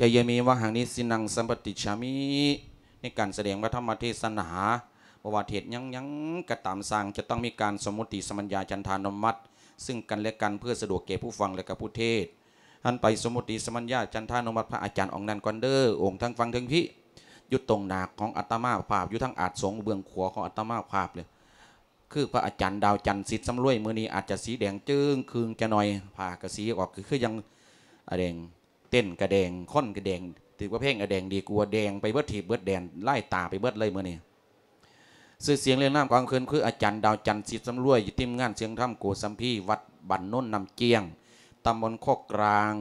ກະເຢຍເມວະຫັງນິສິນັງສຳປະຕິດສາມິ ໃນການສະແດງພະທຳມະເທສະໜາ ບໍ່ວ່າເທດຫຍັງໆກໍຕາມຊ່າງ ຈະຕ້ອງມີການສົມມຸຕິສຳບັນຍາຈັນທານຸມັດ ຊຶ່ງກັນແລະກັນ ເພື່ອສະດວກແກ່ຜູ້ຟັງ ແລະກະຜູ້ເທດ. ຫັນໄປສົມມຸຕິສຳບັນຍາຈັນທານຸມັດພະອາຈານອົງນັ້ນກ່ອນເດີ ອົງທາງຝັ່ງເທິງພີ້ ຢູ່ຕົງໜ້າຂອງອາດຕະມາພາບ ຢູ່ທາງອາດສົງເບື້ອງຂວາຂອງອາດຕະມາພາບເລີຍ ຄືພະອາຈານດາວຈັນ ສິດສຳລວຍ. ມື້ນີ້ອາດຈະສີແດງເຈີ້ງຄຶ່ງຈະໜ້ອຍ ຜ້າກະສີອອກ ຄື ຄືຫຍັງ ອາ ແດງ ເຕັ້ນກະແດງ ຄົນກະແດງ ຖືກວ່າແພງກະແດງ ດີກວ່າແດງໄປເບິດທີບເບິດແດນ ລາຍຕາໄປເບິດເລີຍມື້ນີ້. ຊື່ສຽງລຽງນາມຂອງເພິ່ນຄືອາຈານດາວຈັນ ສິດສຳລວຍ ຢູ່ທີມງານສຽງທຳໂກສຳພີ ວັດບ້ານໂນນນ້ຳຈຽງ ຕຳບົນໂຄກກລາງ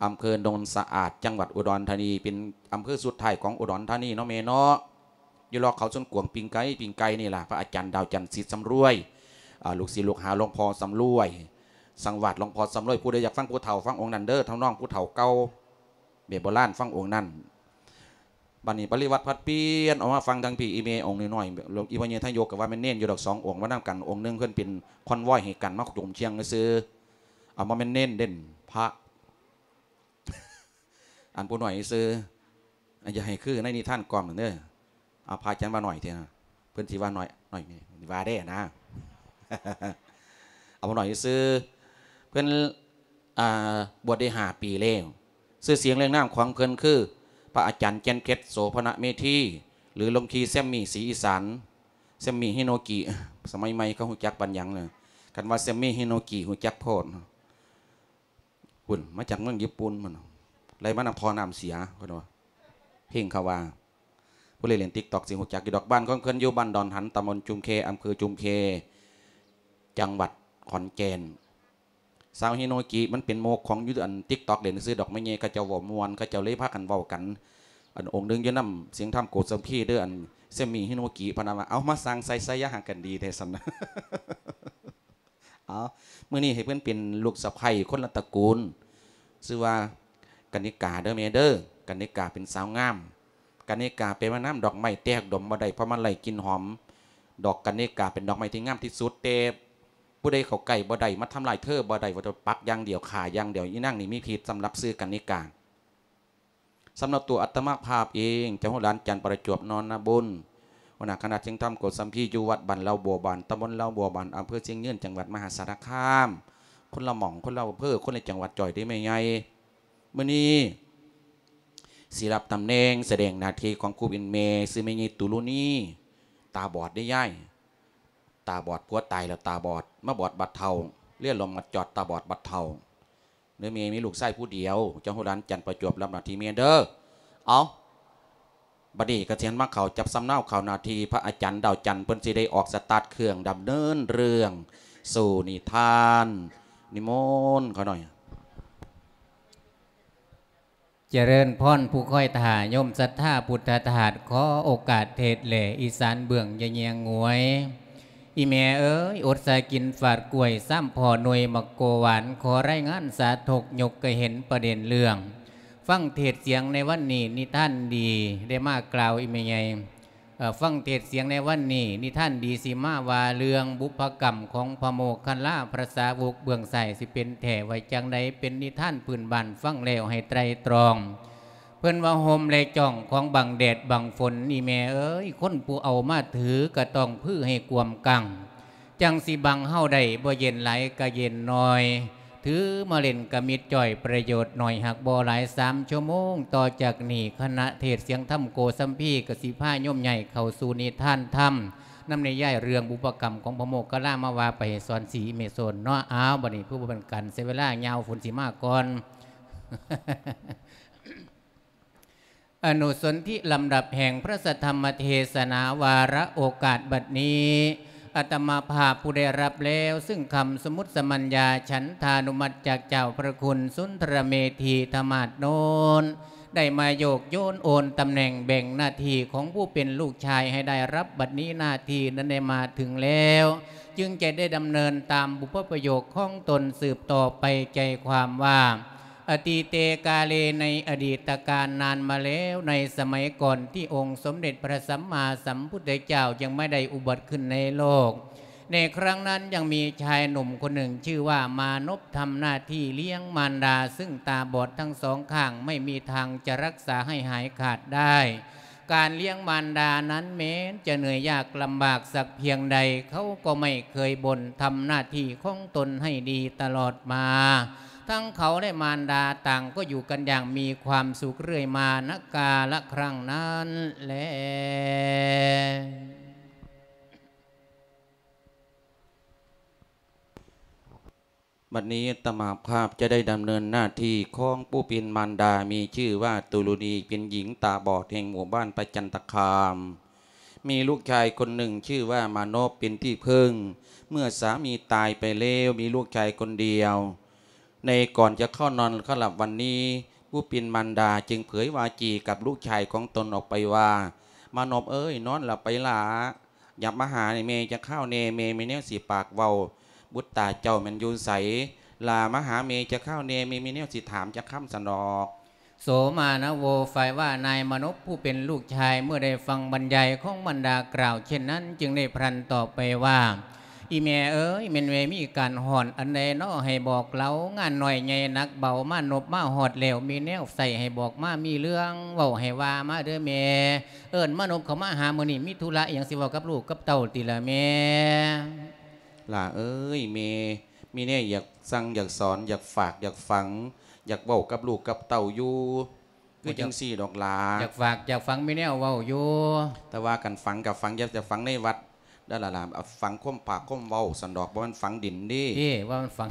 ອຳເພີໂນນສະອາດ ຈັງຫວັດອຸດອນທານີ ເປັນອຳເພີສຸດທ້າຍຂອງອຸດອນທານີເນາະແມ່ເນາະ. ຢູ່ລອກເຂົາສວນກວາງ ປີ້ງໄກ່ ປີ້ງໄກ່ນີ້ລະ ພະອາຈານດາວຈັນ ສິດສຳລວຍ ອາ ລູກສິດລູກຫາຫຼວງພໍ່ສຳລວຍ ສັງວາດຫຼວງພໍ່ສຳລວຍ. ຜູ້ໃດຢາກຟັງຜູ້ເຖົ້າ ຟັງອົງນັ້ນເດີ ທຳນອງຜູ້ເຖົ້າເກົ່າ ແບບໂບລານ ຟັງອົງນັ້ນ. ບາດນີ້ປະລິວັດຜັດປ່ຽນອອກມາຟັງທາງພີ້ ອີ່ແມ່ອົງນ້ອຍໆ ອີ່ພໍ່ໃຫຍ່ທະຍົກ ກໍວ່າແມ່ນເນນຢູ່ດອກ ສອງອົງມານຳກັນ. ອົງໜຶ່ງເພິ່ນເປັນຄອນວອຍໃຫ້ກັນ ມາຈົມຊຽງຊື່ໆ ອາ ບໍ່ແມ່ນເນນເດ້ ພະ ອັນຜູ້ນ້ອຍຊື່ ອັນຢ່າໃຫ້ຄືໃນນິທານກ່ອມນັ້ນເດີ. ອາ ພະອາຈານວ່າໜ້ອຍແທ້ ເພິ່ນຊິວ່າໜ້ອຍ ໜ້ອຍ ວ່າແດ່ນະ ເອົາໜ້ອຍຊື່ ເພິ່ນ ອາ ບວດໄດ້ຫ້າປີແລ້ວ. ຊື່ສຽງລຽງນາມຂອງເພິ່ນຄື ພະອາຈານແກ່ນເພັດ ໂສພະນະເມທີ ຫຼື ຫຼວງພີ່ແຊມມີ ສີອີສານ ແຊມມີ ຮິໂນກິ. ສະໄໝໃໝ່ເຂົາຮູ້ຈັກປານຫຍັງນະ? ຄັນວ່າແຊມມີ ລິໂນກິ ຮູ້ຈັກໂພດ. ພຸ້ນ ມາຈາກເມືອງຍີ່ປຸ່ນພຸ້ນ ໄລ່ມານຳທໍ່ນ້ຳເສຍ ເພິ່ນວ່າ ເພງເຂົາວ່າ. ຜູ້ເລ່ນ ເລ່ນຕິກຕອກ ຊິຮູ້ຈັກຢູ່ດອກ. ບ້ານຂອງເພິ່ນຢູ່ບ້ານດອນຫັນ ຕຳບົນຈຸມແຄ ອຳເພີຈຸມແຄ ຈັງຫວັດຂອນແກ່ນ. ສາວຮິໂນກິ ມັນເປັນໂມກຂອງຢູ່ອັນຕິກຕອກ ເລ່ນຊື່ດອກ ແມ່ໃຫຍ່ເຂົາເຈົ້າເວົ້າມ່ວນ ເຂົາເຈົ້າເລີຍພາກັນເວົ້າກັນ. ອັນອົງໜຶ່ງຢູ່ນຳສຽງທຳໂກສຳພີເດີ ອັນແຊມມີ ລິໂນກິ ເພິ່ນວ່າ ເອົາ ມາສ້າງໃສ່ ໃສ່ຢ່າຫາກັນດີແທ້ຊັ້ນ. ເອົາ ມື້ນີ້ໃຫ້ເພິ່ນເປັນລູກສະໃພ້ຄົນລະຕະກູນ ຊື່ວ່າ ກັນນິກາເດີແມ່ເດີ. ກັນນິກາເປັນສາວງາມ. ກັນນິກາແປວ່ານ້ຳດອກໄມ້ແຕ່ຮັກດົມບໍ່ໄດ້ ເພາະມັນໄດ້ກິ່ນຫອມ. ດອກກັນນິກາເປັນດອກໄມ້ທີ່ງາມທີ່ສຸດ ແຕ່ຜູ້ໃດເຂົ້າໃກ້ບໍ່ໄດ້ ມາທຳລາຍເທີບໍ່ໄດ້ ວ່າແຕ່ປັກຢ່າງດຽວ ຂ້າຢ່າງດຽວ. ອີນາງນີ້ມີພິດ ສຳລັບຊື່ກັນນິກາ. ສຳລັບຕົວອາດຕະມາພາບເອງ ເຈົ້າໂຮດຫຼານຈັນ ປະຈວບ ນອນນະບຸນ ຫົວໜ້າຄະນະສຽງທຳໂກສຳພີ ຢູ່ວັດບ້ານເລົ່າບົວບານ ຕຳບົນເລົ່າບົວບານ ອຳເພີຊຽງຍືນ ຈັງຫວັດມະຫາສາລະຄາມ ຄົນລະໝ່ອງ ຄົນລະອຳເພີ ຄົນລະຈັງຫວັດ ຈ່ອຍເດ້ແມ່ໃຫຍ່. ມື້ນີ້ຊິຮັບຕຳແໜ່ງສະແດງໜ້າທີ່ຂອງຜູ້ເປັນແມ່ ຊື່ແມ່ໃຫຍ່ຕຸລຸນີ ຕາບອດເດ້ຍາຍ ຕາບອດ ຜົວຕາຍແລ້ວຕາບອດ ມາບອດບັດເຖົ້າ ເລຍລົມມາຈອດ ຕາບອດບັດເຖົ້າ. ເດີແມ່ ມີລູກຊາຍຜູ້ດຽວ ເຈົ້າໂຮດຫຼານຈັນ ປະຈວບ ຮັບໜ້າທີ່ແມ່ເດີ. ເອົາ ບັດນີ້ກະຊິຫັນມາເຂົ້າຈັບສຳເນົາ ເຂົ້າໜ້າທີ່ ພະອາຈານດາວຈັນ ເພິ່ນຊິໄດ້ອອກສະຕາດເຄື່ອງ ດຳເນີນເລື່ອງສູ່ນິທານ. ນິມົນຂ້ານ້ອຍ. ຈະເລີນພອນຜູ້ຄອຍຖ້າ ໂຍມສັດທາພຸດທະທາດ ຂໍໂອກາດເທດແຫຼ ອີສານເບື້ອງຢ່າແຍງງວຍ. ອີແມ່ເອີຍ ອົດສາກິນຝາດກ້ວຍ ຊາມພໍ່ໜ່ວຍໝາກໂກຫວານ ຂໍລາຍງານສາທົກ ຍົກກະເຫັນປະເດັນເລື່ອງ ຟັງເທດສຽງໃນວັນນີ້ ນິທານດີໄດ້ມາກ່າວ ອີແມ່ໃຫຍ່ ເອີ ຟັງເທດສຽງໃນວັນນີ້ ນິທານດີຊິມາວ່າເລື່ອງບຸບພະກຳຂອງພະໂມກຄະລາ ພະສາວົກເບື້ອງຊ້າຍ ຊິເປັນແທ້ວ່າຈັ່ງໃດ ເປັນນິທານພື້ນບ້ານ ຟັງແລ້ວໃຫ້ໄຕຣຕຣອງ. ເພິ່ນວ່າຮົ່ມ ແລະ ຈ້ອງຂອງບັງແດດບັງຝົນ ອີແມ່ເອີຍ ຄົນຜູ້ເອົາມາຖືກະຕ້ອງຜືໃຫ້ກວມກັງ ຈັ່ງຊິບັງເຮົາໄດ້ ບໍ່ເຢັນຫຼາຍກະເຢັນໜ້ອຍ ຖືມາເຫຼັ້ນກະມິດຈ້ອຍ ປະໂຫຍດໜ້ອຍ ຫາກບໍ່ຫຼາຍ ສາມຊົ່ວໂມງຕໍ່ຈາກນີ້ ຄະນະເທດສຽງທຳໂກສຳພີ ກະຊິພາໂຍມຍ້າຍເຂົ້າສູ່ນິທານທຳ ນຳນິຍາຍເລື່ອງບຸບພະກຳຂອງພະໂມກຄະລາ ມາວ່າໄປໃຫ້ສອນສີແມ່ໂຊນເນາະ. ອ້າວ ບັດນີ້ເພື່ອບໍ່ເປັນການເສຍເວລາຍາວ ຝົນຊິມາກ່ອນ. ອະນຸສົນທິລຳດັບແຫ່ງພະສັດທຳມະເທສະໜາ ວາລະໂອກາດບັດນີ້ ອາດຕະມາພາບຜູ້ໄດ້ຮັບແລ້ວ ຊຶ່ງຄຳສົມມຸດສະມັນຍາ ສັນທານຸມັດຈາກເຈົ້າພະຄຸນສຸນທະລະເມຖີທະມາດໂນນ ໄດ້ມາໂຍກໂຍນໂອນຕຳແໜ່ງແບ່ງໜ້າທີ່ຂອງຜູ້ເປັນລູກຊາຍໃຫ້ໄດ້ຮັບ ບັດນີ້ໜ້າທີ່ນັ້ນໄດ້ມາເຖິງແລ້ວ ຈຶ່ງຈະໄດ້ດຳເນີນຕາມບຸບພະປະໂຫຍກຂອງຕົນສືບຕໍ່ໄປ ໃຈຄວາມວ່າ ອະຕີເຕກາເລ ໃນອະດີດຕະການນານມາແລ້ວ ໃນສະໄໝກ່ອນທີ່ອົງສົມເດັດພະສຳມາສຳພຸດທະເຈົ້າຍັງບໍ່ໄດ້ອຸບັດຂຶ້ນໃນໂລກ ในครั้งนั้นยังมีชายหนุ่มคนหนึ่งชื่อว่ามานพ ทำหน้าที่เลี้ยงมารดาซึ่งตาบอดทั้งสองข้าง ไม่มีทางจะรักษาให้หายขาดได้ การเลี้ยงมารดานั้นแม้นจะเหนื่อยยากลำบากสักเพียงใด เขาก็ไม่เคยบ่น ทำหน้าที่ของตนให้ดีตลอดมา ทั้งเขาและมารดาต่างก็อยู่กันอย่างมีความสุขเรื่อยมา ณ กาลครั้งนั้นแล บัดนี้อาตมาภาพจะได้ดำเนินหน้าที่ของผู้เป็นมารดา มีชื่อว่าตุลุนี เป็นหญิงตาบอดแห่งหมู่บ้านประจันตคาม มีลูกชายคนหนึ่งชื่อว่ามานพ เป็นที่พึ่ง เมื่อสามีตายไปแล้วมีลูกชายคนเดียว ในก่อนจะเข้านอนเข้าหลับวันนี้ ผู้เป็นมารดาจึงเผยวาจีกับลูกชายของตนออกไปว่า มานพเอ้ย นอนหลับไปหล้า อย่ามาหาแม่จักคราวแน่ แม่มีแนวสิปากเว้า บุตรตาเจ้าแม่นอยู่ไส หล้ามาหาแม่จักคราวแน่ แม่มีแนวสิถามจักคำซั้นดอก โสมานโว ฝ่ายว่านายมานพผู้เป็นลูกชายเมื่อได้ฟังบรรยายของมารดากล่าวเช่นนั้น จึงได้พลันตอบไปว่า อีแม่เอ๋ย แม่นแม่มีการฮ้อนอันใดน้อ ให้บอกเล่า งานน้อยใหญ่หนักเบา มานพมาฮอดแล้ว มีแนวใส่ให้บอกมา มีเรื่องเว้าให้ว่ามาเด้อแม่ เอิ้นมานพเข้ามาหามื้อนี้ มีธุระอิหยังสิเว้ากับลูกกับเต้าติล่ะแม่ หล้าเอ๋ย แม่มีแนวอยากสั่งอยากสอน อยากฝากอยากฝัง อยากเว้ากับลูกกับเต้าอยู่ คือจั่งซี้ดอกหล้า อยากฝากอยากฝังมีแนวเว้าอยู่ แต่ว่าคันฝังก็ฝัง อย่า อย่าฝังในวัดเด้อหล้า หล้า เอาฝังความปากความเว้าซั้นดอก บ่แม่นฝังดินเด้ เอ้ ว่ามันฝัง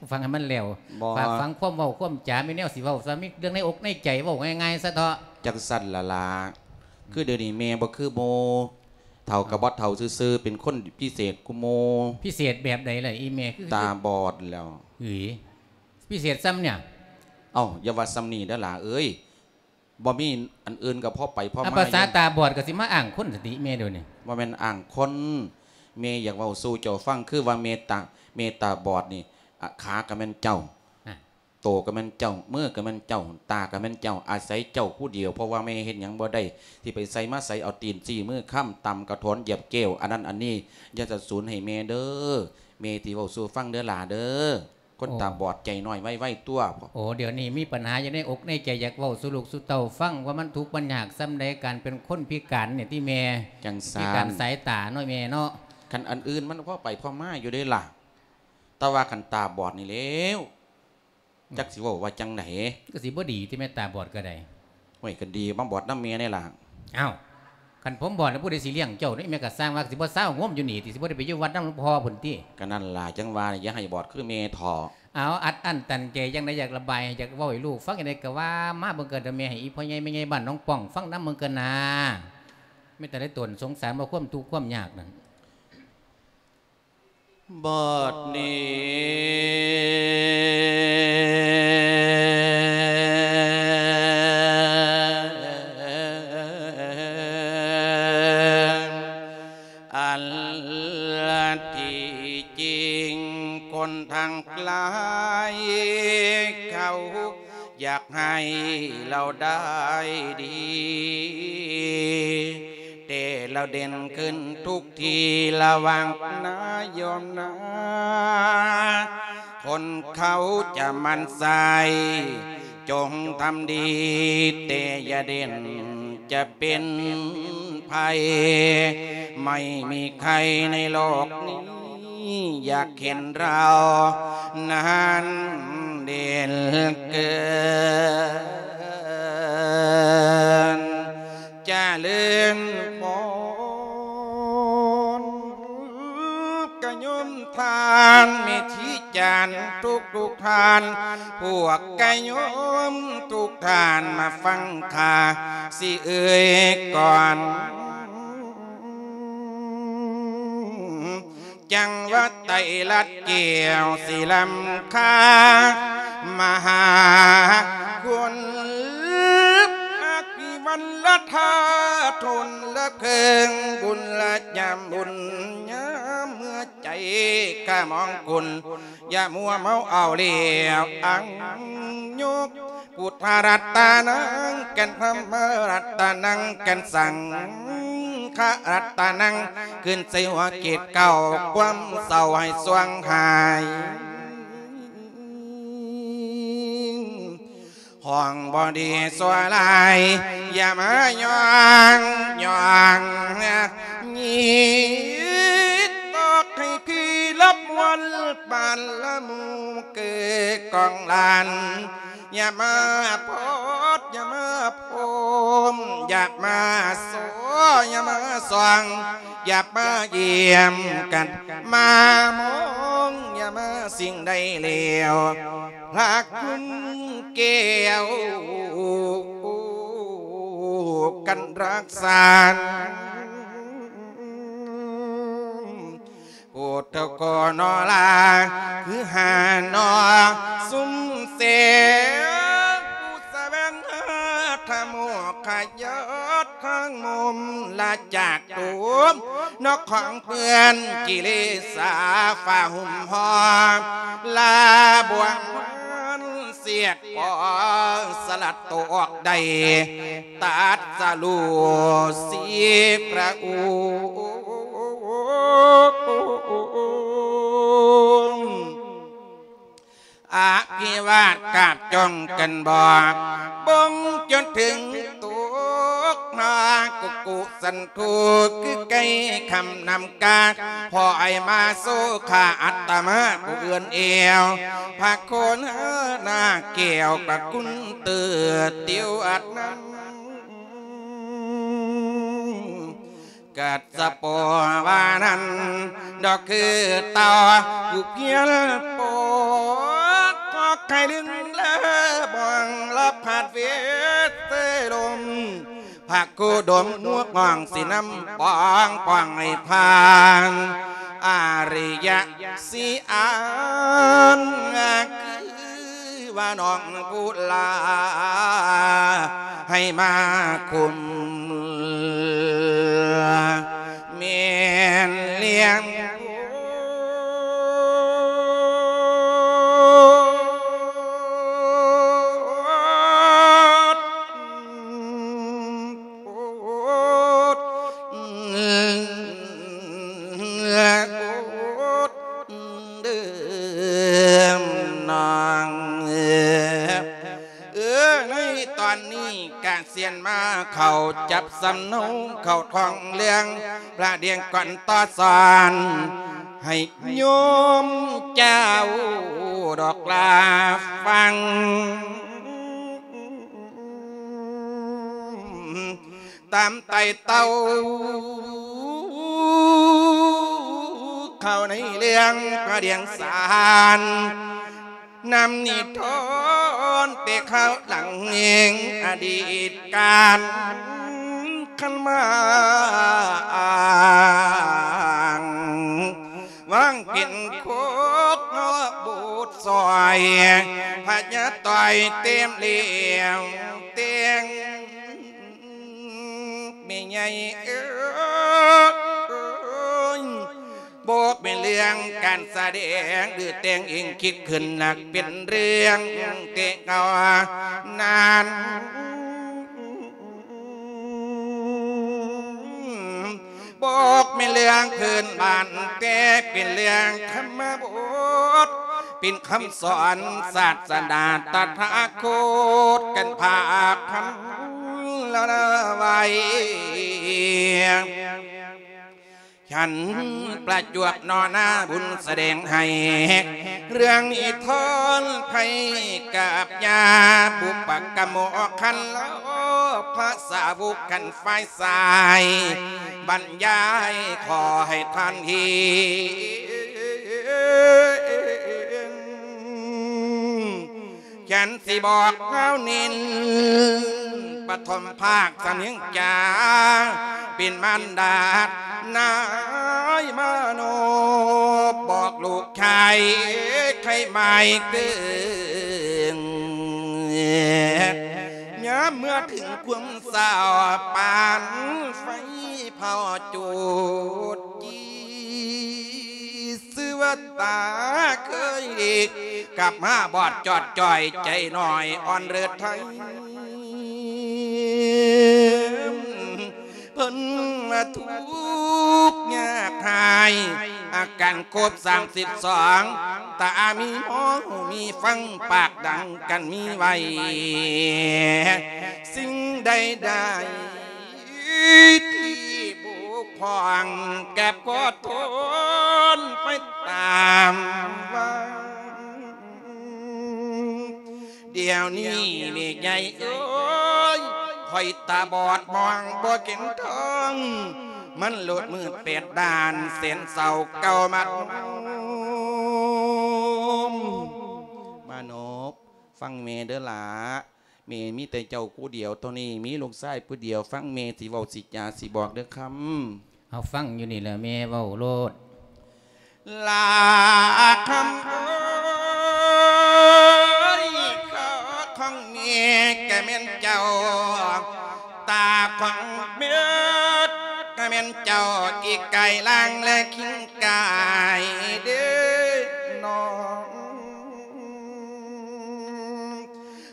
ฝังให้มันแล้ว บ่ ฝากฝังความเว้าความจ๋า มีแนวสิเว้าซะ มีเรื่องในอกในใจ เว้าง่ายๆซะเถาะ จั่งซั้นหล้า หล้า คือเดี๋ยวนี้แม่บ่คือหมู่ เฒ่าก็บ่เฒ่าซื่อๆ เป็นคนพิเศษกว่าหมู่ พิเศษแบบใดล่ะอีแม่ คือตาบอดแล้ว เฮ้ย พิเศษส่ำเนี่ย เอ้า อย่าว่าส่ำนี้เด้อหล้าเอ้ย บ่มีอันอื่นก็พอไปพอมา ภาษาตาบอดก็สิมาอ้างคนซั่นติแม่เดี๋ยวนี้ บ่แม่นอ้างคน แม่อยากเว้าสู่เจ้าฟัง คือว่าแม่ตา แม่ตาบอดนี่ อะ ขาก็แม่นเจ้า ฮะ โตก็แม่นเจ้า มือก็แม่นเจ้า ตาก็แม่นเจ้า อาศัยเจ้าผู้เดียว เพราะว่าแม่เฮ็ดหยังบ่ได้ สิไปไสมาไส เอาตีนซี้มือค้ำ ตำกระถอน เหยียบแก้ว อันนั้นอันนี้ อย่าสะสูนให้แม่เด้อ แม่สิเว้าสู่ฟังเด้อหล้าเด้อ คนตาบอดใจน้อยไวๆ ตั่ว โอ้ เดี๋ยวนี้มีปัญหาอยู่ในอกในใจ อยากเว้าสู่ลูกสู่เต้าฟัง ว่ามันทุกข์มันยากส่ำใด การเป็นคนพิการเนี่ยติแม่ จั่งซั้น พิการสายตาเนาะแม่เนาะ คันอันอื่นมันพอไปพอมาอยู่เด้หล้า แต่ว่าคันตาบอดนี่แล้ว จักสิเว้าว่าจั่งใด ก็สิบ่ดีติแม่ ตาบอดก็ได้ โอ้ย ก็ดี มาบอดนำแม่แน่หล้า อ้าว คันผมบอดแล้วผู้ใดสิเลี้ยงเจ้านี่ แม่ก็สร้างว่าสิบ่ซาวโฮมอยู่นี่ติ สิบ่ได้ไปอยู่วัดนำหลวงพ่อพุ้นติ ก็นั่นล่ะ จั่งว่าอย่าให้บอดคือแม่เถาะ เอา อัดอั้นตันใจจั่งใด อยากระบาย อยากเว้าให้ลูกฟังจั่งใดก็ว่ามาเบิ่งเกินเด้อแม่ ให้อีพ่อใหญ่แม่ใหญ่บ้านหนองป้องฟังนำเบิ่งเกินนา มีแต่ได้ตนสงสารว่าความทุกข์ความยากนั่น บัดนี้ อันที่จริงคนทั้งหลายเขา อยากให้เราได้ดี แต่เราเด่นขึ้นทุกที ระวังนะโยมนะ คนเขาจะหมั่นไส้ จงทำดี แต่อย่าเด่น จะเป็นภัย ไม่มีใครในโลกนี้ อยากเห็นเรานั้นเด่นเกิน เจริญพร กะโยมท่านแม่ชีจารย์ทุกๆท่าน พวกกะโยมทุกท่านมาฟังข้าสิเอ่ยก่อน จังหวัดไตรลัดแก้วสิล้ำค่า มหาคุณ อภิวัลธาตุลเคิง บุญละยามบุญยามเมื่อใจข้ามองคุณ อย่ามัวเมาเอาแล้วอังยก พุทธรัตนัง กันธรรมรัตนัง กันสัง ຄະລັດຕະນັງ ຂຶ້ນໃສ່ຫົວເກດເກົ້າ ຄວາມເສົ້າໃຫ້ຊ່ວງຫາຍ ຫ້ອງບໍ່ດີຊົ່ວຮ້າຍ ຢ່າມາຍ້ອງ ຍ້ອງຍິດ ຕອກໃຫ້ພີລະມວນ ປານລະໝູ່ເກີກອງລານ ຢ່າມາໂພດ ຢ່າມາໂພມ ຢ່າມາໂຊ ຢ່າມາສ່ອງ ຢ່າມາຢ້ຽມກັນ ມາມອງ ຢ່າມາສິ່ງໃດແລ້ວ ພະຄຸນແກ້ວ ກັນຮັກສາ ໂອດເຈົ້າກໍນອລາ ຄືຫານອ ຊຸມເສ ຜູ້ສະແຫວງຫາທຳໂມກຂະຍາດທາງມຸມລະຈາກ ໂຕມນອກຂອງເພື່ອນກິເລສາ ຟ້າຫຸ້ມຫໍ່ລາບວງມັນ ສຽດພໍສະລັດໂຕອອກໄດ້ ຕັດສະຮູ້ສີພະອົງ ອະພິວາດກາບຈ້ອງກັນບອກ ບົງຈົນເຖິງຕົກນາ ກຸກຸສັນໂທ ຄືໄກ່ຄຳນຳກາ ພໍໄອມາໂຊຄາ ອັດຕະມາຜູ້ອື່ນແອວ ພະໂຄນາແກ້ວກະຄຸນເຕີດຕິວອັດນຳ ກັດສະໂປວານັ້ນ ດອກຄືເຕົາຜູ້ພຽນໂປ ກໍໃຄດຶງເລີບອງລະພັດເວດເຕລົມ ພະໂຄດົມນົວກຫ້ອງສີນ້ຳປອງ ປອງໃຫ້ຜ່ານ ອາລິຍະສີອານ ຄືວ່ານ້ອງຜູ້ລາ ໃຫ້ມາຄຸມ ແມ່ນລ້ຽງ ເດີມນາງ ເອີ ເອີ ໃນຕອນນີ້ກະຊຽນມາເຂົ້າຈັບສຳເນົາ ເຂົ້າທ້ອງເລື່ອງ ພະດຽງກ່ອນຕໍ່ສອນ ໃຫ້ໂຍມເຈົ້າດອກລາຟັງ ຕາມໄຕ່ເຕົ້າ ເຂົ້າໃນເລື່ອງພະດຽງສານ ນຳນິທອນແຕ່ຄາວຫຼັງ ອະດີດການຄັນມາອ້າງ ວາງເປັນໂຄກເນາະໂບດຊອຍ ພະຍາຕ່ອຍເຕັມແລ້ວແຕ່ງ ແມ່ໃຫຍ່ເອີຍ ບໍ່ແມ່ນເລື່ອງການສະແດງ ຫຼືແຕ່ງເອງຄິດຂຶ້ນ ນັກເປັນເລື່ອງແຕ່ເກົ່ານັ້ນ ບໍ່ແມ່ນເລື່ອງພື້ນບ້ານ ແຕ່ເປັນເລື່ອງທຳມະບົດ ເປັນຄຳສອນສາສະໜາຕະຖາຄົດ ກັນພາກພັນລະລາໄວ້ ສັນປະຈວບນໍນາບຸນສະແດງໃຫ້ ເລື່ອງນິທານໄພກັບຍາ ບຸບປະກະໂມຄັນລະ ພະສາວົກຂັນຝ່າຍຊາຍ ບັນຍາຍຂໍໃຫ້ທ່ານເຫັນ ແກ່ນຊິບອກເຮົານິນ ປະຖົມພາກສະເໜັງຈາ ເປັນມານດານາຍມະໂນ ບອກລູກຊາຍໄຄໝາຍເກີງ ຍາມເມື່ອເຖິງຄວາມເສົ້າ ປານໄຟເຜົາຈູດຈີ່ ຊື່ວ່າຕາເຄີຍ ກັບມາບອດຈອດຈ່ອຍ ໃຈໜ້ອຍອ່ອນເລີດໄທ ເພິ່ນ ວ່າທຸກຍາກຮ້າຍ ອາການຄົບສາມສິບສອງ ຕາມີໝໍຮູ້ມີຟັງ ປາກດັງກັນມີໄວ້ ສິ່ງໃດໆທີ່ບົກຜ່ອງ ກາບຂໍໂທນໄປຕາມວັງ. ດຽວນີ້ແມ່ໃຫຍ່ເອີຍ ຂ້ອຍຕາບອດມອງບໍ່ເຫັນທາງ ມັນໂລດມືດແປດດ້ານ ແສນເສົ້າເກົ່າມັດໂຮມ. ມານົບ ຟັງແມ່ເດີຫຼ້າ ແມ່ມີແຕ່ເຈົ້າຜູ້ດຽວເທົ່ານີ້ ມີລູກຊາຍຜູ້ດຽວ ຟັງແມ່ຊິເວົ້າຊິຈາຊິບອກເດີຄຳ. ເຮົາຟັງຢູ່ນີ້ແຫຼະແມ່ເວົ້າໂລດ. ຫຼ້າຄຳເອີຍ ຂາຂອງແມ່ກະແມ່ນເຈົ້າ ຕາຂອງແມ່ກະແມ່ນເຈົ້າ ອີກກາຍລ່າງແລະຄິງກາຍເດ້ນ້ອງ.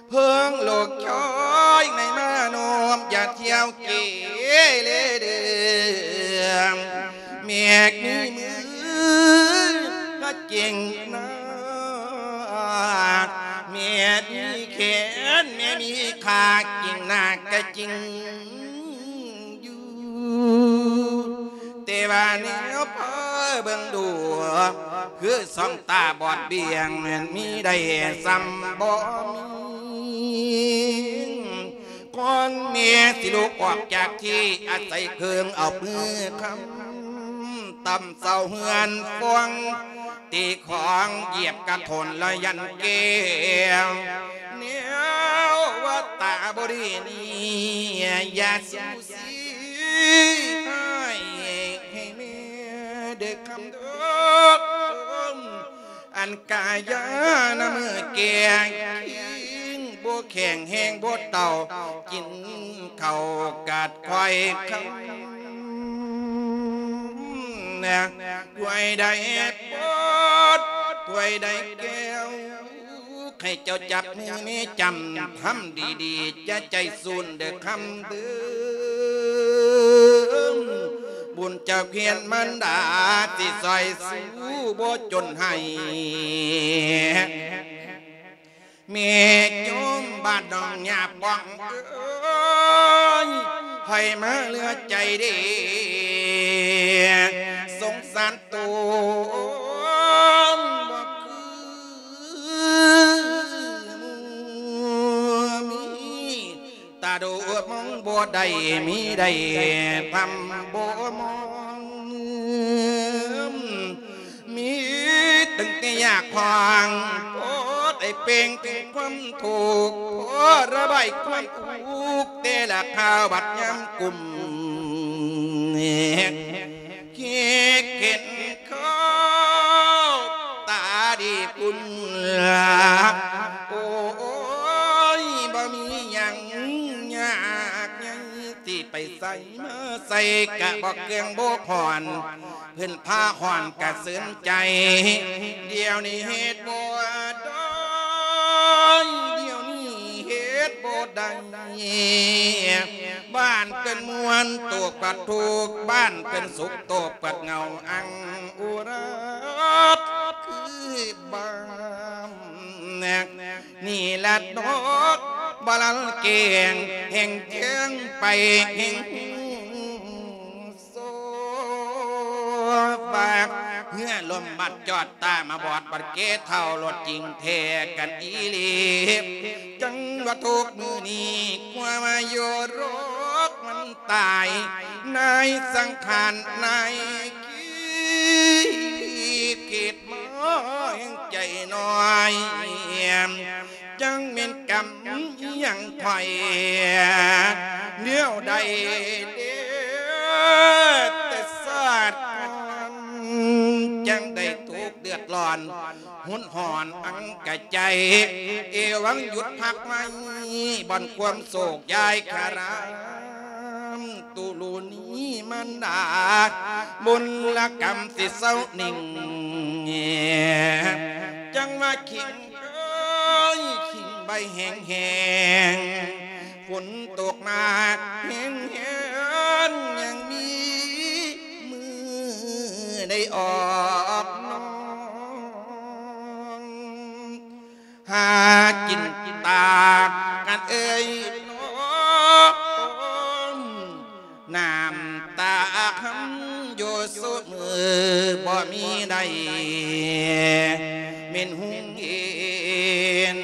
ເພິ່ງລູກຊາຍໃນມາໂນມ ຢ່າທ່ຽວເກເລເດີມ ແມ່ມີມືພະຈິງນາກ ແມ່ມີແຂນ ແມ່ມີຂາ ຈິງນາກກະຈິງ ຢູ່ ແຕ່ວ່າແນວພາເບິ່ງດູ ຄືສອງຕາບອດບຽງ ແມ່ນມີໄດ້ສ່ຳບໍ່ມີ ກ່ອນແມ່ຊິລຸກອອກຈາກທີ່ອາໄສ ເຄິ່ງເອົາມືຄ້ຳ ຕ່ຳເສົາເຮືອນຟອງ ຕີຂອງຢຽບກະໂຖນລະຢັນແກ້ວ ແນວວ່າຕາບໍ່ດີນີ້ ຢ່າສູສີໃຫ້ ໃຫ້ແມ່ເດີຄຳເດີ ອັນກາຍານະມື້ແກ່ງ ບໍ່ແຂງແຮງບໍ່ເຕົ່າ ກິນເຂົ້າກາດຄວາຍຄຳ ນະ ພວຍໃດປອດ ພວຍໃດແກ້ວ ໃຫ້ເຈົ້າຈັບມືແມ່ຈຳ ທຳດີໆ ຢ່າໃຈສູນເດີຄຳເດີ ບຸນຈາກພຽນມານດາ ຊິຊ່ອຍສູ້ບໍ່ຈົນໃຫ້ ແມ່ໂຍມບ້ານໜອງຫຍ້າປ່ອງເອີຍ ໃຜມາເຫຼືອໃຈເດ ສົງສານໂຕບໍ່ຄືໝູ່ມີ ຕາດູມອງບໍ່ໄດ້ ມີໄດ້ທຳບໍ່ມອງ ມີຕັ້ງແຕ່ຢາກຂວາງ ພໍໄດ້ເປ່ງເຖິງຄວາມທຸກ ພໍລະບາຍຄວາມທຸກ ແຕ່ລະຄາວບັດຍາມກຸມ ຄິດເຫັນເຂົ້າຕາດີພຸ້ນລະ ໂອ້ຍ ບໍ່ມີຫຍັງຍາກໃຫຍ່ ຊິໄປໃສມາໃສກະບໍ່ເຄື່ອງບໍ່ຄອນ ເພິ່ນພາຄອນກະເສີນໃຈ ດຽວນີ້ເຮັດບໍ່ໄດ້ ດຽວນີ້ເຮັດບໍ່ໄດ້ ບ້ານເພິ່ນມ່ວນໂຕກວ່າທຸກ ບ້ານເພິ່ນສຸກໂຕກວ່າເຫງົາ ອັງອຸຣາດຄືບ້ານ ນີ້ລະດອກບາລັນແກງ ແຫ່ງແຈ້ງໄປແຫ່ງໂຊບາກ ເຮືອລົມບັດຈອດ ຕາມາບອດບັດເກເທົ່າ ລົດຈິງແທ້ກັນອີ່ຫຼີ ຈັ່ງວ່າທຸກມື້ນີ້ ກວ່າມາຢູ່ໂລກມັນຕາຍ ນາຍສັງຂານນາຍຄິດ ຄິດມາແຫ່ງໃຈນ້ອຍ ຈັ່ງແມ່ນກຳອີ່ຫຍັງຂ້ອຍ ແນວໃດເດ ແຕ່ຊາດກ່ອນ ຈັ່ງໄດ້ທຸກເດືອດຮ້ອນ ຮຸນຮອນອັງກະໃຈ ເອວັງຢຸດພັກໄວ້ ບ່ອນຄວາມໂສກຢາຍຄາລາມ ຕຸລຸນີມານດາ ບຸນລະກຳຊິເຊົາໜິ່ງ ຈັ່ງວ່າຂີງເອີຍ ຂີງໃບແຫ້ງໆ ຝົນຕົກມາແຮງໆ ຍັງມີ ອອກນ້ອງ ຫາກິນຕາກັນເອີຍນ້ອງ ນ້ຳຕາຄຳຢູ່ຊຸມື້ ບໍ່ມີໃດແມ່ນຮຸ່ງເຮັນ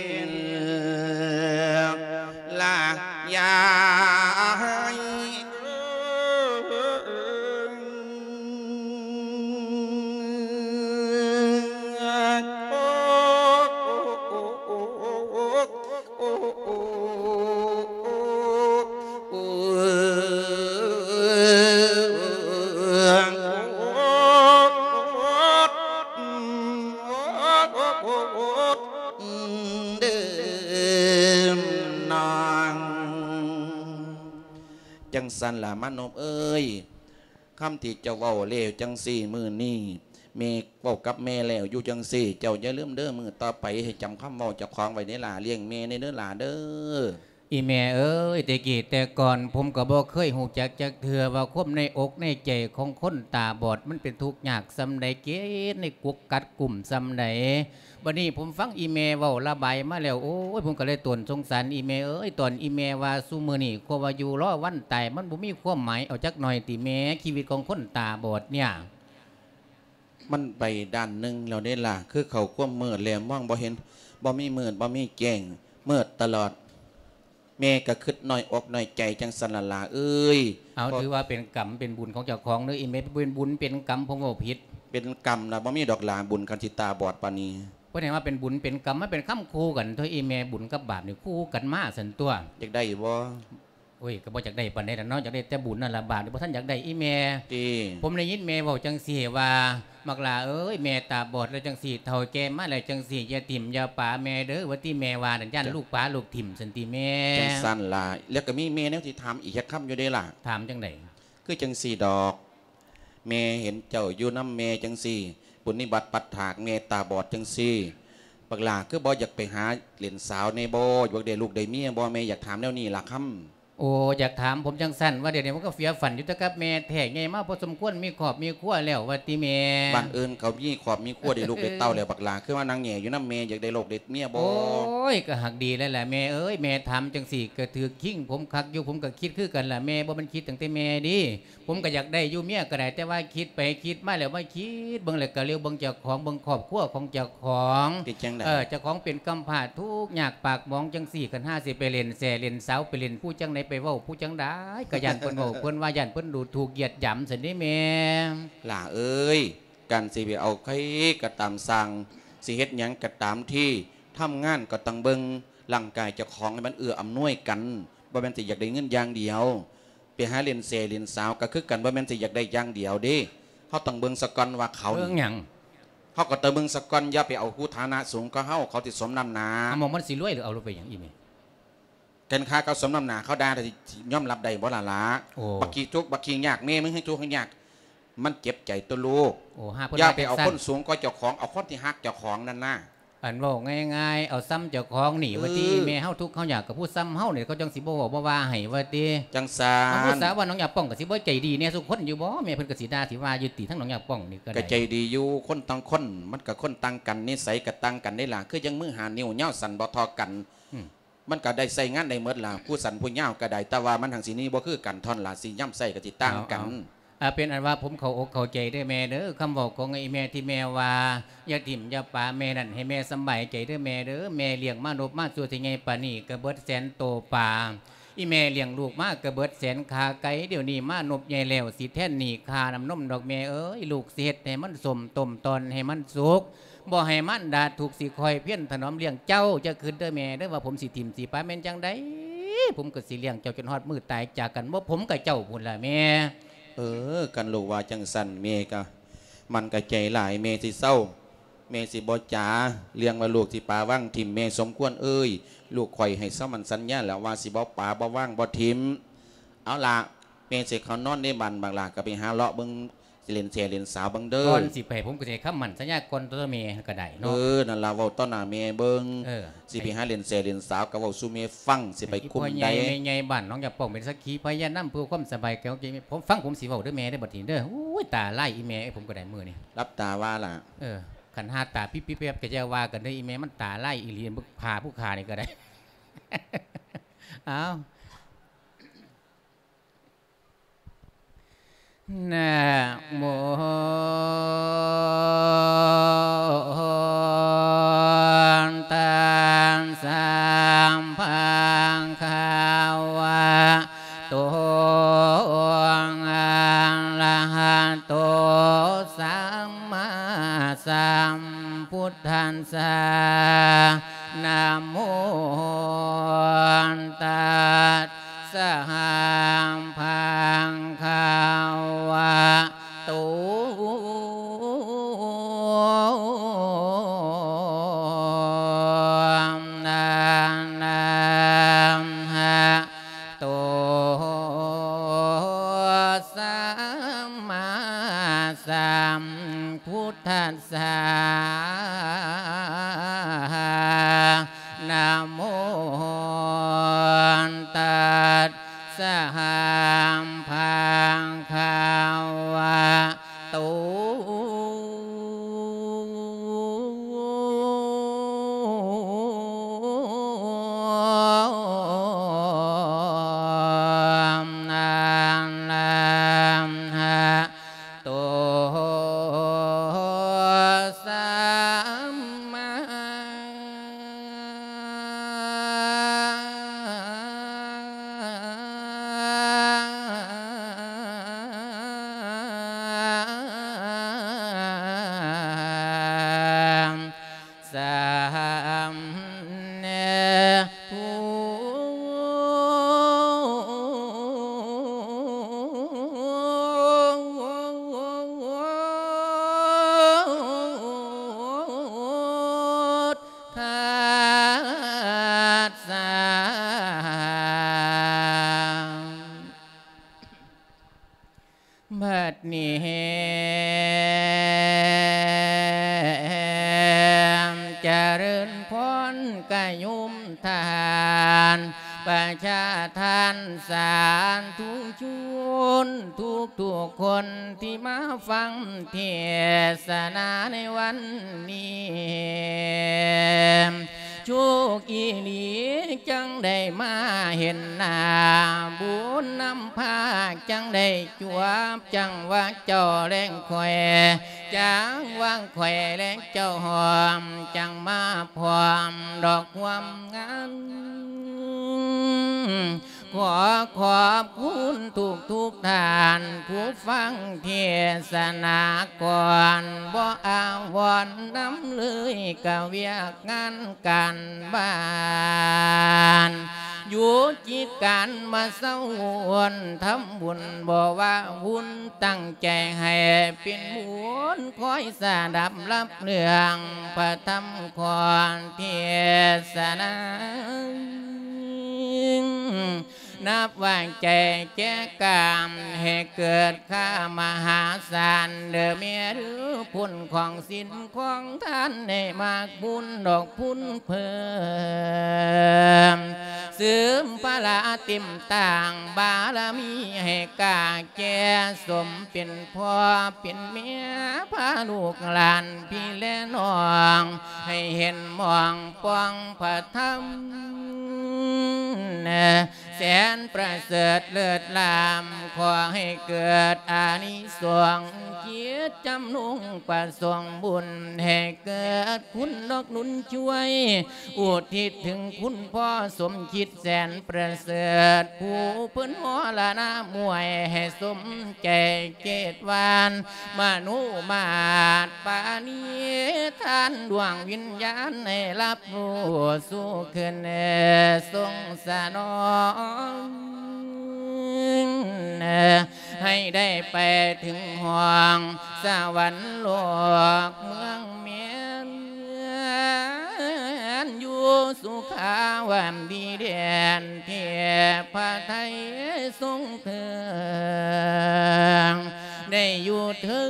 ລະຍາຍ. ຈັ່ງຊັ້ນລະມະນົບເອີຍ ຄຳທີ່ເຈົ້າເວົ້າແລ້ວຈັ່ງຊີ້ ມື້ນີ້ແມ່ເວົ້າກັບແມ່ແລ້ວຢູ່ຈັ່ງຊີ້ ເຈົ້າຢ່າລືມເດີ ມື້ຕໍ່ໄປໃຫ້ຈຳຄຳເວົ້າເຈົ້າຂອງໄວ້ເດີຫຼ້າ ລ້ຽງແມ່ແດ່ເດີຫຼ້າເດີ. ອີ່ແມ່ເອີຍ ແຕ່ກີ້ແຕ່ກ່ອນ ຜົມກໍບໍ່ເຄີຍຮູ້ຈັກຈັກເທື່ອວ່າຄວາມໃນອົກໃນໃຈຂອງຄົນຕາບອດ ມັນເປັນທຸກຍາກສ່ຳໃດ ເກດໃນກົກກັດກຸ້ມສ່ຳໃດ. ບັດນີ້ຜົມຟັງອີ່ແມ່ເວົ້າລະບາຍມາແລ້ວ ໂອ້ຍ ຜົມກໍເລີຍຕົນສົງສານອີ່ແມ່ເອີຍ ຕອນອີ່ແມ່ວ່າຊຸມື້ນີ້ຄວາມວ່າຢູ່ລໍວັນຕາຍ ມັນບໍ່ມີຄວາມໝາຍເອົາຈັກໜ້ອຍຕິແມ່ ຊີວິດຂອງຄົນຕາບອດເນີ້ຍ. ມັນໄປດ້ານໜຶ່ງແລ້ວເດ້ລະ ຄືເຂົ້າຄວາມມືດແລ້ວ ມອງບໍ່ເຫັນ ບໍ່ມີມືດ ບໍ່ມີແຈ້ງ ມືດຕະຫຼອດ. ແມ່ກໍຄິດນ້ອຍອົກນ້ອຍໃຈຈັ່ງຊັ້ນລະຫຼ້າເອີຍ. ເອົາ ເພາະ ຖືວ່າເປັນກຳເປັນບຸນຂອງເຈົ້າຂອງເດີອີ່ແມ່ ເປັນບຸນເປັນກຳ ຜົມເວົ້າຜິດ. ເປັນກຳລະບໍ່ມີດອກຫຼ້າ ບຸນຄັນຊິຕາບອດປານນີ້. ເພິ່ນໃຫ້ວ່າເປັນບຸນເປັນກຳ ມັນເປັນຄຳຄູ່ກັນຕົວະອີ່ແມ່ ບຸນກັບບາບນີ້ຄູ່ກັນມາຊັ້ນຕົວະ. ຢາກໄດ້ຢູ່ບໍ່? ໂອ້ຍ ກໍບໍ່ຢາກໄດ້ປານໃດດອກເນາະ ຢາກໄດ້ແຕ່ບຸນນັ້ນລະ ບາບນີ້ບໍ່ທັນຢາກໄດ້ອີ່ແມ່. ຕິ ຜົມໄດ້ຍິນແມ່ເວົ້າຈັ່ງຊີ້ວ່າ ບັກຫຼ້າເອີຍ ແມ່ຕາບອດແລ້ວຈັ່ງຊີ້ ເຖົ້າແກ່ມາແລ້ວຈັ່ງຊີ້ ຢ່າຖິ້ມຢ່າປະແມ່ເດີ ວ່າຕິແມ່ວ່ານັ້ນ ຢ້ານ ຈ້ະ ລູກປະລູກຖິ້ມຊັ້ນຕິແມ່. ຈັ່ງຊັ້ນລະ ແລ້ວກໍມີແມ່ແນວຊິຖາມອີກຈັກຄຳຢູ່ເດ້ລະ. ຖາມຈັ່ງໃດ? ຄືຈັ່ງຊີ້ດອກ ແມ່ເຫັນເຈົ້າຢູ່ນຳແມ່ຈັ່ງຊີ້ ປຸນນິບັດປັດຖາກແມ່ຕາບອດຈັ່ງຊີ້ ບັກຫຼ້າຄືບໍ່ຢາກໄປຫາຫຼິ້ນສາວແດ່ບໍ່? ຢາກໄດ້ລູກໄດ້ເມຍບໍ່? ແມ່ຢາກຖາມແນວນີ້ລະຄຳ. ໂອ້ ຢາກຖາມຜົມຈັ່ງຊັ້ນ ວ່າດຽວນີ້ມັນກໍເຟຍຝັນຢູ່ແຕ່ກັບແມ່ແທ້ ໃຫຍ່ມາພໍສົມຄວນ ມີຄອບມີຄົວແລ້ວວ່າຕິແມ່. ບ້ານອື່ນເຂົາມີຄອບມີຄົວ ໄດ້ລູກໄດ້ເຕົ້າແລ້ວ ບັກຫຼ້າຄືມານັ່ງແຫຍ່ຢູ່ນຳແມ່ ຢາກໄດ້ລູກໄດ້ເມຍບໍ່? ໂອ້ຍ ກໍຫາກດີແລ້ວລະແມ່ເອີຍ ແມ່ຖາມຈັ່ງຊີ້ກໍຖືກຄິງຜົມຄັກຢູ່ ຜົມກໍຄິດຄືກັນລະແມ່ ບໍ່ແມ່ນຄິດຕັ້ງແຕ່ແມ່ເດ້. ຜົມກໍຢາກໄດ້ຢູ່ເມຍກໍໄດ້ ແຕ່ວ່າຄິດໄປຄິດມາແລ້ວ ມາຄິດເບິ່ງແລ້ວກໍຫຼຽວເບິ່ງເຈົ້າຂອງ ເບິ່ງຄອບຄົວຂອງເຈົ້າຂອງ ເປັນຈັ່ງໃດ? ເອີ ເຈົ້າຂອງເປັນກຳພ້າທຸກຍາກປາກໝອງຈັ່ງຊີ້ ຄັນຫາຊິໄປຫຼິ້ນແສ້ຫຼິ້ນສາວ ໄປຫຼິ້ນຜູ້ຈັ່ງໃດ ໄປເວົ້າຜູ້ຈັ່ງໃດ ກໍຢ້ານເພິ່ນເວົ້າເພິ່ນວ່າ ຢ້ານເພິ່ນດູຖູກຢຽດຫຍາມຊັ້ນເດ້ແມ່. ຫຼ້າເອີຍ ການຊິໄປເອົາໃຜກໍຕາມຊ່າງ ຊິເຮັດຫຍັງກໍຕາມທີ ທຳງານກໍຕ້ອງເບິ່ງຮ່າງກາຍເຈົ້າຂອງໃຫ້ມັນເອື້ອອຳນວຍກັນ ບໍ່ແມ່ນຊິຢາກໄດ້ເງິນຢ່າງດຽວ. ໄປຫາຫຼິ້ນແສ້ຫຼິ້ນສາວກໍຄືກັນ ບໍ່ແມ່ນຊິຢາກໄດ້ຢ່າງດຽວເດ້. ເຮົາຕ້ອງເບິ່ງສາກ່ອນວ່າເຂົາ ເບິ່ງຫຍັງ? ເຮົາກໍຕ້ອງເບິ່ງສາກ່ອນ ຢ່າໄປເອົາຜູ້ຖານະສູງກວ່າເຮົາ ເຂົາຊິສົມນ້ຳໜ້າ. ເອົາ ໝ່ອງມັນຊິລວຍ ຫຼືເອົາລົງໄປຫຍັງອີ່ແມ່? ຄັນຂ້າເຂົາສົມນ້ຳໜ້າ ເຂົາດ່າ ຊິຍອມຮັບໄດ້ບໍ່ລະລະ? ໂອ້ ບັກຂີ້ທຸກ ບັກຂີ້ຍາກ ແມ່ມຶງໃຫ້ທຸກໃຫ້ຍາກ ມັນເຈັບໃຈຕົວະລູກ. ໂອ້ ຫາເພິ່ນ ຢ່າໄປເອົາຄົນສູງກວ່າເຈົ້າຂອງ ເອົາຄົນທີ່ຮັກເຈົ້າຂອງນັ້ນນະ. ອັນເວົ້າງ່າຍໆ ເອົາຊ່ຳເຈົ້າຂອງນີ້ ເອີ ວ່າຕິ ແມ່ເຮົາທຸກເຮົາຍາກກັບຜູ້ຊ່ຳເຮົານີ້ ເຂົາຈັ່ງຊິບໍ່ເວົ້າບໍ່ວ່າໃຫ້ວ່າຕິ. ຈັ່ງຊັ້ນ ເອົາ ຜູ້ສາວວ່າໜອງຍາປ່ອງກໍຊິບໍ່ໃຈດີແດ່ສູ່ຄົນຢູ່ບໍ່? ແມ່ເພິ່ນກໍຊິດ່າຊິວ່າຢູ່ຕິ ທາງໜອງຍາປ່ອງນີ້ກໍໄດ້. ກໍໃຈດີຢູ່ ຄົນຕ່າງຄົນມັນກໍຄົນຕ່າງກັນ ນິໄສກໍຕ່າງກັນເດ້ລະ ຄືຈັ່ງມືຫ້ານິ້ວຍາວສັ້ນບໍ່ທໍ່ກັນ. ອືມ ມັນກໍໄດ້ໃຊ້ງານໄດ້ໝົດລະ ຜູ້ສັ້ນຜູ້ຍາວກໍໄດ້ ແຕ່ວ່າມັນຫັ້ນຊິມີບໍ່ຄືກັນ ທ່ອນລະຊິຍາມໃຊ້ກໍຊິຕ່າງກັນ. ເອົາ ເອົາ ເປັນອັນວ່າຜົມເຂົ້າອົກເຂົ້າໃຈເດີແມ່ເດີ ຄຳເວົ້າຂອງອີ່ແມ່ທີ່ແມ່ວ່າ ຢ່າຖິ້ມຢ່າປະແມ່ນັ້ນ ໃຫ້ແມ່ສຳບາຍໃຈເດີແມ່ເດີ. ແມ່ລ້ຽງມານົບມາສູ່ໃຫຍ່ປານນີ້ ກໍເບິດແສນໂຕປາ ອີ່ແມ່ລ້ຽງລູກມາກໍເບິດແສນຂາໄກ່ ດຽວນີ້ມານົບໃຫຍ່ແລ້ວ ຊິແທນໜີ້ຄ່ານ້ຳນົມດອກແມ່ເອີຍ. ລູກຊິເຮັດໃຫ້ມັນສົ້ມ ຕົ້ມຕ່ອນໃຫ້ມັນສຸກ ບໍ່ໃຫ້ມານດາທຸກ ຊິຄອຍພຽນຖະໜອມລ້ຽງເຈົ້າ. ຢ່າຄິດເດີແມ່ເດີວ່າຜົມຊິຖິ້ມຊິປະ ແມ່ນຈັ່ງໃດ ຜົມກໍຊິລ້ຽງເຈົ້າຈົນຮອດມື້ຕາຍຈາກກັນ ບໍ່ຜົມກໍເຈົ້າພຸ້ນລະແມ່. ເອີ ຄັນລູກວ່າຈັ່ງຊັ້ນ ແມ່ກໍ ມັນກະໃຈຫຼາຍ ແມ່ຊິເຊົາ ແມ່ຊິບໍ່ຈາເລື່ອງວ່າລູກຊິປະວາງຖິ້ມ ແມ່ສົມຄວນເອີຍ ລູກຂ້ອຍໃຫ້ສຳມັນສັນຍາແລ້ວວ່າຊິບໍ່ປະ ບໍ່ວາງ ບໍ່ຖິ້ມ. ເອົາລະ ແມ່ຊິເຂົ້ານອນໃນບ້ານ ບັກຫຼ້າກໍໄປຫາເລາະເບິ່ງ ຫຼິ້ນແຊຫຼິ້ນສາວເບິ່ງເດີ. ກ່ອນຊິໄປ ຜົມກໍຊິໃຫ້ຄຳໝັ້ນສັນຍາກ່ອນຕໍ່ແມ່ກໍໄດ້ເນາະ. ເອີ ນັ້ນລະ ເວົ້າຕໍ່ໜ້າແມ່ເບິ່ງ. ເອີ ຊິໄປຫາຫຼິ້ນແຊຫຼິ້ນສາວ ກໍເວົ້າສູ່ແມ່ຟັງ ຊິໄປກຸມໃດ. ພໍ່ໃຫຍ່ແມ່ໃຫຍ່ບ້ານໜອງຢາງປ່ອງ ເປັນສັກຂີພະຍານນຳເພື່ອຄວາມສະບາຍໃຈຂອງແມ່. ຜົມຟັງ ຜົມຊິເວົ້າເດີແມ່ເດີ ບັດນີ້ເດີ. ໂອ້ຍ ຕາລາຍອີ່ແມ່ເອີຍ ຜົມກໍໄດ້ມື້ນີ້. ຫຼັບຕາວ່າລະ. ເອີ ຄັນຫາຕາປິບໆແປບໆ ກໍຢ່າວ່າກັນເດີ ອີ່ແມ່ມັນຕາລາຍອີ່ຫຼີ. ພາຜູ້ຂ້ານີ້ກໍໄດ້. ອ້າວ ນະໂມ ຕັດສະ ພະຄະວະໂຕ ອະລະຫະໂຕ ສຳມາສຳພຸດທັດສະ. ນະໂມ ຕັດສະ ພະຄະວະໂຕ ອະລະຫະໂຕ ສຳມາສຳພຸດທັດສະ. ນະໂມ ຕັດສະ ພະຄະວະໂຕ ອະລະຫະ ໂຕ ສຳມາ ສຳ ພຸດທັດສະ. ບັດນີ້ແຮມຈະເລີນພອນກະໂຍມທ່ານ ປະຊາທ່ານສາທຸຊົນທຸກໆຄົນທີ່ມາຟັງເທດສະໜາໃນວັນນີ້. ໂຊກອີ່ຫຼີຈັ່ງໄດ້ມາເຫັນໜ້າ ບຸນນຳພາຈັ່ງໄດ້ ຈົວບຈັງຫວະເຈົ້າແລະຂ້ອຍ ຈັງຫວະຂ້ອຍແລະເຈົ້າພ້ອມ ຈັ່ງມາພ້ອມດອກຄວາມງາມ. ຂໍຂອບຄຸນທຸກໆທ່ານ ຜູ້ຟັງເທດສະໜາກ່ອນ ບໍ່ອາວອນນຳເລີຍ ກະວຽກງານການບ້ານ ຢຸດກິດການມາເຊົາວົນທຳບຸນ ບໍ່ວ່າວຸນຕັ້ງໃຈໃຫ້ເປັນບຸນ ຄອຍສະດັບຮັບເລື່ອງພະທຳຂອງເທດສະໜາ ນັບວ່າໃຈແຈກການໃຫ້ເກີດ ຂ້າມະຫາສານເດີແມ່ເດີ ຜົນຂອງສິນຂອງທານ ໃຫ້ໝາກບຸນດອກພຸນເພີ່ມ ເສີມພະລາເຕັມຕ່າງບາລະມີ ໃຫ້ກາແກ່ສົມເປັນພໍ່ເປັນແມ່ ພາລູກຫຼານພີ່ແລະນ້ອງ ໃຫ້ເຫັນມອງປ່ອງພະທຳ ແສນປະເສີດເລີດລ້ຳ ຂໍໃຫ້ເກີດອານິສົງ ຈິດຈຳນົງປະສົງບຸນ ໃຫ້ເກີດຄຸນດອກໜູນຊ່ວຍ ອຸທິດເຖິງຄຸນພໍ່ສົມຄິດແສນປະເສີດ ຜູ້ເພິ່ນມໍລະນະມວຍ ໃຫ້ສົມໃຈເຈດຫວານ ມະນຸມາດປານີທານ ດວງວິນຍານໃຫ້ຮັບຮູ້ສູ່ຄືນ ຊົງສະໜອງ ໃຫ້ໄດ້ໄປເຖິງຫ້ອງສະຫວັນໂລກເມືອງແມ່ນ ຢູ່ສຸຂາວັນດີແດນ ເທບພະໄທຊົງເທີງ ໄດ້ຢູ່ເທີງ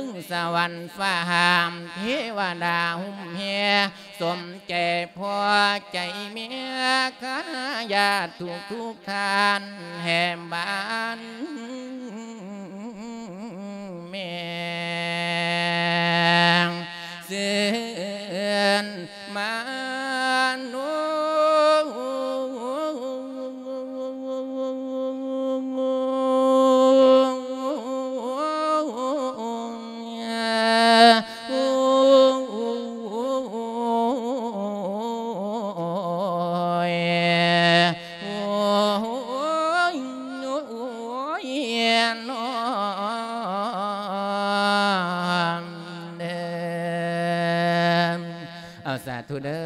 ນຟ້າຫ້າມ ເທວະດາຫຸ້ມແຮ່ ສົມໃຈພໍໃຈແມ່ ຄະຍາດທຸກໆທ່ານ ແຫ່ບ້ານແມ່ງ ຊື່ນມາໂນ. ເອົາ ສາທຸເດີ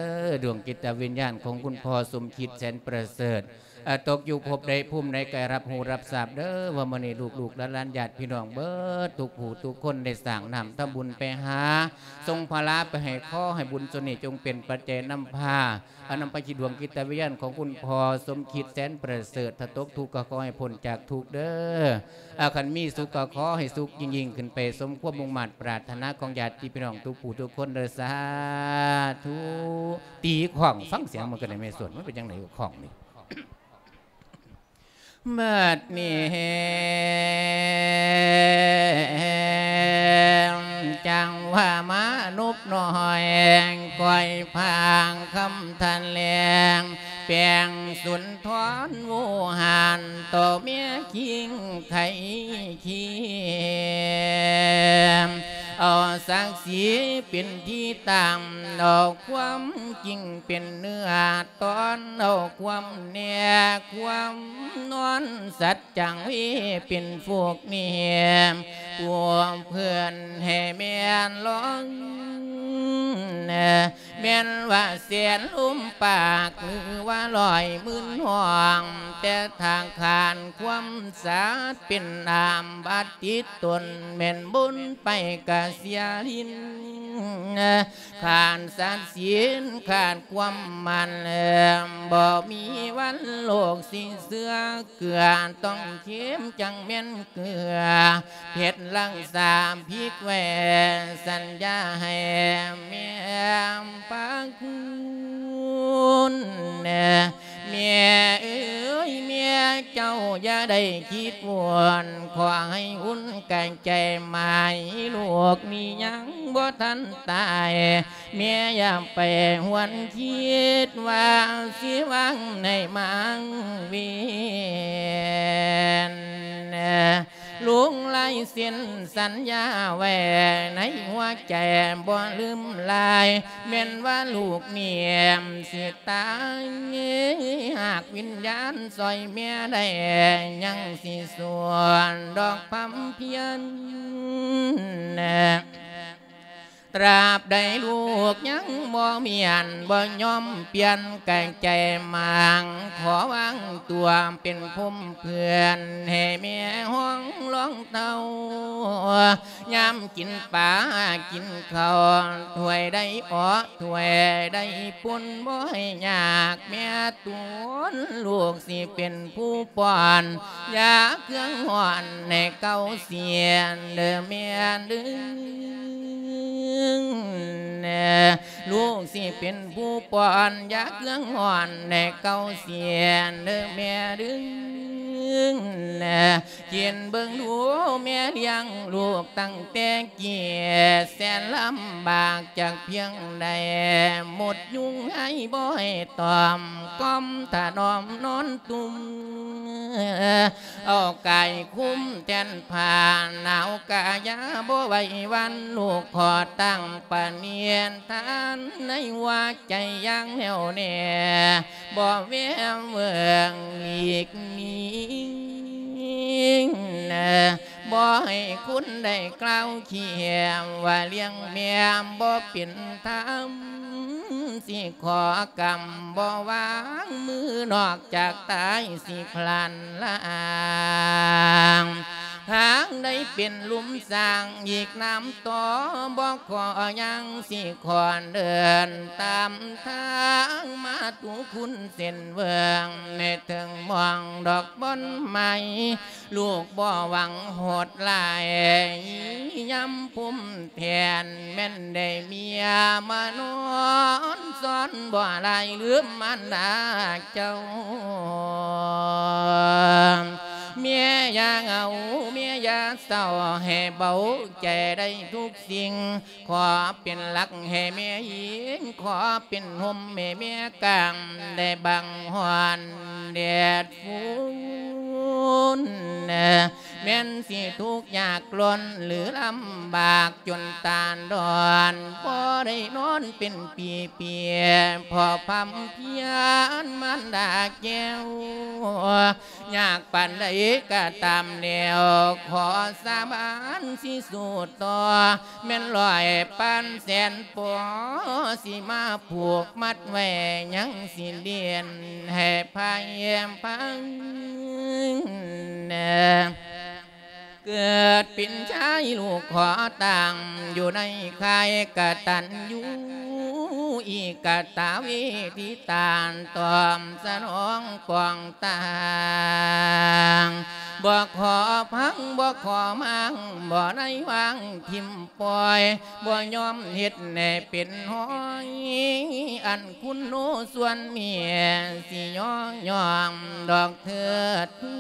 ດວງຈິດຕະວິນຍານຂອງຄຸນພໍ່ສົມຄິດ ແສນປະເສີດ ອາ ຕົກຢູ່ພົບໃດພູມໃດ ກະໃຫ້ຮັບຮູ້ຮັບຊາບເດີ ວ່າມື້ນີ້ລູກໆຫຼານໆ ຍາດພີ່ນ້ອງເບິດທຸກຜູ້ທຸກຄົນ ໄດ້ສ້າງນ້ຳທຳບຸນໄປຫາ ສົ່ງພະລາໄປໃຫ້ ຂໍໃຫ້ບຸນສ່ວນນີ້ຈົ່ງເປັນປັດໄຈນຳພາ ອາ ນຳພາຈິດ ດວງຈິດຕະວິນຍານຂອງຄຸນພໍ່ສົມຄິດ ແສນປະເສີດ ຖ້າຕົກທຸກກໍຂໍໃຫ້ພົ້ນຈາກທຸກເດີ ອາ ຄັນມີສຸກກໍຂໍໃຫ້ສຸກຍິ່ງໆຂຶ້ນໄປ ສົມຄວາມມຸ່ງມາດປາດຖະໜາຂອງຍາດພີ່ນ້ອງທຸກຜູ້ທຸກຄົນເດີ ສາທຸ. ຕີຂ້ອງ ຟັງສຽງມັນກໍໄດ້ແມ່ສ່ວນ ມັນເປັນຈັ່ງໃດຂ້ອງນີ້? ບັດນີ້ຈັ່ງວ່າມານົບນ້ອຍ ກ້ອຍພາງຄຳຖະແຫຼງ ແປງສຸນທອນໂວຫານ ຕໍ່ແມ່ຄິງໄຄຄີ ເອົາສັກສີເປັນທີ່ຕັ້ງ ເອົາຄວາມຈິງເປັນເນື້ອ ຕ້ອນເອົາຄວາມແນ່ ຄວາມນອນ ສັດຈັງເວເປັນຟູກນີ້ ພວກເພື່ອນໃຫ້ແມ່ນລອງ ແມ່ນວ່າແສນລົມປາກ ຫຼືວ່າຮ້ອຍໝື່ນຫ້ອງ ແຕ່ຖ້າຂານຄວາມສັດເປັນອາມບາດຕິດຕົນ ແມ່ນບຸນໄປກະເສຍລິນ ຂາດສັດສິນ ຂາດຄວາມໝັ້ນ ບໍ່ມີວັນໂລກຊິເຊື່ອເກືອ ຕ້ອງເຄັມຈັ່ງແມ່ນເກືອ ເຜັດລັກສາພິກແວ ສັນຍາໃຫ້ແມ່ພະຄຸນ ແມ່ເອີຍ ແມ່ເຈົ້າຢ່າໄດ້ຄິດວົນ ຂໍໃຫ້ອຸ່ນກາຍໃຈໝາຍ ລູກນີ້ຍັງບໍ່ທັນຕາຍ ແມ່ຢ່າໄປຫວນຄິດວ່າຊິວາງໃນມາງເວນ ລົງລາຍເຊັນສັນຍາໄວ້ໃນຫົວໃຈບໍ່ລືມລາຍ ແມ່ນວ່າລູກນີ້ຊິຕາຍ ຫາກວິນຍານຊ່ອຍແມ່ໄດ້ ຍັງຊິສວນດອກພຳພຽນ ຕາບໃດລູກຍັງບໍ່ມ້ຽນ ບໍ່ຍອມປ່ຽນກາຍໃຈໝາງ ຂໍວາງຕົວເປັນພົມເພື່ອນ ໃຫ້ແມ່ຫ້ອງລອງເຕົ້າ ຍາມກິນປາກິນເຂົ້າ ຖ້ວຍໃດເອາະ ຖ້ວຍໃດປົນ ບໍ່ໃຫ້ຍາກແມ່ຕົນ ລູກຊິເປັນຜູ້ປ້ອນ ຢາເຄື່ອງຮ້ອນໃຫ້ເກົາເສຍເດີແມ່ເດີ ລູກຊິເປັນຜູ້ປ້ອນ ຢາເຄື່ອງຮ້ອນໃຫ້ເກົາເສຍເດີແມ່ເດີ ຄິດເບິ່ງດູແມ່ລ້ຽງລູກຕັ້ງແຕ່ກີ້ ແສນລຳບາກຈັກພຽງໃດ ມົດຍຸງໄຫບໍ່ໃຫ້ຕອມ ກ້ອມຖະໜອມນອນຕຸ່ມ ເອົາກາຍຄຸມແທນຜ້າໜາວກາຍາ ບໍ່ໄຫວຫວັ່ນລູກຂໍຕັ້ງປະນິທານ ໃນຫົວໃຈຢ່າງແນ່ວແນ່ ບໍ່ແວວເວີງຫຼີກໜີ ບໍ່ໃຫ້ຄົນໃດກ່າວຂຽມວ່າລ້ຽງແມ່ບໍ່ເປັນທຳ ຊິຂໍກຳບໍ່ວາງມື ນອກຈາກຕາຍຊິພລັນລາງ ທາງໃດເປັນລຸ່ມສ້າງອີກນຳຕໍ່ ບໍ່ຂໍຫຍັງຊິຂໍເດີນຕາມທາງມາຕຸຄຸນເສັ້ນເວີງ ໃນເທິງມອງດອກບ່ອນໄມ້ ລູກບໍ່ຫວັງໂຫດຮ້າຍ ຍາມພູມແຜ່ນ ແມ່ນໄດ້ເມຍມານອນຊ້ອນ ບໍ່ລາຍລືມມານດາເຈົ້າ. ແມ່ຢ່າເຫງົາ ແມ່ຢ່າເສົ້າ ໃຫ້ເບົາໃຈໄດ້ທຸກສິ່ງ ຂໍເປັນຫຼັກໃຫ້ແມ່ອີງ ຂໍເປັນຮົ່ມໃຫ້ແມ່ກາງ ໄດ້ບັງຮ້ອນແດດຝົນ ແມ່ນຊິທຸກຍາກລົ້ນ ຫຼືລຳບາກຈົນຕານດອນ ບໍ່ໄດ້ນອນເປັນປີໆ ເພາະພຳພຽນມານດາແກ້ວ ຍາກປານໃດກໍຕາມແລ້ວ ຂໍສາບານຊິສູ້ຕໍ່ ແມ່ນຮ້ອຍປານແສນປໍ ຊິມາຜູກມັດໄວ້ ຍັງຊິເດນໃຫ້ພາຍພັງ. ເກີດເປັນຊາຍລູກຂໍຕັ້ງ ຢູ່ໃນຄ້າຍກະຕັນຍູ ອີກກະຕະເວທິຕານ ຕອບສະໜອງປອງຕ່າງ ບໍ່ຂໍພັງ ບໍ່ຂໍມ້າງ ບໍ່ໄດ້ວາງຖິ້ມປ່ອຍ ບໍ່ຍອມເຮັດໃຫ້ເປັນຫ້ອຍ ອັນຄຸນໂນສ່ວນເມຍ ຊິຍໍຍ້ອງດອກເທີດທູ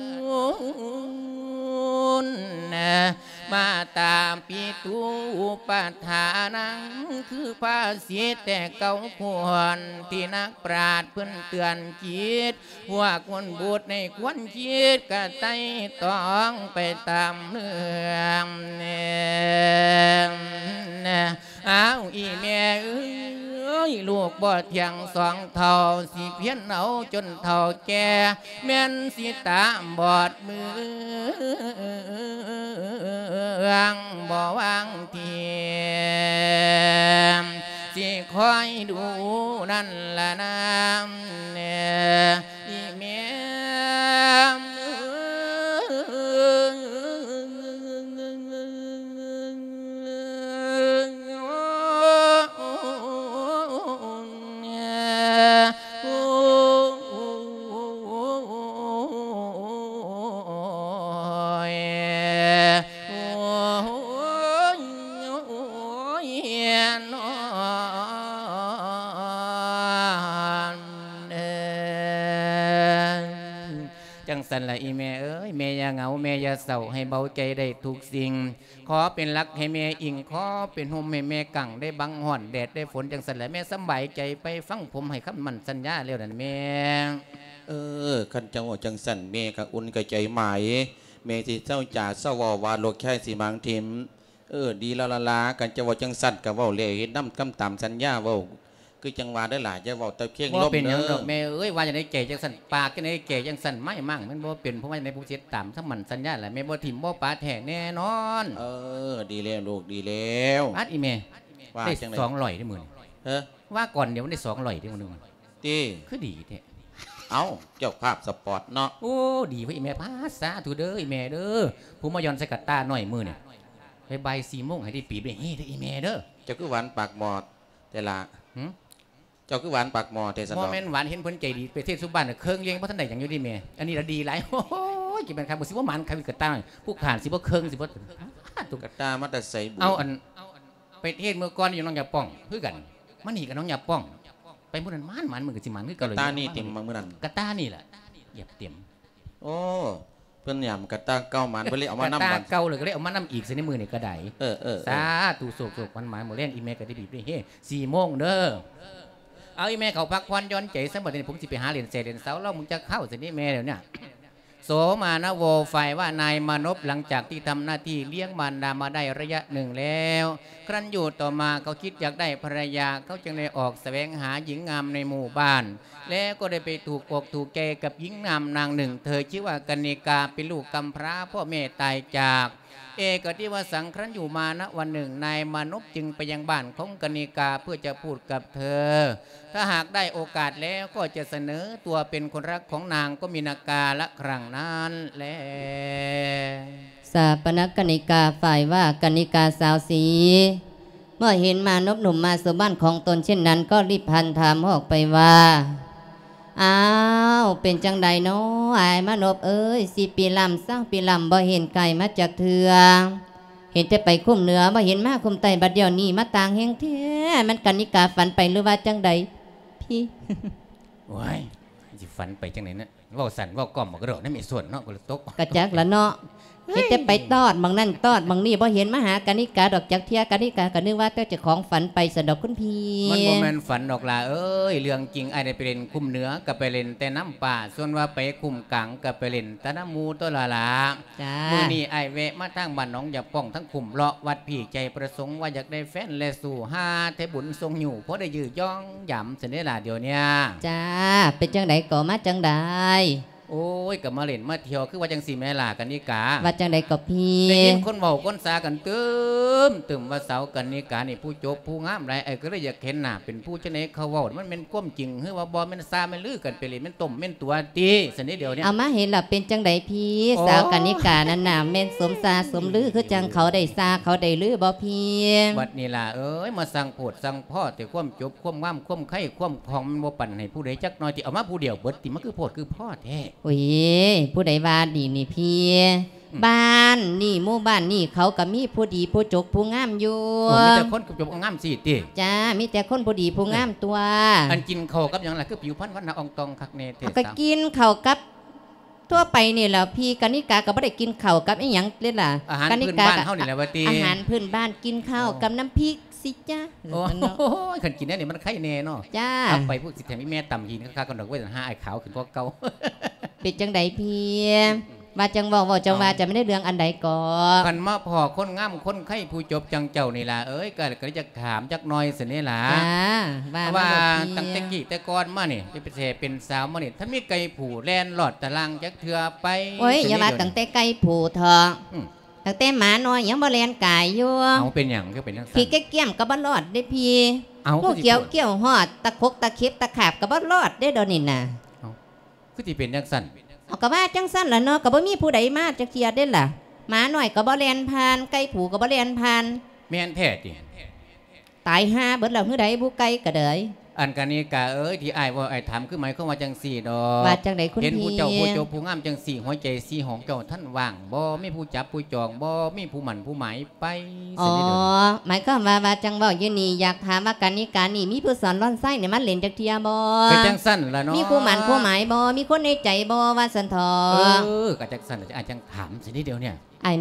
ນ ມາຕາປິຕູປະທານັງ ຄືພາສິດແຕ່ເກົ່າຄວນ ທີ່ນັກປາດເພິ່ນເຕືອນຈິດ ພວກຄົນບູດໃນຄວນຄິດກະໄຕ່ຕອງໄປຕາມເລື່ອງ. ອ້າວ ອີ່ແມ່ເອີຍ ລູກບໍ່ທ່ຽງສອງເທົ່າ ຊິພຽນເອົາຈົນເຖົ້າແກ່ ແມ່ນຊິຕາບອດເມືອງ ບໍ່ວາງທີ ຊິຄອຍດູນັ້ນລະນາ ອີ່ແມ່ເອີຍ. ຈັ່ງຊັ້ນລະອີ່ແມ່ເອີຍ ແມ່ຢ່າເຫງົາ ແມ່ຢ່າເສົ້າ ໃຫ້ເບົາໃຈໄດ້ທຸກສິ່ງ ຂໍເປັນຫຼັກໃຫ້ແມ່ອີງ ຂໍເປັນຮົ່ມໃຫ້ແມ່ກາງ ໄດ້ບັງຮ້ອນແດດໄດ້ຝົນ ຈັ່ງຊັ້ນລະແມ່ສຳບາຍໃຈໄປຟັງຜົມໃຫ້ຄຳໝັ້ນສັນຍາແລ້ວນັ້ນແມ່. ເອີ ຄັນເຈົ້າເວົ້າຈັ່ງຊັ້ນ ແມ່ກະອຸ່ນກະໃຈໝາຍ ແມ່ຊິເຊົາຈາເຊົາເວົ້າວ່າລູກຊາຍຊິມາງຖິ້ມ. ເອີ ດີແລ້ວລະລາ ຄັນເຈົ້າເວົ້າຈັ່ງຊັ້ນກະເວົ້າແລ້ວເຮັດນຳ ກຳຕາມສັນຍາເວົ້າ ຄືຈັ່ງວ່າເດີຫຼ້າ ຢ່າເວົ້າແຕ່ພຽງລົມເດີ. ບໍ່ເປັນຫຍັງດອກແມ່ເອີຍ ວ່າຈັ່ງໃດແກ່ຈັ່ງຊັ້ນ ປາກຈັ່ງໃດແກ່ຈັ່ງຊັ້ນ ໄມ້ມ້າງມັນບໍ່ເປັນ ເພາະວ່າຈັ່ງໃດຜົມຊິເຮັດຕາມຄຳໝັ້ນສັນຍາລະ ແມ່ບໍ່ຖິ້ມບໍ່ປະແທ້ແນ່ນອນ. ເອີ ດີແລ້ວລູກ ດີແລ້ວ. ປາດ ອີ່ແມ່ ວ່າຈັ່ງໃດ ໄດ້ສອງຮ້ອຍເດ້ມື້ນີ້. ເອີ ວ່າກ່ອນດຽວມັນໄດ້ສອງຮ້ອຍເດ້ມື້ໜຶ່ງ. ຕິ ຄືດີແທ້. ເອົ້າ ເຈົ້າພາບສະປອດເນາະ. ໂອ້ ດີເວີຍ ອີ່ແມ່ ພາ ສາທຸເດີ ອີ່ແມ່ເດີ ຜູ້ມາຢ່ອນໃສ່ກະຕ່ານ້ອຍມື້ນີ້ ໄປບ່າຍສີ່ໂມງໃຫ້ໄດ້ປີບໄດ້ເຮເດີ ອີ່ແມ່ເດີ. ເຈົ້າຄືຫວານປາກໝໍ້ແທ້ລະ? ຫື? ເຈົ້າຄືຫວານປາກໝໍ້ແທ້ຊັ້ນດອກ? ບໍ່ແມ່ນຫວານ ເຫັນເພິ່ນໃຈດີ ໄປເທດສຸບ້ານ ເຄິ່ງເລງບໍ່ທັນໄດ້ຫຍັງຢູ່ເດແມ່. ອັນນີ້ລະດີຫຼາຍ ໂອ້ຍ ຊິແມ່ນຄັກບໍ່ ຊິບໍ່ໝານຄັກກະຕ່າ ຜູ້ຂ້ານຊິບໍ່ເຄິ່ງ ຊິບໍ່ ກະຕ່າມາແຕ່ໃສບຸ? ເອົາ ອັນ ໄປເທດມື້ກ່ອນຢູ່ໜອງຢາປ່ອງຄືກັນ ມານີ້ກະໜອງຢາປ່ອງ ໄປມື້ນັ້ນໝານໆ ມື້ນີ້ກະຊິໝານຄືເກົ່າ. ກະຕ່ານີ້ຕິ ມື້ນັ້ນ ກະຕ່ານີ້ລະ ຢຽບເຕັມ. ໂອ້ ເພິ່ນຫຍາມກະຕ່າເກົ່າໝານ ເພິ່ນເລີຍເອົາມານຳ ກະຕ່າເກົ່າເລີຍ ກະເລີຍເອົາມານຳອີກຊະໃນມື້ນີ້ກະໄດ້. ເອີໆ ສາທຸ ໂຊກໆ ໝານໆ ມື້ແລງອີ່ແມ່ກະໄດ້ບີບໄດ້ເຮ ສີ່ໂມງເດີ. ເອົາ ອີ່ແມ່ເຂົາພັກຜ່ອນຢ່ອນໃຈຊະ ບັດນີ້ຜົມຊິໄປຫາຫຼິ້ນແຊຫຼິ້ນເສົາລອງເບິ່ງຈັກຄາວຊະນີ້ແມ່ ດຽວນີ້. ໂສມານະໂວ ຝ່າຍວ່ານາຍມານົບ ຫຼັງຈາກທີ່ທຳໜ້າທີ່ລ້ຽງມານດາມາໄດ້ໄລຍະໜຶ່ງແລ້ວ ຄັ້ນຢູ່ຕໍ່ມາເຂົາຄິດຢາກໄດ້ພັນລະຍາ ເຂົາຈຶ່ງໄດ້ອອກສະແຫວງຫາຍິງງາມໃນໝູ່ບ້ານ ແລະກໍໄດ້ໄປຖືກອົກຖືກໃຈກັບຍິງງາມນາງໜຶ່ງ ເທີຊື່ວ່າກະນິກາ ເປັນລູກກຳພ້າ ພໍ່ແມ່ຕາຍຈາກ ເອກະຕິວະສັງ ຄັ້ນຢູ່ມານະວັນໜຶ່ງ ນາຍມານົບຈຶ່ງໄປຍັງບ້ານຂອງກະນິກາເພື່ອຈະພູດກັບເທີ ຖ້າຫາກໄດ້ໂອກາດແລ້ວກໍຈະສະເໜີຕົວເປັນຄົນຮັກຂອງນາງ ກໍມີນາກາລະຄັ້ງນັ້ນແລ. ສ ຖາປນະກະນິກາ ຝ່າຍວ່າກະນິກາສາວສີ ເມື່ອເຫັນມານົບໜຸ່ມມາສູ່ບ້ານຂອງຕົນເຊັ່ນນັ້ນ ກໍຣີບຫັນຖາມອອກໄປວ່າ ອ້າວ ເປັນຈັ່ງໃດນໍອ້າຍມານົບເອີຍ? ສິບປີລ້ຳ ຊາວປີລ້ຳ ບໍ່ເຫັນກາຍມາຈັກເທື່ອ ເຫັນແຕ່ໄປຄຸ້ມເໜືອ ບໍ່ເຫັນມາຄຸ້ມໃຕ້ ບັດດຽວນີ້ມາຕ່າງແຮງແທ້ ແມ່ນກະນິກາຝັນໄປຫຼືວ່າຈັ່ງໃດພີ້? ໂອ້ຍ ຊິຝັນໄປຈັ່ງໃດນະ? ເວົ້າສັ້ນເວົ້າກ້ອມບໍ່ກະດອກນະແມ່ສ່ວນເນາະ ກໍເລີຍຕົກ ກະຈັກລະເນາະ ເອີຍ ເຫັນແຕ່ໄປຕອດໝ່ອງນັ້ນຕອດໝ່ອງນີ້ ບໍ່ເຫັນມາຫາກະນິກາດອກຈັກເທື່ອ ກະນິກາກໍນຶກວ່າແຕ່ເຈົ້າຂອງຝັນໄປຊັ້ນດອກຄຸນພີ່. ມັນບໍ່ແມ່ນຝັນດອກຫຼ້າເອີຍ ເລື່ອງຈິງ ອ້າຍໄດ້ໄປຫຼິ້ນຄຸ້ມເໜືອ ກໍໄປຫຼິ້ນແຕ່ນຳປ້າ ສ່ວນວ່າໄປຄຸ້ມກາງ ກໍໄປຫຼິ້ນແຕ່ນຳໝູ່ຕົວລະຫຼ້າ. ຈ້າ ມື້ນີ້ອ້າຍແວະມາທາງບ້ານໜອງຢາປ່ອງ ທາງຄຸ້ມເລາະວັດພີ້ ໃຈປະສົງວ່າຢາກໄດ້ແຟນແລະສູ້ ຫາແຕ່ບຸນສົ່ງຍູ້ ພໍໄດ້ຢືຢອງຢາມຊັ້ນເດລະດຽວເນີ້ຍ. ຈ້າ ເປັນຈັ່ງໃດກໍມາຈັ່ງໃດ? ໂອ້ຍ ກໍມາຫຼິ້ນມາທ່ຽວ ຄືວ່າຈັ່ງຊີ້ແມ່ຫຼ້າກະນິກາ. ວ່າຈັ່ງໃດກໍພີ່? ໄດ້ຍິນຄົນເວົ້າຄົນສາກັນຕຶມໆ ວ່າສາວກະນິການີ້ຜູ້ຈົບຜູ້ງາມຫຼາຍ ອ້າຍກໍເລີຍຢາກເຫັນໜ້າ ເປັນຜູ້ຈັ່ງໃດ ເຂົາເວົ້າມັນແມ່ນຄວາມຈິງ ຫຼືວ່າບໍ່ ແມ່ນຊ່າແມ່ນລືກັນໄປເລີຍ ແມ່ນຕົ້ມແມ່ນຕົວຕິ ຊັ້ນເດດຽວນີ້. ເອົາມາເຫັນລະເປັນຈັ່ງໃດພີ້? ໂອ້ຍ ສາວກະນິການັ້ນນະ ແມ່ນສົມຊ່າສົມລືຄືຈັ່ງເຂົາໄດ້ຊ່າເຂົາໄດ້ລືບໍ່ພີ້? ບັດນີ້ຫຼ້າເອີຍ ມາສ້າງໂພດສ້າງພໍ້ແຕ່ຄວາມຈົບຄວາມງາມ ຄວາມໄຄຄວາມຂອງ ມັນບໍ່ປັນໃຫ້ຜູ້ໃດຈັກໜ້ອຍຕິ ເອົາມາຜູ້ດຽວເບິດຕິ ມັນຄືໂພດຄືພໍ້ແທ້. ໂອ້ຍ ຜູ້ໃດວ່າດີນີ້ພີ້? ອືມ ບ້ານນີ້ໝູ່ບ້ານນີ້ເຂົາກໍມີຜູ້ດີຜູ້ຈົບຜູ້ງາມຢູ່. ໂອ້ ມີແຕ່ຄົນຈົບງາມຊີ້ຕິ? ຈ້າ ມີແຕ່ຄົນຜູ້ດີຜູ້ງາມຕົວະ. ອັນກິນເຂົ້າກັບຫຍັງລະ ຄືຜິວພັນວັນນະອອງຕອງຄັກແນ່ແທ້? ເອົາ ກໍກິນເຂົ້າກັບທົ່ວໄປນີ້ແຫຼະ ພີ່ກະນິກາກໍບໍ່ໄດ້ກິນເຂົ້າກັບອີ່ຫຍັງເດລະ. ອາຫານພື້ນບ້ານເຮົານີ້ແຫຼະວ່າຕິ? ອາຫານພື້ນບ້ານ ກິນເຂົ້າ ໂອ້ ກັບນ້ຳພິກຊິຈ້າ. ໂອ້ຍ ຄັນກິນແນວນີ້ມັນໄຄແນ່ເນາະ. ຈ້າ ເອົາໄປພຸ້ນ ຊິແຖມອີ່ແມ່ຕຳຫີນຄັກໆກ່ອນດອກເວີຍ ຫາອ້າຍຂາວຂຶ້ນກວ່າເກົ່າ. ເປັນຈັ່ງໃດພີ່? ວ່າຈັ່ງເວົ້າ ເວົ້າຈັ່ງວ່າ ເອົາ ຈະແມ່ນເລື່ອງອັນໃດກໍ? ຄັນມາພໍ້ຄົນງາມຄົນໄຄຜູ້ຈົບຈັ່ງເຈົ້ານີ້ລະເອີຍ ກໍ ກໍເລີຍຈະຖາມຈັກໜ້ອຍຊັ້ນເດລະ. ຈ້າ ວ່າມາໂລດພີ່. ວ່າຕັ້ງແຕ່ກີ້ແຕ່ກ່ອນມານີ້ ເປັນແຕ່ເປັນສາວມານີ້ ທັນມີໄກ່ຜູ້ແລ່ນລອດຕາລ່າງຈັກເທື່ອໄປ? ໂອ້ຍ ຢ່າວ່າຕັ້ງແຕ່ໄກ່ຜູ້ເຖາະ ອືມ ຕັ້ງແຕ່ໝານ້ອຍຍັງບໍ່ແລ່ນກາຍຢູ່. ເອົາ ເປັນຫຍັງຄືເປັນຈັ່ງຊັ້ນ? ຂີ້ກຽມໆກໍບໍ່ລອດເດ້ພີ່. ເອົາ ຫູຂຽວ ຄືຊິໂພດ ກ້ຽວຮອດ ຕະຂົກຕະເຂັບຕະຂາບກໍບໍ່ລອດເດ້ດຽວນີ້ນະ. ເອົາ ຄືຊິເປັນຈັ່ງຊັ້ນ? ເອົາ ກໍວ່າຈັ່ງຊັ້ນລະເນາະ ກໍບໍ່ມີຜູ້ໃດມາຈັກເທື່ອເດ້ລະ. ໝານ້ອຍກໍບໍ່ແລ່ນຜ່ານ ໄກ່ຜູ້ກໍບໍ່ແລ່ນຜ່ານ. ແມ່ນແທ້ຕິ? ຕາຍຫ່າເບິດແລ້ວ ຄືໃດບຸໄກ່ກະເດີຍ. ອັນກະນິກາເອີຍ ທີ່ອ້າຍເວົ້າອ້າຍຖາມ ຄືໝາຍຄວາມວ່າຈັ່ງຊີ້ດອກ. ວ່າຈັ່ງໃດຄຸນພີ່? ເຫັນຜູ້ເຈົ້າຜູ້ຈົບຜູ້ງາມຈັ່ງຊີ້ ຫົວໃຈສີຫອງເຈົ້າທັນວ່າງບໍ່? ມີຜູ້ຈັບຜູ້ຈອງບໍ່? ມີຜູ້ໝັ້ນຜູ້ໝາຍໄປ? ອໍ ຊັ້ນເດີ. ໝາຍຄວາມວ່າ ວ່າຈັ່ງເວົ້າຢູ່ນີ້ ຢາກຖາມວ່າກະນິການີ້ ມີຜູ້ສອນລອນໄຊນີ້ມາຫຼິ້ນຈັກເທື່ອບໍ່? ເປັນຈັ່ງຊັ້ນລະເນາະ. ມີຜູ້ໝັ້ນຜູ້ໝາຍບໍ່? ມີຄົນໃນໃຈບໍ່? ວ່າຊັ້ນເຖາະ. ເອີ ກໍຈັ່ງຊັ້ນລະ ອ້າຍຈັ່ງຖາມຊັ້ນເດີດຽວນີ້. ອ້າຍ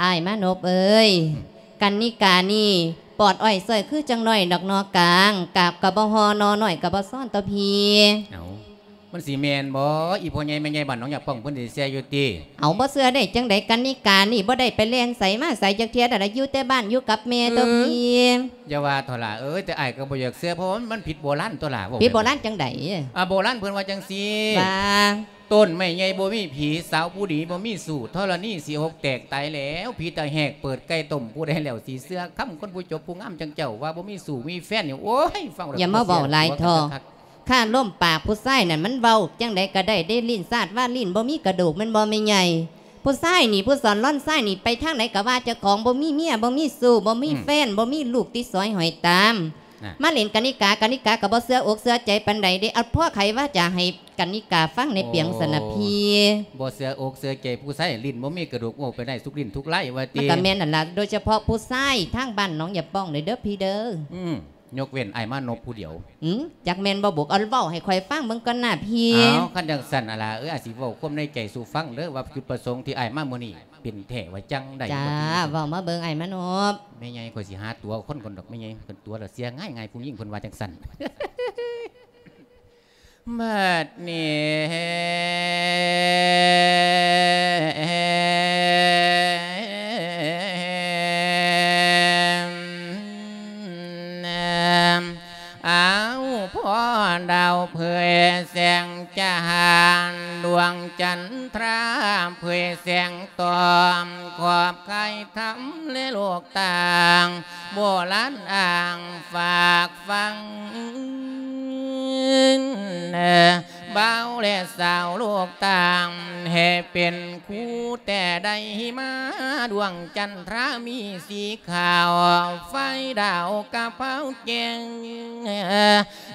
ອ້າຍມານົບເອີຍ ອືມ ກັນນິການີ້ປອດອ້ອຍສ້ອຍຄືຈັ່ງນ້ອຍດອກໜໍ່ກາງ ກາບກໍບໍ່ຫໍ່ໜໍ່ນ້ອຍກໍບໍ່ຊ້ອນຕໍ່ພີ້. ເອົ້າ ມັນຊິແມ່ນບໍ່? ອີ່ພໍ່ໃຫຍ່ແມ່ໃຫຍ່ບ້ານໜອງຢາປ່ອງເພິ່ນຊິເຊື່ອຢູ່ຕິ? ເອົາ ບໍ່ເຊື່ອໄດ້ຈັ່ງໃດ? ກັນນິການີ້ບໍ່ໄດ້ໄປແລ່ນໃສມາໃສຈັກເທື່ອ ແຕ່ລະຢູ່ແຕ່ບ້ານຢູ່ກັບແມ່ ເອີ ຕົວພີ້. ຢ່າວ່າເຖາະຫຼ້າເອີຍ ແຕ່ອ້າຍກໍບໍ່ຢາກເຊື່ອ ເພາະວ່າມັນຜິດໂບລານຕົວະຫຼ້າ. ເວົ້າ ຜິດໂບລານຈັ່ງໃດ? ອ່າ ໂບລານເພິ່ນວ່າຈັ່ງຊີ້ ວ່າ ຕົ້ນໄມ້ໃຫຍ່ບໍ່ມີຜີ ສາວຜູ້ດີບໍ່ມີຊູ້ ທໍລະນີຊິຫົກແຕກຕາຍແລ້ວ ຜີຕາແຫກເປີດໄກ່ຕົ້ມ ຜູ້ໃດແລ້ວຊິເຊື່ອຄຳ ຄົນຜູ້ຈົບຜູ້ງາມຈັ່ງເຈົ້າ ວ່າບໍ່ມີຊູ້ມີແຟນນີ້ ໂອ້ຍ ຟັງແລ້ວ ຢ່າມາເວົ້າຫຼາຍເຖາະ ຂ້າລົມປາກຜູ້ຊາຍນັ້ນ ມັນເວົ້າຈັ່ງໃດກໍໄດ້ເດ້ ລີ້ນຊາດວ່າລີ້ນບໍ່ມີກະດູກ ແມ່ນບໍ່ແມ່ໃຫຍ່? ຜູ້ຊາຍນີ້ ຜູ້ສອນລອນຊາຍນີ້ ໄປທາງໃດກໍວ່າເຈົ້າຂອງບໍ່ມີເມຍ ບໍ່ມີຊູ້ ບໍ່ມີ ອືມ ແຟນ ບໍ່ມີລູກຕິດສອຍຫ້ອຍຕາມ ນະ ມາຫຼິ້ນກະນິກາ ກະນິກາກໍບໍ່ເຊື່ອອົກເຊື່ອໃຈປານໃດເດ້. ເອົາ ພໍ່ໄຂວາຈາໃຫ້ກະນິກາຟັງແດ່ ໂອ້ ປຽງຊັ້ນນະພີ້. ບໍ່ເຊື່ອອົກເຊື່ອໃຈຜູ້ຊາຍ ລີ້ນບໍ່ມີກະດູກ ເວົ້າໄປໄດ້ທຸກລີ້ນທຸກລາຍວ່າຕິ. ມັນກໍແມ່ນນັ້ນລະ ໂດຍສະເພາະຜູ້ຊາຍທາງບ້ານໜອງຢາປ່ອງເດີ ເດີພີ່ເດີ. ອືມ ຍົກເວັ້ນອ້າຍມານົບຜູ້ດຽວ. ອືມ ຈັກແມ່ນບໍ່ບຸກ ເອົາເວົ້າໃຫ້ຂ້ອຍຟັງເບິ່ງກ່ອນນະພີ້. ເອົາ ຄັນຈັ່ງຊັ້ນ ອາລາເອີຍ ອ້າຍຊິເວົ້າຄວາມໃນໃຈສູ່ຟັງເດີ ວ່າຈຸດປະສົງທີ່ອ້າຍມາມື້ນີ້ ເປັນແທ້ວ່າຈັ່ງໃດ. ຈ້າ ວ່າຕິ ເວົ້າມາເບິ່ງອ້າຍມານົບ. ແມ່ໃຫຍ່ ຂ້ອຍຊິຫາຕົວຄົນກ່ອນດອກແມ່ໃຫຍ່ ຄັນຕົວະລະເສຍງ່າຍໆ ຜູ້ຍິງເພິ່ນວ່າຈັ່ງຊັ້ນ. ບັດນີ້ ອ້າວ ພໍ່ດາວເຜີຍແສງຈະຫານ ດວງຈັນທຣາເຜີຍແສງຕອມ ຂອບຄາຍທຳແລະໂລກຕ່າງ ໂບລານອ້າງຝາກຝັງ ບ່າວແລະສາວໂລກຕ່າງ ໃຫ້ເປັນຄູ່ແຕ່ໃດ ມາດວງຈັນທຣາມີສີຂາວ ໄຟດາວກະເພົາແຈ້ງ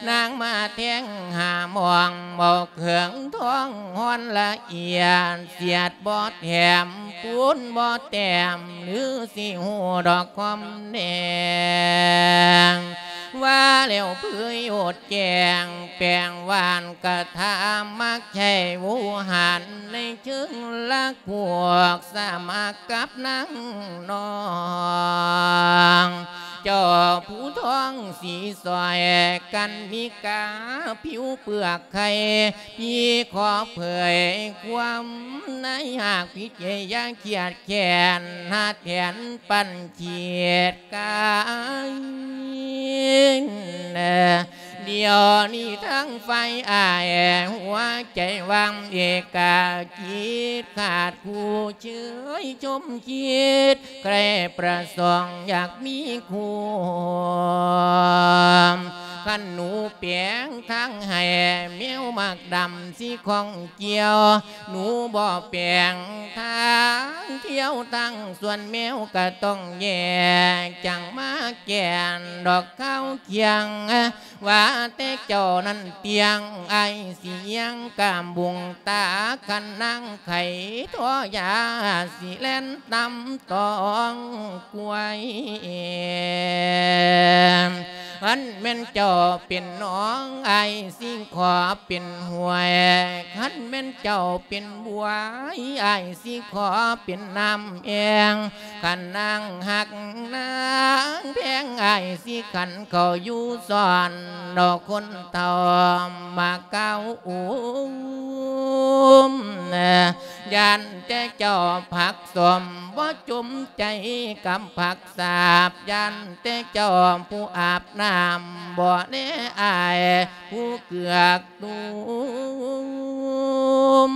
ນາງມາແທງຫາໝ່ອງ ບໍ່ເຄື່ອງທອງຮ່ອນລະອຽດ ສຽດບໍ່ແຖມ ປູນບໍ່ແຕ້ມ ຫຼືຊິຮູ້ດອກຄວາມແດງ ວ່າແລ້ວເຜີຍໂອດແຈ້ງ ແປງຫວານກະທຳ ມັກໃຊ້ໂວຫານ ໃນເຊີງລັກພວກ ສະໝັກກັບນາງນ້ອງ ເຈົ້າຜູ້ທອງສີສອຍກັນນິກາ ຜິວເປືອກໄຂ່ ພີ່ຂໍເຜີຍຄວາມໃນຫາກພິເຈ ຢ່າຄຽດແຄ້ນ ຫາແທນປັນຂີດກາຍ ດຽວນີ້ທັງຝ່າຍອ້າຍ ຫົວໃຈວ່າງເອກາກິດ ຂາດຄູ່ເຊີຍຊົມຄິດ ໃຄ່ປະສົງຢາກມີຄູ່ ຄັນໜູແປງທາງໃຫ້ ແມວໝາກດຳຊິຂ້ອງກ່ຽວ ໜູບໍ່ແປງທາງທ່ຽວ ທາງສວນແມວກະຕ້ອງແຍກ ຈັ່ງມາແກ່ນດອກຂາວຄຽງ ວ່າແຕ່ເຈົ້ານັ້ນຕຽງ ອ້າຍຊິຍັງກາມບຸງຕາ ຄັນນາງໄຂ້ທໍ່ຢາ ຊິແລ່ນຕຳຕອງກວາຍ ຄັນແມ່ນເຈົ້າເປັນໜອງ ອ້າຍຊິຂໍເປັນຫ້ວຍ ຄັນແມ່ນເຈົ້າເປັນບວຍ ອ້າຍຊິຂໍເປັນນ້ຳແອ່ງ ຄັນນາງຮັກນາງແພງ ອ້າຍຊິຂັນເຂົ້າຢູ່ຊ້ອນ ດອກຄົນເຖົ້າມາກ່າວອຸມ ຢ້ານແຕ່ເຈົ້າຜັກສົມ ບໍ່ຈົມໃຈກັບຜັກສາບ ຢ້ານແຕ່ເຈົ້າຜູ້ອາບນ້ຳ ບໍ່ແລອ້າຍຜູ້ເກືອກ ຕຸ້ມ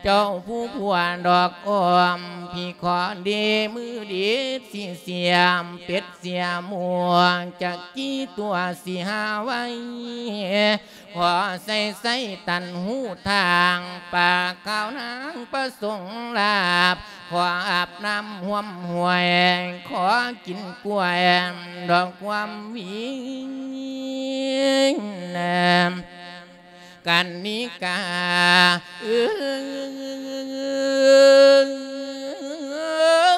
ເຈົ້າຜູ້ຜົວດອກອ້ອມ ພີ່ຂໍດີມືດີດຊິສຽມ ເປັດເສຍໝວກ ຈັກກີ່ຕົວຊິຫາໄວ້ ຂໍໃສ່ໃສ່ຕັນຫູທາງ ປາກຂາວນາງປະສົງລາບ ຂໍອາບນ້ຳຮ່ວມຫ້ວຍ ຂໍກິນກ້ວຍດອກຄວາມວິງ ກັນນິກາເອີ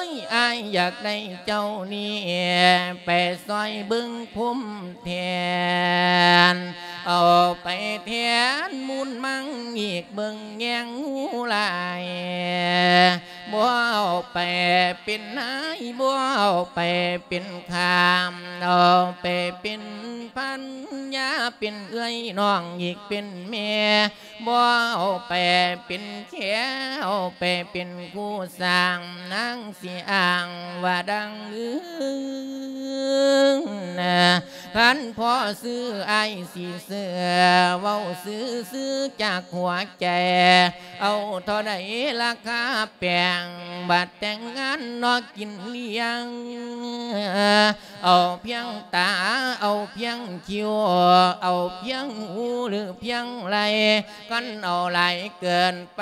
ຍ ອ້າຍຢາກໄດ້ເຈົ້ານີ້ ໄປຊ່ອຍເບິ່ງພົມແທນ ເອົາໄປແທນມູນມັງອີກເບິ່ງແຍງງູຫຼາຍ ບໍ່ເອົາໄປເປັນນາຍ ບໍ່ເອົາໄປເປັນຂ້າ ເອົາໄປເປັນພັນຍາ ເປັນເອື້ອຍນ້ອງອີກເປັນແມ່ ບໍ່ເອົາໄປເປັນແຂ ເອົາໄປເປັນຄູ່ສ້າງ ນາງຊິອ້າງວ່າດັ່ງອື່ນ ຄັນພໍຊື້ອ້າຍຊິຊື້ ເວົ້າຊື່ໆຈາກຫົວໃຈ ເອົາເທົ່າໃດລາຄາແປງ ບັດແຕ່ງງານນອກກິນລ້ຽງ ເອົາພຽງຕາ ເອົາພຽງຄິ້ວ ເອົາພຽງຫູ ຫຼືພຽງໄລ່ ຄັນເອົາຫຼາຍເກີນໄປ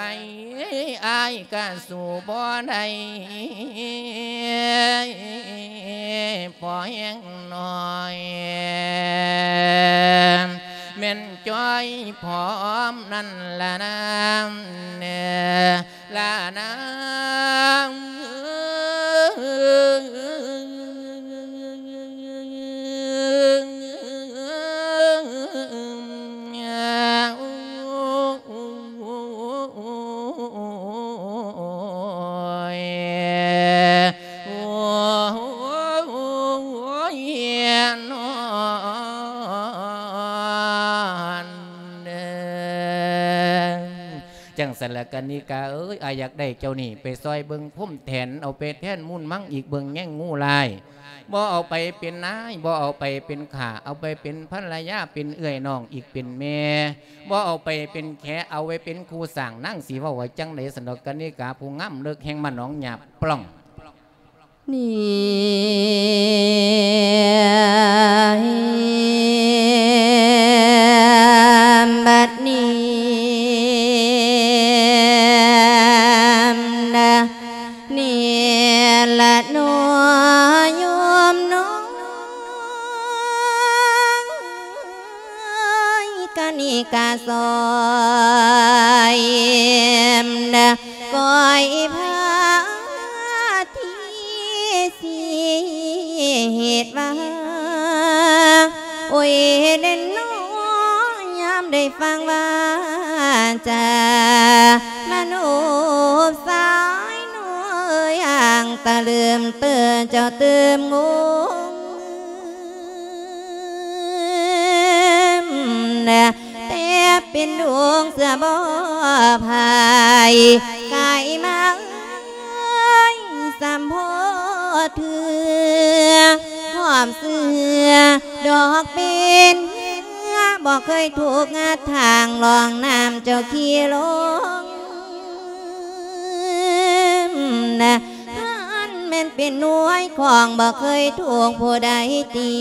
ອ້າຍກະສູ້ບໍ່ໄດ້ ພໍແຮງໜ້ອຍ ແມ່ນຈ້ອຍພ້ອມນັ້ນລະນາ ລະນາ ຈັ່ງຊັ້ນລະກະນິກາເອີຍ ອ້າຍຢາກໄດ້ເຈົ້ານີ້ໄປຊ່ອຍເບິ່ງພົມແທນ ເອົາໄປແທນມູນມັງອີກເບິ່ງແຍງງູລາຍ ບໍ່ເອົາໄປເປັນນາຍ ບໍ່ເອົາໄປເປັນຂ້າ ເອົາໄປເປັນພັນລະຍາ ເປັນເອື້ອຍນ້ອງອີກເປັນແມ່ ບໍ່ເອົາໄປເປັນແຂ ເອົາໄວ້ເປັນຄູ່ສ້າງ ນາງຊິເວົ້າວ່າຈັ່ງໃດ ສັນດອກກະນິກາຜູ້ງາມເລິກແຫ່ງບ້ານໜອງຫຍ້າປ່ອງ ນີ້ ບັດນີ້ ກ້ອຍພາທີຊິເຮັດວ່າ ໂອ້ຍເດ້ນນໍ ຍາມໄດ້ຟັງວາຈາ ມະໂນບສາຍນ້ອຍ ອ່າງຕະລຶມເຕີເຈົ້າເຕີມງົງ ແຕ່ເປັນດວງເສືອບໍ່ພາຍ ກາຍມາເອີຍສຳພໍເທື່ອ ຄວາມເຊື່ອດອກເປັນເຮືອ ບໍ່ເຄີຍຖືກງັດທາງລ່ອງນ້ຳເຈົ້າຂີ່ລົງ ນະ ຫັ້ນແມ່ນເປັນໜ່ວຍຂອງບໍ່ເຄີຍຖືກຜູ້ໃດຕີ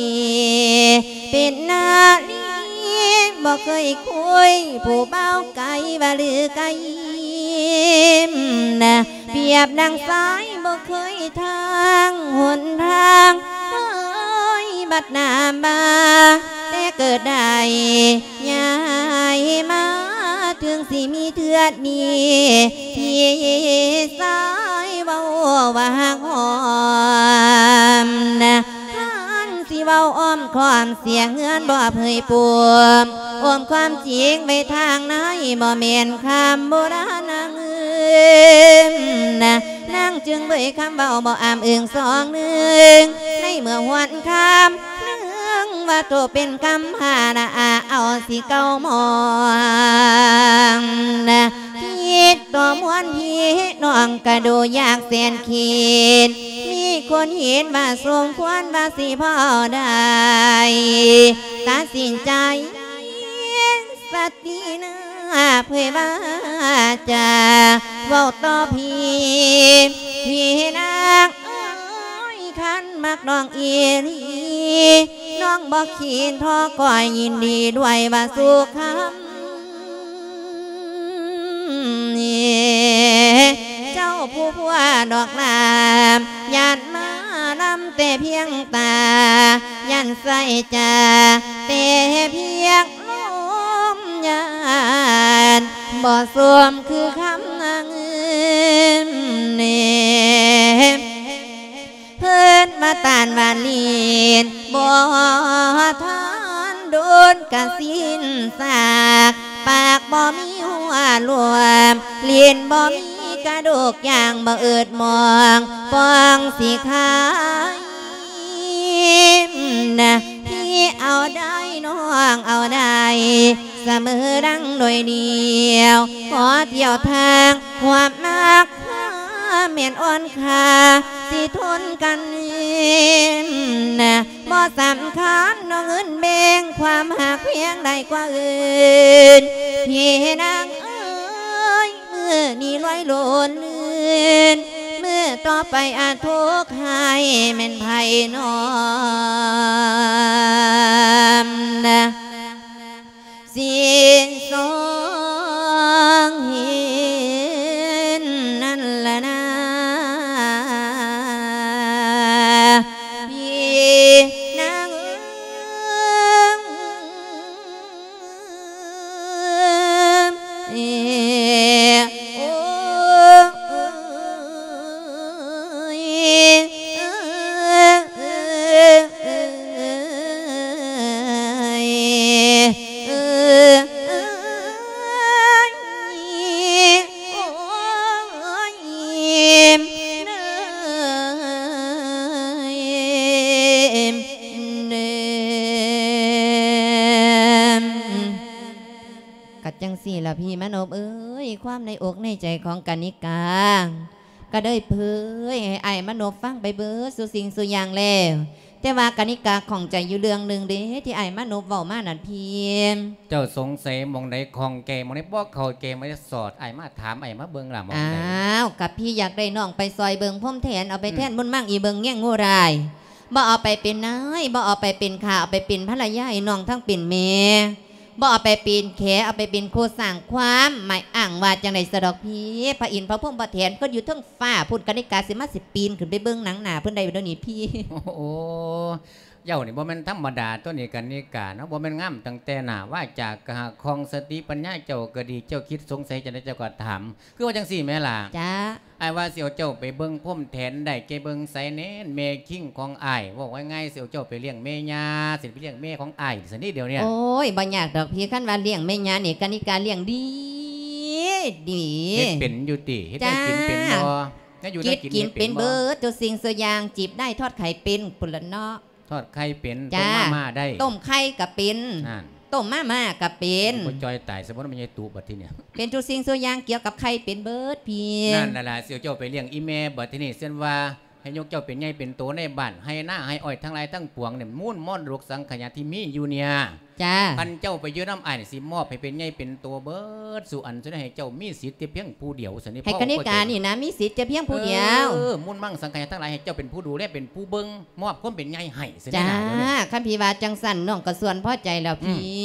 ເປັນນາລີບໍ່ເຄີຍຄຸຍ ຜູ້ບ່າວໄກວ່າລືໄກນະ ປຽບດັ່ງສາຍບໍ່ເຄີຍທາງຫົນທາງເຄີຍບັດໜ້າມາ ແຕ່ເກີດໄດ້ ຍ້າຍມາເຖິງຊິມີເທື່ອນີ້ ທີ່ສາຍເວົ້າວ່າຮັກຫອມນະ ຄັນຊິເວົ້າອ້ອມຄ້ອມເສຍເຮືອນບໍ່ເຜີຍປົມ ອ້ອມຄວາມຈິງໄວ້ທາງໃນ ບໍ່ແມ່ນຄຳໂບລານນາງເອີຍນະ ນາງຈຶ່ງເຜີຍຄຳເວົ້າບໍ່ອ້າມເອີງສອງໜຶ່ງ ໃນເມື່ອຫວນຄຳໜຶ່ງວ່າໂຕເປັນກຳພາລະອາ ເອົາຊິເກົາມອງນະ ຜິດຕໍ່ມວນພີ່ນ້ອງກະດູຢາກແສນຂີດ ມີຄົນເຫັນວ່າສົມຄວນວ່າຊິເວົ້າໄດ້ ຕັດສິນໃຈ ສະຕິໜ້າເຜີຍວ່າຈາເວົ້າຕໍ່ພີ່ ພີ່ນາງເອີຍ ຄັນມັກນ້ອງອີ່ຫຼີ ນ້ອງບໍ່ຂີນທໍ້ ກໍຍິນດີດ້ວຍວ່າສຸຄຳ ເຈົ້າຜູ້ຜົວດອກລາມ ຢ້ານມາລຳແຕ່ພຽງຕາ ຢ້ານໃສ່ຈາແຕ່ພຽງ ລົມຍານບໍ່ສົມຄືຄຳນາງອື່ນ ເພິ່ນວ່າຕານວ່າລີນ ບໍ່ທັນດົນກະສິ້ນຊາກ ປາກບໍ່ມີຫົວລວມ ລີນບໍ່ມີກະດູກ ຢ່າງບໍ່ອຶດມອງ ປ່ອງຊິຂາຍ ນະ ທີ່ເອົາໄດ້ ນ້ອງເອົາໄດ້ ສະເໝີດັ່ງໜ່ວຍດຽວ ຂໍທ່ຽວທາງຄວາມຮັກ ຄວາມແມ່ນອ່ອນຄ່າ ຊິທົນກັນນະ ບໍ່ສຳຄັນ ນ້ອງເງິນແບ່ງ ຄວາມຮັກພຽງໃດກວ່າອື່ນ ພີ່ນາງເອີຍ ມື້ນີ້ລວຍໂລນລື່ນ ມື້ຕໍ່ໄປອາດທຸກໃຫ້ແມ່ນໃຜນ້ອມນະ ຊິສອງເຫັນນັ້ນລະນາ ພີ່ນາງເອີຍ. ກະຈັ່ງຊີ້ລະພີ່ມະນົບເອີຍ ຄວາມໃນອົກໃນໃຈຂອງກະນິກາ ກະໄດ້ເຜີຍໃຫ້ອ້າຍມະນົບຟັງໄປເບິດສູ່ສິ່ງສູ່ຢ່າງແລ້ວ ແຕ່ວ່າກະນິກາຂ້ອງໃຈຢູ່ເລື່ອງໜຶ່ງເດ້ ທີ່ອ້າຍມະນົບເວົ້າມານັ້ນພີ່. ເຈົ້າສົງໄສໝ່ອງໃດ ຂ້ອງແຈໝ່ອງໃດ ບໍ່ເຂົ້າໃຈໝ່ອງໃດ ສອດອ້າຍມາ ຖາມອ້າຍມາເບິ່ງລະ ໝ່ອງໃດ? ອ້າວ ກະພີ່ຢາກໄດ້ນ້ອງໄປຊ່ອຍເບິ່ງພົມແທນ ເອົາໄປແທນບຸນມັງອີເບິ່ງແຍງງູລາຍ ບໍ່ເອົາໄປເປັນນາຍ ບໍ່ເອົາໄປເປັນຂ້າ ເອົາໄປເປັນພັນລະຍາໃຫ້ນ້ອງທັງເປັນແມ່ ບໍ່ເອົາໄປເປັນແຂ ເອົາໄປເປັນຄູ່ສ້າງຄວາມໝາຍອ້າງວ່າຈັ່ງໃດສະດອກພີ່ ພະອິນພະພົມພະແທນເພິ່ນຢູ່ເທິງຟ້າພຸ້ນ ກະນິກາຊິມາຊິປີນຂຶ້ນໄປເບິ່ງໜັງໜ້າເພິ່ນໄດ້ບໍ່ດຽວນີ້ພີ່. ໂອ້ ເຈົ້ານີ້ບໍ່ແມ່ນທຳມະດາຕົວນີ້ ກະນິກາເນາະ, ບໍ່ແມ່ນງາມຕັ້ງແຕ່ໜ້າວາຈາກະຫາກຂອງ ສະຕິປັນຍາເຈົ້າກະດີ, ເຈົ້າຄິດສົງໄສຈັ່ງໃດເຈົ້າກະຖາມ. ຄືວ່າຈັ່ງຊີ້ແມ່ຫຼ້າ. ຈ້າ. ອ້າຍວ່າຊິເອົາເຈົ້າໄປເບິ່ງພົມແທນ ໄດ້ແກ່ເບິ່ງໃສແນ່ ແມ່ຄິງຂອງອ້າຍ. ເວົ້າງ່າຍໆ ຊິເອົາເຈົ້າໄປລ້ຽງແມ່ຍ່າ, ຊິໄປລ້ຽງແມ່ຂອງອ້າຍຊັ້ນເດ ດຽວນີ້. ໂອ້ຍ ບໍ່ຍາກດອກພີ່, ຄັນວ່າລ້ຽງແມ່ຍ່ານີ້ ກະນິກາລ້ຽງດີ ດີ. ເຮັດເປັນຢູ່ຕິ? ເຮັດແນວກິນເປັນບໍ່? ແນວຢູ່ແນວກິນເຮັດເປັນບໍ່? ກິນເປັນເບິດທຸກສິ່ງທຸກຢ່າງ, ຈີບໄດ້ທອດໄຂ່ເປັນພຸ້ນລະເນາະ. ທອດໄຂ່ເປັນ. ຈ້າ. ຕົ້ມມາມ່າໄດ້. ຕົ້ມໄຂ່ກະເປັນ. ນັ້ນ. ຕົ້ມມາມ່າກະເປັນ. ບໍ່ຈ່ອຍຕາຍຊະບໍ່ ແມ່ໃຫຍ່ຕຸບັດທີນີ້. ເປັນທຸກສິ່ງທຸກຢ່າງ ກ່ຽວກັບໄຂ່ເປັນເບິດພີ່. ນັ້ນລະ ຊິເອົາເຈົ້າໄປລ້ຽງອີ່ແມ່ບັດທີນີ້. ເຊັ່ນວ່າໃຫ້ຍົກເຈົ້າເປັນໃຫຍ່ເປັນໂຕໃນບ້ານ ໄຮ່ນາໄຮ່ອ້ອຍທັງຫຼາຍທັງປວງນີ້ ມູນມໍລະດົກສັງຂະຍາທີ່ມີຢູ່ນີ້. ຈ້າ. ຄັນເຈົ້າໄປຢູ່ນຳອ້າຍນີ້ ຊິມອບໃຫ້ເປັນໃຫຍ່ເປັນໂຕເບິດສູ່ອັນ, ຊັ້ນໃຫ້ເຈົ້າມີສິດແຕ່ພຽງຜູ້ດຽວຊັ້ນນີ້. ໃຫ້ກະນິການີ້ນະ ມີສິດແຕ່ພຽງຜູ້ດຽວ. ເອີ ມູນມັງສັງຂະຍາທັງຫຼາຍ ໃຫ້ເຈົ້າເປັນຜູ້ດູແລເປັນຜູ້ເບິ່ງ, ມອບຄວາມເປັນໃຫຍ່ໃຫ້ຊັ້ນນີ້. ຈ້າ. ຄັນພີ່ວ່າຈັ່ງຊັ້ນ ນ້ອງກະສ່ວນພໍໃຈແລ້ວພີ່. ອື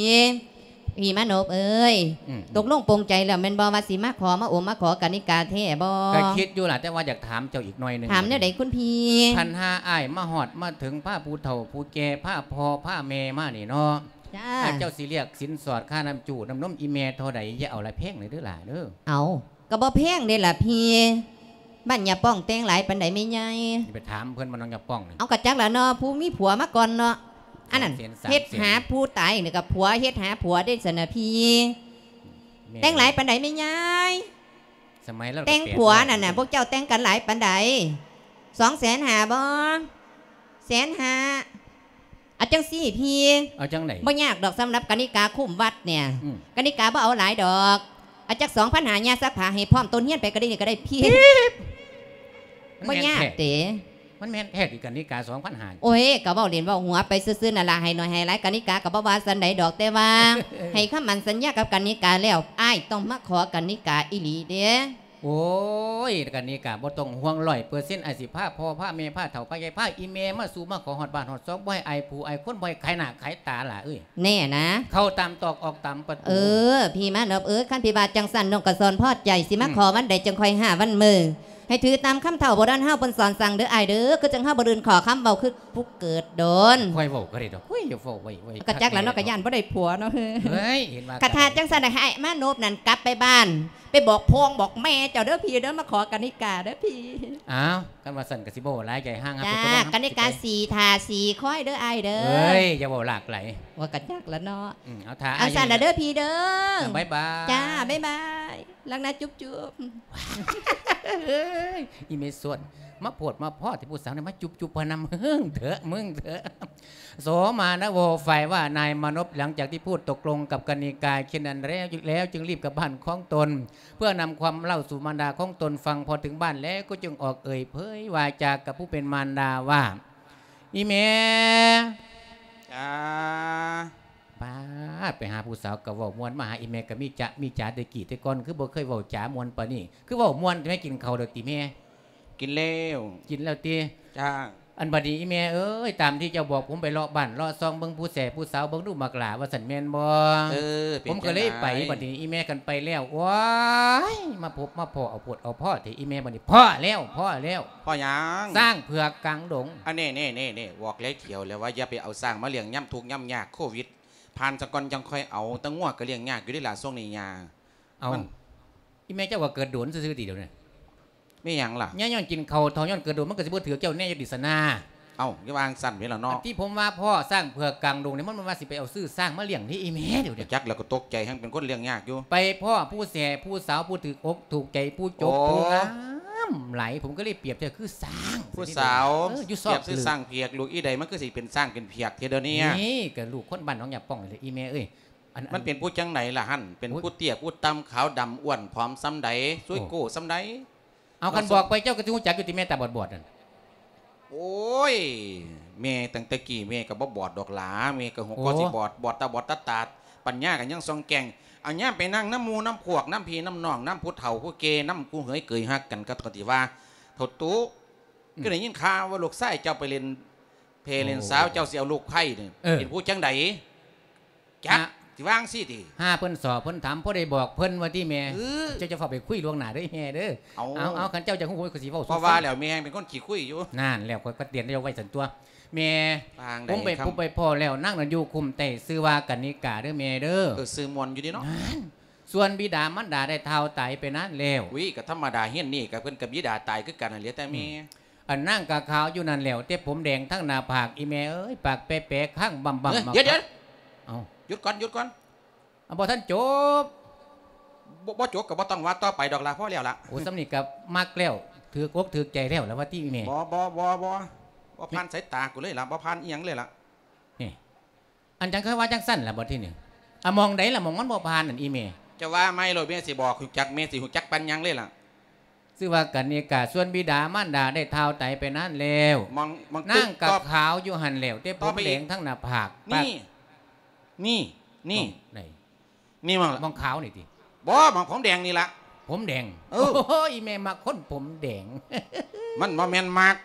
ມ. ພີ່ມານົບເອີຍ. ອືມໆ. ຕົກລົງປົງໃຈແລ້ວແມ່ນບໍ່ ວ່າຊິມາຂໍມາໂອມມາຂໍກະນິກາແທ້ບໍ່? ກະຄິດຢູ່ລະ ແຕ່ວ່າຢາກຖາມເຈົ້າອີກໜ້ອຍໜຶ່ງ. ຖາມແນວໃດຄຸນພີ່? ຄັນຫາອ້າຍມາຮອດມາເຖິງ ພາຜູ້ເຖົ້າຜູ້ແກ່ ພາພໍ່ພາແມ່ມານີ້ເນາະ. ຈ້າ. ອ້າຍເຈົ້າຊິລຽກສິນສອດຄ່ານ້ຳຈູນ້ຳນົມອີ່ແມ່ເທົ່າໃດ? ຢ່າເອົາຫຼາຍແພງເດີຫຼ້າເດີ. ເອົາ ກະບໍ່ແພງເດ້ລະພີ່. ບ້ານຍາປ້ອງແຕ່ງຫຼາຍປານໃດແມ່ໃຫຍ່? ໄປຖາມເພິ່ນ ບ້ານນ້ອງຍາປ້ອງນີ້. ເອົາ ກະຈັກລະເນາະ ຜູ້ມີຜົວມາກ່ອນເນາະ. ອັນນັ້ນ ສອງແສນ ສາມແສນ ເຮັດຫາຜູ້ຕາຍນີ້ກະຜົວເຮັດຫາຜົວເດ້ຊັ້ນນະພີ່. ແມ່ນ. ແຕ່ງຫຼາຍປານໃດແມ່ໃຫຍ່? ສະໄໝລາວ ແຕ່ງຜົວນັ້ນນະ ພວກເຈົ້າແຕ່ງກັນຫຼາຍປານໃດ? ສອງແສນຫ້າບໍ່? ແສນຫ້າ. ເອົາຈັ່ງຊີ້ພີ່. ເອົາຈັ່ງໃດ? ບໍ່ຍາກດອກ ສຳລັບກະນິກາຄຸ້ມວັດນີ້. ອືມ. ກະນິກາບໍ່ເອົາຫຼາຍດອກ. ເອົາຈັກສອງພັນຫ້າ ຍ່າຊັກຜ້າໃຫ້ພ້ອມ ໂຕນຮຽນໄປກະໄດ້ນີ້ກະໄດ້ພີ່. ບໍ່ຍາກເດ້. ມັນແມ່ນແທ້ຕິ ກະນິກາ ສອງພັນຫ້າ? ໂອ້ຍ ກະເວົ້າຫຼິ້ນເວົ້າຫົວໄປຊື່ໆນັ້ນລະ, ໃຫ້ໜ້ອຍໃຫ້ຫຼາຍກະນິກາກະບໍ່ວ່າຊັ້ນໃດດອກ, ແຕ່ວ່າໃຫ້ຄຳໝັ້ນສັນຍາກັບກະນິກາແລ້ວ ອ້າຍຕ້ອງມາຂໍກະນິກາອີ່ຫຼີເດ້. ໂອ້ຍ ກະນິກາບໍ່ຕ້ອງຫ່ວງ ຮ້ອຍເປີເຊັນ ອ້າຍຊິພາພໍ່ພາແມ່ ພາເຖົ້າພາໃຫຍ່ ພາອີ່ແມ່ມາສູ່ມາຂໍຮອດບ້ານຮອດຊ່ອງ, ບໍ່ໃຫ້ອາຍຜູ້ອາຍຄົນ ບໍ່ໃຫ້ຂາຍໜ້າຂາຍຕາຫຼ້າເອີຍ. ແນ່ນະ? ເຂົ້າຕາມຕອກອອກຕາມປະຕູ. ເອີ ພີ່ມານອບເອີຍ, ຄັນພີ່ວ່າຈັ່ງຊັ້ນ ນ້ອງກະສອນພໍໃຈ, ຊິມາ ອືມ ຂໍວັນໃດຈັ່ງຄ່ອຍຫາວັນມື້. ໃຫ້ຖືຕາມຄຳເຖົ້າໂບລານເຮົາເພິ່ນສອນສັ່ງເດີອ້າຍເດີ, ຄືຈັ່ງເຮົາບໍ່ລື່ນຂໍ້ຄຳເວົ້າຄືຜູ້ເກີດໂດນ. ຄ່ອຍເວົ້າກະໄດ້ດອກ. ໂອ້ຍ ຢ່າເວົ້າໄວໆ. ກະຈັກລະເນາະ, ກະຢ້ານບໍ່ໄດ້ຜົວເນາະ. ເຮີ້ຍ ເຮີ້ຍ ເຫັນວ່າ ຄັນຖ້າຈັ່ງຊັ້ນ ໃຫ້ອ້າຍມານົບນັ້ນກັບໄປບ້ານ ໄປບອກພໍ່ບອກແມ່ເຈົ້າເດີພີ່ເດີ, ມາຂໍກະນິກາເດີພີ່. ອ້າວ ຄັນວ່າຊັ້ນກະຊິບໍ່ຫຼາຍໃຈ ຫ່າງຫາ ຈາ ຜູ້ຕົກລົງ ກະນິກາ ຊິໄປ ສີ່ຖ້າສີ່ຄອຍເດີອ້າຍເດີ. ເອີຍ ຢ່າເວົ້າຫຼາກຫຼາຍ. ວ່າກະຈັກລະເນາະ. ອືມ ເອົາຖ້າ ເອົາຊັ້ນລະເດີພີ່ເດີ. ບາຍບາຍ. ຈ້າ ບາຍບາຍ. ລັກນະ ຈຸບໆ. ເອີຍ ອີ່ແມ່ສ່ວນ ມາໂພດມາພໍ້ແທ້ ຜູ້ສາວນີ້ມາຈຸບໆ ພະນຳ ເຮີ້ງເຖາະ ມຶງເຖາະ. ໂສມານະໂວ ຝ່າຍວ່ານາຍມານົບ ຫຼັງຈາກທີ່ພູດຕົກລົງກັບກະນິກາເຊັ່ນນັ້ນແລ້ວ ແລ້ວຈຶ່ງລີບກັບບ້ານຂອງຕົນ ເພື່ອນຳຄວາມເລົ່າສູ່ມານດາຂອງຕົນຟັງ. ພໍເຖິງບ້ານແລ້ວກໍຈຶ່ງອອກເອີ່ຍເຜີຍວາຈາກັບຜູ້ເປັນມານດາວ່າ ອີ່ແມ່. ຈ້າ. ປາດ ໄປຫາຜູ້ສາວກະເວົ້າມ່ວນ ມາຫາອີ່ແມ່ກະມີຈະມີຈາ. ແຕ່ກີ້ແຕ່ກ່ອນຄືບໍ່ເຄີຍເວົ້າຈາມ່ວນປານນີ້ ຄືເວົ້າມ່ວນແທ້. ແມ່ກິນເຂົ້າແລ້ວຕິແມ່? ກິນແລ້ວ. ກິນແລ້ວຕິ? ຈ້າ. ອັນບັດນີ້ອີ່ແມ່ເອີຍ ຕາມທີ່ເຈົ້າບອກ ຜົມໄປເລາະບ້ານເລາະຊ່ອງເບິ່ງຜູ້ແສຜູ້ສາວ ເບິ່ງດູໝາກຫຼ້າວ່າຊັ້ນແມ່ນບໍ່? ເອີ ເປັນ ຜົມກະເລີຍໄປ. ຈັ່ງໃດ? ບັດນີ້ອີ່ແມ່ກັນໄປແລ້ວ ໂອ້ຍ ມາພົບມາພໍ້ ເອົາໂພດເອົາພໍ້ແທ້ອີ່ແມ່. ບັດນີ້ພໍ້ແລ້ວ ພໍ້ແລ້ວ. ພໍ້ຫຍັງ? ຊ້າງເຜືອກກາງດົງ. ອັນນີ້ ນີ້ ນີ້ ນີ້ ບອກຫຼາຍຖ້ຽວແລ້ວວ່າຢ່າໄປເອົາຊ້າງມາລ້ຽງຍາມທຸກຍາມຍາກ ໂຄວິດ ຜ່ານສາກ່ອນຈັ່ງຄ່ອຍເອົາ. ແຕ່ງົວກະລ້ຽງຍາກຢູ່ເດ້ລະ ຊ່ວງນີ້ຍາ. ເອົ້າ ມັນ ອີ່ແມ່ເຈົ້າກະເກີດໂດນຊື່ໆຕິດຽວນີ້. ແມ່ນຫຍັງລະ? ຍາຍ້ອນກິນເຂົ້າເຖົ້າ ຍ້ອນເກີດໂດນ ມັນກະຊິບໍ່ຖືກເຈົ້າແນ່ຢູ່ຕິສະນາ. ເອົ້າ ຢ່າວ່າຈັ່ງຊັ້ນເດ້ລະເນາະ. ອັນທີ່ຜົມວ່າພໍ້ຊ້າງເຜືອກກາງດົງນີ້ ມັນບໍ່ວ່າຊິໄປເອົາຊື້ຊ້າງມາລ້ຽງເດ້ອີ່ແມ່. ດຽວນີ້ ຈັກແລ້ວກະຕົກໃຈ ແຮ່ງເປັນຄົນລ້ຽງຍາກຢູ່. ໄປພໍ້ຜູ້ແສຜູ້ສາວ ຜູ້ຖືກອົກຖືກໃຈ ຜູ້ຈົບ ໂອ້ ຜູ້ງາມຫຼາຍ ຜົມກະເລີຍປຽບເທີຄືຊ້າງ ຜູ້ສາວ. ເອີ ຢູ່ຊອກ ປຽບຄືຊ້າງເຜືອກ. ລູກອີ່ໃດມັນຄືຊິເປັນຊ້າງເປັນເຜືອກແທ້ດຽວນີ້? ນີ້ກະລູກຄົນບ້ານໜອງຫຍ້າປ່ອງນີ້ແຫຼະອີ່ແມ່ເອີຍ. ອັນ ມັນເປັນຜູ້ຈັ່ງໃດລະຫັ້ນ? ເປັນ ໂອ້ຍ ຜູ້ເຕ້ຍຜູ້ຕ່ຳ ຂາວດຳ ອ້ວນຜອມສ່ຳໃດ? ໂອ້ ຊ່ວຍໂກ້ສ່ຳໃດ? ເອົາ ຄັນບອກໄປເຈົ້າກະຊິຮູ້ຈັກຢູ່ຕິແມ່ຕາບອດໆນັ້ນ. ໂອ້ຍ ແມ່ຕັ້ງແຕ່ກີ້ແມ່ກະບໍ່ບອດດອກຫຼາ, ແມ່ກະຫົວ ໂອ້ ກໍຊິບອດ ບອດຕາບອດຕາຕາດ, ປັນຍາກະຍັງສ່ອງແຈ້ງ. ອັນຍາມໄປນັ່ງນຳໝູ່ນຳພວກ ນຳພີ່ນຳນ້ອງ ນຳຜູ້ເຖົ້າຜູ້ແກ່ ນຳຄູ່ເຂີຍເຄີຍຮັກກັນ ກະຕ້ອງຊິວ່າ ເຖົ້າຕູ້ ອືມ ຄືໄດ້ຍິນຂ່າວວ່າລູກຊາຍເຈົ້າໄປຫຼິ້ນແພ່ ໂອ້ ຫຼິ້ນສາວ ເຈົ້າຊິເອົາລູກໃພ້ນີ້ ເອີ ເປັນຜູ້ຈັ່ງໃດ? ຈັກ ອະ ຊິວ່າຈັ່ງຊີ້ຕິ? ຫາເພິ່ນສໍເພິ່ນຖາມ ພໍໄດ້ບອກເພິ່ນວ່າຕິແມ່. ເອີ ເຈົ້າຈະຟ້າວໄປຄຸຍລ່ວງໜ້າເດີແມ່ເດີ. ເອົາ ເອົາ ເອົາ ຄັນເຈົ້າຢາກຮູ້ ຂ້ອຍກໍຊິເວົ້າສູ່ຟັງ. ເພາະວ່າແລ້ວແມ່ແຮ່ງເປັນຄົນຂີ້ຄຸຍຢູ່. ນັ້ນແລ້ວ ຂ້ອຍກໍເຕືອນເຈົ້າໄວ້ຊັ້ນຕົວະແມ່. ປາງໃດ? ຜົມໄປພົບໄປພໍ້ແລ້ວ ນາງນັ້ນຢູ່ຄຸ້ມໃຕ້ ຊື່ວ່າກະນິກາເດີແມ່ເດີ. ເອີ ຊື່ມ່ວນຢູ່ເດເນາະ. ນັ້ນ ສ່ວນບິດາມານດາໄດ້ທ້າວຕາຍໄປນານແລ້ວ. ອຸ້ຍ ກໍທຳມະດາ ເຮືອນນີ້ກໍເພິ່ນກັບບິດາຕາຍຄືກັນຫັ້ນແຫຼະ ແຕ່ແມ່. ອືມ ອັນນາງກະຂາວຢູ່ນັ້ນແລ້ວ ແຕ່ຜົມແດງທັງໜ້າຜາກ ອີແມ່ເອີຍ ປາກແປະໆ ຄາງບຳໆ. ເອີຍ ມາ ດຽວໆ ເອົ້າ ຢຸດກ່ອນ ຢຸດກ່ອນ. ອາ ບໍ່ທັນຈົບ. ບໍ່ ບໍ່ຈົບກໍບໍ່ຕ້ອງວ່າຕໍ່ໄປດອກລະ ພໍແລ້ວລະ. ໂອ້ ສ່ຳນີ້ກໍມັກແລ້ວ ຖືກອົກຖືກໃຈແລ້ວລະວ່າຕິແມ່. ບໍ່ ບໍ່ ບໍ່ ບໍ່ ບໍ່ຜ່ານສາຍຕາກູເລີຍລະ ບໍ່ຜ່ານອີ່ຫຍັງເລີຍລະ. ນີ້ ອັນຈັ່ງຄືວ່າຈັ່ງຊັ້ນລະບັດທີນີ້. ອາ ໝ່ອງໃດລະ ໝ່ອງມັນບໍ່ຜ່ານນັ້ນ ອີແມ່? ຈະວ່າໃໝ່ໂລດ ແມ່ຊິບອກ ຮູ້ຈັກ ແມ່ຊິຮູ້ຈັກປານຫຍັງເລີຍລະ. ຊື່ວ່າກະນິກາ ສ່ວນບິດາມານດາໄດ້ທ້າວຕາຍໄປນານແລ້ວ. ໝ່ອງ ໝ່ອງ ນາງກະຂາວຢູ່ຫັ້ນແລ້ວ ແຕ່ຜົມແດງທັງໜ້າຜາກ. ນີ້ ນີ້ ນີ້ ໝ່ອງໃດ? ນີ້ໝ່ອງ ໝ່ອງຂາວນີ້ຕິ? ບໍ່ ໝ່ອງຜົມແດງນີ້ລະ. ຜົມແດງ? ເອີ ໂອ້ຍ ແມ່ມັກຄົນຜົມແດງ. ມັນບໍ່ແມ່ນມັກ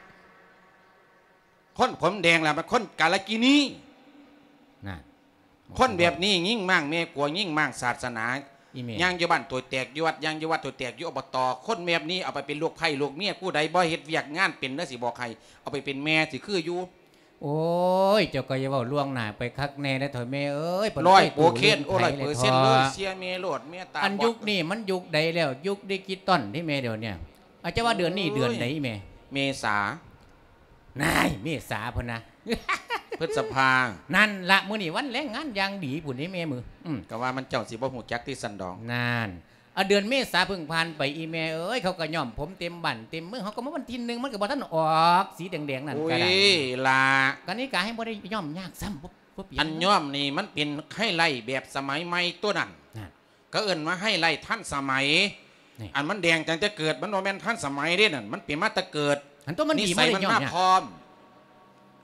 ຄົນຜົມແດງລະ ມັນຄົນກາລະກິນີ. ນັ້ນ ຄົນແບບນີ້ ຍິງມ້າງແມ່ກົວ ຍິງມ້າງສາສະໜາ. ອີແມ່ ຍ່າງຢູ່ບ້ານໂຕແຕກ ຢູ່ວັດ ຍ່າງຢູ່ວັດໂຕແຕກ ຢູ່ ອບຕ. ຄົນແບບນີ້ເອົາໄປເປັນລູກໃພ້ລູກເມຍ ຜູ້ໃດບໍ່ເຮັດວຽກງານເປັນເດີ ຊິບອກໃຫ້ ເອົາໄປເປັນແມ່ຊິຄືຢູ່. ໂອ້ຍ ເຈົ້າກໍຢ່າເວົ້າລ່ວງໜ້າໄປຄັກແນ່ເດີເຖົ້າແມ່ເອີຍ. ຮ້ອຍເປີເຊັນ ໂອ້ ຮ້ອຍເປີເຊັນເລີຍ ເຊື່ອແມ່ໂລດ ແມ່ຕາບອດ. ອັນຍຸກນີ້ມັນຍຸກໃດແລ້ວ? ຍຸກດິຈິຕອນເດ້ແມ່ ດຽວນີ້. ອາດຈະວ່າເດືອນນີ້ເດືອນໃດແມ່? ເມສາ. ນາຍ ເມສາພຸ້ນນະ ພຶດສະພາ. ນັ້ນລະ ມື້ນີ້ວັນແຮງງານຢ່າງດີພຸ້ນເດ້ແມ່. ອືມ ກໍວ່າມັນເຈົ້າຊິບໍ່ຮູ້ຈັກຕິຊັ້ນດອກ. ນັ້ນ ອາ ເດືອນເມສາເພິ່ງຜ່ານໄປ ອີແມ່ເອີຍ ເຂົາກໍຍ້ອມຜົມເຕັມບ້ານເຕັມເມືອງ. ເຮົາກໍມາວັນທີໜຶ່ງ ມັນກໍບໍ່ທັນອອກສີແດງໆນັ້ນກໍໄດ້. ໂອ້ຍ ລະ ກະນິກາແຮ່ງບໍ່ໄດ້ຍ້ອມຍາກຊ້ຳ. ບໍ່ ບໍ່ປ່ຽນ. ອັນຍ້ອມນີ້ມັນເປັນໄຮໄລແບບສະໄໝໃໝ່ຕົວນັ້ນ. ນັ້ນ ເຂົາເອີ້ນວ່າໄຮໄລທັນສະໄໝ. ນີ້ ອັນມັນແດງຕັ້ງແຕ່ເກີດ ມັນບໍ່ແມ່ນທັນສະໄໝເດ້ນັ້ນ ມັນເປັນມາແຕ່ເກີດ. ອັນຕົວມັນດີ ນິໄສມັນມາພ້ອມ.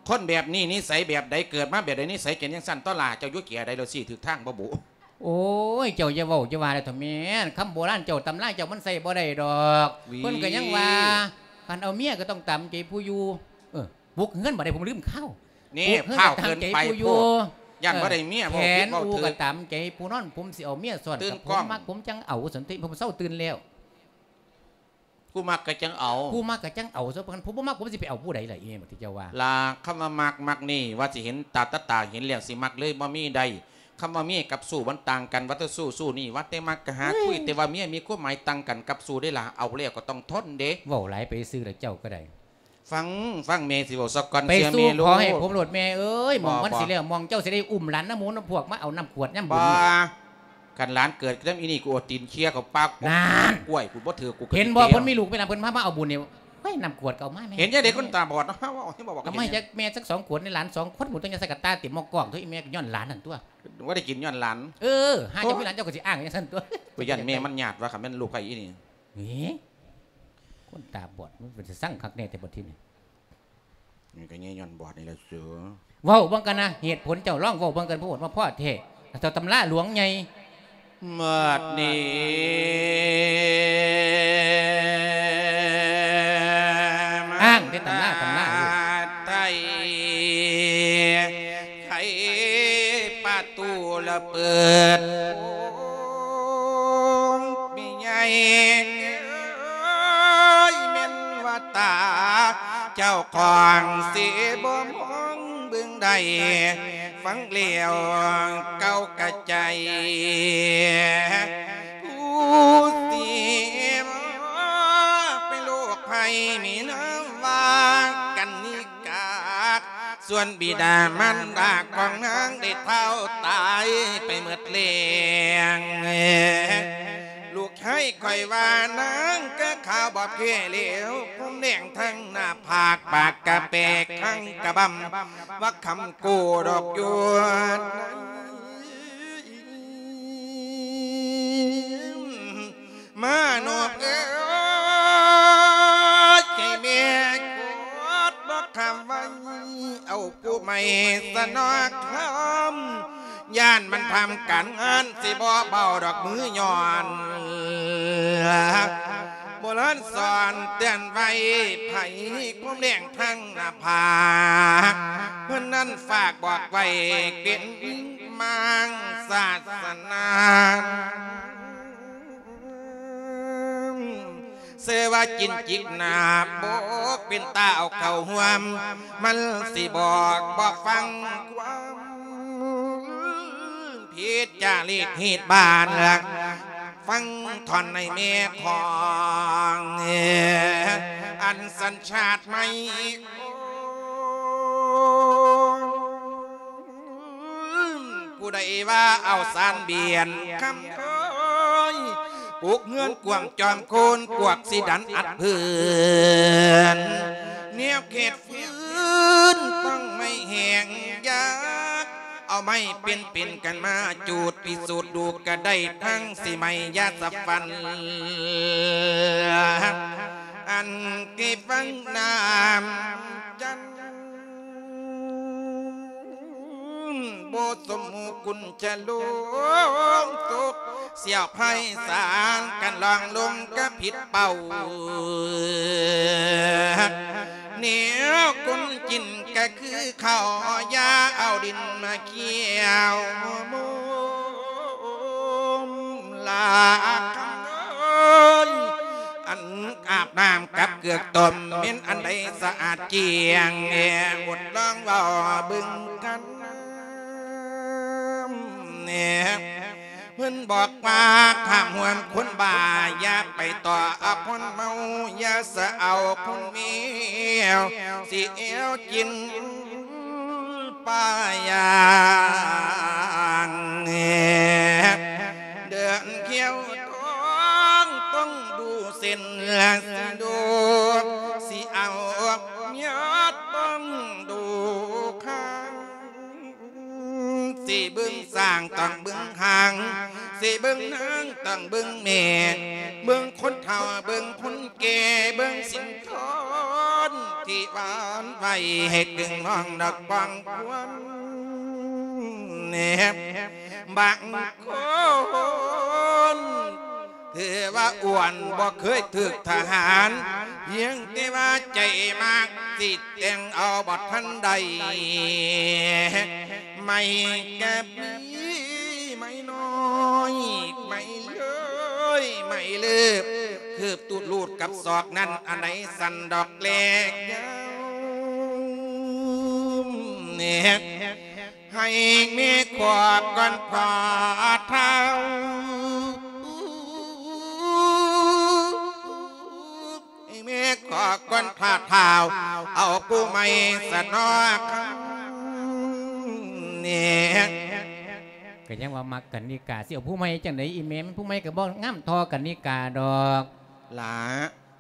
ຄົນແບບນີ້ນິໄສແບບໃດ ເກີດມາແບບໃດ ນິໄສເປັນຈັ່ງຊັ້ນ. ຕໍ່ລະ ເຈົ້າຢູ່ເກຍໃດ ແລ້ວຊີ້ຖືກທາງບໍ່ບຸ? ໂອ້ຍ ເຈົ້າຢ່າເວົ້າຢ່າວ່າເລີຍເຖາະແມ່. ຄຳໂບລານເຈົ້າ ຕຳລາເຈົ້າມັນໃຊ້ບໍ່ໄດ້ດອກ. ເພິ່ນກໍຍັງວ່າ ຄັນເອົາເມຍກໍຕ້ອງຕາມໃຈຜູ້ຢູ່. ເອີ ປຸກເຮືອນບໍ່ໄດ້ ຜົມລືມຂ່າວ. ນີ້ ພາວເກີນໄປໂພດ ຢ້ານບໍ່ໄດ້ເມຍ. ເວົ້າຜິດເວົ້າຖືກ. ແຂນອູກໍຕາມໃຈຜູ້ນອນ ຜົມຊິເອົາເມຍຊ້ອນກັບຜົມ. ມັກຜົມຈັ່ງເອົາ ສັນຕິ ຜົມເຊົາຕື່ນແລ້ວ. ຜູ້ມັກກໍຈັ່ງເອົາ ຜູ້ມັກກໍຈັ່ງເອົາ. ສ່ວນຄັນຜົມບໍ່ມັກ ຜົມຊິໄປເອົາຜູ້ໃດລະ ອີແມ່ ທີ່ເຈົ້າວ່າ. ລະ ຄຳວ່າມັກ ມັກນີ້ ວ່າຊິເຫັນຕາ ຕາ ຕາເຫັນແລ້ວຊິມັກເລີຍ ບໍ່ມີໄດ້. ຄຳວ່າເມຍກັບຊູ້ມັນຕ່າງກັນ ວ່າແຕ່ຊູ້ ຊູ້ນີ້ ວ່າແຕ່ມັກກໍຫາຄຸຍ. ເອີ ແຕ່ວ່າເມຍມີຄວາມໝາຍຕ່າງກັນກັບຊູ້ເດ້ລະ. ເອົາແລ້ວກໍຕ້ອງທົນເດ້. ເວົ້າຫຼາຍໄປຊື່ລະ ເຈົ້າກໍໄດ້. ຟັງ ຟັງແມ່ຊິເວົ້າສາກ່ອນ. ໄປສູ່ຂໍໃຫ້ຜົມໂລດແມ່ເອີຍ. ໝ່ອງມັນຊິແລ້ວ ໝ່ອງເຈົ້າຊິໄດ້ອຸ້ມຫຼານນຳໝູນຳພວກມາເອົານ້ຳຂວດຍາມບຸນ. ຄັນຫຼານເກີດນຳອີ່ນີ້ ກູເອົາຕີນເຄຍເຂົ້າປາກ. ນັ້ນ ກ້ວຍ ກູບໍ່ຖືກ ກູ ເຫັນບໍ່ ເພິ່ນມີລູກມີຫຼານ ເພິ່ນພາມາເອົາບຸນນີ້. ເຮີ້ຍ ນ້ຳຂວດກໍເອົາມາແມ່. ເຫັນຈັ່ງໃດຄົນຕາບອດເນາະ ເຮົາເວົ້າ ເຮົາບອກກັບແມ່. ຈັກແມ່ຈັກສອງຂວດ ໃນຫຼານສອງຄົນ ໝູຕ້ອງຢ່າໃສ່ກະຕ່າເຕັມໝໍ້ກອງ. ໂທ້ ອີແມ່ກໍຍ້ອນຫຼານຫັ້ນຕົວະ. ບໍ່ໄດ້ກິນຍ້ອນຫຼານ. ເອີ ຫາເຈົ້າມີຫຼານ ເຈົ້າກໍຊິອ້າງຈັ່ງຊັ້ນຕົວະ. ກູຢ້ານແມ່ມັນຍາດວ່າ ຄັນແມ່ນລູກໃຜອີ່ນີ້. ເອີ ຄົນຕາບອດ ມັນເປັນຕາຊັງຄັກແນ່ແຕ່ບັດທີນີ້. ນີ້ກໍແຍ່ຍ້ອນບອດນີ້ແຫຼະເສືອ. ເວົ້າເບິ່ງກັນນະ ເຫດຜົນເຈົ້າ ລອງເວົ້າເບິ່ງກັນ ໂພດມາພໍ້ແທ້. ເຈົ້າຕຳລາຫຼວງໃຫຍ່ ບາດນີ້ ອ້າງແຕ່ຕຳລາ ຕຳລາຢູ່ ໄທ ໄຂປະຕູລະເປີດ. ໂອ້ ແມ່ໃຫຍ່ເອີຍ ແມ່ນວ່າຕາເຈົ້າຂອງຊິບໍ່ມອງເບິ່ງໃດ ຟັງແລ້ວເກົ້າກະໃຈ ຜູ້ເສຍໄປໂລກໄພມີນາມວ່າກັນນິກາ. ສ່ວນບິດາມານດາຂອງນາງໄດ້ເຖົ້າຕາຍໄປໝົດແລ້ວ. ລູກຊາຍຂ້ອຍວ່ານາງກໍຂາວບອບແກ່ແລ້ວ ຜົມແດງທັງໜ້າຜາກ ປາກກະແປກທັງກະບຳ ວ່າຄຳໂກດອກຢູ່ ມານອບເອີຍ ໃຫ້ແມ່ກອດບໍ່ຄຳໄວ້ ເອົາຜູ້ໃໝ່ສະນອກຄຳ ຢ້ານມັນທຳການງານ ຊິບໍ່ເບົາດອກມືຍ້ອນ ໂບລານສອນເຕືອນໄວ້ ໃຜຄວາມແດງທັງໜ້າຜາກ ເພິ່ນນັ້ນຝາກບອກໄວ້ເປັນ ມັງສາສະໜາ ເຊື່ອວ່າຈິນຈິກໜາ ບໍ່ເປັນຕາເອົາເຂົ້າຮ່ວມ ມັນຊິບອກບໍ່ຟັງຄວາມ ຜິດຈາລິດຮີດບານ ຟັງທ່ອນໃນແມ່ຂອງ ອັນສັນຊາດໃໝ່ ຜູ້ໃດວ່າເອົາສານບຽນຄຳເອີຍ ປຸກເຮືອນກວາງຈອມໂຄນ ກວກຊິດັນອັດເພິ່ນ ແນວເຂດຟືນຕ້ອງໄມ້ແຫ້ງຢາກ ເອົາໄມ້ເປັນໆກັນມາຈູດ ພິສູດດູກະໄດ້ທັງຊິໄໝ້ຢາສະຟັນ ອັນທີ່ຟັງນ້ຳຈັນ ບໍ່ສົມມຸກຸນຈະລົງຕົກ ສຽວໄພສານກັນລອງລົງກະຜິດເປົ້າ ແນວກົນກິນກະຄືເຂົ້າ ຢ່າເອົາດິນມາກ່ຽວ ລາຄຳເອີຍ ອັນອາບນ້ຳກັບເກືອຕົ້ມ ແມ່ນອັນໃດສະອາດກ້ຽງ ແອ ອົດລອງເວົ້າເບິ່ງກັນ ເພິ່ນບອກວ່າຫ້າມຮ່ວມຄົນບ້າ ຢ່າໄປຕໍ່ອາຄົນເມົາ ຢ່າສະເອົາຄົນແມວ ຊິແອວກິນ ປາຢ່າງ ເດີນຂຽວທອງຕ້ອງດູເສັ້ນ ຊິດູ ຊິເອົາຍາດຕ້ອງດູຂ້າງ ຊິເບິ່ງຊ້າງຕ້ອງເບິ່ງຫາງ ຊິເບິ່ງນາງຕ້ອງເບິ່ງແມ່ ເບິ່ງຄົນເຖົ້າເບິ່ງຄົນແກ່ ເບິ່ງສິນ ທອນທີ່ຫວານໄຫວໃຫ້ຕຶງນ້ອງດອກປອງຄວນ ແນບບາງຄົນ ຖືວ່າອ້ວນບໍ່ເຄີຍຖືກທະຫານ ພຽງແຕ່ວ່າໃຈມັກ ຊິແຕ່ງເອົາບໍ່ທັນໄດ້ ໄໝ້ກະມີໄມ້ນ້ອຍ ໄມ້ເລີຍ ໄມ້ເລີບ ຄືບຕູດລູດກັບສອກນັ້ນ ອັນໃດສັ້ນດອກແລກຍາວ ແນບ ໃຫ້ແມ່ຂອບກ່ອນພໍ່ເຖົ້າ ໃຫ້ແມ່ຂອບກ່ອນພໍ່ເຖົ້າ ເອົາຜູ້ໃໝ່ສະເນາະ ແນບ ກໍຍັງວ່າມັກກັນນິກາ ຊິເອົາຜູ້ໃໝ່ຈັ່ງໃດອີ່ແມ່ ມັນຜູ້ໃໝ່ກໍບໍ່ງາມທໍ່ກັນນິກາດອກ ຫຼ້າ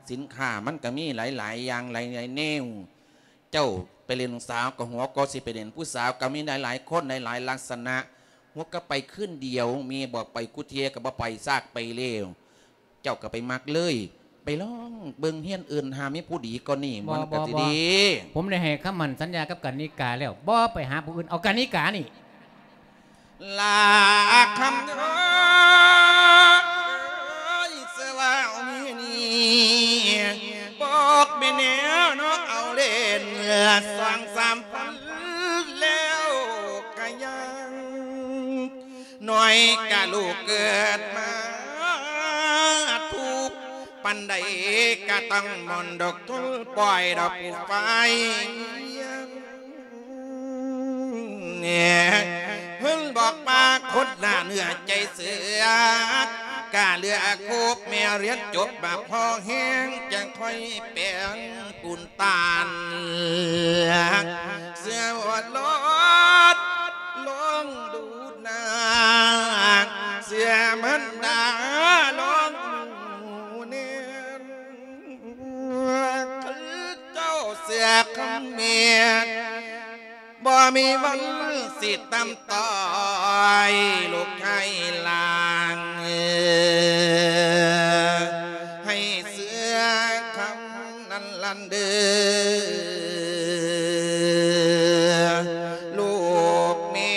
ສິນຄ້າມັນກໍມີຫຼາຍໆຢ່າງ ຫຼາຍໆແນວ ເຈົ້າໄປຫຼິ້ນສາວກໍຫົວກໍຊິໄປຫຼິ້ນຜູ້ສາວກໍມີຫຼາຍໆຄົນ ຫຼາຍໆລັກສະນະ ຫົວກໍໄປຄືນດຽວ ແມ່ບອກໄປຄູ່ເທື່ອກໍບໍ່ໄປ ຊາກໄປແລ້ວ ເຈົ້າກໍໄປມັກເລີຍ ໄປລອງເບິ່ງເຮືອນອື່ນ ຫາມີຜູ້ດີກວ່ານີ້ ບໍ່ ມັນກໍຊິດີ ບໍ່ ບໍ່ ຜົມໄດ້ໃຫ້ຄຳໝັ້ນສັນຍາກັບກັນນິກາແລ້ວ ບໍ່ໄປຫາຜູ້ອື່ນ ເອົາກັນນິການີ້ ລາຄຳເອີຍ ສະວ່າວມີນີ້ ບອກແມ່ແນວເນາະ ເອົາເຫຼັ້ນສອງສາມພັນແລ້ວກະຍັງ ນ້ອຍກະລູກເກີດມາ ທຸກປານໃດກະຕ້ອງໝົນດອກ ທົນປ່ອຍດອກຜູ້ຝ່າຍ ແນ ເພິ່ນບອກວ່າຄົນໜ້າເນື້ອໃຈເສືອ ກະເຫຼືອຄົບແມ່ຮຽນຈົບມາພໍແຮງ ຈັ່ງຄ່ອຍແປງປູນຕານ ເສືອວ່າລອດລອງດູໜ້າ ເສືອມັນດາລອງໜູແນນ ຄືເຈົ້າເສືອຄຳແມ່ນ ບໍ່ມີວັນຊິຕຳຕ້ອຍລູກຊາຍຫຼານ ໃຫ້ເຊື່ອຄຳນັ້ນລະເດີ ລູກແມ່.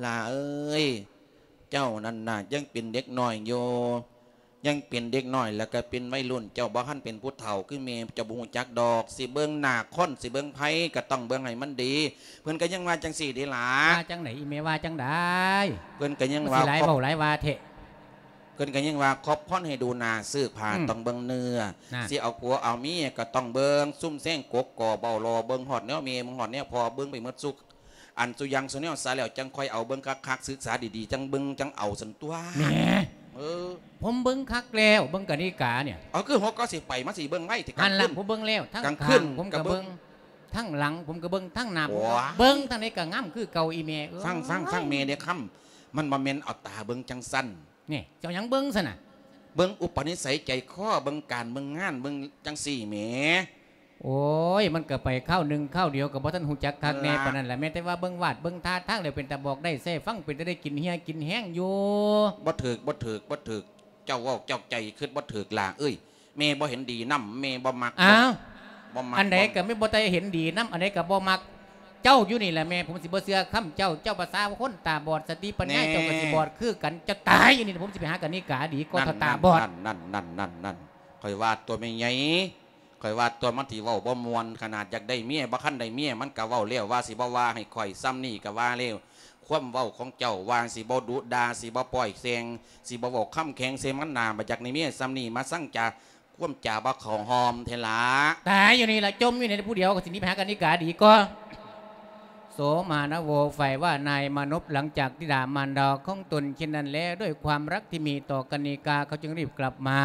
ຫຼ້າເອີຍ ເຈົ້ານັ້ນນະ ຍັງເປັນເດັກນ້ອຍຢູ່ ຍັງເປັນເດັກນ້ອຍ ແລ້ວກໍເປັນໄວລຸ້ນ ເຈົ້າບໍ່ທັນເປັນຜູ້ເຖົ້າຄືແມ່ ເຈົ້າບໍ່ຮູ້ຈັກດອກ ຊິເບິ່ງໜ້າຄົນ ຊິເບິ່ງໃຜ ກໍຕ້ອງເບິ່ງໃຫ້ມັນດີ. ເພິ່ນກໍຍັງວ່າຈັ່ງຊີ້ເດ້ຫຼ້າ. ວ່າຈັ່ງໃດອີ່ແມ່ ວ່າຈັ່ງໃດ? ເພິ່ນກໍຍັງວ່າ ມັນຊິຫຼາຍເວົ້າຫຼາຍວ່າແທ້. ເພິ່ນກໍຍັງວ່າ ຂອບພອນໃຫ້ດູໜ້າຊື້ຜ້າ ອືມ ຕ້ອງເບິ່ງເນື້ອ ນັ້ນ ຊິເອົາຜົວເອົາເມຍກໍຕ້ອງເບິ່ງ ຊຸມແຊງກົກກໍເວົ້າລໍ ເບິ່ງຮອດແນວແມ່ ເບິ່ງຮອດແນວພໍ່ ເບິ່ງໄປໝົດຊຸ ອັນ ຊຸຢ່າງຊຸແນວຊະແລ້ວ ຈັ່ງຄ່ອຍເອົາເບິ່ງຄັກໆ ສຶກສາດີໆ ຈັ່ງເບິ່ງຈັ່ງເອົາຊັ້ນຕົວະ. ແໝ ເອີ ຜົມເບິ່ງຄັກແລ້ວ ເບິ່ງກະນິການີ້ ເອົາ ຄືຫົວກໍຊິໄປ ມາຊິເບິ່ງໄວ້ແທ້. ກາງຄືນ ຫັ້ນລະ ຜົມເບິ່ງແລ້ວ ທັງຂ້າງຜົມກໍເບິ່ງ ທັງຫຼັງຜົມກໍເບິ່ງ ທັງໜ້າຜົມກໍເບິ່ງ ທາງໃດກໍງາມຄືເກົ່າ ອີ່ແມ່ເອີຍ. ຟັງ ຟັງ ຟັງແມ່ເດ້ຄຳ ມັນບໍ່ແມ່ນເອົາຕາເບິ່ງຈັ່ງຊັ້ນ. ນີ້ ເຈົ້າຫຍັງເບິ່ງຊັ້ນນະ? ເບິ່ງອຸປະນິໄສໃຈຄໍ ເບິ່ງການເບິ່ງງານ ເບິ່ງຈັ່ງຊີ້ແໝ. ໂອ້ຍ ມັນກໍໄປຄາວໜຶ່ງຄາວດຽວ ກໍບໍ່ທັນຮູ້ຈັກຄັກແນ່ປານນັ້ນລະ. ແມ່ນແຕ່ວ່າເບິ່ງວາດເບິ່ງທ່າທາງແລ້ວ ເປັນຕາບອກໄດ້ໃຊ້ຟັງ ເປັນຕາໄດ້ກິນເຫື່ອກິນແຮງຢູ່. ບໍ່ຖືກ ບໍ່ຖືກ ບໍ່ຖືກ ເຈົ້າເວົ້າເຈົ້າໃຈຄິດບໍ່ຖືກຫຼ້າເອີຍ. ແມ່ບໍ່ເຫັນດີນຳ ແມ່ບໍ່ມັກ. ອ້າວ ບໍ່ມັກ ອັນໃດກໍແມ່ບໍ່ໄດ້ເຫັນດີນຳ ອັນໃດກໍບໍ່ມັກ. ເຈົ້າຢູ່ນີ້ແຫຼະແມ່ ຜົມຊິບໍ່ເຊື່ອຄຳເຈົ້າ. ເຈົ້າພາສາຄົນຕາບອດ ສະຕິປັນຍາ ແນ່ ເຈົ້າກໍຊິບອດຄືກັນ. ເຈົ້າຕາຍຢູ່ນີ້ ຜົມຊິໄປຫາກະນິກາດີກວ່າ ເຖົ້າຕາບອດ. ນັ້ນ ນັ້ນ ນັ້ນ ຂ້ອຍວ່າຕົວະແມ່ໃຫຍ່ ຂ້ອຍວ່າຕົວະ ມັນຊິເວົ້າບໍ່ມ່ວນຂະໜາດ. ຢາກໄດ້ເມຍ ບໍ່ທັນໄດ້ເມຍ ມັນກໍເວົ້າແລ້ວວ່າຊິບໍ່ວ່າໃຫ້ຂ້ອຍ ສ່ຳນີ້ກໍວ່າແລ້ວ. ຄວາມເວົ້າຂອງເຈົ້າວ່າຊິບໍ່ດຸດ່າ ຊິບໍ່ປ້ອຍແຊງ ຊິບໍ່ເວົ້າຄຳແຂງໃສ່ມັນໜ້າ. ບໍ່ຢາກໄດ້ເມຍສ່ຳນີ້ ມາສັງຈາ ຄວາມຈາບໍ່ເຂົ້າຮ່ອມແທ້ລະ. ຕາຍຢູ່ນີ້ລະ ຈົ່ມຢູ່ນີ້ຜູ້ດຽວ ກໍຊິໜີໄປຫາກະນິກາດີກວ່າ. ໂສມານະໂວ ຝ່າຍວ່ານາຍມານົບ ຫຼັງຈາກທີ່ດ່າມານດາຂອງຕົນເຊັ່ນນັ້ນແລ້ວ ດ້ວຍຄວາມລັກທີ່ມີຕໍ່ກະນິກາ ເຂົາຈຶ່ງຣີບກັບມາ.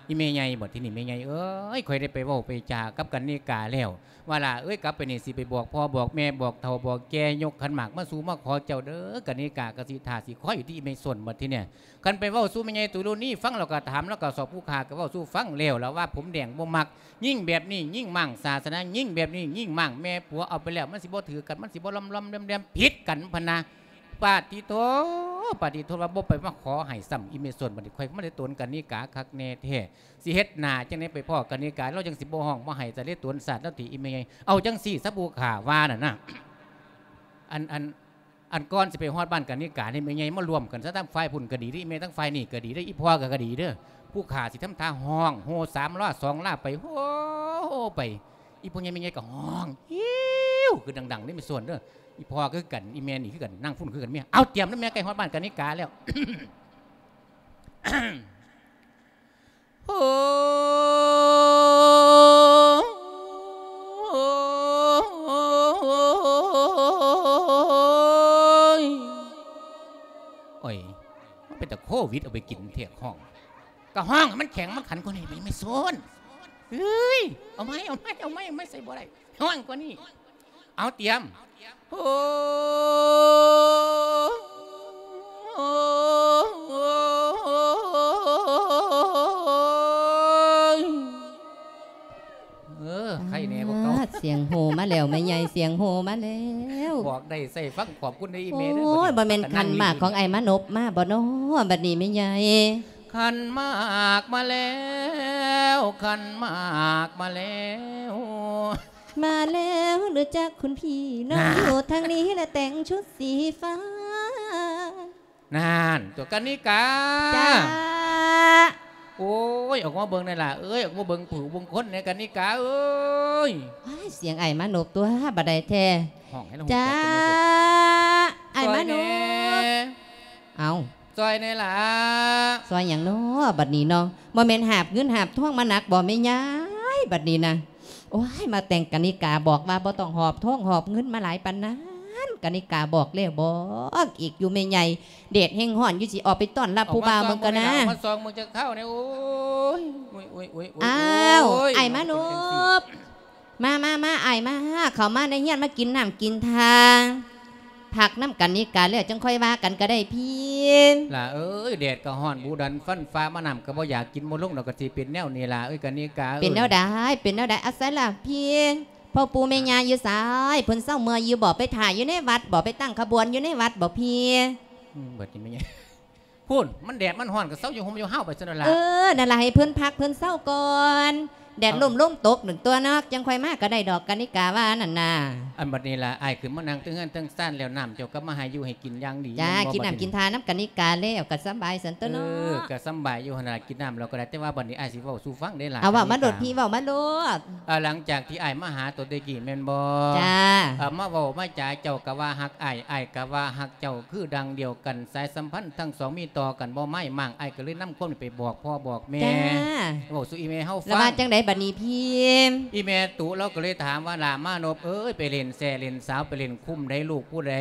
ອີ່ແມ່ໃຫຍ່ ບັດທີນີ້ແມ່ໃຫຍ່ເອີຍ ຂ້ອຍໄດ້ໄປເວົ້າໄປຈາກັບກະນິກາແລ້ວ ວ່າຫຼ້າເອີຍ ກັບໄປນີ້ຊິໄປບອກພໍ່ບອກແມ່ ບອກເຖົ້າບອກແກ່ ຍົກຂັນໝາກມາສູ່ມາຂໍເຈົ້າເດີ. ກະນິກາກໍຊິຖ້າຊິຄອຍຢູ່ທີ່ອີ່ແມ່ຊົນ. ບັດທີນີ້ ຄັນໄປເວົ້າສູ່ແມ່ໃຫຍ່ຕຸລຸນີຟັງ ແລ້ວກໍຖາມ ແລ້ວກໍສອບຜູ້ຂ້າກໍເວົ້າສູ່ຟັງແລ້ວລະວ່າ ຜົມແດງບໍ່ມັກ ຍິງແບບນີ້ຍິງມ້າງສາສະໜາ ຍິງແບບນີ້ຍິງມ້າງແມ່ຜົວ ເອົາໄປແລ້ວມັນຊິບໍ່ຖືກກັນ ມັນຊິບໍ່ລອມໆແລມໆ ຜິດກັນພະນະ. ປາດຕິໂທ ປາດຕິໂທ ວ່າບໍ່ໄປມາຂໍໃຫ້ຊ້ຳອີ່ແມ່ຊົນ. ບັດນີ້ຂ້ອຍມາໄດ້ຕົນກະນິກາຄັກແນ່ແທ້ ຊິເຮັດໜ້າຈັ່ງໃດໄປພໍ້ກະນິກາ ລາວຈັ່ງຊິບໍ່ຮ້ອງບໍ່ໄຫ້ ຈະໄດ້ຕົນສາດລາວຕິອີ່ແມ່ໃຫຍ່. ເອົາຈັ່ງຊີ້ຊະ ຜູ້ຂ້າວ່ານັ້ນນະ ອັນ ອັນ ອັນກ່ອນຊິໄປຮອດບ້ານກະນິການີ້ ແມ່ໃຫຍ່ມາຮ່ວມກັນຊະ ທັງຝ່າຍພຸ້ນກໍດີເດ້ ແມ່ ທັງຝ່າຍນີ້ກໍດີເດ້ ອີ່ພໍ່ກໍ ກໍດີເດີ. ຜູ້ຂ້າຊິທຳທ່າຮ້ອງໂຮສາມລ້າສອງລ້າໄປ ໂຮ ໂຮໄປ ອີ່ພໍ່ໃຫຍ່ແມ່ໃຫຍ່ກໍຮ້ອງ ຫິວ ຄືດັງໆເດ້ ແມ່ຊົນເດີ. ອີ່ພໍ່ກໍຄືກັນ ອີ່ແມ່ນີ້ຄືກັນ ນາງພຸ້ນຄືກັນ ເມຍ. ເອົາ ຕຽມນະແມ່ ໃກ້ຮອດບ້ານກະນິກາແລ້ວ. ໂອ້ຍ ໂອ້ຍ ມັນເປັນຕາໂຄວິດເອົາໄປກິນແທ້ ຮ້ອງ ກະຮ້ອງໃຫ້ມັນແຂງມັນຂັນກວ່ານີ້ ແມ່ໂຊນ. ເອີຍ ເອົາໃໝ່ ເອົາໃໝ່ ເອົາໃໝ່ ເອົາໃໝ່ ໃສ່ບໍ່ໄດ້ ຮ້ອງກວ່ານີ້. ເອົາ ຕຽມ ໂອ້ ເອີ ໄຄແນ່ກວ່າເກົ່າ. ອາ ສຽງໂຮມາແລ້ວແມ່ໃຫຍ່ ສຽງໂຮມາແລ້ວ. ບອກໄດ້ໃຊ້ຟັງ ຂອບຄຸນເດີອີ່ແມ່ເດີ. ໂອ້ຍ ບໍ່ແມ່ນຂັນໝາກຂອງອ້າຍມານົບມາບໍ່ນໍ ບັດນີ້ແມ່ໃຫຍ່? ຂັນໝາກມາແລ້ວ ຂັນໝາກມາແລ້ວ. ມາແລ້ວຫຼືຈັກຄຸນພີ່ ນ້ອງຢູ່ທາງນີ້ລະແຕ່ງຊຸດສີຟ້າ. ນັ້ນ ຕົວະກະນິກາ. ຈ້າ. ໂອ້ຍ ອອກມາເບິ່ງແດ່ຫຼ້າເອີຍ ອອກມາເບິ່ງຜູ້ເບິ່ງຄົນແດ່ກະນິກາເອີຍ. ວ້າຍ ສຽງອ້າຍມານົບຕົວະ ບັດໃດແທ້. ຮ້ອງໃຫ້ລາຮູ້ຈັກ ຈ້າ ອ້າຍມານົບ. ເອົ້າ ຊ່ອຍແດ່ຫຼ້າ. ຊ່ອຍຫຍັງນໍ ບັດນີ້ນໍ? ບໍ່ແມ່ນຫາບເງິນຫາບທອງມາໜັກບໍແມ່ຍາຍ ບັດນີ້ນະ? ໂອ້ຍ ມາແຕ່ງກະນິກາບອກວ່າບໍ່ຕ້ອງຫອບທອງຫອບເງິນມາຫຼາຍປານນັ້ນ ກະນິກາບອກແລ້ວບອກອີກຢູ່ແມ່ໃຫຍ່. ແດດແຮງຮ້ອນຢູ່ ຊິອອກໄປຕ້ອນຮັບຜູ້ບ່າວເບິ່ງກ່ອນນະ. ມາສ່ອງເບິ່ງຈັກເທົ້າແດ່. ໂອ້ຍ ໂອ້ຍ ໂອ້ຍ ໂອ້ຍ ອ້າວ ໂອ້ຍ ອ້າຍມານົບ. ມາ ມາ ມາ ອ້າຍມາ ເຂົ້າມາໃນເຮືອນ ມາກິນນ້ຳກິນທ່າ ພັກນຳກັນນີ້ກະ ແລ້ວຈັ່ງຄ່ອຍວ່າກັນກະໄດ້ພີ່. ຫຼ້າເອີຍ ແດດກະຮ້ອນ ບູດັນຟັນຟ້າ ມານ້ຳກະບໍ່ຢາກກິນບໍ່ລົງດອກ ກະຊິເປັນແນວນີ້ຫຼ້າເອີຍ ກະນິກາເອີຍ. ເປັນແນວໃດ ເປັນແນວໃດ? ອາໄສລະພີ່ ພໍ່ປູ່ແມ່ຍ່າຢູ່ໃສ? ເພິ່ນເຊົາເມື່ອຍຢູ່ບໍ? ໄປຖ້າຢູ່ໃນວັດບໍ? ໄປຕັ້ງຂະບວນຢູ່ໃນວັດບໍພີ່? ອືມ ບັດນີ້ແມ່ນຫຍັງ? ພຸ້ນ ມັນແດດມັນຮ້ອນກະເຊົາຢູ່ຮົ່ມຢູ່ຮາວໄປຊັ້ນລະ. ເອີ ນັ້ນລະ ໃຫ້ເພິ່ນພັກເພິ່ນເຊົາກ່ອນ ແດດລົມລົມຕົກນັ້ນຕົວະເນາະ ຈັ່ງຄ່ອຍມາກໍໄດ້ດອກ ກະນິກາວ່ານັ້ນນາ. ອັນບັດນີ້ລະ ອ້າຍຂຶ້ນມານັ່ງເທິງເຮືອນເທິງຊານແລ້ວ ນ້ຳເຈົ້າກໍມາໃຫ້ຢູ່ໃຫ້ກິນຢ່າງດີ ແມ່ນບໍ່ບັດນີ້? ກິນນ້ຳກິນທ່ານຳກະນິກາແລ້ວ ກໍສຳບາຍຊັ້ນຕົວະເນາະ. ເອີ ກໍສຳບາຍຢູ່ຫັ້ນລະ ກິນນ້ຳແລ້ວກໍໄດ້ ແຕ່ວ່າບັດນີ້ອ້າຍຊິເວົ້າສູ່ຟັງເດ້ລະ ເອົາ ເວົ້າມາໂລດ ກະນິກາ ພີ່ ເວົ້າມາໂລດ. ເອີ ຫຼັງຈາກທີ່ອ້າຍມາຫາໂຕແຕ່ກີ້ແມ່ນບໍ່? ຈ້າ ເອີ ມາເວົ້າມາຈາ ເຈົ້າກໍວ່າຮັກອ້າຍ ອ້າຍກໍວ່າຮັກເຈົ້າ ຄືດັ່ງດຽວກັນ ສາຍສຳພັນທັງສອງມີຕໍ່ກັນບໍ່ມາຍມ້າງ ອ້າຍກໍເລີຍນຳຄວາມນີ້ໄປບອກພໍ່ບອກແມ່ ຈ້າ ເວົ້າສູ່ອີ່ແມ່ເຮົາຟັງ. ລະວ່າຈັ່ງໃດບັດນີ້ພີ່? ອີ່ແມ່ຕຸລາວກໍເລີຍຖາມວ່າ ຫຼ້າມານົບເອີຍ ໄປຫຼິ້ນແຊຫຼິ້ນສາວ ໄປຫຼິ້ນຄຸ້ມໃດ ລູກຜູ້ໃດ?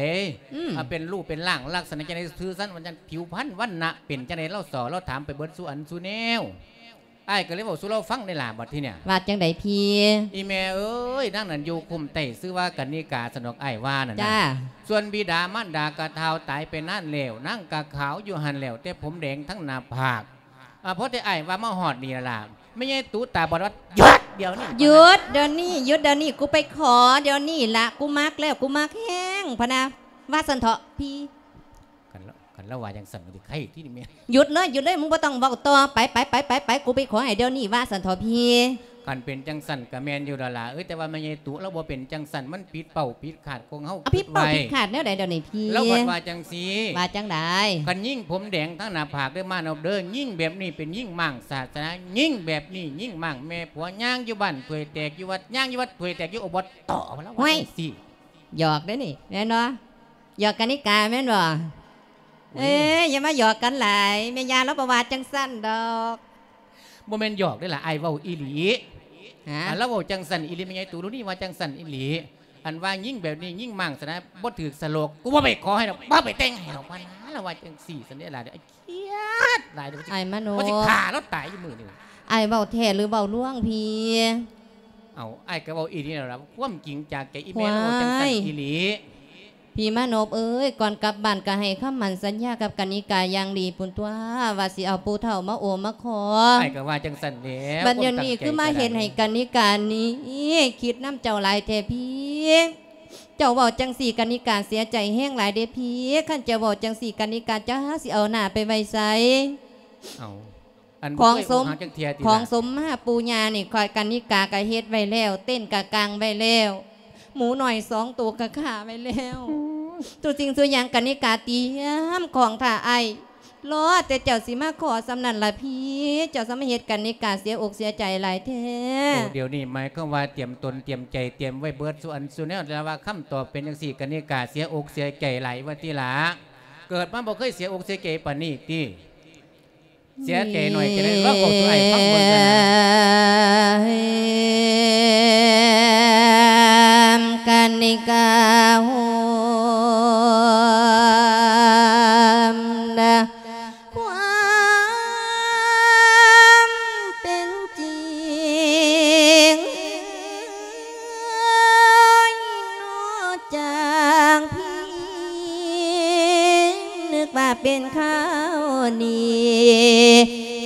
ອືມ ອາ ເປັນຮູບເປັນຮ່າງລັກສະນະຈັ່ງໃດ? ຊື່ຊັ້ນວ່າຈັ່ງ ຜິວພັນວັນນະເປັນຈັ່ງໃດ? ລາວສໍ້ລາວຖາມໄປເບິດສູ່ອັນສູ່ແນວ. ອ້າຍກໍເລີຍເວົ້າສູ່ລາວຟັງໄດ້ລະບັດທີເນີ້ຍ. ວ່າຈັ່ງໃດພີ່? ອີ່ແມ່ເອີຍ ນາງນັ້ນຢູ່ຄຸ້ມໃຕ້ຊື່ວ່າກະນິກາ ສະດອກ ອ້າຍວ່ານັ້ນນະ. ສ່ວນບິດາມານດາກະທ້າວຕາຍໄປນານແລ້ວ ນາງກະຂາວຢູ່ຫັ້ນແລ້ວ ແຕ່ຜົມແດງທັງໜ້າຜາກ. ອາ ພໍແຕ່ອ້າຍວ່າມາຮອດນີ້ລະ ແມ່ໃຫຍ່ຕຸຕາບອດວ່າ ຢຸດດຽວນີ້ ຢຸດດຽວນີ້ ຢຸດດຽວນີ້ ກູໄປຂໍດຽວນີ້ລະ ກູມັກແລ້ວ ກູມັກແຮງ ພະນະ ວ່າຊັ້ນເຖາະພີ່. ຄັນລາວ ຄັນລາວວ່າຈັ່ງຊັ້ນກໍຊິໄຄທີ່ນີ້ແມ່. ຢຸດເລີຍ ຢຸດເລີຍ ມຶງບໍ່ຕ້ອງເວົ້າຕໍ່ ໄປ ໄປ ໄປ ໄປ ໄປ ກູໄປຂໍໃຫ້ດຽວນີ້ ວ່າຊັ້ນເຖາະພີ່. ຄັນເປັນຈັ່ງຊັ້ນກໍແມ່ນຢູ່ດອກຫຼ້າເອີຍ ແຕ່ວ່າແມ່ໃຫຍ່ຕຸລາວບໍ່ເປັນຈັ່ງຊັ້ນ ມັນຜິດເປົ້າຜິດຄາດຂອງເຮົາ. ເອົາ ຜິດເປົ້າ ຜິດຄາດແນວໃດດຽວນີ້ພີ່? ລາວເພິ່ນວ່າຈັ່ງຊີ້. ວ່າຈັ່ງໃດ? ຄັນຍິງຜົມແດງທັງໜ້າຜາກເດີມານອບເດີ ຍິງແບບນີ້ເປັນຍິງມ້າງສາສະໜາ ຍິງແບບນີ້ຍິງມ້າງ ແມ່ຜົວຍ່າງຢູ່ບ້ານຖ້ວຍແຕກຢູ່ວັດ ຍ່າງຢູ່ວັດຖ້ວຍແຕກຢູ່ ໂອ ບໍ່ຕໍ່ ລາວວ່າຈັ່ງຊີ້. ຫຍອກເດ້ນີ້ ແມ່ນບໍ່? ຫຍອກກະນິກາແມ່ນບໍ່? ເອີ ຢ່າມາຫຍອກກັນຫຼາຍ ແມ່ຍ່າລາວບໍ່ວ່າຈັ່ງຊັ້ນດອກ. ບໍ່ແມ່ນຫຍອກເດ້ລະ ອ້າຍເວົ້າອີ່ຫຼີ. ຮະ? ລາວເວົ້າຈັ່ງຊັ້ນອີ່ຫຼີ ແມ່ໃຫຍ່ຕູລຸນີວ່າຈັ່ງຊັ້ນອີ່ຫຼີ. ອັນວ່າຍິງແບບນີ້ ຍິງມ້າງຊະນະ ບໍ່ຖືກສະໂລກ ກູບໍ່ໄປຂໍໃຫ້ດອກ ບໍ່ໄປແຕ່ງໃຫ້ດອກ ວ່ານະ ລາວວ່າຈັ່ງຊີ້ຊັ້ນເດ້ລະ. ອ້າຍມະໂນ ວ່າຊິຂ້າລາວຕາຍຢູ່ມື້ນີ້. ອ້າຍເວົ້າແທ້ຫຼືເວົ້າລວງພີ່? ເອົ້າ ອ້າຍກໍເວົ້າອີ່ຫຼີແລ້ວລະ ຄວາມຈິງຈາກໃຈ ອີ່ແມ່ລາວເວົ້າຈັ່ງຊັ້ນອີ່ຫຼີ. ພີ່ມານົບເອີຍ ກ່ອນກັບບ້ານກໍໃຫ້ຄຳໝັ້ນສັນຍາກັບກະນິກາຢ່າງດີພຸ້ນຕົວະ ວ່າຊິເອົາຜູ້ເຖົ້າມາໂອມາຂໍ. ອ້າຍກໍວ່າຈັ່ງຊັ້ນແຫຼະ. ບັດດຽວນີ້ຄືມາເຮັດໃຫ້ກະນິການີ້ຄິດນຳເຈົ້າຫຼາຍແທ້ພີ່. ເຈົ້າເວົ້າຈັ່ງຊີ້ກະນິກາເສຍໃຈແຮງຫຼາຍເດ້ພີ່. ຄັນເຈົ້າເວົ້າຈັ່ງຊີ້ກະນິກາຈັກຊິເອົາໜ້າໄປໄວ້ໃສ? ເອົ້າ ອັນ ຂອງສົມ ຂອງສົມມາປູ່ຍ່ານີ້ ຂ້ອຍກະນິກາກະເຮັດໄວ້ແລ້ວ ເຕັນກະກາງໄວ້ແລ້ວ ໝູນ້ອຍສອງໂຕກະຂ້າໄວ້ແລ້ວ. ທຸກສິ່ງທຸກຢ່າງກະນິກາຕຽມຂອງຖ້າອ້າຍ ລໍແຕ່ເຈົ້າຊິມາຂໍສ່ຳນັ້ນລະພີ່. ເຈົ້າສະມາເຮັດກະນິກາເສຍອົກເສຍໃຈຫຼາຍແທ້. ໂອ້ ດຽວນີ້ໝາຍຄວາມວ່າຕຽມຕົນຕຽມໃຈ ຕຽມໄວ້ເບິດສູ່ອັນສູ່ແນວແລ້ວວ່າ ຄຳຕອບເປັນຈັ່ງຊີ້ ກະນິກາເສຍອົກເສຍໃຈຫຼາຍວ່າຕິລະ. ເກີດມາບໍ່ເຄີຍເສຍອົກເສຍໃຈປານນີ້ຕິ. ເສຍໃຈໜ້ອຍຈະໄດ້ລອງເວົ້າສູ່ອ້າຍຟັງເບິ່ງກັນນະ. ກະນິກາໂຮມດາ ຄວາມເປັນຈິງ ໂອ້ຍ ນອກຈາກພີ ນຶກວ່າເປັນຂ່າວດີ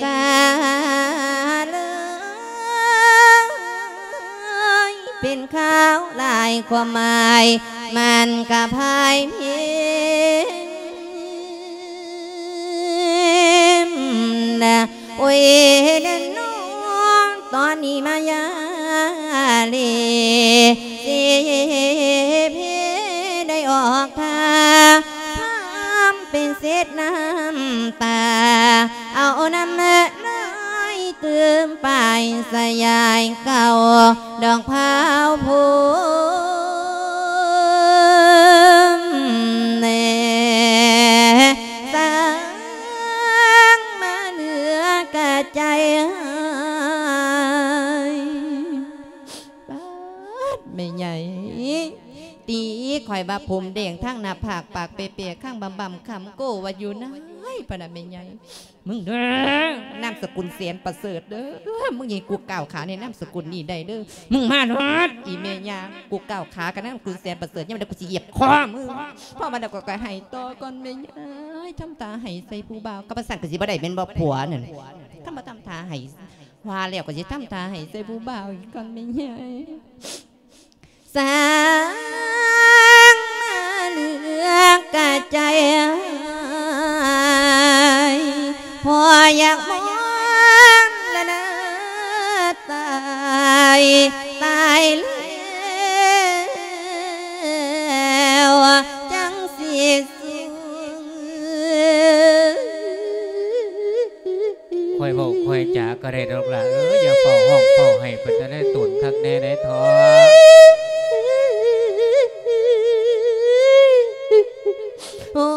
ກາເລີຍ ເປັນຂ່າວຫຼາຍຄວາມໝາຍ ມັນກະພາຍເພນະ. ໂອ້ຍ ແນ່ນອນ ຕອນນີ້ມາຢາເລ ເສເພ ໄດ້ອອກທ່າ ພາມເປັນເສດນ້ຳຕາ ເອົານ້ຳລາຍຕື່ມປາຍສະຍາຍເກົ່າ ດອກພ້າວໂພມແນ່ ສາງມາເຫຼືອກະໃຈຫາຍ. ປາດ ແມ່ໃຫຍ່ ຕີຂ້ອຍວ່າຜົມແດງທາງໜ້າຜາກ ປາກເປໆ ຄາງບຳໆ ຄຳໂກ້ວ່າຢູ່ໃນ ພະນະແມ່ໃຫຍ່. ມຶງເດີ ນາມສະກຸນແສນປະເສີດເດີ ມຶງຢ່າໃຫ້ກູກ້າວຂາໃນນາມສະກຸນນີ້ໄດ້ເດີ. ມຶງມາໂລດ ອີ່ແມ່ຍ່າ ກູກ້າວຂາກັບນາມສະກຸນແສນປະເສີດ ຍາມໃດກູຊິຢຽບຄໍມຶງ. ພໍມາແລ້ວກໍ ກໍໄຫ້ຕໍ່ກ່ອນແມ່ຍາຍ ທຳທ່າໄຫ້ໃສ່ຜູ້ບ່າວ ຄັນບໍ່ຊັ້ນກໍຊິບໍ່ໄດ້ແມ່ນບໍ່ຜົວນັ້ນ. ຄັນບໍ່ທຳທ່າໄຫ້ ວ່າແລ້ວກໍຊິທຳທ່າໄຫ້ໃສ່ຜູ້ບ່າວອີກກ່ອນແມ່ຍາຍ. ສາງມາເຫຼືອກະໃຈຫາຍ ພໍຢາກມອງລະໜ້າຕາ ໄດ້ດອກຫຼ້າເອີຍ ຢ່າເຝົ້າຮ້ອງເຝົ້າໄຫ້ ເປັນຕາໄດ້ຕົນຄັກແນ່ໃດ໋ເທາະ. ໂອ້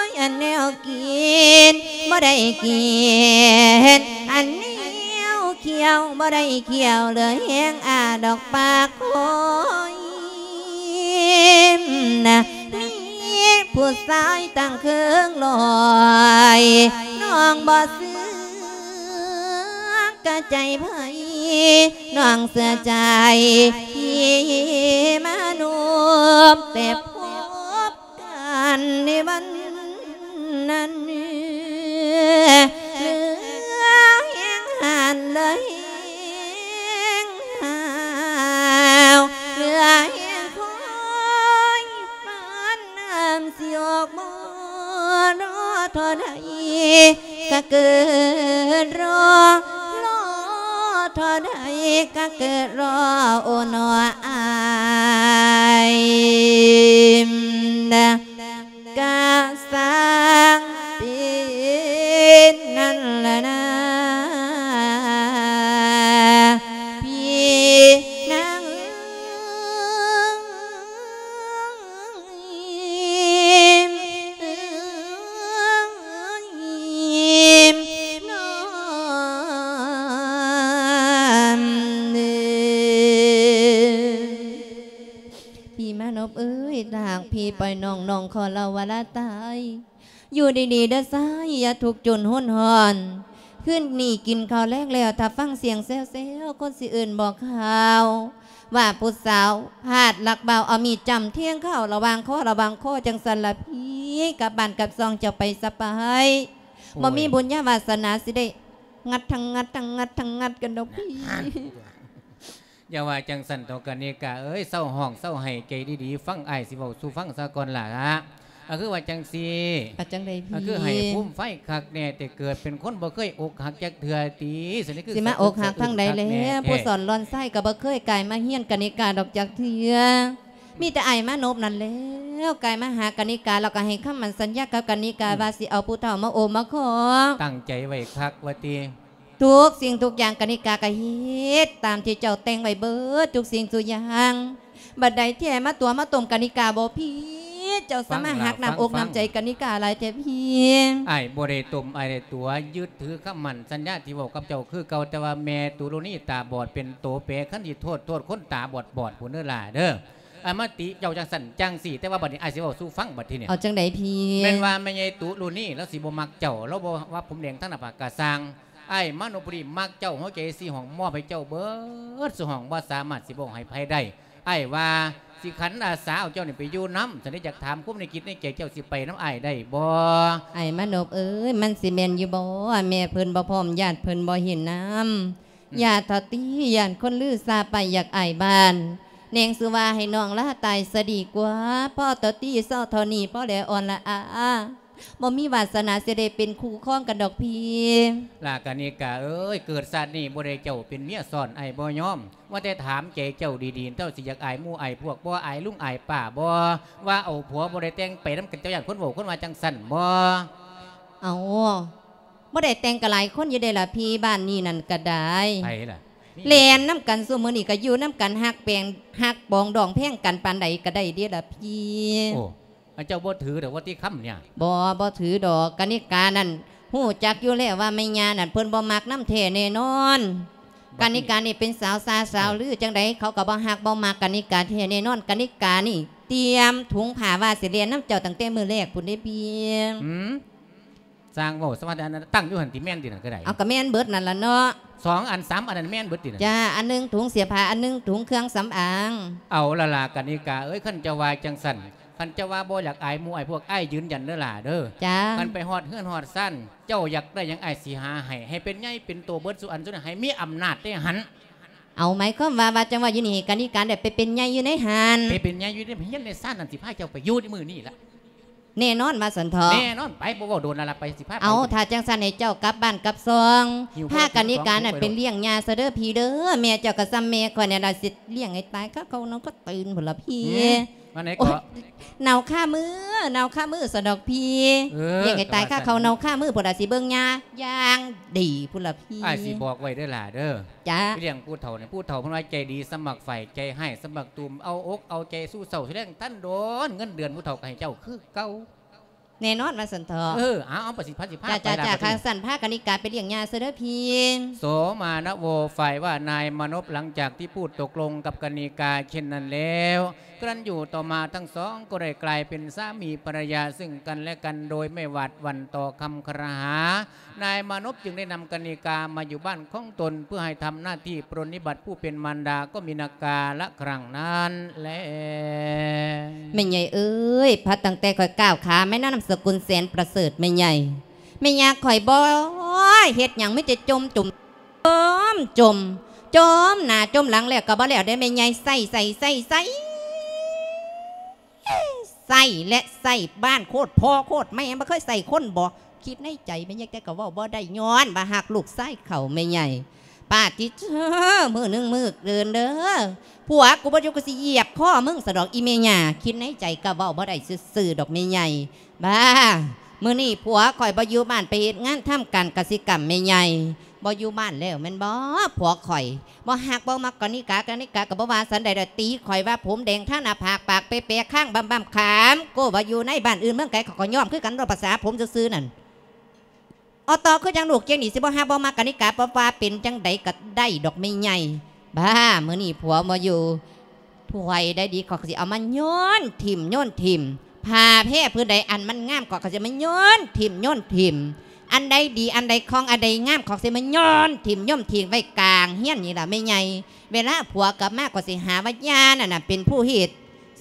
ຍ ອັນແນວກິນບໍ່ໄດ້ກິນ ອັນແນວຂ້ຽວບໍ່ໄດ້ຂ້ຽວ ເຫຼືອແຮງອາດອກປາກຄອຍນະ ມີຜູ້ຊາຍຕັ້ງເຄິ່ງຮ້ອຍ ນ້ອງບໍ່ເຊື່ອ ກະໃຈໃຜ ນ້ອງເຊື່ອໃຈທີ່ມະນຸດ ແຕ່ພົບກັນໃນວັນນັ້ນ ເຫຼືອແຮງຫັນ ເຫຼືອແຮງຫາວ ເຫຼືອແຮງຄອຍ ປານນ້ຳຊິອອກບໍ່ ລໍທໍ່ໃດ ກະເກີດລໍ ລໍທໍ່ໃດກະເກີດລໍ ໂອ ໜໍ ອ້າຍນະ ກະຊ່າງເປັນນັ້ນລະນາ ພີ່ນາງ. ພີ່ມານົບເອີຍ ຖ້າຫາກພີ່ປ່ອຍນ້ອງ ນ້ອງຂໍເລົ່າວ່າລາຕາຍ. ຢູ່ດີໆເດີຊາຍ ຢ່າທຸກຈົນຮົນຮ້ອນ. ຄືນນີ້ກິນເຂົ້າແລງແລ້ວ ຖ້າຟັງສຽງແຊວໆ ຄົນຊິເອີ້ນບອກຂ່າວ ວ່າຜູ້ສາວພາດລັກບ່າວ ເອົາມີດຈ້ຳແທງເຂົ້າລະຫວ່າງຄໍ ລະຫວ່າງຄໍ ຈັ່ງຊັ້ນລະພີ່ ກັບບ້ານກັບຊ່ອງເຈົ້າໄປສະໄປ. ໂອ້ຍ ບໍ່ມີບຸນຍາວາສະໜາຊິໄດ້ງັດທັງງັດ ທັງງັດທັງງັດກັນດອກພີ່. ຢ່າວ່າຈັ່ງຊັ້ນເຖາະກະນິກາເອີຍ ເຊົາຮ້ອງເຊົາໄຫ້ ໃຈດີໆ ຟັງອ້າຍຊິເວົ້າສູ່ຟັງສາກ່ອນລະ. ກໍຄືວ່າຈັ່ງຊີ້ ວ່າຈັ່ງໃດພີ່? ກໍຄືໃຫ້ພູມໄຟຄັກແນ່ ແຕ່ເກີດເປັນຄົນບໍ່ເຄີຍອົກຫັກຈັກເທື່ອຕິ ຊິມາອົກຫັກທາງໃດແລະ ຜູ້ສອນຫຼອນຊາຍກໍບໍ່ເຄີຍກາຍມາຮຽນກະນິກາດອກຈັກເທື່ອ ມີແຕ່ອ້າຍມານົບນັ້ນແລ້ວ ກາຍມາຫາກະນິກາ ແລ້ວກໍໃຫ້ຄຳໝັ້ນສັນຍາກັບກະນິກາ ອືມ ວ່າຊິເອົາຜູ້ເຖົ້າມາໂອມມາຂອງ. ຕັ້ງໃຈໄວ້ຄັກວ່າຕິ? ທຸກສິ່ງທຸກຢ່າງກະນິກາກະເຮັດຕາມທີ່ເຈົ້າແຕ່ງໄວ້ເບິດທຸກສິ່ງທຸກຢ່າງ. ບັດໃດແທ້ມາຕົວມາຕົ້ມກະນິກາບໍ່ພີ້ ເຈົ້າສາມາດຫັກນ້ຳອົກນ້ຳໃຈກະນິກາຫຼາຍແທ້ພີ້. ອ້າຍບໍ່ໄດ້ຕົ້ມ ອ້າຍໄດ້ຕົວະ ຍຶດຖືຄຳໝັ້ນສັນຍາທີ່ເວົ້າກັບເຈົ້າຄືເກົ່າ ແຕ່ວ່າແມ່ຕຸລຸນີຕາບອດເປັນໂຕແປ ຄັນຊິໂທດ ໂທດຄົນຕາບອດໆ ພຸ້ນເດີຫຼ້າເດີ. ອ້າຍມາຕິເຈົ້າຈັ່ງຊັ້ນຈັ່ງຊີ້ ແຕ່ວ່າບັດນີ້ອ້າຍຊິເວົ້າສູ່ຟັງບັດທີນີ້. ເອົາຈັ່ງໃດພີ້? ແມ່ນວ່າແມ່ໃຫຍ່ຕຸລຸນີລາວຊິບໍ່ມັກເຈົ້າ ລາວບໍ່ວ່າຜົມແດງທັງໜ້າຜາກກະຊ່າງ ອ້າຍມານົບບຸລີມັກເຈົ້າ ຫົວໃຈສີ່ຫ້ອງມອບໃຫ້ເຈົ້າເບິດສູ່ຫ້ອງ ບໍ່ສາມາດຊິບອກໃຫ້ໃຜໄດ້. ອ້າຍວ່າຊິຂັນອາສາເອົາເຈົ້ານີ້ໄປຢູ່ນຳ ຊັ້ນເດ ຢາກຖາມຄວາມໃນຈິດໃນໃຈ ເຈົ້າຊິໄປນຳອ້າຍໄດ້ບໍ່? ອ້າຍມານົບເອີຍ ມັນຊິແມ່ນຢູ່ບໍ່? ແມ່ເພິ່ນບໍ່ພ້ອມ ຍາດເພິ່ນບໍ່ເຫັນນຳ. ອືມ ຢ້ານເຖົ້າຕິ ຢ້ານຄົນລືຊາໄປຢາກອາຍບ້ານ ແນງຊື່ວ່າໃຫ້ນ້ອງລາຕາຍຊະດີກວ່າ ພໍເທົ່າຕິເຊົາເທົ່ານີ້ ພໍແລອ່ອນລະອາ ບໍ່ມີວາສະໜາຊິໄດ້ເປັນຄູ່ຄອງກັນດອກພີ້. ລາກະນິກາເອີຍ ເກີດຊາດນີ້ບໍ່ໄດ້ເຈົ້າເປັນເມຍຊ້ອນ ອ້າຍບໍ່ຍອມ. ວ່າແຕ່ຖາມໃຈເຈົ້າດີໆ ເຈົ້າຊິຢາກອາຍໝູ່ອາຍພວກບໍ່? ອາຍລຸງອາຍປ້າບໍ່? ວ່າເອົາຜົວບໍ່ໄດ້ແຕ່ງໄປນຳກັນ ເຈົ້າຢ້ານຄົນເວົ້າຄົນວ່າຈັ່ງຊັ້ນບໍ່? ເອົາ ບໍ່ໄດ້ແຕ່ງກໍຫຼາຍຄົນຢູ່ເດ້ລະພີ່ ບ້ານນີ້ນັ້ນກໍໄດ້. ໃຜລະ? ແລ່ນນຳກັນ ຊຸມື້ນີ້ກໍຢູ່ນຳກັນ ຮັກແປງ ຮັກປອງດອງແພງກັນປານໃດກໍໄດ້ເດ້ລະພີ່. ໂອ້ ອັນເຈົ້າບໍ່ຖືດອກວ່າຕິຄຳນີ້? ບໍ່ ບໍ່ຖືດອກ. ກະນິການັ້ນຮູ້ຈັກຢູ່ແລ້ວວ່າແມ່ຍ່ານັ້ນເພິ່ນບໍ່ມັກນຳແທ້ແນ່ນອນ. ບັດນີ້ ກະນິການີ້ເປັນສາວຊາສາວລື ຈັ່ງໃດເຂົາກໍບໍ່ຮັກບໍ່ມັກກະນິກາແທ້ແນ່ນອນ. ກະນິການີ້ຕຽມຖົງຜ້າວ່າຊິແລ່ນນຳເຈົ້າຕັ້ງແຕ່ມື້ແລກພຸ້ນເດ້ພີ່. ຫືມ? ຊ່າງເວົ້າສະວ່າ ອັນນັ້ນຕັ້ງຢູ່ຫັ້ນຕິ ແມ່ນຕິນັ້ນກໍໄດ້. ເອົາ ກໍແມ່ນເບິດນັ້ນລະເນາະ. ສອງອັນສາມອັນນັ້ນແມ່ນເບິດຕິນັ້ນ? ຈ້າ ອັນໜຶ່ງຖົງເສື້ອຜ້າ ອັນໜຶ່ງຖົງເຄື່ອງສຳອາງ. ເອົາລະລະ ກະນິກາເອີຍ ຄັນເຈົ້າວ່າຈັ່ງຊັ້ນ ຄັນເຈົ້າວ່າບໍ່ຢາກອາຍໝູ່ອາຍພວກ ອ້າຍຢືນຢັນເດີຫຼ້າເດີ. ຈ້າ ຄັນໄປຮອດເຮືອນຮອດຊານ ເຈົ້າຢາກໄດ້ຫຍັງ ອ້າຍຊິຫາໃຫ້ ໃຫ້ເປັນໃຫຍ່ເປັນໂຕເບິດສູ່ອັນສູ່ນີ້ ໃຫ້ມີອຳນາດໃນຫັ້ນ. ເອົາ ໝາຍຄວາມວ່າ ວ່າຈັ່ງວ່າຢູ່ນີ້ ກະນິກາໄດ້ໄປເປັນໃຫຍ່ຢູ່ໃນຫັ້ນ ໄປເປັນໃຫຍ່ຢູ່ໃນເຮືອນໃນຊານນັ້ນ ຊິພາເຈົ້າໄປຢູ່ໃນມື້ນີ້ລະ. ແນ່ນອນວ່າຊັ້ນເຖາະ. ແນ່ນອນ ໄປ ບໍ່ເວົ້າດົນລະລະ ໄປ ຊິພາໄປ. ເອົາ ຖ້າຈັ່ງຊັ້ນໃຫ້ເຈົ້າກັບບ້ານກັບຊ່ອງ ຫິ້ວ ພາກະນິການັ້ນໄປໂລດ ໄປລ້ຽງຍ່າຊະເດີພີ່ເດີ. ແມ່ເຈົ້າກໍສ່ຳແມ່ຂ້ອຍນີ້ລະ ຊິລ້ຽງໃຫ້ຕາຍຄາເຂົານອນກໍຕື່ນພຸ້ນລະພີ່. ຫືມ? ວ່າໃດເກາະ? ໂອ້ຍ ເນົ່າຄາມື ເນົ່າຄາມືຊັ້ນດອກພີ່. ເອີ ລ້ຽງໃຫ້ຕາຍຄາເຂົ້າເນົ່າຄາມືພຸ້ນລະ ຊິເບິ່ງຍາຢ່າງດີພຸ້ນລະພີ່. ອ້າຍຊິບອກໄວ້ເດີຫຼ້າເດີ. ຈ້າ. ລ້ຽງຜູ້ເຖົ້ານີ້ ຜູ້ເຖົ້າເພິ່ນວ່າໃຈດີສ່ຳໝາກໄຟ ໃຈຮ້າຍສ່ຳໝາກຕູມ ເອົາອົກເອົາໃຈສູ່ເຊົ້າສູ່ແລງ ທັນໂດນເງິນເດືອນຜູ້ເຖົ້າກໍໃຫ້ເຈົ້າຄືເກົ່າ. ແນ່ນອນວ່າຊັ້ນເຖາະ. ເອີ ເອົາ ເອົາ ໄປສິ ພັດສິພາໄປລະ. ຈ້າ ຈ້າ ຄັນຊັ້ນພາກະນິກາໄປລ້ຽງຍາຊະເດີພີ່. ໂສມານະໂວ ຝ່າຍວ່ານາຍມານົບ ຫຼັງຈາກທີ່ພູດຕົກລົງກັບກະນິກາເຊັ່ນນັ້ນແລ້ວ ກະນັ້ນຢູ່ຕໍ່ມາທັງສອງກໍໄດ້ກາຍເປັນສາມີພັນລະຍາຊຶ່ງກັນແລະກັນ ໂດຍໄມ່ຫວາດຫວັ່ນຕໍ່ຄຳຄອລະຫາ. ນາຍມານົບຈຶ່ງໄດ້ນຳກະນິກາມາຢູ່ບ້ານຂອງຕົນ ເພື່ອໃຫ້ທຳໜ້າທີ່ປະນິບັດຜູ້ເປັນມານດາກໍມີນາກາລະຄັ້ງນັ້ນແລ. ແມ່ໃຫຍ່ເອີຍ ພັດຕັ້ງແຕ່ຂ້ອຍກ້າວຂາມາ ນາມສະກຸນແສນປະເສີດແມ່ໃຫຍ່. ແມ່ຍ່າຂ້ອຍບໍ່ເຮັດຫຍັງ ມີແຕ່ຈົ່ມ ຈົ່ມ ຈົ່ມ ຈົ່ມ ຈົ່ມໜ້າຈົ່ມຫຼັງ ແລ້ວກໍບໍ່ແລ້ວເດ້ແມ່ໃຫຍ່ ໃຊ້ ໃຊ້ ໃຊ້ ໃຊ້ ໃຊ້ ແລະ ໃຊ້ບ້ານໂຄດພໍ່ໂຄດແມ່ ບໍ່ເຄີຍໃຊ້ຄົນບໍ? ຄິດໃນໃຈແມ່ໃຫຍ່ ແຕ່ກໍເວົ້າບໍ່ໄດ້ ຍ້ອນວ່າຮັກລູກຊາຍເຂົາແມ່ໃຫຍ່. ປາດຕິເທີ ມື້ໜຶ່ງມື້ອື່ນເດີ ຜົວກູບໍ່ຢູ່ ກູຊິຢຽບຄໍມຶງຊະດອກອີ່ແມ່ຍ່າ. ຄິດໃນໃຈກໍເວົ້າບໍ່ໄດ້ຊື່ໆດອກແມ່ໃຫຍ່. ບ້າ ມື້ນີ້ຜົວຂ້ອຍບໍ່ຢູ່ບ້ານ ໄປເຮັດງານທຳການກະສິກຳແມ່ໃຫຍ່. ບໍ່ຢູ່ບ້ານແລ້ວແມ່ນບໍ່? ຜົວຂ້ອຍບໍ່ຮັກບໍ່ມັກກະນິກາ ກະນິກາກໍບໍ່ວ່າສັນໃດດອກ ຕີຂ້ອຍວ່າຜົມແດງ ທາໜ້າຜາກ ປາກແປໆ ຄາງບຳໆ ຂາມໂກ້ ວ່າຢູ່ໃນບ້ານອື່ນເມືອງໄກ ເຂົາກໍຍອມຄືກັນ ເວົ້າພາສາຜົມຊື່ໆນັ້ນ. ອໍ ຕໍ່ຄືຈັ່ງລູກຈັ່ງນີ້ ຊິບໍ່ຮັກບໍ່ມັກກະນິກາ ບໍ່ວ່າເປັນຈັ່ງໃດກໍໄດ້ດອກແມ່ໃຫຍ່. ບ້າ ມື້ນີ້ຜົວບໍ່ຢູ່ ຖ້ວຍໃດດີ ຂ້ອຍກໍຊິເອົາມາໂຍນຖິ້ມ ໂຍນຖິ້ມ. ຜ້າແພຜືນໃດອັນມັນງາມ ຂ້ອຍກໍຊິເອົາມາໂຍນຖິ້ມ ໂຍນຖິ້ມ. ອັນໃດດີ ອັນໃດຄ່ອງ ອັນໃດງາມ ຂ້ອຍຊິເອົາມາໂຍນຖິ້ມ ໂຍນຖິ້ມໄວ້ກາງເຮືອນນີ້ລະແມ່ໃຫຍ່. ເວລາຜົວກັບມາ ຂ້ອຍຊິຫາວ່າຍ່ານັ້ນນະເປັນຜູ້ເຮັດ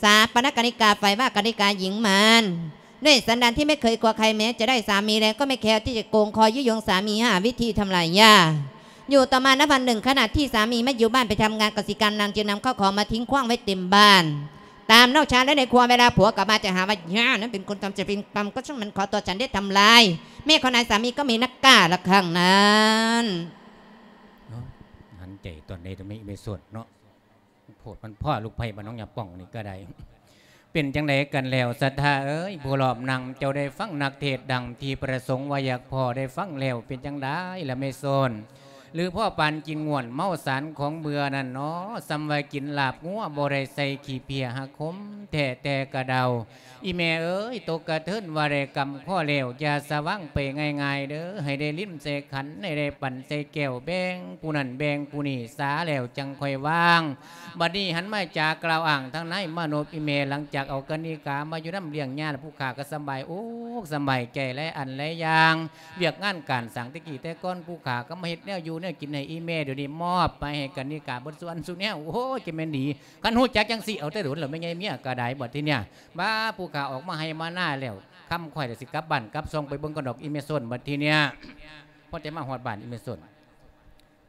ສະປະນະກະນິກາ ຝ່າຍວ່າກະນິກາຍິງມານ. ດ້ວຍສັນດານທີ່ໄມ່ເຄີຍກົວໃຄ ແມ້ຈະໄດ້ສາມີແລ້ວກໍໄມ່ແຄ້ວທີ່ຈະໂກງຄໍຍຸຍົງສາມີ ຫາວິທີທຳລາຍຫຍ້າ. ຢູ່ຕໍ່ມານະວັນໜຶ່ງ ຂະນະທີ່ສາມີໄມ່ຢູ່ບ້ານໄປທຳງານກະສິກຳ ນາງຈຶ່ງນຳເຂົ້າຂອງມາຖິ້ງຂວ້າງໄວ້ເຕັມບ້ານ ຕາມນອກຊານ ແລະ ໃນຄົວ. ເວລາຜົວກັບມາຈະຫາວ່າ ຍ່ານັ້ນເປັນຄົນທຳ ຈະເປັນກຳກໍຊ່າງມັນ ຂໍຕົວະສັນເດດທຳລາຍ. ແມ່ຂອງນາຍສາມີກໍມີນາກາລະຄັ້ງນັ້ນ. ເນາະ ຫັນໃຈຕອນໃດ ແມ່ ແມ່ສົດເນາະ. ໂພດມັນພໍ້ ລູກໃພ້ບ້ານໜອງຫຍ້າປ່ອງນີ້ກໍໄດ້. ເປັນຈັ່ງໃດກັນແລ້ວສັດທາເອີຍ ຜູ້ລອບນັ່ງ ເຈົ້າໄດ້ຟັງນັກເທດດັ່ງທີ່ປະສົງວ່າຢາກພໍ້ ໄດ້ຟັງແລ້ວເປັນຈັ່ງໃດລະແມ່ໂຊນ? ຫຼືພໍ້ປານກິນງ່ວນເມົາສານຂອງເບື່ອນັ້ນເນາະ? ສ່ຳວ່າກິນລາບງົວບໍ່ໄດ້ໃສ່ຂີ້ເພຍ ຫາກຂົມແທ້ແຕ່ກະເດົາ. ອີ່ແມ່ເອີຍ ຕົກກະເທີນວ່າໄດ້ກຳພໍ້ແລ້ວ ຢ່າສະຫວ່າງໄປງ່າຍໆເດີ ໃຫ້ໄດ້ລິນໃສ່ຂັນ ໃຫ້ໄດ້ປັ້ນໃສ່ແກ້ວ ແບ່ງຜູ້ນັ້ນແບ່ງຜູ້ນີ້ ສາແລ້ວຈັ່ງຄ່ອຍວາງ. ບັດນີ້ຫັນມາຈາກ່າວອ້າງທາງນາຍມານົບ ອີ່ແມ່ ຫຼັງຈາກເອົາກະນິກາມາຢູ່ນຳລ້ຽງຍາແລ້ວ ຜູ້ຂ້າກໍສະບາຍອົກສະບາຍໃຈຫຼາຍອັນຫຼາຍຢ່າງ. ວຽກງານການສ້າງແຕ່ກີ້ແຕ່ກ່ອນ ຜູ້ຂ້າກໍມາເຮັດແນວຢູ່ແນວກິນໃຫ້ອີ່ແມ່ ດຽວນີ້ມອບໄປໃຫ້ກະນິກາເບິດສ່ວນສູ່ແນວ. ໂອ້ຍ ຈະແມ່ນດີ ຄັນຮູ້ຈັກຈັ່ງຊີ້ ເອົາແຕ່ດົນແລ້ວແມ່ໃຫຍ່ເມຍກໍໄດ້ບັດທີເນີ້ຍ. ບ້າ ຜູ້ຂ້າອອກມາໄຮ່ມານາແລ້ວ ຄ່ຳຄ່ອຍລະຊິກັບບ້ານກັບຊ່ອງ ໄປເບິ່ງກ່ອນດອກອີ່ແມ່ໂຊນບັດທີເນີ້ຍ. ພໍແຕ່ມາຮອດບ້ານອີ່ແມ່ໂຊນ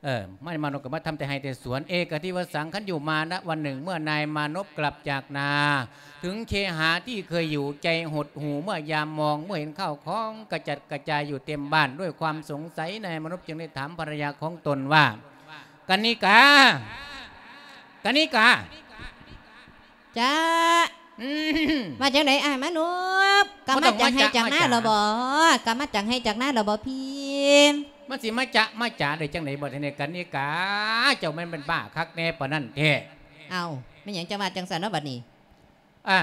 ເອີ ມາ ມານົບກໍມາທຳແຕ່ໄຮ່ແຕ່ສວນ. ເອກະທິວະສັງ ຄັນຢູ່ມານະວັນໜຶ່ງ ເມື່ອນາຍມານົບກັບຈາກນາ ເຖິງເຄຫາທີ່ເຄີຍຢູ່ ໃຈຫົດຫູ່ເມື່ອຍາມມອງ ເມື່ອເຫັນຂ້າວຂອງກະຈັດກະຈາຍຢູ່ເຕັມບ້ານ. ດ້ວຍຄວາມສົງໄສ ນາຍມານົບຈຶ່ງໄດ້ຖາມພັນລະຍາຂອງຕົນວ່າ ກະນິກາ ກະນິກາ ຈະ ອືມ ວ່າຈັ່ງໃດອ້າຍມານົບ? ກັບມາຈາກໄຮ່ຈາກນາແລ້ວບໍ? ກັບມາຈາກໄຮ່ຈາກນາແລ້ວບໍພີ່? ມັນຊິມາຈະມາຈາໄດ້ຈັ່ງໃດບັດນີ້ ກະນິກາ ເຈົ້າແມ່ນ ແມ່ນບ້າຄັກແນ່ປານນັ້ນແທ້. ເອົ້າ ແມ່ນຫຍັງຈະວ່າຈັ່ງຊັ້ນເນາະບັດນີ້? ອາ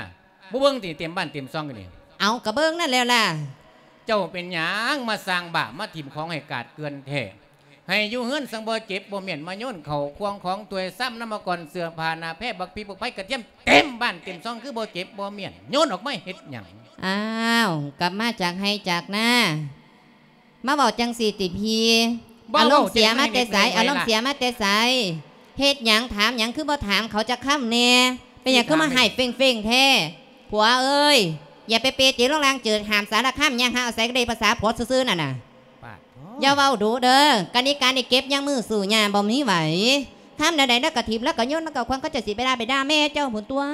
ບໍ່ເບິ່ງຕິ ເຕັມບ້ານເຕັມຊ່ອງຢູ່ນີ້. ເອົ້າ ກະເບິ່ງນັ້ນແລ້ວລະ. ເຈົ້າເປັນຫຍັງມາສ້າງບ້າ ມາຖິ້ມຂອງໃຫ້ກາດເກືອນແທ້? ໃຫ້ຢູ່ເຮືອນສັງບໍ່ເຈັບບໍ່ມ້ຽນ ມາໂຍນເຂົ້າຄວງຂອງຖ້ວຍຊາມ ນ້ຳມະກ່ອນ ເສື້ອຜ້າໜ້າແພ ບັກພິກບັກໄຟ ກະທຽມ ເຕັມບ້ານເຕັມຊ່ອງ ຄືບໍ່ເຈັບບໍ່ມ້ຽນ ໂຍນອອກມາເຮັດຫຍັງ? ອ້າວ ກັບມາຈາກໄຮ່ຈາກນາ ມາເວົ້າຈັ່ງຊີ້ຕິພີ່? ອາລົມເສຍມາແຕ່ໃສ? ອາລົມເສຍມາແຕ່ໃສ? ເຮັດຫຍັງ ຖາມຫຍັງ ຄືບໍ່ຖາມເຂົາຈັກຄຳແດ່? ເປັນຫຍັງຄືມາຮ້າຍເຄັ່ງໆແທ້? ຜົວເອີຍ ຢ່າໄປເປເຈໂລງລາງເຈີດ ຫ້າມສາລະຄາມ ຍ່າງຫາອາໄສກະເດພາສາຜົວຊື່ໆນັ້ນນະ. ປາດໂທ້ ຢ່າເວົ້າດຸເດີ ກະນິການີ້ເກັບຍັງມືສູ້ຫຍ້າບໍ່ມີໄຫວ. ທຳແນວໃດລາວກະຖິ້ມ ລາວກະໂຍນ ລາວກະຂວ້າງ ເຂົາເຈົ້າຊິໄປດ່າໄປດ່າແມ່ເຈົ້າພຸ້ນຕົວະ.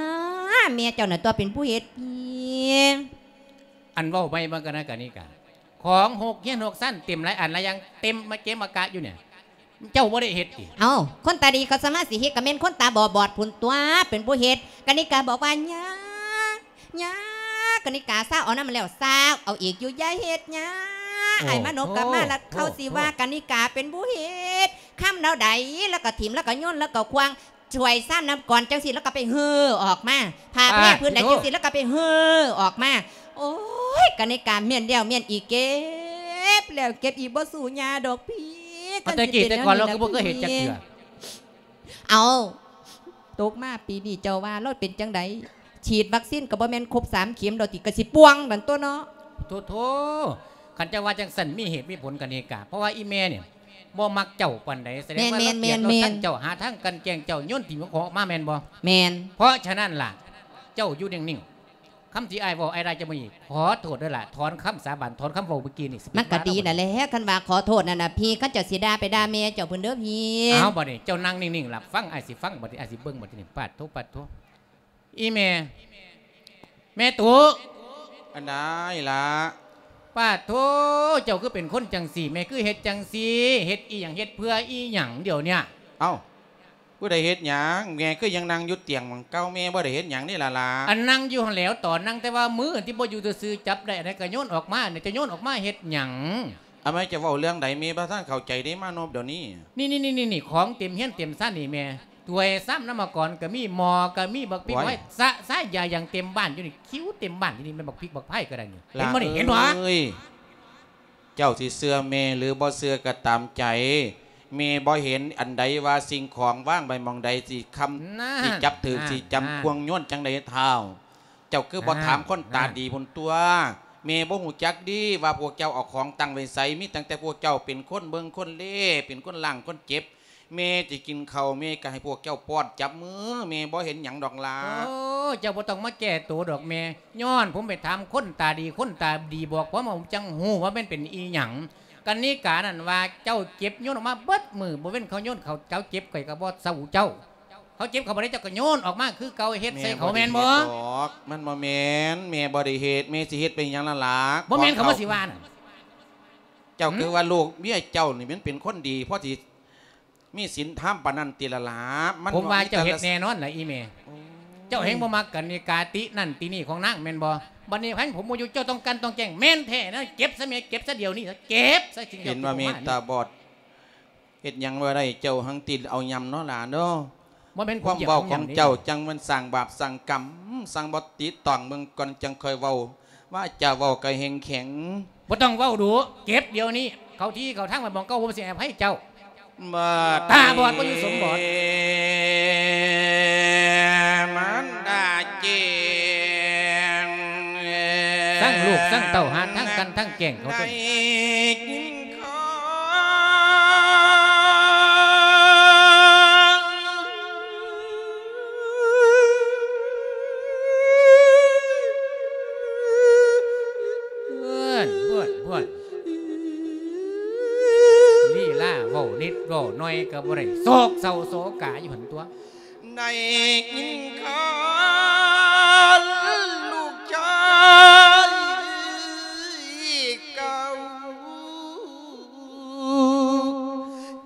ແມ່ເຈົ້ານັ້ນຕົວະເປັນຜູ້ເຮັດຜິດ. ອັນເວົ້າໄປມັນກະນະກະນິກາ ຂອງຫົກຮຽນຫົກຊັ້ນ ເຕັມຫຼາຍອັນຫຼາຍຢ່າງ ເຕັມມາເກະມາກະຢູ່ນີ້ ເຈົ້າບໍ່ໄດ້ເຮັດຕິ? ເອົ້າ ຄົນຕາດີເຂົາສາມາດຊິເຮັດ ກະແມ່ນຄົນຕາບໍ່ບອດພຸ້ນຕົວະເປັນຜູ້ເຮັດ. ກະນິກາບອກວ່າ ຍາ ຍາ ກະນິກາ ຊາວເອົານຳແລ້ວ ຊາວເອົາອີກຢູ່ ຢ່າເຮັດຍາ. ໂອ້ ອ້າຍມານົບກັບມາ ໂອ້ ລະເຂົາຊິວ່າ ໂອ້ ກະນິກາເປັນຜູ້ເຮັດ ຄຳແນວໃດ ລະກະຖິ້ມ ລະກະໂຍນ ລະກະຂວ້າງ ຖ້ວຍຊາມນ້ຳກ່ອນຈັ່ງຊີ້ ລະກະໄປເຫີອອກມາ ຜ້າແພ ປາດ ພື້ນໃດ ໂທ້ ຈັ່ງຊີ້ ລະກະໄປເຫີອອກມາ. ໂອ້ຍ ກະນິກາ ແມ່ນແລ້ວແມ່ນອີກ ເກັບແລ້ວເກັບອີກ ບໍ່ສູ້ຍາດອກພີ້. ເອົາ ແຕ່ກີ້ແຕ່ກ່ອນ ລາວຄືບໍ່ເຄີຍເຮັດຈັກເທື່ອ. ເອົາ ຕົກມາປີນີ້ເຈົ້າວ່າລາວເປັນຈັ່ງໃດ? ສີດວັກຊີນກະບໍ່ແມ່ນຄົບສາມເຂັມດອກຕິ ກະຊິປ່ວງນັ້ນຕົວະເນາະ. ໂທ້ໆ ຄັນເຈົ້າວ່າຈັ່ງຊັ້ນ ມີເຫດມີຜົນ ກະນິກາ ເພາະວ່າອີ່ແມ່ນີ້ບໍ່ມັກເຈົ້າປານໃດ ສະແດງວ່າລາວກຽດລາວຊັງເຈົ້າ ແມ່ນໆໆໆ ຫາທາງກັ່ນແກງເຈົ້າ ໂຍນຖິ້ມຂອງອອກມາແມ່ນບໍ່? ແມ່ນ. ເພາະສະນັ້ນລະ ເຈົ້າຢູ່ນິ່ງໆ ຄຳທີ່ອ້າຍເວົ້າ ອ້າຍລາຈະບໍ່ມີ ຂໍໂທດເດີລະ ຖອນຄຳສາບານ ຖອນຄຳເວົ້າເມື່ອກີ້ນີ້ ມັນກະດີນັ້ນແຫຼະ ຄັນວ່າຂໍໂທດນັ້ນນະພີ່ ຄັນເຈົ້າຊິດ່າໄປດ່າແມ່ເຈົ້າພຸ້ນເດີພີ່. ເອົາ ບາດນີ້ເຈົ້ານັ່ງນິ່ງໆ ລະຟັງ ອ້າຍຊິຟັງ ບາດນີ້ອ້າຍຊິເບິ່ງ ບາດນີ້ ປາດໂທ ປາດໂທ ອີ່ແມ່ ແມ່ຕຸ ອັນໃດລະ? ປາດໂທ ເຈົ້າຄືເປັນຄົນຈັ່ງຊີ້ ແມ່ຄືເຮັດຈັ່ງຊີ້ ເຮັດອີ່ຫຍັງ ເຮັດເພື່ອອີ່ຫຍັງດຽວເນີ້ຍ? ເອົ້າ ຜູ້ໃດເຮັດຫຍັງ? ແມ່ຄືຍັງນັ່ງຢູ່ຕຽງໝ່ອງເກົ່າ ແມ່ບໍ່ໄດ້ເຮັດຫຍັງເດ້ລະຫຼ້າ. ອັນນັ່ງຢູ່ຫັ້ນແຫຼ້ວ ຕອນນັ່ງ ແຕ່ວ່າມືທີ່ບໍ່ຢູ່ຊື່ໆ ຈັບໄດ້ອັນໃດກະໂຍນອອກມາ ເຈົ້າໂຍນອອກມາເຮັດຫຍັງ? ອາໄມ ຈະເວົ້າເລື່ອງໃດ? ແມ່ບໍ່ທັນເຂົ້າໃຈເດ້ ມານົບດຽວນີ້. ນີ້ໆໆໆ ຂອງເຕັມເຮືອນເຕັມຊານນີ້ແມ່ ຖ້ວຍຊາມນ້ຳມະກອນກະມີ ໝໍ້ກະມີ ບັກພິກ ໂອ້ຍ ໄວ້ ສະສາຍຢາຢ່າງເຕັມບ້ານຢູ່ນີ້ ຄິວເຕັມບ້ານຢູ່ນີ້ ແມ່ນບັກພິກບັກໄຜ່ກະໄດ້ນີ້ ເຫັນບໍ່ນີ້ ເຫັນບໍ່? ເອີຍ ເຈົ້າຊິເຊື່ອແມ່ຫຼືບໍ່ເຊື່ອກະຕາມໃຈ ແມ່ບໍ່ເຫັນອັນໃດວ່າສິ່ງຂອງວາງໄວ້ໝ່ອງໃດ ຊິຄຳ ນັ້ນ ຊິຈັບຖືກ ນັ້ນ ຊິຈຳ ນັ້ນ ຄວາງໂຍນຈັ່ງໃດທ້າວ? ເຈົ້າຄືບໍ່ ນັ້ນ ຖາມຄົນຕາ ນັ້ນ ດີພຸ້ນຕົວະ? ແມ່ບໍ່ຮູ້ຈັກດີວ່າພວກເຈົ້າເອົາຂອງຕັ້ງໄວ້ໃສ ມີຕັ້ງແຕ່ພວກເຈົ້າເປັນຄົນເບິ່ງຄົນເລ ເປັນຄົນລ້າງຄົນເຈັບ ແມ່ຈະກິນເຂົ້າ ແມ່ກະໃຫ້ພວກເຈົ້າປ້ອນ ຈັບມື ແມ່ບໍ່ເຫັນຫຍັງດອກຫຼ້າ. ໂອ້ ເຈົ້າບໍ່ຕ້ອງມາແກ້ໂຕດອກແມ່ ຍ້ອນຜົມໄປຖາມຄົນຕາດີ ຄົນຕາດີບອກຜົມ ຜົມຈັ່ງຮູ້ວ່າແມ່ນເປັນອີ່ຫຍັງ. ກະນິການັ້ນວ່າເຈົ້າເຈັບໂຍນອອກມາເບິດມື້ ບໍ່ເວັ້ນເຂົາໂຍນເຂົາ ເຈົ້າເຈັບຂ້ອຍກະບໍ່ເຊົາເຈົ້າ ເຂົາເຈັບເຂົາບໍ່ໄດ້ ເຈົ້າກະໂຍນອອກມາຄືເກົ່າ ເຮັດໃສ່ເຂົາແມ່ນບໍ່? ແມ່ບໍ່ໄດ້ເຮັດດອກ ມັນບໍ່ແມ່ນ ແມ່ບໍ່ໄດ້ເຮັດ ແມ່ຊິເຮັດໄປຫຍັງລະຫຼ້າ? ບໍ່ແມ່ນເຂົາມາຊິວ່ານັ້ນ ເຈົ້າ ຫື ຄືວ່າລູກເມຍເຈົ້ານີ້ມັນເປັນຄົນດີ ພໍຊິ ມີສິນທຳປານນັ້ນຕິລະຫຼ້າ? ມັນ ຜົມວ່າເຈົ້າເຮັດແນ່ນອນລະອີ່ແມ່ ໂອ້ຍ ເຈົ້າແຮ່ງບໍ່ມັກກະນິກາ ຕິນັ້ນຕິນີ້ຂອງນາງແມ່ນບໍ່? ບັດນີ້ຄັນຜົມບໍ່ຢູ່ ເຈົ້າຕ້ອງກັ່ນຕ້ອງແກງ ແມ່ນແທ້ນະ ເກັບຊະແມ່ ເກັບຊະດຽວນີ້ ເຫັນວ່າແມ່ຕາບອດ ເຮັດຫຍັງບໍ່ໄດ້ ເຈົ້າຫັ້ນຕິເອົາຫຍ້ຳເນາະຫຼານເນາະ. ບໍ່ແມ່ນ ຄວາມເວົ້າຂອງເຈົ້າຈັ່ງມັນສ້າງບາບສ້າງກຳ ສັ່ງບໍ່ຕິຕອງເບິ່ງກ່ອນຈັ່ງຄ່ອຍເວົ້າ ວາຈາເວົ້າກະແຮງແຂງ. ບໍ່ຕ້ອງເວົ້າດຸ ເກັບດຽວນີ້ ເຂົ້າທີ່ເຂົ້າທາງໄວ້ໝ່ອງເກົ່າ ຜົມຊິໃຫ້ອະໄພເຈົ້າ. ຕາບອດບໍ່ຢູ່ສົມບອດ ມັນດາເຈງ ທັງລູກທັງເຕົ້າ ຫາທາງກັ່ນທັງແກງເຂົາຕົວະ. ເອີຍ ເອີຍ ເອີຍ ລີລາເວົ້ານິດເວົ້າໜ້ອຍກະບໍ່ໄດ້ ໂສກເສົ້າໂສກາຢູ່ຫັ້ນຕົວະ. ໄດ້ຍິນຂ່າວລູກຊາຍເກົ່າ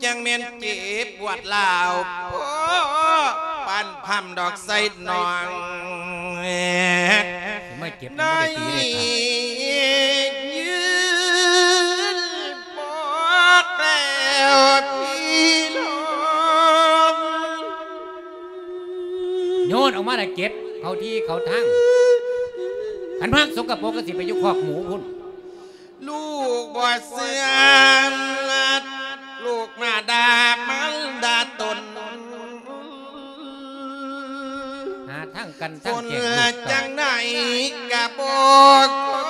ຈັ່ງແມ່ນເຈັບປວດລາວ ພໍປານພຳດອກໄຊນ້ອງ ຊິມາເກັບ ໄດ້ ມັນບໍ່ໄດ້ຕີໄດ້ຂາດ ຍືນປອກແລ້ວພີ່ນ້ອງ ໂຍນອອກມາລະເກັບເຂົ້າທີ່ເຂົ້າທາງ ຄັນມັກສົກກະປົກກະຊິໄປຢູ່ຄອກໝູພຸ້ນ. ລູກບໍ່ເຊື່ອ ລູກມາດ່າມາດ່າຕົນ ຫາທາງກັ້ນທາງແກ້ງລູກເຕົ້າ ຈັ່ງໃດກະບໍ່ຄອ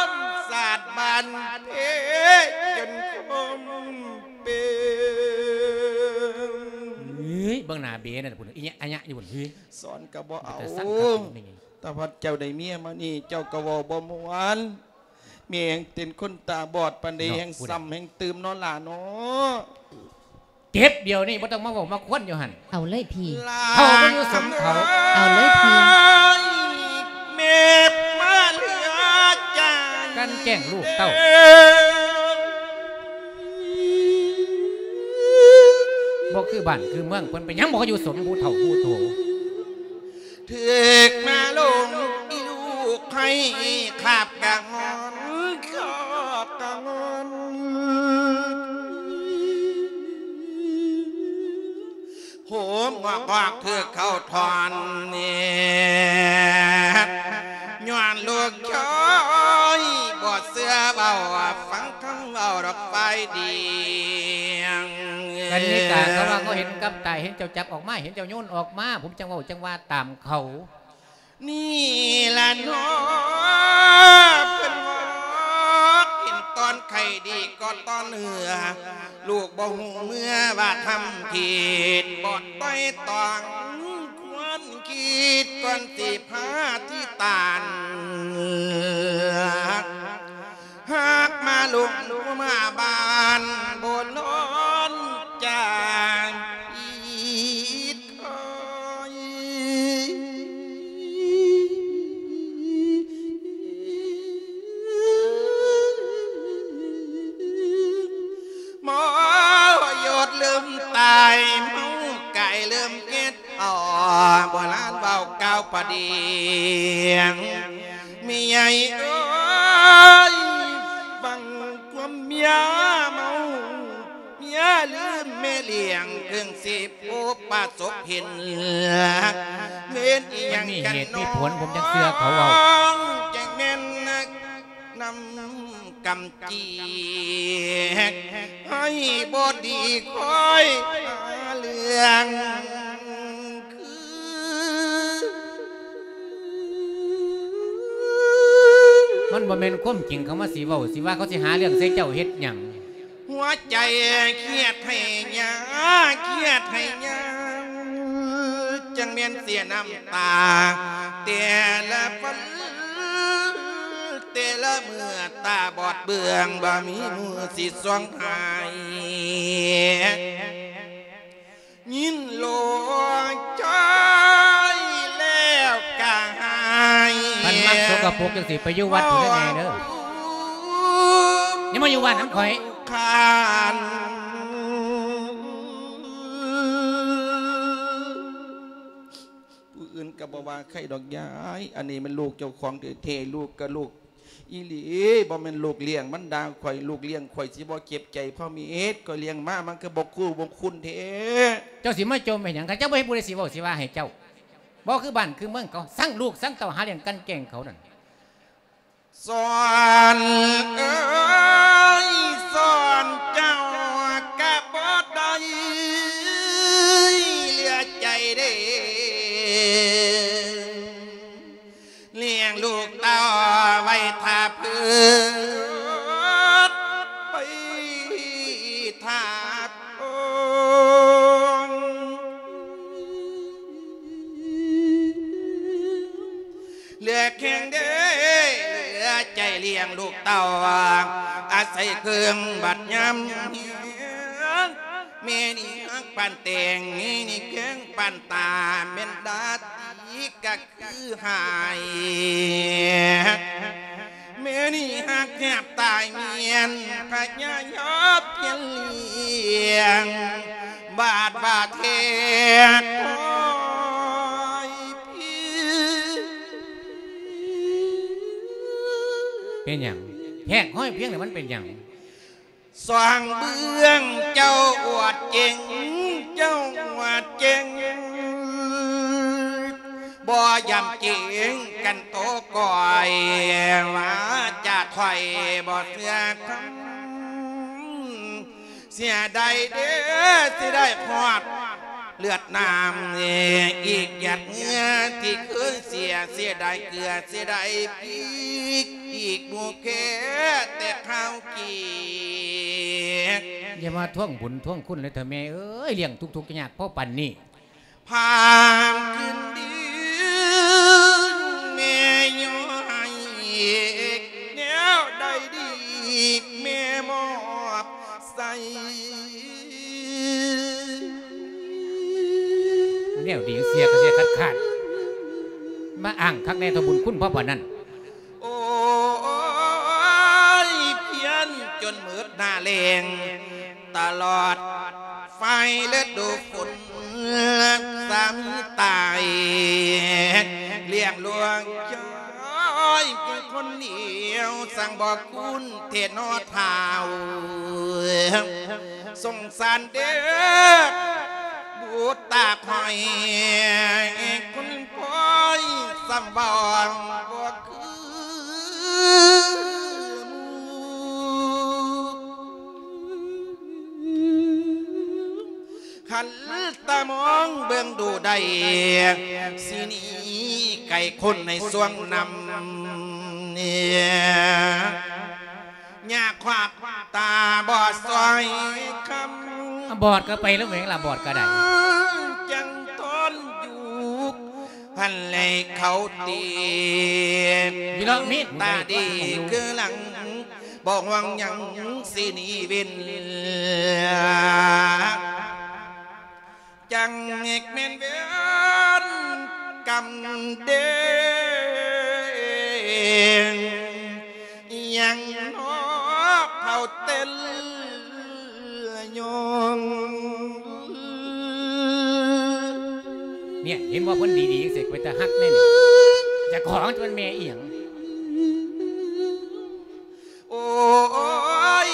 ນ ສາດບ້ານເພຈົນຄົມເປັນ. ເອີຍ ເບິ່ງໜ້າເບນັ້ນພຸ້ນ ອີຫຍັງອະຍະຢູ່ພຸ້ນ ເອີຍ ສອນກະບໍ່ເອົາ ເປັນຕາຊັງຄັກນີ້ ຕາພັດເຈົ້າໄດ້ເມຍມານີ້ ເຈົ້າກະເວົ້າບໍ່ມ່ວນ ແມ່ງເປັນຄົນຕາບອດປານໃດ ເນາະ ແຮ່ງ ຜູ້ໃດ ຊ້ຳແຮ່ງຕື່ມເນາະຫຼ້າເນາະ. ເຈັບດຽວນີ້ ບໍ່ຕ້ອງມາເວົ້າມາຄວນຢູ່ຫັ້ນ ເອົາເລີຍພີ່ ເຖົ້າບໍ່ຢູ່ສົມເຖົ້າ ເອົາເລີຍພີ່ ແມ່ມາເຫຼືອໃຈ ກັ່ນແກງລູກເຕົ້າ ບໍ່ຄືບ້ານຄືເມືອງ ເພິ່ນໄປຫຍັງບໍ່ຢູ່ສົມຜູ້ເຖົ້າຜູ້ໂທ ຖືກມາລົງ ຂາບກະງອນ ຂາບກະງອນ ໂຫມງອກໆ ຖືກເຂົາຖອນແນບ ຍ້ອນລູກເຂີຍບໍ່ເຊື່ອເວົ້າ ຟັງຄຳເວົ້າດອກຝ່າຍດຽງ. ກັນນິກາ ເຂົາວ່າເຂົາເຫັນກັບຕາ ເຫັນເຈົ້າຈັບອອກມາ ເຫັນເຈົ້າໂຍນອອກມາ ຜົມຈັ່ງເວົ້າຈັ່ງວ່າຕາມເຂົາ. ນີ້ລະເນາະ ເພິ່ນບອກເຫັນຕອນໄຂ້ດີກໍຕອນເຫື່ອ ລູກບໍ່ຮູ້ເມື່ອວ່າທຳຜິດ ບໍ່ໄຕ່ຕອງຄວນຄິດກ່ອນຊິພາທີ່ຕານ ຫາກມາລົງມາບ້ານ ບໍ່ລ້ອນຈາກອີດຄອຍ ໝໍຢົດເລີ່ມຕາຍ ເມົາກາຍເລີ່ມເກັດ ອໍ ໂບລານເວົ້າກ່າວປະດຽງ ແມ່ໃຫຍ່ເອີຍ ຟັງຄວາມເມຍເມົາ ເມຍລືມແມ່ລ້ຽງ ເພິ່ງຊິພົບປະສົບເຫັນ ເປັນອີ່ຫຍັງ ມັນມີເຫດມີຜົນ ຜົມຈັ່ງເຊື່ອເຂົາເວົ້າ ຈັ່ງແມ່ນນັກນຳ ກຳຈີກ ໃຫ້ບໍ່ດີຄອຍຫາເລື່ອງຄື ມັນບໍ່ແມ່ນຄວາມຈິງ ເຂົາມາຊິເວົ້າຊິວ່າ ເຂົາຊິຫາເລື່ອງໃສ່ເຈົ້າເຮັດຫຍັງ? ຫົວໃຈຄຽດໃຫ້ຍາ ຄຽດໃຫ້ຍາ ຈັ່ງແມ່ນເສຍນ້ຳຕາ ແຕ່ລະວັນ ແຕ່ລະມື້ຕາບອດເບື່ອງ ບໍ່ມີມືຊິສ່ອງໃຫ້ ຍິນໂລຈອຍແລ້ວກະຫາຍ ຄັນມັກສົກກະປົກຈັ່ງຊີ້ ໄປຢູ່ວັດພຸ້ນເດີແມ່ເດີ ຢ່າມາຢູ່ບ້ານນຳຂ້ອຍ ຄານ. ຜູ້ອື່ນກໍບໍ່ວ່າໃຄດອກຍາຍ ອັນນີ້ແມ່ນລູກເຈົ້າຂອງແທ້ໆ ລູກກໍລູກອີ່ຫຼີ ບໍ່ແມ່ນລູກລ້ຽງມັນດ່າຂ້ອຍ ລູກລ້ຽງຂ້ອຍຊິບໍ່ເຈັບໃຈພໍ່ເມດ ຂ້ອຍລ້ຽງມາມັນຄືບໍ່ຄູບໍ່ຄຸນແທ້. ເຈົ້າຊິມາຈົ່ມເຮັດຫຍັງ? ຄັນເຈົ້າບໍ່ເຮັດ ຜູ້ໃດຊິເວົ້າຊິວ່າໃຫ້ເຈົ້າ? ບໍ່ຄືບ້ານຄືເມືອງເຂົາ ຊັງລູກຊັງເຕົ້າ ຫາລ້ຽງກັ່ນແກ້ງເຂົານັ້ນ. ສອນເອີຍ ສອນເຈົ້າກະບໍ່ໄດ້ເຫຼືອໃຈເດ້ ລ້ຽງລູກເຕົ້າໄວ້ຖ້າເພິ່ນ ໄວ້ຖ້າ ເຫຼືອແຂງເດ້ ເຫຼືອໃຈລ້ຽງລູກເຕົ້າ ອາໄສເຄື່ອງບັດຍາມ ແມ່ນີ້ຮັກປານແຕງ ແມ່ນີ້ແຂງປານຕາ ແມ່ນດາຕີກະຄືຫາຍ ແມ່ນີ້ຮັກແທບຕາຍ ແມ່ນພະຍາຍາມພຽນລ້ຽງ ບາດວ່າແທ້ຄອຍພຽງ. ເປັນຫຍັງ? ແທກຫ້ອຍພຽງນີ້ມັນເປັນຫຍັງ? ສອງເບື້ອງເຈົ້າອວດເກັ່ງ ເຈົ້າອວດເກັ່ງ ບໍ່ຢຳເກງກັນໂຕກ້ອຍ ວາຈາຖ້ອຍບໍ່ເຊື່ອຄຳ ເສຍດາຍເດ້ ເສຍດາຍຮອດເລືອດນ້ຳ ອີກຢາດເຫື່ອທີ່ເຄີຍເສຍ ເສຍດາຍເກືອ ເສຍດາຍພິກ ອີກໝູ່ແຄ່ແຕ່ຄາວກີກ. ຢ່າມາທວງບຸນທວງຄຸນເລີຍເຖົ້າແມ່ເອີຍ ລ້ຽງທຸກໆຍາກພໍປານນີ້. ພາມຄືນດີແມ່ຍ້ອນໃຫ້ ແນວໃດດີແມ່ມອບໃສ່ ແນວດີເສຍກະເສຍຂາດໆ ມາອ້າງຄັກແນ່ເຖົ້າບຸນຄຸນພໍປານນັ້ນ. ໂອ້ຍ ພຽນຈົນໝົດໜ້າແລ້ງ ຕະຫຼອດໄຟລະດູຝົນ ສາມີຕາຍ ລ້ຽງລູກເຈ້ຍ ຄົນດຽວ ຊ່າງບໍ່ຄຸ້ນແທ້ເນາະທ້າວ ສົງສານເດີ ບຸດຕາຂ້ອຍ ຄົນຂ້ອຍ ສ່ຳເວົ້າບໍ່ຄື ຄັນຕາມອງເບິ່ງດູໄດ້ ຊິໜີໄກຄົນໃນຊ່ວງນຳ ຍາຄວັກຕາບອດຊ່ອຍຄຳ ບອດກໍໄປແລ້ວແມ່ງລະ ບອດກໍໄດ້ ຈັ່ງຕ້ອນຢູ່ ພັນແລເຂົາຕີ ວິລະມີດ ຕາດີຄືຫຼັງ ບໍ່ຫວັງຫຍັງຊິໜີເວັ້ນ ຈັ່ງແມ່ນເວນກຳເດ ຍັງນອກເຂົາເຕັນ ຍອງ ເນຍ ເຫັນບໍ່ ເພິ່ນດີໆ ເສກ ເປັນຕາຮັກແນ່ນີ້ ເຈົ້າຂອງຈະແມ່ນແມ່ອີ່ຫຍັງ ໂອ້ຍ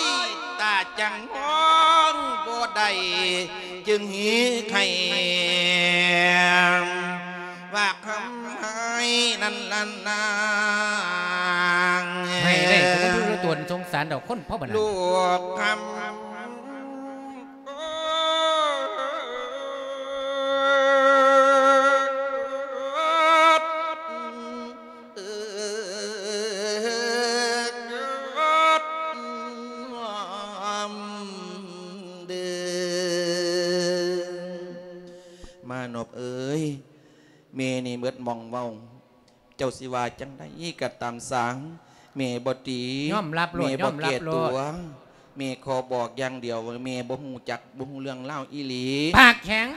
ຕາຈັ່ງຮ້ອງບໍ່ໄດ້ ຈຶ່ງເຮັດໃຫ້ວ່າຄຳໃຫ້ນັ້ນລະນາງ ໃຫ້ໄດ້ກໍບໍ່ຢູ່ລະຕົນ ສົງສານດອກຄົນເຜົ່າບັດນັ້ນ ລູກຄຳ ມານົບເອີຍ ແມ່ນີ້ເໝິດໝ່ອງເວົ້າ ເຈົ້າຊິວ່າຈັ່ງໃດກໍຕາມຊ່າງ ແມ່ບໍ່ຕີ ຍອມຮັບໂລດ ແມ່ບໍ່ແກ້ຕົວ ຍອມຮັບໂລດ ແມ່ຂໍບອກຢ່າງດຽວ ແມ່ບໍ່ຮູ້ຈັກ ບໍ່ຮູ້ເລື່ອງລາວອີ່ຫຼີ ປາກແຂງ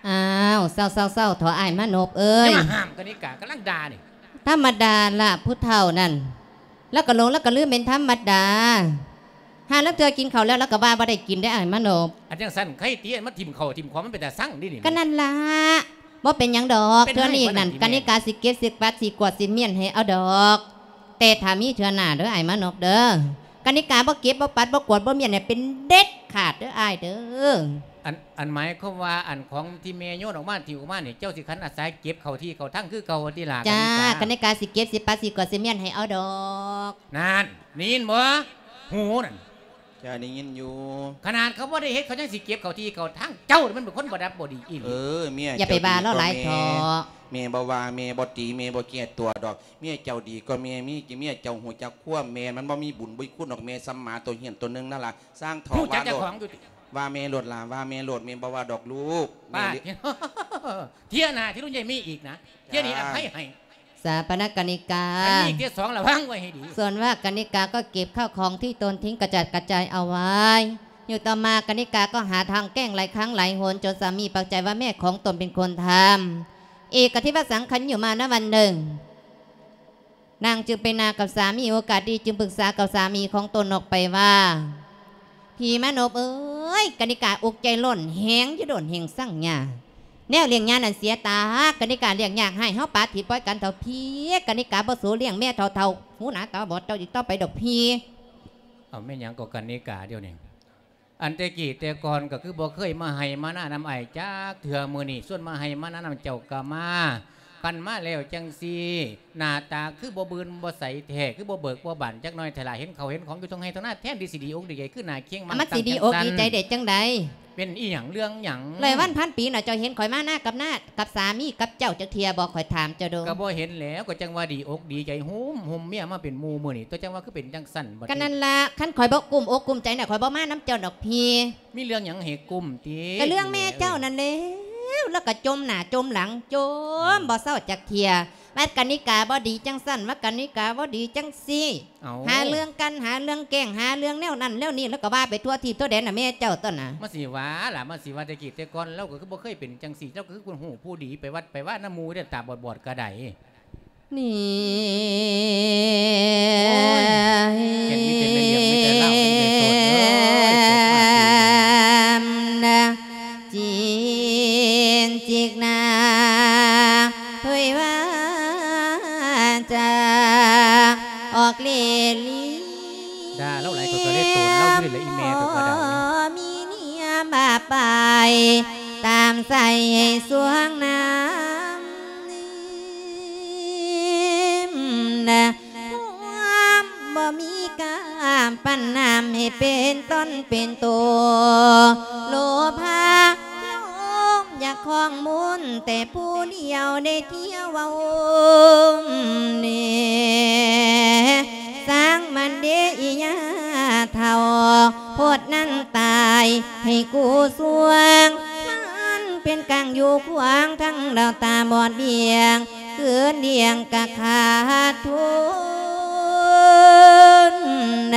ອ້າວ ເຊົາໆໆ ເຖົ້າອ້າຍມານົບເອີຍ ຢ່າມາຫ້າມກະນິກາ ກຳລັງດ່ານີ້ ທຳມະດາລະ ຜູ້ເຖົ້ານັ້ນ ລາວກໍຫຼົງ ລາວກໍລືມເປັນທຳມະດາ ຫາລາງເທື່ອກິນເຂົ້າແລ້ວ ລາວກໍວ່າບໍ່ໄດ້ກິນເດ້ອ້າຍມານົບ ອັນຈັ່ງຊັ້ນ ໃຄຕິ ອັນມາຖິ້ມເຂົ້າຖິ້ມຂອງ ມັນເປັນຕາຊັງເດນີ້ ກໍນັ້ນລະ ບໍ່ເປັນຫຍັງດອກ ເປັນ ເທື່ອນີ້ນັ້ນ ໃຫ້ບໍ່ນັ້ນຕິ ກະນິກາຊິເກັບຊິກວາດຊິກວດຊິມ້ຽນໃຫ້ເອົາດອກ ແຕ່ຖ້າມີເທື່ອໜ້າເດີອ້າຍມານົບເດີ ກະນິກາບໍ່ເກັບບໍ່ປັດບໍ່ກວາດບໍ່ມ້ຽນໃຫ້ເປັນເດັດຂາດເດີອ້າຍເດີ ອັນ ອັນໝາຍຄວາມວ່າ ອັນຂອງທີ່ແມ່ໂຍນອອກມາ ຖິ້ມອອກມານີ້ ເຈົ້າຊິຂັນອາສາເກັບເຂົ້າທີ່ເຂົ້າທາງຄືເກົ່າຕິລະ ຈ້າ ກະນິກາ ກະນິກາຊິເກັບຊິປັດຊິກວາດຊິມ້ຽນໃຫ້ເອົາດອກ ນັ້ນ ໄດ້ຍິນບໍ່? ຫູນັ້ນ ເຈົ້າໄດ້ຍິນຢູ່ ຂະໜາດເຂົາບໍ່ໄດ້ເຮັດ ເຂົາຍັງຊິເກັບເຂົ້າທີ່ເຂົ້າທາງ ເຈົ້າມັນເປັນຄົນບໍ່ດັບບໍ່ດີອີ່ຫຼີ ເອີ ເມຍ ຢ່າໄປວ່າລາວຫຼາຍເຖາະ ເຈົ້າດີກວ່າແມ່ ແມ່ບໍ່ວ່າ ແມ່ບໍ່ຕີ ແມ່ບໍ່ແກ້ຕົວດອກ ເມຍເຈົ້າດີກວ່າແມ່ ມີ ເມຍເຈົ້າຮູ້ຈັກຄວາມແມ່ ມັນບໍ່ມີບຸນບໍ່ມີຄຸນດອກ ແມ່ສ່ຳໝາຕົວເຫື່ອນຕົວໜຶ່ງນັ້ນລະ ຊ່າງເຖາະ ຮູ້ຈັກເຈົ້າຂອງຢູ່ຕິ ວ່າແມ່ໂລດລະ ວ່າແມ່ໂລດ ແມ່ບໍ່ວ່າດອກລູກ ປາດ ແມ່ ເທື່ອໜ້າທີ່ລຸງໃຫຍ່ມີອີກນະ ເທື່ອນີ້ອະໄພໃຫ້ ສາປະນະກະນິກາ ຄັນມີເທື່ອສອງລະວັງໄວ້ໃຫ້ດີ ສ່ວນວ່າກະນິກາກໍເກັບເຂົ້າຂອງທີ່ຕົນຖິ້ມກະຈັດກະຈາຍເອົາໄວ້ ຢູ່ຕໍ່ມາກະນິກາກໍຫາທາງແກ້ງຫຼາຍຄັ້ງຫຼາຍຫົນ ຈົນສາມີປາກໃຈວ່າແມ່ຂອງຕົນເປັນຄົນທຳ ເອກະທິວະສັງຄັນຢູ່ມານະວັນໜຶ່ງ ນາງຈຶ່ງໄປນາກັບສາມີ ໂອກາດດີຈຶ່ງປຶກສາກັບສາມີຂອງຕົນອອກໄປວ່າ ພີ່ມານົບເອີຍ ກະນິກາອົກໃຈລ້ນແຮງຢູ່ດົນແຮງສັງຍາ ແນວລ້ຽງຍານັ້ນເສຍຕາ ກະນິກາລ້ຽງຍາກ ໃຫ້ເຮົາປະຖິ້ມປ່ອຍກັນເຖົ້າພີ່ ກະນິກາບໍ່ສູ້ລ້ຽງແມ່ເຖົ້າໆ ຫູໜາຕາບອດເຈົ້າອີກຕໍ່ໄປດອກພີ່ ເອົາແມ່ນຫຍັງກໍກະນິກາດຽວນີ້ ອັນແຕ່ກີ້ແຕ່ກ່ອນກໍຄືບໍ່ເຄີຍມາໄຮ່ມານານຳອ້າຍຈັກເທື່ອ ມື້ນີ້ຊວນມາໄຮ່ມານານຳເຈົ້າກໍມາ ຄັນມາແລ້ວຈັ່ງຊີ້ ໜ້າຕາຄືບໍ່ບືນບໍ່ໃສແທ້ ຄືບໍ່ເບີກບໍ່ບານຈັກໜ້ອຍແທ້ລະ ເຫັນເຂົ້າເຫັນຂອງຢູ່ທົ່ງໄຮ່ທົ່ງນາ ແທນທີ່ຊິດີອົກດີໃຈຄືໜ້າຄຽງມາ ມັນຊິດີອົກດີໃຈໄດ້ຈັ່ງໃດ ເປັນອີ່ຫຍັງເລື່ອງຫຍັງ ຫຼາຍວັນພັນປີເນາະ ເຈົ້າເຫັນຂ້ອຍມານາກັບນາ ກັບສາມີກັບເຈົ້າຈັກເທື່ອບໍ່ ຂ້ອຍຖາມເຈົ້າດູ ກໍບໍ່ເຫັນແລ້ວ ກໍຈັ່ງວ່າດີອົກດີໃຈ ໂຮມໂຮມເມຍມາເປັນໝູ່ມື້ນີ້ ຕົວະຈັ່ງວ່າຄືເປັນຈັ່ງຊັ້ນບັດນີ້ ກໍນັ້ນລະ ຄັນຂ້ອຍບໍ່ກຸ້ມອົກກຸ້ມໃຈນະ ຂ້ອຍບໍ່ມານຳເຈົ້າດອກພີ່ ມີເລື່ອງຫຍັງໃຫ້ກຸ້ມຕິ ກໍເລື່ອງແມ່ເຈົ້ານັ້ນແຫຼ້ວ ລາວກໍຈົ່ມໜ້າຈົ່ມຫຼັງ ຈົ່ມ ເອີ ບໍ່ເຊົາຈັກເທື່ອ ວ່າກະນິກາບໍ່ດີຈັ່ງຊັ້ນ ວ່າກະນິກາບໍ່ດີຈັ່ງຊີ້ ເອົ້າ ຫາເລື່ອງກັນ ຫາເລື່ອງແກ້ງ ຫາເລື່ອງແນວນັ້ນແນວນີ້ ແລ້ວກໍວ່າໄປທົ່ວທີບທົ່ວແດນນະ ແມ່ເຈົ້າຕົນນະ ມາຊິວ່າລະ ມາຊິວ່າແຕ່ກີ້ແຕ່ກ່ອນ ລາວກໍຄືບໍ່ເຄີຍເປັນຈັ່ງຊີ້ ເຈົ້າກໍຄືຜູ້ຮູ້ຜູ້ດີ ໄປວັດໄປວານຳໝູ່ເດ້ ຕາບອດໆກໍໄດ້ ນີ້ ໂອ້ຍ ເຫັນມີແຕ່ແມ່ນເລື່ອງ ມີແຕ່ລາວ ມີແຕ່ໂສດເອີຍ ຕກມາປີ ນະ ຈີນຈິກນາ ຖ້ວຍວ່າຈາ ອອກເລ່ລີ ດ່າລາວຫຼາຍ ຂ້ອຍກໍເລີຍໂຕນລາວຢູ່ນີ້ແຫຼະ ອີ່ແມ່ກໍວ່າໄດ້ ມີເນຍມາໄປ ຕາມໃສ່ໃຫ້ສວງນ້ຳ ນະ ຄວາມບໍ່ມີກາມ ປັນນ້ຳໃຫ້ເປັນຕົນເປັນໂຕ ໂລພາລົມ ຢາກຄອງມົນແຕ່ຜູ້ດຽວ ໄດ້ທ່ຽວເວົ້າແນ່ ຊ່າງມັນເດອີ່ຍ່າເຖົ້າ ໂພດນັ້ນຕາຍໃຫ້ກູສວງ ມັນເປັນກາງຢູ່ຂວາງ ທັງດາວຕາບອດບ້ຽງ ຄືນລ້ຽງກະຂາດທຶນ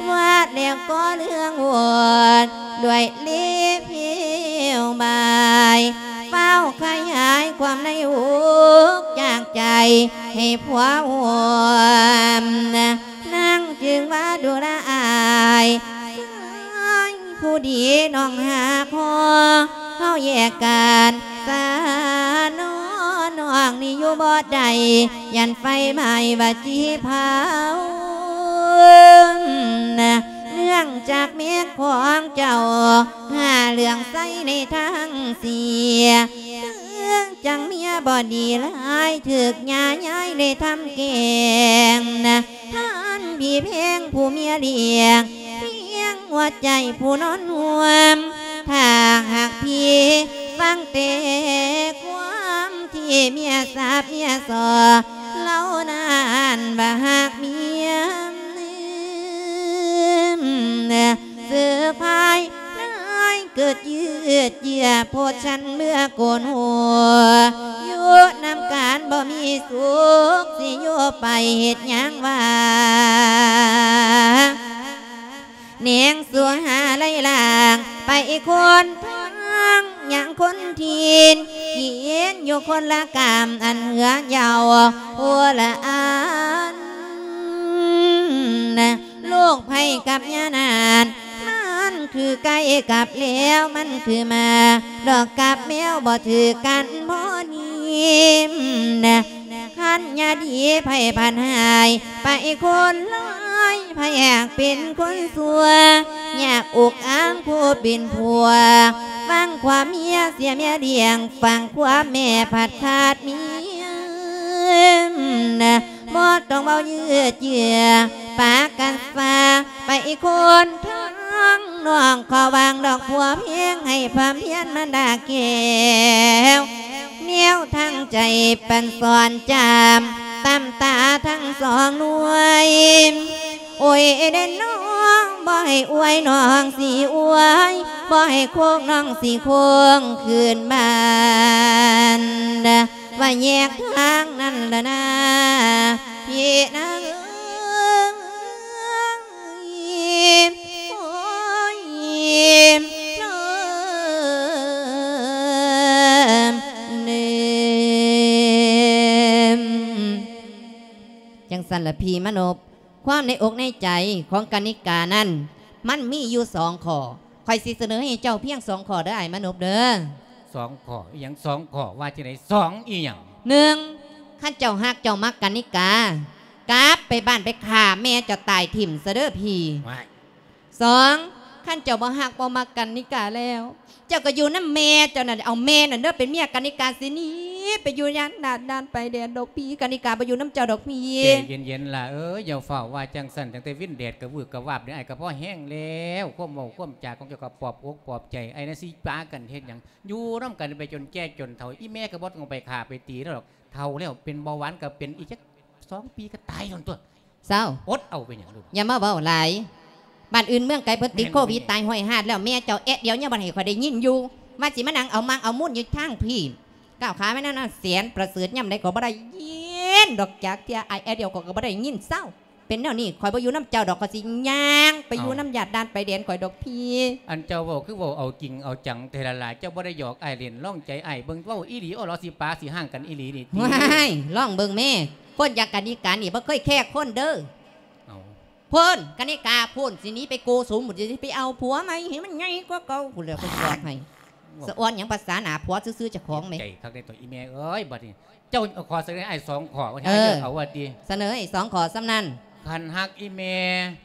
ວ່າແລ້ວກໍເລື່ອງວົນ ດ້ວຍເລເພວບາຍ ຟ້າວຂະຫຍາຍຄວາມໃນອົກຈາກໃຈໃຫ້ຜົວຮ່ວມ ນາງຈຶ່ງວ່າດູລະອາຍ ຊາຍຜູ້ດີນ້ອງຫາພໍ ເຮົາແຍກກັນສານອ ນ້ອງນີ້ຢູ່ບໍ່ໄດ້ ຢ້ານໄຟໄໝ້ວ່າຊິເຜົາ ເນື່ອງຈາກແມ່ຂອງເຈົ້າ ຫາເລື່ອງໃສ່ໃນທາງເສຍ ຄືຈັ່ງເມຍບໍ່ດີຫຼາຍ ຖືກຍ່າຍາຍໄດ້ທຳແກ້ງ ທ່ານພີ່ແພງຜູ້ເມຍລ້ຽງ ພຽງຫົວໃຈຜູ້ນອນຮ່ວມ ຖ້າຫາກພີ່ຟັງແຕ່ຄວາມທີ່ເມຍສາບເມຍສໍ້ ເຫຼົ່ານັ້ນວ່າຫາກເມຍ ເສືອພາຍນາຍເກີດຍືດເຍືອ ໂພດສັນເມື່ອໂກນຫົວ ຢູ່ນຳກັນບໍ່ມີສຸກ ຊິຢູ່ໄປເຮັດຫຍັງວ່າ ແນງສູ່ຫາໄລ່ລ້າງ ໄປຄົນທາງຫຍັງຄົນຖິ່ນ ກິນຢູ່ຄົນລະກຳ ອັນເຮືອເຍົາຄົນລະອັນ ລູກໃຜກັບຍານານ ມັນຄືໄກ່ກັບແລວ ມັນຄືໝາດອກກັບແມວ ບໍ່ຖືກກັນພໍດີ ຄັນຍາດີໃຜພັນຫາຍ ໄປຄົນຮ້າຍ ໃຜຢາກເປັນຄົນຊົ່ວ ຢາກອຸກອາງຜູ້ເປັນຜົວ ຟັງຄວາມເມຍເສຍເມຍລ້ຽງ ຟັງຄວາມແມ່ພັດຂາດເມຍ ບໍ່ຕ້ອງເວົ້າຍືດເຍືອ ປາກັນຊາ ໄປຄົນທາງນ້ອງ ຂໍວາງດອກຜົວເພງ ໃຫ້ພຳພຽນມາດາແກ້ວ ແນວທາງໃຈປັນສອນຈາມ ຕຳຕາທັງສອງໜ່ວຍ ໂອ້ຍເດ້ນ້ອງ ບໍ່ໃຫ້ອວຍນ້ອງຊິອວຍ ບໍ່ໃຫ້ໂຄງນ້ອງຊິໂຄງຄືນບ້ານ ວ່າແຍກທາງນັ້ນລະນາ ພີ່ນາເອີຍ ໂອ້ຍ ນ້ອງເອີຍ ຈັ່ງຊັ້ນລະພີ່ມານົບ ຄວາມໃນອົກໃນໃຈຂອງກະນິການັ້ນ ມັນມີຢູ່ສອງຂໍ້ ຂ້ອຍຊິສະເໜີໃຫ້ເຈົ້າພຽງສອງຂໍ້ເດີອ້າຍມານົບເດີ. ສອງຂໍ້? ອີ່ຫຍັງສອງຂໍ້? ວ່າຈັ່ງໃດ? ສອງອີ່ຫຍັງ? ໜຶ່ງ ຄັນເຈົ້າຮັກເຈົ້າມັກກະນິກາ ກັບໄປບ້ານໄປຂ້າແມ່ເຈົ້າຕາຍຖິ້ມຊະເດີພີ່. ວ້າຍ! ສອງ ຄັນເຈົ້າບໍ່ຮັກບໍ່ມັກກະນິກາແລ້ວ ເຈົ້າກໍຢູ່ນຳແມ່ເຈົ້ານັ້ນ ເອົາແມ່ນັ້ນເດີເປັນເມຍ ກະນິກາຊິໜີໄປຢູ່ຢ້ານດາດດ່ານໄປແດນດອກພີ່ ກະນິກາບໍ່ຢູ່ນຳເຈົ້າດອກພີ່. ໃຈເຢັນໆ ຫຼ້າເອີຍ ຢ່າຟ້າວວ່າຈັ່ງຊັ້ນ ຕັ້ງແຕ່ວິນແດດກະວືກກະວາບນີ້ ອ້າຍກໍພໍແຮງແລ້ວ ຄວາມເວົ້າຄວາມຈາຂອງເຈົ້າກໍປອບອົກປອບໃຈອ້າຍນະ ຊິປາກັນເຮັດຫຍັງ ຢູ່ນຳກັນໄປຈົນແກ່ຈົນເຖົ້າ ອີ່ແມ່ກໍບໍ່ຕ້ອງໄປຂ້າໄປຕີລາວດອກ ເຖົ້າແລ້ວເປັນເບົາຫວານກໍເປັນ ອີກຈັກສອງປີກໍຕາຍໂດນຕົວະ. ເຊົາ ອົດເອົາ ເປັນຫຍັງລູກ? ຢ່າມາເວົ້າຫຼາຍ ບ້ານອື່ນເມືອງໄກເພິ່ນຕິດໂຄວິດຕາຍຮ້ອຍຮາດແລ້ວ ແມ່ເຈົ້າແອດດຽວຍັງບໍ່ໃຫ້ຂ້ອຍໄດ້ຍິນຢູ່ ວ່າຊິມານັ່ງເອົາມັງເອົາມຸນຢູ່ທາງພີ້ ກ້າວຂາມານຳນາງແສນປະເສີດ ຍາມໃດກໍບໍ່ໄດ້ຍິນດອກຈັກເທື່ອ ອ້າຍແອດດຽວກໍບໍ່ໄດ້ຍິນ ເຊົາ ເປັນແນວນີ້ ຂ້ອຍບໍ່ຢູ່ນຳເຈົ້າດອກ ຂ້ອຍຊິຍ່າງໄປຢູ່ນຳຍາດດ່ານໄປແດນຂ້ອຍດອກພີ່. ອັນເຈົ້າເວົ້າຄືເວົ້າເອົາຈິງເອົາຈັງແທ້ລະຫຼ້າ ເຈົ້າບໍ່ໄດ້ຫຍອກອ້າຍຫຼິ້ນ ລອງໃຈອ້າຍເບິ່ງ ເວົ້າອີ່ຫຼີ ອໍ ລາວຊິປາຊິຮ້າງກັນອີ່ຫຼີນີ້ຕິ. ວ້າຍ ລອງເບິ່ງແມ້ ຄົນຢ່າງກະນິການີ້ບໍ່ເຄີຍແຄກຄົນເດີ. ເອົ້າ ພຸ້ນ ກະນິກາພຸ້ນ ຊິໜີໄປໂກສຸມພຸ້ນ ຊິໄປເອົາຜົວໃໝ່ໃຫ້ມັນໃຫຍ່ກວ່າເກົ່າພຸ້ນແລ້ວ ຂ້ອຍບອກໃຫ້. ສະອອນຫຍັງພາສາໜ້າຜົວຊື່ໆ ເຈົ້າຂອງແມ້. ໃຈຄັກເດ້ຕົວະ ອີ່ແມ່ເອີຍ ບັດນີ້ ເຈົ້າຂໍສະເໜີໃຫ້ສອງຂໍ້ ໃຫ້ເຈົ້າເອົາວ່າຕິ. ສະເໜີໃຫ້ສອງຂໍ້ສ່ຳນັ້ນ. ຄັນຮັກອີ່ແມ່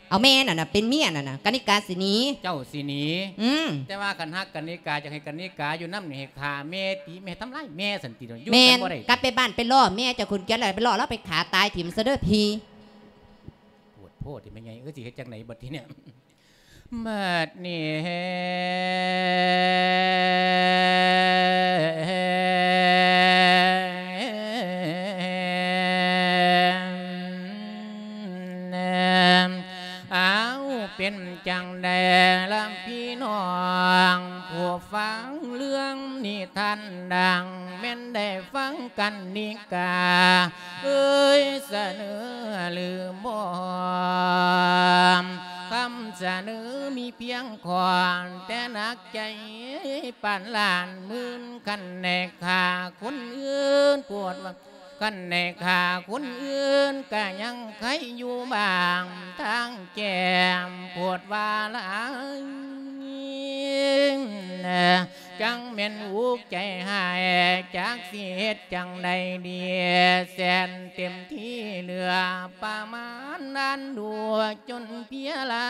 ເອົາແມ່ນັ້ນນະເປັນເມຍນັ້ນນະ ກະນິກາຊິໜີ ເຈົ້າຊິໜີ. ອືມ ແຕ່ວ່າຄັນຮັກກະນິກາ ຢາກໃຫ້ກະນິກາຢູ່ນຳນີ້ ໃຫ້ຂ້າແມ່ ຕີແມ່ ທຳລາຍແມ່ຊັ້ນຕິ ຢູ່ກັນບໍ່ໄດ້. ແມ່ນ ກັບໄປບ້ານໄປລໍ້ແມ່ເຈົ້າຂຸນກຽດ ແລ້ວໄປລໍ້ລາວ ໄປຂ້າຕາຍຖິ້ມຊະເດີພີ້. ໂພດໂພດຕິແມ່ໃຫຍ່ເອີຍ ຊິເຮັດຈັ່ງໃດບັດທີນີ້. ບັດນີ້ແຮ ອ້າວ ເປັນຈັ່ງໃດລະພີ່ນ້ອງ ຜູ້ຟັງເລື່ອງນິທານດັ່ງ ແມ່ນໄດ້ຟັງກັນນິກາ ເອີຍສະເໜີຫຼືບໍ່? ຄຳສະເໜີມີພຽງຂ້ອນ ແຕ່ໜັກໃຈປານລ້ານໝື່ນ ຄັນແນກຂ້າຄົນອື່ນ ໂພດວ່າ ຄັນແນກຂ້າຄົນອື່ນ ກະຍັງໄຄຢູ່ບ້າງ ທາງແກ້ມໂພດວ່າຫຼາຍ ຈັ່ງແມ່ນອຸກໃຈຮ້າຍ ຈັກຊິເຮັດຈັ່ງໃດດີ ແສນເຕັມທີ່ເຫຼືອປະມານ ນານດູຈົນເພຍລາ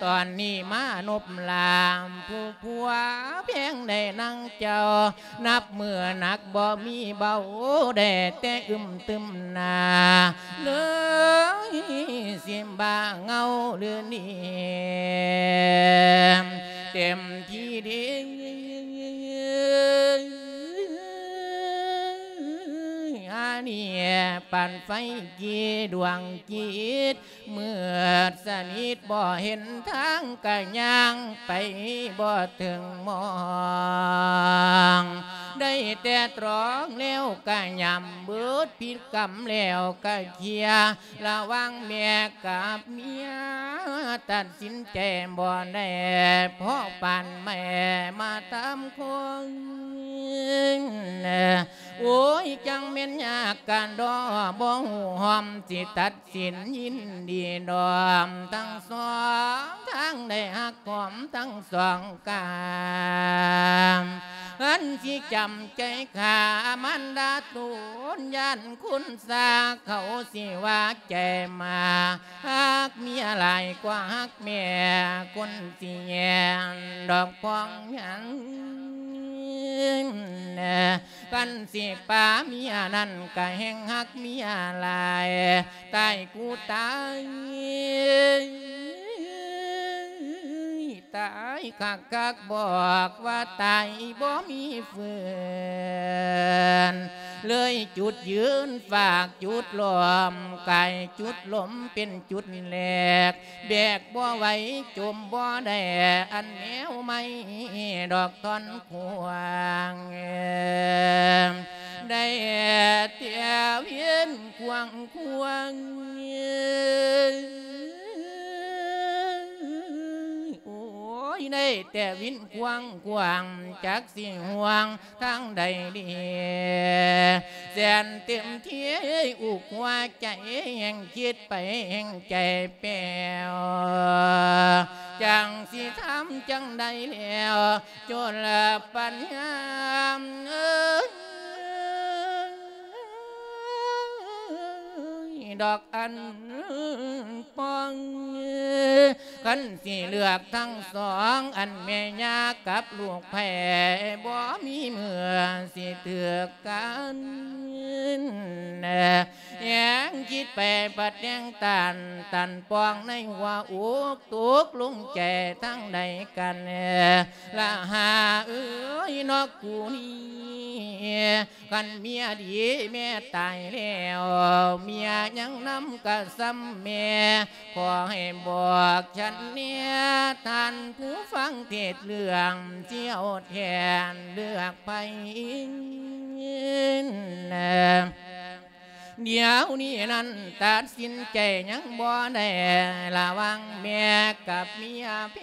ຕອນນີ້ມານົບລາມ ຜູ້ຜົວແພງໄດ້ນາງເຈົ້າ ນັບມື້ໜັກບໍ່ມີເບົາ ໄດ້ແຕ່ອຶມຕຶມໜ້າ ເລີຍຊິບ້າເຫງົາຫຼືນີ້ ເຕັມທີ່ເດ ອັນນີ້ປານໄຟກີດວງກີດ ມືດສະໜິດບໍ່ເຫັນທາງ ກະຍ່າງໄປບໍ່ເຖິງໝ່ອງ ໄດ້ແຕ່ຕຣອງແລ້ວກະຫຍ້ຳ ເບິດພິດກຳແລ້ວກະເຄຍ ລະຫວ່າງແມ່ກັບເມຍ ຕັດສິນໃຈບໍ່ໄດ້ ເພາະປານແມ່ມາຕາມຄົນ ໂອ້ຍ ຈັ່ງແມ່ນຍາກການດໍ ບໍ່ຮູ້ຮ່ອມ ຊິຕັດສິນຍິນດີດອມ ທັງສອງທາງໄດ້ຮັກຫອມທັງສອງກາຍ ອັນຊິຈຳໃຈຂ້າມານດາໂຕນ ຢ້ານຄົນຊາເຂົາຊິວ່າໃຈໝາ ຮັກເມຍຫຼາຍກວ່າຮັກແມ່ ຄົນຊິແຍງດອກພອງຍັງ ຄັນຊິປາເມຍນັ້ນກະແຮ່ງຮັກເມຍຫຼາຍ ຕາຍກູຕາຍ ຕາຍຄັກໆ ບອກວ່າຕາຍບໍ່ມີຟື້ນ ເລີຍຈຸດຢືນຝາກຈຸດລ້ອມ ກາຍຈຸດລົມເປັນຈຸດແລກ ແບກບໍ່ໄຫວຈົມບໍ່ໄດ້ ອັນແນວໃໝ່ດອກທ່ອນຂວາງ ໄດ້ແຕ່ວຽນຂວາງຂວາງ ໂອ້ຍ ໄດ້ແຕ່ວິນຂວາງຂວາງ ຈັກຊິຫ່ວງ ທາງໃດດີ ແສນເຕັມທີ່ອຸກຫົວໃຈ ແຮ່ງຄິດໄປແຮ່ງໃຈແປວ ຈັ່ງຊິທຳຈັ່ງໃດແລ້ວ ຈົນລະປັນຍາມເອີຍ ດອກອັນປ່ອງ ຄັນຊິເລືອກທັງສອງ ອັນແມ່ຍ່າກັບລູກໃພ້ ບໍ່ມີເມື່ອຊິຖືກກັນ ແຮງຄິດໄປປະແຕ່ງຕ້ານ ຕັນປ່ອງໃນຫົວອົກ ຕົກລົງໃຈທາງໃດກັນ ລະຫາເອີຍ ນອກກູນີ້ ຄັນເມຍດີແມ່ຕາຍແລ້ວ ເມຍຍັງນຳກະສ່ຳແມ່ ຂໍໃຫ້ບອກສັນແດ່ ທ່ານຜູ້ຟັງເທດເລື່ອງ ຊິເອົາແທນເລືອກໃຜ ດຽວນີ້ນັ້ນຕັດສິນໃຈຍັງບໍ່ໄດ້ ລະຫວ່າງແມ່ກັບເມຍແພ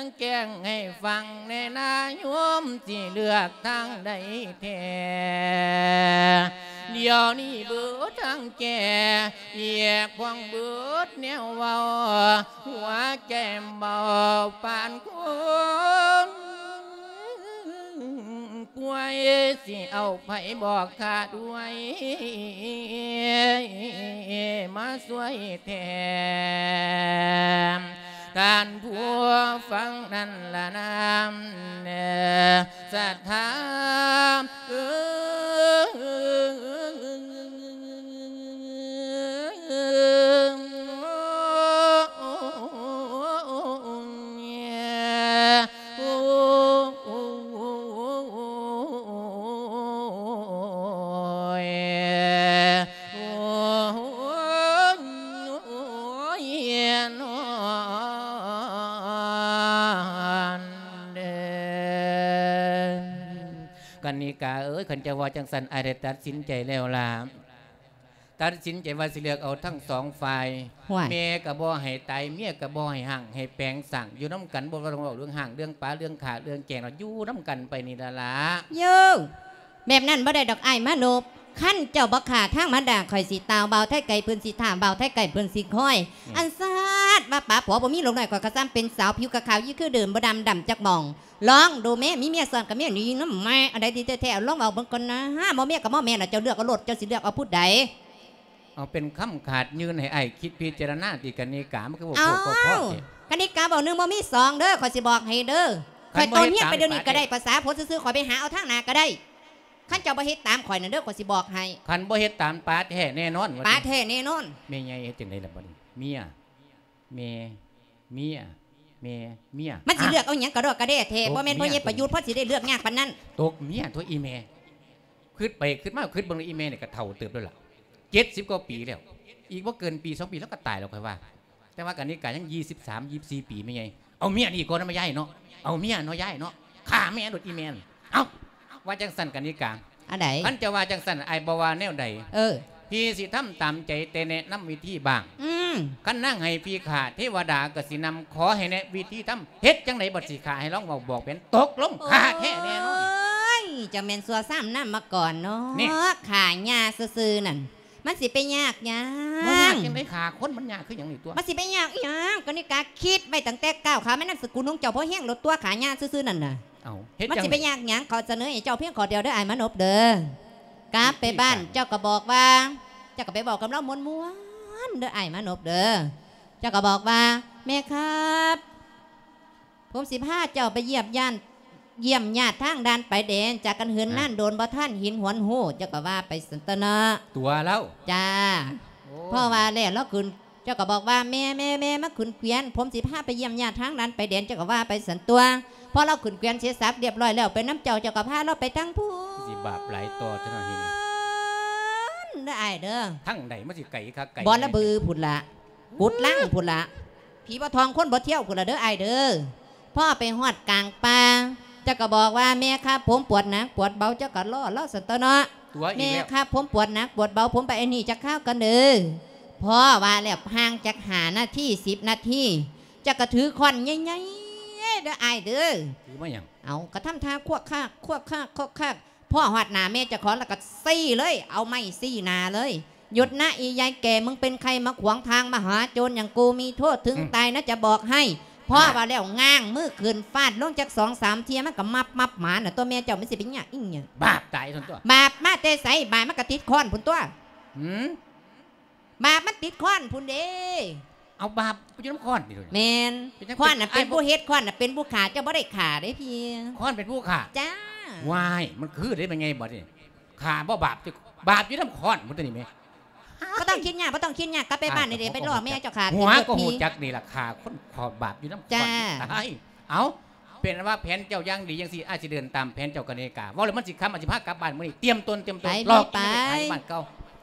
ງ ແຈ້ງໃຫ້ຟັງແດ່ນາໂຍມ ຊິເລືອກທາງໃດແທ້ ດຽວນີ້ເບິດທາງແກ້ ແຍກພວງເບິດແນວເວົ້າ ຫົວໃຈເບົາປານຄົນປ່ວຍ ຊິເອົາໃຜບອກຂ້າດ້ວຍ ຊ່ວຍແຖມ ທ່ານຜູ້ຟັງນັ້ນລະນາມແດ່ສັດທາເອີຍ. ໂອ້ຍ ໂອ້ຍ ນອນເດີ ກັນນິກາເອີຍ ຄັນເຈົ້າວ່າຈັ່ງຊັ້ນ ອ້າຍໄດ້ຕັດສິນໃຈແລ້ວລະ. ຕັດສິນໃຈວ່າຊິເລືອກເອົາທັງສອງຝ່າຍ ຫ້ວຍ ແມ່ກໍບໍ່ໃຫ້ຕາຍ ເມຍກໍບໍ່ໃຫ້ຮ້າງ ໃຫ້ແປງສ້າງ ຢູ່ນຳກັນ ບໍ່ຕ້ອງເວົ້າເລື່ອງຮ້າງ ເລື່ອງປາ ເລື່ອງຂ້າ ເລື່ອງແກງດອກ ຢູ່ນຳກັນໄປນີ້ລະລະ. ໂຢ ແບບນັ້ນບໍ່ໄດ້ດອກອ້າຍມານົບ ຄັນເຈົ້າບໍ່ຂ້າທາງມາດາ ຂ້ອຍຊິຕ່າວບ່າວໄທໄກ່ເພິ່ນ ຊິຖ້າບ່າວໄທໄກ່ເພິ່ນຊິຄອຍ. ອືມ ອັນຊາດວ່າປາຜົວບໍ່ມີລູກນ້ອຍ ຂ້ອຍກໍຊ້ຳເປັນສາວ ຜິວກໍຂາວຢູ່ຄືເດີມ ບໍ່ດຳດຳຈັກໝ່ອງ. ລອງດູແມ້ ມີເມຍຊ້ອນກັບເມຍນີ້ນຳແມ້ ອັນໃດທີ່ແທ້ໆ ລອງເວົ້າເບິ່ງກ່ອນນະ. ບໍ່ເມຍກໍບໍ່ແມ່ນລະ ເຈົ້າເລືອກເອົາໂລດ ເຈົ້າຊິເລືອກເອົາຜູ້ໃດ? ເອົາ ເປັນຄຳຂາດຍື່ນໃຫ້ອ້າຍຄິດພິຈາລະນາ ຕິກະນິກາ ມັນຄືເວົ້າໂພດເວົ້າພໍແທ້. ກະນິກາເວົ້າໜຶ່ງບໍ່ມີສອງເດີ ຂ້ອຍຊິບອກໃຫ້ເດີ. ຂ້ອຍຕໍ່ເຮືອນໄປດຽວນີ້ກໍໄດ້ ພາສາຜົວຊື່ໆ ຂ້ອຍໄປຫາເອົາທາງໜ້າກໍໄດ້. ຄັນເຈົ້າບໍ່ເຮັດຕາມຂ້ອຍນັ້ນເດີ ຂ້ອຍຊິບອກໃຫ້. ຄ- ຄັນບໍ່ເຮັດຕາມ ປາແທ້ແນ່ນອນ ປາແທ້ແນ່ນອນ. ແມ່ໃຫຍ່ເຮັດຈັ່ງໃດລະບັດນີ້ ເມຍ ແມ່ ເມຍ ແມ່ ເມຍ ມັນຊິເລືອກເອົາຫຍັງກະດອກກະແດ່ແທ້? ຕົກ ບໍ່ແມ່ນພໍ່ໃຫຍ່ປະຍຸດ ພໍຊິໄດ້ເລືອກຍາກປານນັ້ນ. ຕົກເມຍຕົວະອີ່ແມ່ ຄິດໄປຄິດມາ ຄິດເບິ່ງອີ່ແມ່ນີ້ກະເຖົ້າເຕີບແລ້ວລະ ເຈັດສິບກວ່າປີແລ້ວ ອີກບໍ່ເກີນປີສອງປີລາວກະຕາຍແລ້ວຂ້ອຍວ່າ. ແຕ່ວ່າກະນິກາຍັງຊາວສາມ ຊາວສີ່ປີແມ່ໃຫຍ່. ເອົາເມຍນີ້ກ່ອນນະແມ່ຍາຍເນາະ ເອົາເມຍເນາະຍາຍເນາະ ຂ້າແມ່ໂລດອີ່ແມ່. ເອົ້າ ວ່າຈັ່ງຊັ້ນກະນິກາ ອັນໃດ? ຄັນເຈົ້າວ່າຈັ່ງຊັ້ນ ອ້າຍບໍ່ວ່າແນວໃດ. ເອີ ພີ່ຊິທຳຕາມໃຈ ແຕ່ແນະນຳວິທີບ້າງ. ອືມ ຄັນນາງໃຫ້ພີ່ຂ້າ ເທວະດາກໍຊິນຳ. ຂໍໃຫ້ແນະວິທີທຳ ເຮັດຈັ່ງໃດບັດຊິຂ້າ ໃຫ້ລອງເວົ້າບອກແຜນ. ຕົກລົງ ຂ້າແທ້ແນ່ນອນ. ໂອ້ຍ ເຈົ້າແມ່ນຊົ່ວຊ້ຳນຳມາກ່ອນເນາະ. ຂ້າຫຍ້າຊື່ໆນັ້ນ ມັນຊິໄປຍາກຫຍັງ? ບໍ່ຍາກຈັ່ງໃດ ຂ້າຄົນມັນຍາກຄືຫຍັງນີ້ຕົວະ. ມັນຊິໄປຍາກອີ່ຫຍັງ? ກະນິກາຄິດໄວ້ຕັ້ງແຕ່ກ້າວຂາມານາມສະກຸນຂອງເຈົ້າພໍແຮງໂລດຕົວະ ຂ້າຫຍ້າຊື່ໆນັ້ນນະ. ເອົ້າ ເຮັດ ມັນຊິໄປຍາກຫຍັງ? ເຂົາສະເໜີໃຫ້ເຈົ້າພຽງຂໍ້ດຽວເດີ ອ້າຍມານົບເດີ. ກັບໄປບ້ານເຈົ້າກໍບອກວ່າ ເຈົ້າກໍໄປເວົ້າກັບລາວມ່ວນໆເດີ ອ້າຍມານົບເດີ. ເຈົ້າກໍບອກວ່າ ແມ່ຄັບ ຜົມຊິພາເຈົ້າໄປຢ້ຽມຍາດ ຢ້ຽມຍາດທາງດ່ານຊາຍແດນ ຈາກກັນເຫີນນານໂດນ ບໍ່ທັນເຫັນຫວນຮູ້. ເຈົ້າກໍວ່າໄປຊັ້ນຕົວະເນາະ ຕົວະລາວ. ຈ້າ ພໍວ່າແລ້ວລາວຂຶ້ນ ເຈົ້າກໍບອກວ່າ ແມ່ ແມ່ ແມ່ ມາຂຶ້ນເກວຽນ ຜົມຊິພາໄປຢ້ຽມຍາດທາງດ່ານຊາຍແດນ. ເຈົ້າກໍວ່າໄປຊັ້ນຕົວະ. ພໍລາວຂຶ້ນເກວຽນເສດສັບລຽບຮ້ອຍແລ້ວ ໄປນຳເຈົ້າ ເຈົ້າກໍພາລາວໄປທາງພຸ້ນ. ຊິບາບຫຼາຍຕໍ່ເທື່ອນີ້ ເດີອ້າຍເດີ. ທາງໃດ ມັນຊິໄກຄັກໄກ ບໍ່ລະບືພຸ້ນລະ ກຸດລັງພຸ້ນລະ ຜີບໍ່ທ່ອງຄົນບໍ່ທ່ຽວພຸ້ນລະເດີອ້າຍເດີ. ພໍໄປຮອດກາງປ່າ ເຈົ້າກໍບອກວ່າ ແມ່ຄັບ ຜົມປວດໜັກປວດເບົາ. ເຈົ້າກໍລໍລາວຊັ້ນຕົວະເນາະ ຕົວະອີກແລ້ວ. ແມ່ຄັບ ຜົມປວດໜັກປວດເບົາ ຜົມໄປອັນນີ້ຈັກຄາວກ່ອນເດີ. ພໍວ່າແລ້ວ ຫ່າງຈັກຫ້ານາທີ ສິບນາທີ ເຈົ້າກໍຖືຄ້ອນໃຫຍ່ໆເດີອ້າຍເດີ. ຖືມາຫຍັງ? ເອົ້າ ກໍທຳທ່າຄວກຄາກ ຄວກຄາກ ຄວກຄາກ ພໍຮອດໜ້າແມ່ເຈົ້າຂອງແລ້ວກໍຊີ້ເລີຍ ເອົາໄມ້ຊີ້ໜ້າເລີຍ. ຢຸດນະອີ່ຍາຍແກ່ ມຶງເປັນໃຜມາຂວາງທາງມະຫາໂຈນຢ່າງກູ ມີໂທດເຖິງຕາຍນະຈະບອກໃຫ້. ພໍວ່າແລ້ວ ງາງມືຂຶ້ນຟາດລົງຈັກສອງສາມເທື່ອ ມັນກໍມັບໆໝານະຕົວະ. ແມ່ເຈົ້າມັນຊິໄປຍາກອີ່ຫຍັງ? ບາບຕາຍຊັ້ນຕົວະ. ບາບມາແຕ່ໃສ? ບາບມັນກໍຕິດຄ້ອນພຸ້ນຕົວະ. ຫືມ ບາບມັນຕິດຄ້ອນພຸ້ນເດ້. ເອົາ ບາບຢູ່ນຳຄ້ອນນີ້. ແມ່ນ ເປັນຫຍັງ ຄ້ອນນະເປັນຜູ້ເຮັດ ຄ້ອນນະເປັນຜູ້ຂ້າ ເຈົ້າບໍ່ໄດ້ຂ້າເດ້ພີ່. ຄ້ອນເປັນຜູ້ຂ້າ? ຈ້າ. ວ້າຍ ມັນຄືເດ້ແມ່ໃຫຍ່ບັດນີ້ ຂ້າບໍ່ບາບ ບາບຢູ່ນຳຄ້ອນພຸ້ນຕົວະນີ້ແມ່. ບໍ່ຕ້ອງຄິດຍາກ ບໍ່ຕ້ອງຄິດຍາກ ກັບໄປບ້ານນີ້ເດ້ ໄປຫຼອກແມ່ເຈົ້າຂ້າ. ຫົວກໍຮູ້ຈັກນີ້ລະ ຂ້າຄົນ ຂ້ອນບາບຢູ່ນຳຄ້ອນ. ຕາຍ ເອົ້າ ເປັນອັນວ່າແຜນເຈົ້າຢ່າງດີຈັ່ງຊີ້ ອ້າຍຊິເດີນຕາມແຜນເຈົ້າກະນິກາ. ເວົ້າແລ້ວມັນຊິຄ່ຳ ອ້າຍຊິພາກັບບ້ານມື້ນີ້. ຕຽມຕົນ ຕຽມຕົນ ຫຼອກກິນແມ່ຂາຍຢູ່ບ້ານເກົ່າ.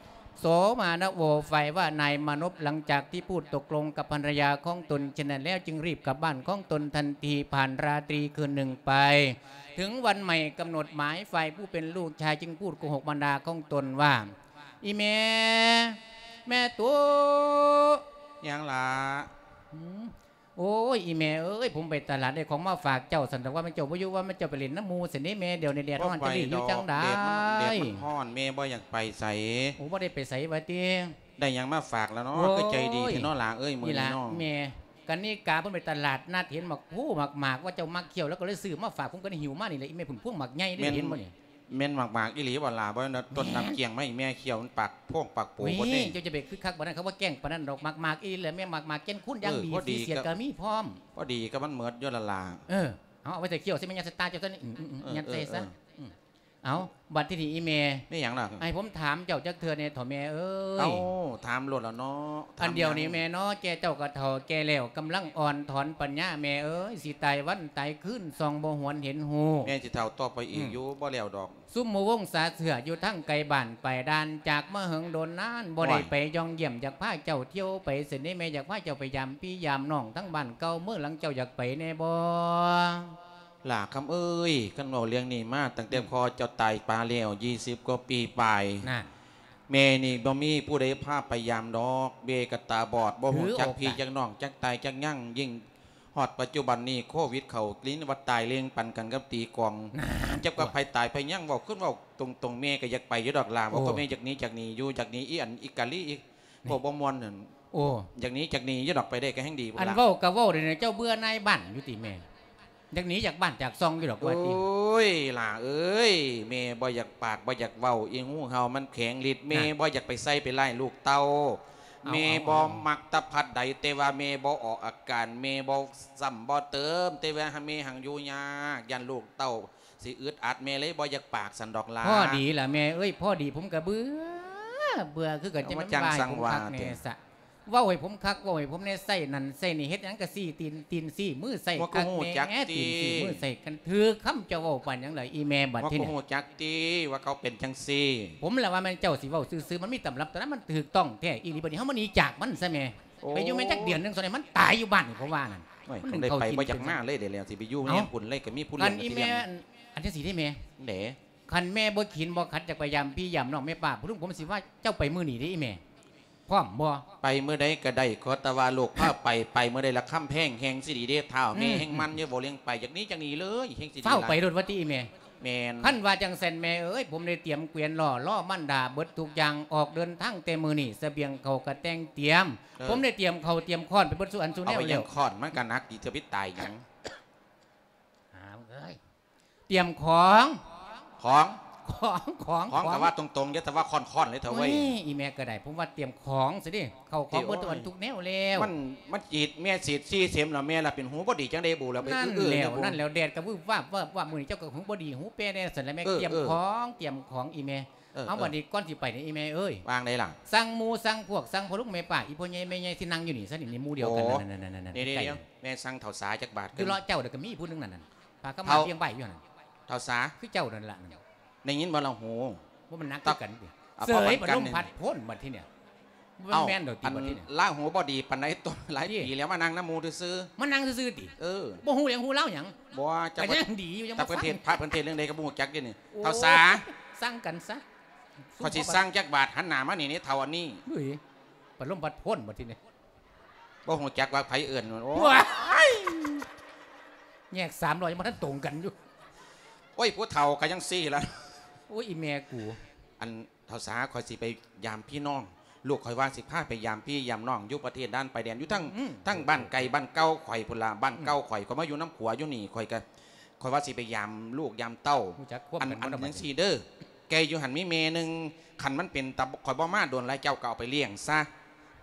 ໂສມານະໂວ ຝ່າຍວ່ານາຍມານົບ ຫຼັງຈາກທີ່ພູດຕົກລົງກັບພັນລະຍາຂອງຕົນເຊັ່ນນັ້ນແລ້ວ ຈຶ່ງຣີບກັບບ້ານຂອງຕົນທັນທີ. ຜ່ານລາຕຣີຄືນໜຶ່ງໄປ ເຖິງວັນໃໝ່ກຳນົດໝາຍ ຝ່າຍຜູ້ເປັນລູກຊາຍຈຶ່ງພູດໂກຫົກມານດາຂອງຕົນວ່າ ອີ່ແມ່ ແມ່ຕຸ ຫຍັງລະ? ໂອ້ຍ ອີ່ແມ່ເອີຍ ຜົມໄປຕະຫຼາດໄດ້ຂອງມາຝາກເຈົ້າ ຊັ້ນດອກ ວ່າແມ່ນເຈົ້າບໍ່ຢູ່ ວ່າແມ່ນເຈົ້າໄປຫຼິ້ນນຳໝູ່ຊັ້ນເດ້ແມ່. ດຽວນີ້ແດດຮ້ອນ ຈະຫຼີຢູ່ຈັ່ງໃດ? ແດດມັນ ແດດມັນຮ້ອນ ແມ່ບໍ່ຢາກໄປໃສ. ໂອ້ ບໍ່ໄດ້ໄປໃສວ່າຕິ? ໄດ້ຫຍັງມາຝາກລະເນາະ? ໂອ້ຍ ຄືໃຈດີແທ້ເນາະຫຼ້າເອີຍ ມື້ນີ້ເນາະ. ນີ້ລະແມ່ ກະນິກາເພິ່ນໄປຕະຫຼາດ ນັດເຫັນໝາກພູໝາກໝາກ ວ່າເຈົ້າມັກຂຽວ ແລ້ວກໍເລີຍຊື້ມາຝາກ. ຜົມກໍໄດ້ຫິ້ວມານີ້ແຫຼະ ອີ່ແມ່ ພຸ້ນພວງໝາກໃຫຍ່ເດ້. ເຫັນບໍ່ນີ້? ແມ່ນໝາກໆອີ່ຫຼີບໍ່ລະ? ບໍ່ແມ່ນຕົ້ນນ້ຳກ້ຽງໄມ້ແມ່ຂຽວ ມັນປາກໂພງປາກໂປ ນີ້ ພຸ້ນເດ້. ເຈົ້າຈະໄປຄຶກຄັກປານນັ້ນ ເຂົາວ່າແກ້ງປານນັ້ນດອກ. ໝາກໆອີ່ຫຼີແຫຼະແມ່, ໝາກໆແກ່ນຄູນຢ່າງດີ ເອີ ພໍດີ ສີສຽດກໍມີພ້ອມ. ພໍດີກໍມັນໝົດຢູ່ລະລະ. ເອີ ເອົາ ເອົາໄວ້ໃສ່ຂຽວໃສ່ແມ່ຍາສະຕາເຈົ້າຊະນີ້. ອືມ ອືມ ອືມ ຍັດໃສ່ຊະ. ເອີ ເອີ ອືມ ເອົາ ບັດທີນີ້ອີ່ແມ່ ມີຫຍັງລະ? ໃຫ້ຜົມຖາມເຈົ້າຈັກເທື່ອແດ່ເຖາະແມ່ເອີຍ. ເອົ້າ ຖາມໂລດລະເນາະ. ອັນດຽວນີ້ແມ່ເນາະ ແກ່ເຈົ້າກໍເຖົ້າແກ່ແລ້ວ ກຳລັງອ່ອນຖອນປັນຍາແມ່ເອີຍ ຊິຕາຍວັນຕາຍຄືນ ສ່ອງບໍ່ຫວນເຫັນຮູ້. ແມ່ຊິເຖົ້າຕໍ່ໄປອີກຢູ່ ອືມ ບໍ່ແລ້ວດອກ. ຊຸມໝູ່ວົງສາເຊື້ອຢູ່ທາງໄກບ້ານປາຍດ່ານ ຈາກມາເຫິງດົນນານ ບໍ່ໄດ້ໄປຢ່ອງຢ້ຽມ ຢາກພາເຈົ້າທ່ຽວໄປເສຍເດແມ່ ຢາກພາເຈົ້າໄປຢາມພີ່ຢາມນ້ອງ ທັງບ້ານເກົ່າເມືອງຫຼັງ ເຈົ້າຢາກໄປແດ່ບໍ່? ຫຼ້າຄຳເອີຍ ຄັນເວົ້າເລື່ອງນີ້ມາ ຕັ້ງແຕ່ ອືມ ພໍ່ເຈົ້າຕາຍປາແລ້ວ ຊາວກວ່າປີປາຍ ນັ້ນ ແມ່ນີ້ບໍ່ມີຜູ້ໃດພາໄປຢາມດອກ. ແມ່ກໍຕາບອດ ບໍ່ຮູ້ຈັກພີ່ຈັກນ້ອງ ຈັກຕາຍຈັກຍັງ. ຍິ່ງຮອດປັດຈຸບັນນີ້ໂຄວິດເຂົ້າ ໄດ້ຍິນວ່າຕາຍເລງປັນກັນກັບຕີກອງ. ນັ້ນ ຈັກວ່າໃຜຕາຍໃຜຍັງ ເວົ້າຄືນເວົ້າຕົງໆ ແມ່ກໍຢາກໄປຢູ່ດອກຫຼ້າ. ໂອ້ ວ່າພໍ່ແມ່ຢາກໜີ ຢາກໜີຢູ່ ຢາກໜີອີອັນ ອີກາລີອີກ ໂອ້ ພວກບໍ່ມ່ວນນັ້ນ. ໂອ້ ຢາກໜີ ຢາກໜີຢູ່ດອກ ໄປໄດ້ກໍແຮ່ງດີພຸ້ນລະ. ອັນເວົ້າກໍເວົ້າເດ ເຈົ້າເບື່ອນາຍບ້ານຢູ່ຕິແມ່? ຢາກໜີຈາກບ້ານຈາກຊ່ອງຢູ່ດອກວ່າຕິ. ໂອ້ຍ ຫຼ້າເອີຍ ແມ່ບໍ່ຢາກປາກບໍ່ຢາກເວົ້າ ອີງູເຫົ່າມັນແຂງລິດ. ແມ່ ນະ ບໍ່ຢາກໄປໃສ່ໄປຮ້າຍລູກເຕົ້າ. ເອົາ ແມ່ ເອົາ ບໍ່ ເອົາ ມັກຕະພັດໃດ ແຕ່ວ່າແມ່ບໍ່ອອກອາການ ແມ່ບໍ່ຊ້ຳບໍ່ເຕີມ ແຕ່ວ່າແມ່ຫັ້ນຢູ່ຍາກ ຢ້ານລູກເຕົ້າຊິອຶດອັດ ແມ່ເລີຍບໍ່ຢາກປາກຊັ້ນດອກຫຼ້າ. ພໍດີລະແມ່ເອີຍ ພໍດີ ຜົມກໍເບື່ອ ເບື່ອຄືກັນ. ເອົາ ຈະມາຈັ່ງວ່າໃຫ້ຜົມຄັກແນ່ຊະ ເວົ້າໃຫ້ຜົມຄັກ ເວົ້າໃຫ້ຜົມແນ່ ໃຊ້ນັ້ນໃຊ້ນີ້ ເຮັດຫຍັງກໍຊີ້ຕີນ ຕີນຊີ້ມືໃສ່ ບໍ່ຮູ້ຈັກຕິ ຕີນຊີ້ມືໃສ່ກັນ. ຖືກຄຳເຈົ້າເວົ້າປານຫຍັງລະອີແມ່ບັດທີນີ້? ບໍ່ຮູ້ຈັກຕິວ່າເຂົາເປັນຈັ່ງຊີ້? ຜົມລະວ່າແມ່ນເຈົ້າຊິເວົ້າຊື່ໆ ມັນມີຕຳລັບຕຳລາ ມັນຖືກຕ້ອງແທ້ອີ່ຫຼີ. ບັດນີ້ເຮົາມາໜີຈາກມັນຊະແມ່. ໂອ້ຍ ໄປຢູ່ແມ່ນຈັກເດືອນໜຶ່ງ ສ່ວນໃຫຍ່ມັນຕາຍຢູ່ບ້ານນີ້ ເພາະວ່ານັ້ນ. ໂອ້ຍ ມັນໄດ້ໄປບໍ່ຢາກມາເລີຍ ດຽວຊິໄປຢູ່ນຳພຸ້ນເລີຍ ກໍມີຜູ້ລ້ຽງ. ຄັນອີແມ່ ອັນ ອັນຈັ່ງຊີ້ເດ້ແມ່ ເດ້ ຄັນແມ່ບໍ່ຂີນບໍ່ຂັດ ຢາກໄປຢາມພີ່ຢາມນ້ອງແມ່ປ້າຜູ້ລຸງ ຜົມຊິວ່າເຈົ້າໄປມື້ນີ້ເດ້ອີແມ່ ພ້ອມບໍ່? ໄປມື້ໃດກໍໄດ້ ຂໍແຕ່ວ່າລູກພາໄປ ໄປມື້ໃດລະຄຳແພງແຮ່ງຊິດີເດ້. ທ້າວແມ່ ອືມ ແຮ່ງມັນຢູ່ ເວົ້າເລື່ອງໄປ ຢາກໜີ ຢາກໜີເລີຍ ແຮ່ງຊິດີ. ຟ້າວໄປໂລດວ່າຕິອີແມ່? ແມ່ນ. ຄັນວ່າຈັ່ງຊັ້ນແມ່ເອີຍ ຜົມໄດ້ຕຽມແກວນລໍ້ ລໍ້ມັນດາເບິດທຸກຢ່າງ ອອກເດີນທາງແຕ່ມື້ນີ້ ສະບຽງເຂົ້າກໍແຕ່ງຕຽມ. ເອີ ຜົມໄດ້ຕຽມເຂົ້າຕຽມຄ້ອນໄປເບິດສູ່ອັນສູ່ແນວແລ້ວ. ເອົາໄປຫຍັງຄ້ອນ ມັນກໍໜັກດີ ຈະໄປຕາຍຫຍັງ? ຫາເອີຍ ຕຽມຂອງ ຂອງ ຂອງ ຂອງ ຂອງ ຂອງ ກໍວ່າຕົງໆ ຢ່າແຕ່ວ່າຄ້ອນໆ ເລີຍເຖາະເວີຍ. ໂອ້ຍ ອີແມ່ກໍໄດ້ ຜົມວ່າຕຽມຂອງຊະເດ້ ເຂົ້າຂອງເບິດທຸກອັນທຸກແນວແລ້ວ. ມັນ ມັນຈີດແມ່ສີດສີ່ເຂັມແລ້ວ ແມ່ລະເປັນຫູບໍ່ດີຈັ່ງໃດບຸລະໄປ. ນັ້ນແລ້ວ ນັ້ນແລ້ວ ແດດກໍວືບວາບວາບວາບ ມື້ນີ້ເຈົ້າກໍຫູບໍ່ດີຫູແປແດ່ຊັ້ນລະແມ່. ເອີ ຕຽມຂອງ ຕຽມຂອງອີແມ່. ເອີ ເອົາ ບັດນີ້ກ່ອນຊິໄປນີ້ອີແມ່ເອີຍ ວ່າງໃດລະ? ສັ່ງໝູ່ສັ່ງພວກ ສັ່ງພໍ່ລຸງແມ່ປ້າ ອີພໍ່ໃຫຍ່ແມ່ໃຫຍ່ ຊິນັ່ງຢູ່ນີ້ຊະນີ້ ໝູ່ດຽວກັນ. ໂອ້ ນັ້ນໆໆໆ ດຽວໆ ແມ່ສັ່ງເຖົ້າສາຈັກບາດ. ຢູ່ເລາະເຈົ້າເດ້ ກໍມີຜູ້ໜຶ່ງນັ້ນ ຜ້າຂາວມ້າ ພຽງໃບຢູ່ຫັ້ນ. ເຖົ້າສາ ຄືເຈົ້ານັ້ນລະນັ້ນ. ໄດ້ຍິນບໍ່ລະຫູ? ບໍ່ ມັນໜັກຄືກັນຕິ. ເສີຍ ປະລົມພັດພົ້ນບັດທີນີ້. ບໍ່ແມ່ນດອກຕິບັດທີນີ້. ລາຫູບໍ່ດີປານໃດ ຕົນຫຼາຍປີແລ້ວ ມານັ່ງນຳໝູ່ຊື່ໆ. ມານັ່ງຊື່ໆຕິ? ເອີ ບໍ່ຮູ້ຫຍັງຮູ້ລາວຫຍັງ? ບໍ່ ຈັກ ກໍຍັງດີຢູ່ ຍັງບໍ່ຟັງ. ພະເພິ່ນເທດເລື່ອງໃດກໍບໍ່ຮູ້ຈັກເດນີ້. ໂອ້ ເຖົ້າສາ ສັ່ງກັນຊະ. ຂ້ອຍຊິສັ່ງຈັກບາດ ຫັນໜ້າມານີ້ ເຖົ້າອັນນີ້. ເຮີ້ຍ ປະລົມພັດພົ້ນບັດທີນີ້. ບໍ່ຮູ້ຈັກວ່າໃຜເອີ້ນ. ໂອ້ຍ ແຍກສາມຮ້ອຍ ຍັງບໍ່ທັນຕົງກັນຢູ່. ໂອ້ຍ ຜູ້ເຖົ້າກໍຍັງຊີ້ລະ. ໂອ້ຍ ອີແມ່ກູ. ອັນ ເຖົ້າສາ ຂ້ອຍຊິໄປຢາມພີ່ນ້ອງ ລູກຂ້ອຍວ່າຊິພາໄປຢາມພີ່ຢາມນ້ອງ ຢູ່ປະເທດດ່ານຊາຍແດນ ຢູ່ທາງ ອືມ ທາງບ້ານໄກບ້ານເກົ່າຂ້ອຍພຸ້ນລະ. ບ້ານເກົ່າຂ້ອຍ ອືມ ຂ້ອຍມາຢູ່ນຳຜົວຢູ່ນີ້ ຂ້ອຍກໍ ຂ້ອຍວ່າຊິໄປຢາມລູກຢາມເຕົ້າ. ຮູ້ຈັກຄວາມ ອັນ ກັນ ອັນ ບໍ່ລະບັດນີ້ ຈັ່ງຊີ້ເດີ ແກ່ຢູ່ຫັ້ນມີແມ່ໜຶ່ງ ຄັນມັນເປັນຕາ ຂ້ອຍບໍ່ມາດົນຫຼາຍ ເຈົ້າກໍເອົາໄປລ້ຽງຊະ.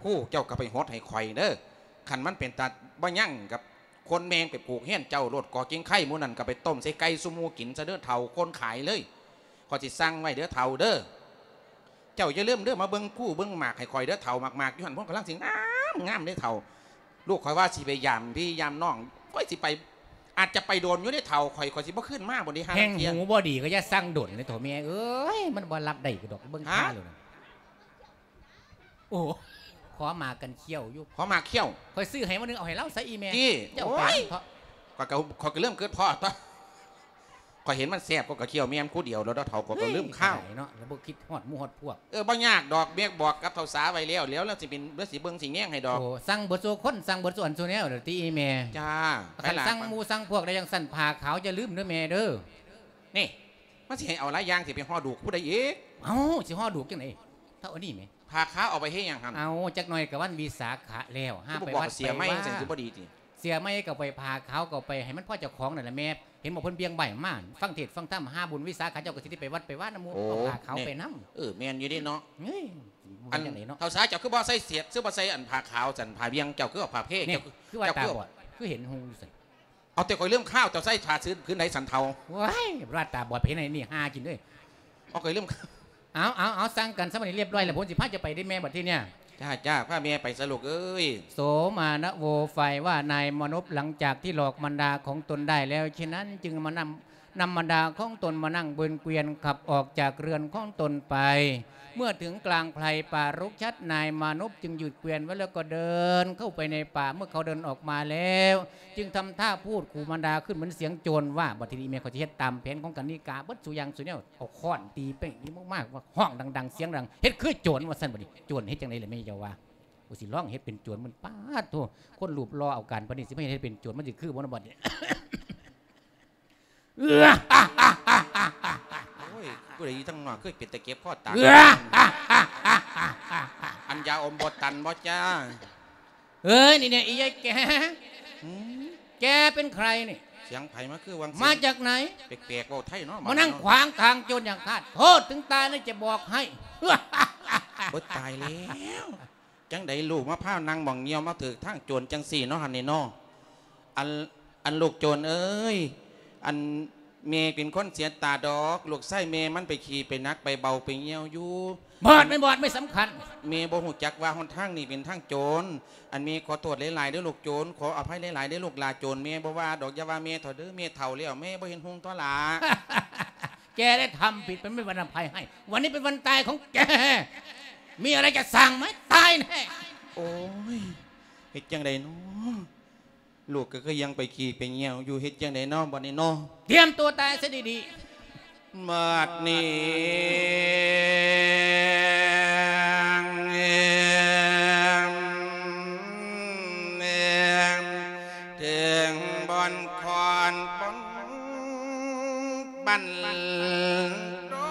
ຜູ້ ເຈົ້າກໍໄປຫົດໃຫ້ຂ້ອຍເດີ. ຄັນມັນເປັນຕາບໍ່ຍັງກັບຄົນ ແມ່ງໄປຜູກຮຽນເຈົ້າໂລດ ກໍກິ່ງໄຂ່ໝູ່ນັ້ນກໍໄປຕົ້ມໃສ່ໄກ່ສູ່ໝູ່ກິນຊະເດີ ເຖົ້າຄົນຂາຍເລີຍ. ຂ້ອຍຊິສັ່ງໄວ້ເດີເຖົ້າເດີ. ເຈົ້າຢ່າລືມເດີ ມາເບິ່ງພູເບິ່ງໝາກໃຫ້ຂ້ອຍເດີເຖົ້າ. ໝາກໆຢູ່ຫັ້ນພຸ້ນກຳລັງຊິງາມໆເດ້ເຖົ້າ. ລູກຂ້ອຍວ່າຊິໄປຢາມພີ່ຢາມນ້ອງ ຂ້ອຍຊິໄປ ອາດຈະໄປດົນຢູ່ເດ້ເຖົ້າ. ຂ້ອຍ ຂ້ອຍຊິບໍ່ຄືນມາບໍ່ເດ້ ຫາ ແຮ່ງຫູບໍ່ດີກໍຢ່າສັ່ງດົນເດ້ເຖົ້າແມ່ເອີຍ. ມັນບໍ່ຮັບໄດ້ດອກ ເບິ່ງທ່າແລ້ວນະ. ໂອ້ ຂໍໝາກກັນຂ້ຽວຢູ່ ຂໍໝາກຂ້ຽວ. ຂ້ອຍຊື້ໃຫ້ມື້ໜຶ່ງ ເອົາໃຫ້ລາວຊະອີແມ່. ເຈົ້າໄປເຖາະ. ຂ້ອຍກໍ ຂ້ອຍກໍເລີ່ມເກີດພໍ້ຕົວະ. ຂ້ອຍເຫັນມັນແຊບ ຂ້ອຍກໍຂ້ຽວແມ່ນຜູ້ດຽວ ແລ້ວເຖົ້າຂ້ອຍກໍລືມຄາວເນາະ ແລ້ວບໍ່ຄິດຮອດໝູ່ຮອດພວກ. ເອີ ບໍ່ຍາກດອກ ແມ່ບອກກັບເຖົ້າສາໄວ້ແລ້ວ ແລ້ວລາວຊິເປັນ ລາວຊິເບິ່ງຊິແຍງໃຫ້ດອກ. ໂອ້ ສັ່ງເບິດສູ່ຄົນ ສັ່ງເບິດສູ່ອັນສູ່ແນວແລ້ວຕິອີແມ່. ຈ້າ ຄັນສັ່ງໝູ່ສັ່ງພວກໄດ້ຈັ່ງຊັ້ນ ຜ້າຂາວຢ່າລືມເດີແມ່ເດີ. ນີ້ ມັນຊິໃຫ້ເອົາຫຼາຍຢ່າງ ຊິໄປຫໍ່ດູກຜູ້ໃດອີກ? ເອົ້າ ຊິຫໍ່ດູກຈັ່ງໃດ ເທົ່າອັນນີ້ແໝ. ຜ້າຂາວເອົາໄປເຮັດຫຍັງຫັ້ນ? ເອົາ ຈັກໜ່ອຍກໍວັນວິສາຂະແລ້ວ ຫາໄປວັດໄປວາ. ເສື້ອໃໝ່ຈັ່ງຊິບໍ່ດີຕິ? ເສື້ອໃໝ່ກໍໄປ ຜ້າຂາວກໍໄປ ໃຫ້ມັນພໍເຈົ້າຂອງນັ້ນລະແມ່. ຫັນບໍ່ ເພິ່ນບ່ຽງໃບມາ ຟັງເທດຟັງທຳ ຫາບຸນວິສາຂະ ເຈົ້າກໍຊິໄດ້ໄປວັດໄປວາ ນຳໝູ່ ເອົາຜ້າຂາວໄປນຳ. ເອີ ແມ່ນຢູ່ເດເນາະ. ເອີຍ ມັນຈັ່ງໃດເນາະ? ເອົາ ເຖົ້າຊາຍ ເຈົ້າຄືບໍ່ໃສ່ເສດ ຄືບໍ່ໃສ່ອັນຜ້າຂາວຊັ້ນ ຜ້າບ່ຽງ ເຈົ້າຄືເອົາຜ້າເພ ເຈົ້າຄື ຄືວ່າຕາບອດ ຄືເຫັນຮຸ່ງຢູ່ຊັ້ນ. ເອົາ ແຕ່ຂ້ອຍລືມຂ່າວ ເຈົ້າໃສ່ຜ້າຊືນ ພື້ນໃດຊັ້ນເຖົ້າ? ວ້າຍ ວ່າຕາບອດ ໄປເຮັດໃນນີ້ຫາກິນເດີ. ເອົາ ຂ້ອຍລືມ ເອົາ ເອົາ ເອົາ ສັ່ງກັນຊະ ບັດນີ້ລຽບຮ້ອຍແລ້ວ ຜົມຊິພາເຈົ້າໄປເດ້ແມ່ ບັດທີເນີ້ຍ. ຈ້າ ຈ້າ ພາແມ່ໄປຊະລູກເອີຍ. ໂສມານະໂວ ຝ່າຍວ່ານາຍມານົບ ຫຼັງຈາກທີ່ຫຼອກມານດາຂອງຕົນໄດ້ແລ້ວ ເຊັ່ນນັ້ນຈຶ່ງມານຳ ນຳມານດາຂອງຕົນມານັ່ງບົນເກວຽນ ຂັບອອກຈາກເຮືອນຂອງຕົນໄປ. ເມື່ອເຖິງກາງໄພປ່າລົກຊັດ ນາຍມານົບຈຶ່ງຍືດເກວຽນໄວ້ແລ້ວກໍເດີນເຂົ້າໄປໃນປ່າ. ເມື່ອເຂົາເດີນອອກມາແລ້ວ ຈຶ່ງທຳທ່າພູດຂູ່ມານດາຂຶ້ນເໝືອນສຽງໂຈນວ່າ ບັດທີນີ້ແມ່ຂ້ອຍຊິເຮັດຕາມແຜນຂອງກັນນິກາເບິດສູ່ຢ່າງສູ່ແນວ. ເອົາຄ້ອນຕີເປ້ງນີ້ມາກໆ ວ່າຮ້ອງດັງໆ ສຽງດັງ ເຮັດຄືໂຈນວ່າຊັ້ນ. ບັດນີ້ໂຈນເຮັດຈັ່ງໃດລະແມ່ເຈົ້າວ່າ? ໂອ້ ຊິລອງເຮັດເປັນໂຈນມັນ ປາດໂທ້ ຄົນຮູບຫຼໍ່ເອົາການປານນີ້ ຊິມາເຮັດເປັນໂຈນ ມັນຊິຄືບໍ່ນະບັດນີ້? ໂອ້ຍ ຜູ້ໃດຢູ່ທາງນອກຄືເປັນຕາເຈັບຄໍຕາຍ? ອັນຢາອົມບໍ່ຕັນບໍ່ຈ້າ? ເອີຍ ນີ້ແນ່ ອີຍາຍແກ ຫືມ ແກເປັນໃຄນີ້? ສຽງໃຜມາຄືຫວ່າງ ມາຈາກໃນ? ແປກໆ ເວົ້າໄທເນາະ ມານັ່ງຂວາງທາງໂຈນຢ່າງຄາດ. ໂທດເຖິງຕາຍນະຈະບອກໃຫ້. ໂອ້ຍ ຕາຍແລ້ວ ຈັ່ງໃດລູກມາພານັ່ງໝ່ອງຍ່ຽວມາຖືກທາງໂຈນຈັ່ງຊີ້ເນາະຫັ້ນນີ້ເນາະ? ອັນ ອັນລູກໂຈນເອີຍ ອັນແມ່ເປັນຄົນເສຍຕາດອກ ລູກຊາຍແມ່ມັນໄປຂີ້ໄປໜັກໄປເບົາໄປຍ່ຽວຢູ່. ບອດແມ່ນບອດ ບໍ່ສຳຄັນ ແມ່ບໍ່ຮູ້ຈັກວ່າຫົນທາງນີ້ເປັນທາງໂຈນ. ອັນແມ່ຂໍໂທດຫຼາຍໆເດີລູກໂຈນ ຂໍອະໄພຫຼາຍໆເດີລູກຫຼ້າໂຈນ. ແມ່ບໍ່ວ່າດອກ ຢ່າວ່າແມ່ເຖົ້າເດີ ແມ່ເຖົ້າແລ້ວ ແມ່ບໍ່ເຫັນຮຸ່ງຕົວະຫຼ້າ. ແກໄດ້ທຳຜິດ ມັນເປັນວັນອະໄພໃຫ້ ວັນນີ້ເປັນວັນຕາຍຂອງແກ ມີອະໄລຈະສັ່ງໄໝ? ຕາຍແນ່. ໂອ້ຍ ເຮັດຈັ່ງໃດເນາະ? ລູກກໍຄືຍັງໄປຂີ້ໄປຍ່ຽວຢູ່ ເຮັດຈັ່ງໃດເນາະບັດນີ້ເນາະ? ຕຽມຕົວຕາຍຊະດີໆ. ບັດນີ້ ເຖິງບ່ອນຂອນບ່ອນບັນ ລໍ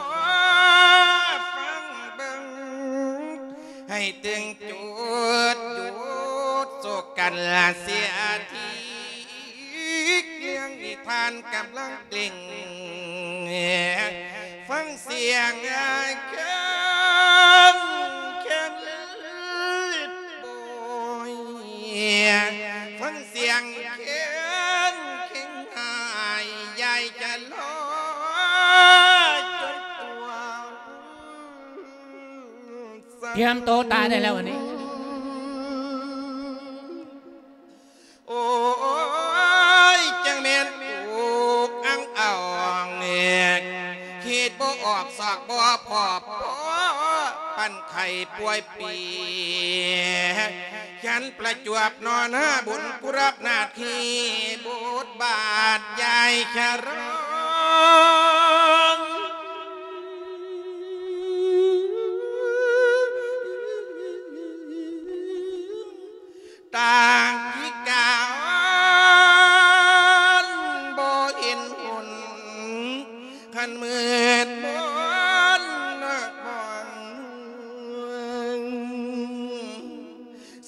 ຟັງເບິ່ງ ໃຫ້ເຖິງຈຸດຢຸດໂສກັນລະເສຍທີ ເລື່ອງນິທານກຳລັງເລັ່ງ ຟັງສຽງເຄີງເຄັງໂບຍ ຟັງສຽງເຄີງເຄັງຫາຍ ຢາຍຈະລໍຈົນຕົວ. ຕຽມໂຕຕາຍໄດ້ແລ້ວອັນນີ້. ໂອ້ຍ ຈັ່ງແມ່ນອຸກອັ່ງເອົາແງກ ຄິດບໍ່ອອກຊອກບໍ່ພໍ້ ພໍ້ປັນໄຂ້ປ່ວຍປີ ຍັນປະຈວບໜໍ່ນາບຸນ ກູຮັບໜ້າທີ່ບົດບາດ ຢາຍຈະຮ້ອງ ຕ່າງພິການບໍ່ເຫັນຫົນ ຄັນມືດມົນນະບອງ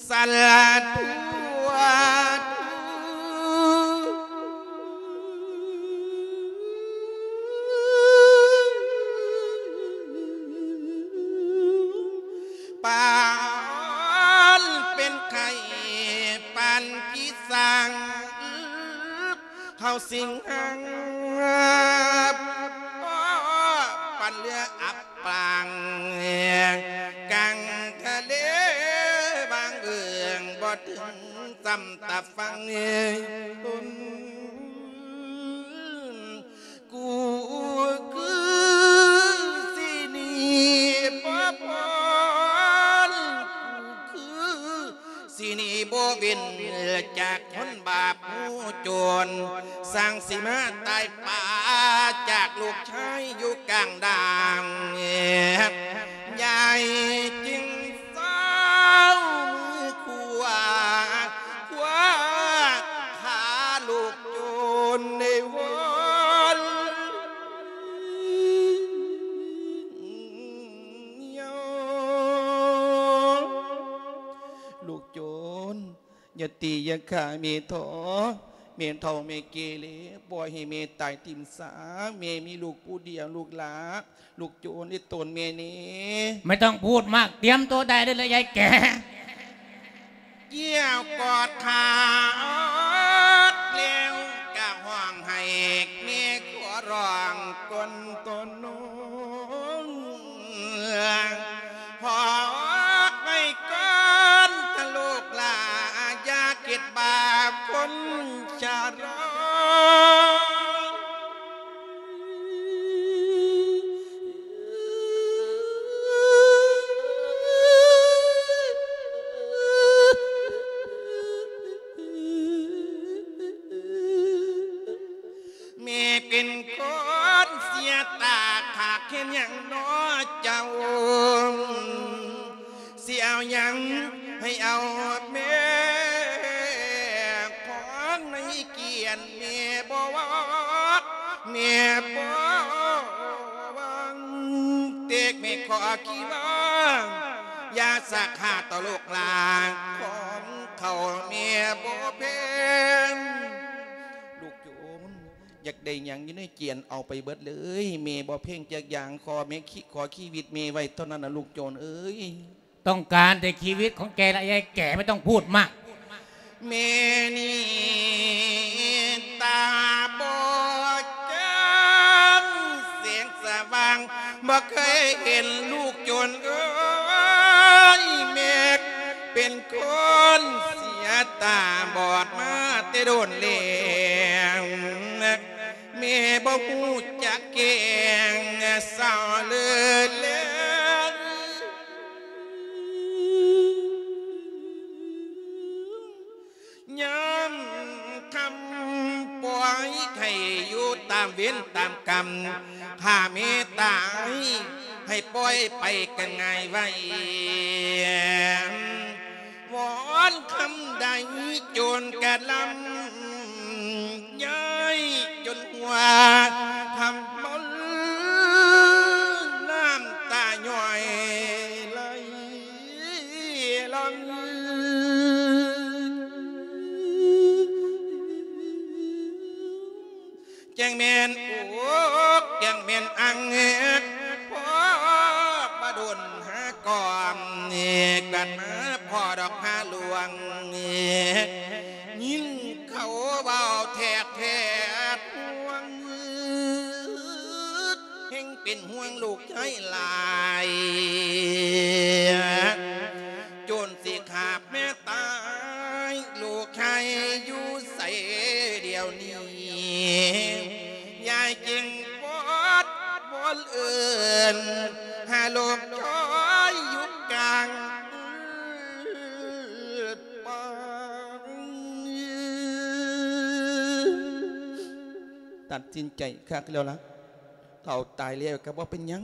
ສາລະທູ ປານເປັນໄຂ້ ປານພິສັງ ເຮົາສິງຫັງ ປານເຮືອອັບປາງ ກາງທະເລບາງເອີງ ບໍ່ເຖິງສ່ຳຕາຟັງ ກູຄືຊິໜີບໍ່ພົ້ນ ກູຄືຊິໜີບໍ່ເວັ້ນ ຈາກຄົນບາບຫູໂຈນ ຊ່າງຊິມາຕາຍປ່າ ຈາກລູກຊາຍຢູ່ກາງດ່າງ ຍາຍຈຶ່ງ ເຊົາມືຂວາ ຂວາຂາລູກໂຈນໃນວອນ ລູກໂຈນ ຢ່າຕີຢ່າຂ້າແມ່ເຖາະ ແມ່ເຖົ້າແມ່ແກ່ແລ້ວ ບໍ່ໃຫ້ແມ່ຕາຍຖິ້ມຊາ. ແມ່ມີລູກຜູ້ດຽວ ລູກຫຼ້າ ລູກໂຈນ ເຮັດຕົນແມ່ແດ່. ไม่ต้องพูดมาก เตรียมตัวได้เลยละยายแก่ ກ່ຽວກອດຂາອອດແລ້ວກະຮ້ອງໄຫ້ ແມ່ຂໍຮ້ອງກ່ອນໂຕນ້ອງ ຂໍໄວ້ກ່ອນເຖາະລູກຫຼ້າ ຢ່າຄິດບາບຄົນຊະລາ. ແມ່ເປັນຄົນເສຍຕາ ຂາກເຮັດຫຍັງນໍເຈົ້າ ຊິເອົາຫຍັງໃຫ້ເອົາແມ່ ຂອງໃນກຽນແມ່ບໍ່ວ່າ ແມ່ບໍ່ວ່າ ເຕັກແມ່ຂໍຂີ້ວ່າ ຢ່າສາຂາຕໍ່ລູກຫຼ້າ ຂອງເຂົາແມ່ບໍ່ແພງ. ລູກໂຈນ ຢາກໄດ້ຫຍັງຢູ່ໃນກຽນເອົາໄປເບິດເລີຍ ແມ່ບໍ່ແພງຈັກຢ່າງ ຂໍແມ່ ຂໍຊີວິດແມ່ໄວ້ເທົ່ານັ້ນນະ ລູກໂຈນເອີຍ. ต้องการแต่ชีวิตของแกละยายแก่ ไม่ต้องพูดมาก ແມ່ນີ້ຕາບອດຈາງ ແສງສະຫວ່າງບໍ່ເຄີຍເຫັນ ລູກໂຈນເອີຍ ແມ່ເປັນຄົນເສຍຕາບອດມາແຕ່ດົນແລ້ວ ແມ່ບໍ່ຮູ້ຈັກແກງເສົ້າເລີແລ ຍາມຄ່ຳປ່ອຍໃຫ້ຢູ່ຕາມເວນຕາມກຳ ຖ້າແມ່ຕາຍໃຫ້ປ່ອຍໄປກັນງ່າຍໄວ ວອນຄຳໃດໂຈນກະລຳ ຍາຍຈົນຫົວທຳມົນ ນ້ຳຕາຍ້ອຍໄຫຼຫຼອງ ຈັ່ງແມ່ນອົກ ຈັ່ງແມ່ນອັ່ງ ພໍບໍ່ດົນຫາກ່ອມ ກັດມາພໍດອກຫາຫຼວງ ຍິນເຂົາເວົ້າແທກແທດຫ່ວງ ແຮ່ງເປັນຫ່ວງລູກຊາຍຫຼາຍ ຈົນຊິຂາບແມ່ຕາຍ ລູກຊາຍຢູ່ໃສດຽວນີ້ ຍາຍຈຶ່ງວອນວອນເອີ້ນ ຫາລູກຊາຍຢູ່ກາງປ່າ ຕັດສິນໃຈຄັກແລ້ວລະ ເຖົ້າຕາຍແລ້ວກະບໍ່ເປັນຫຍັງ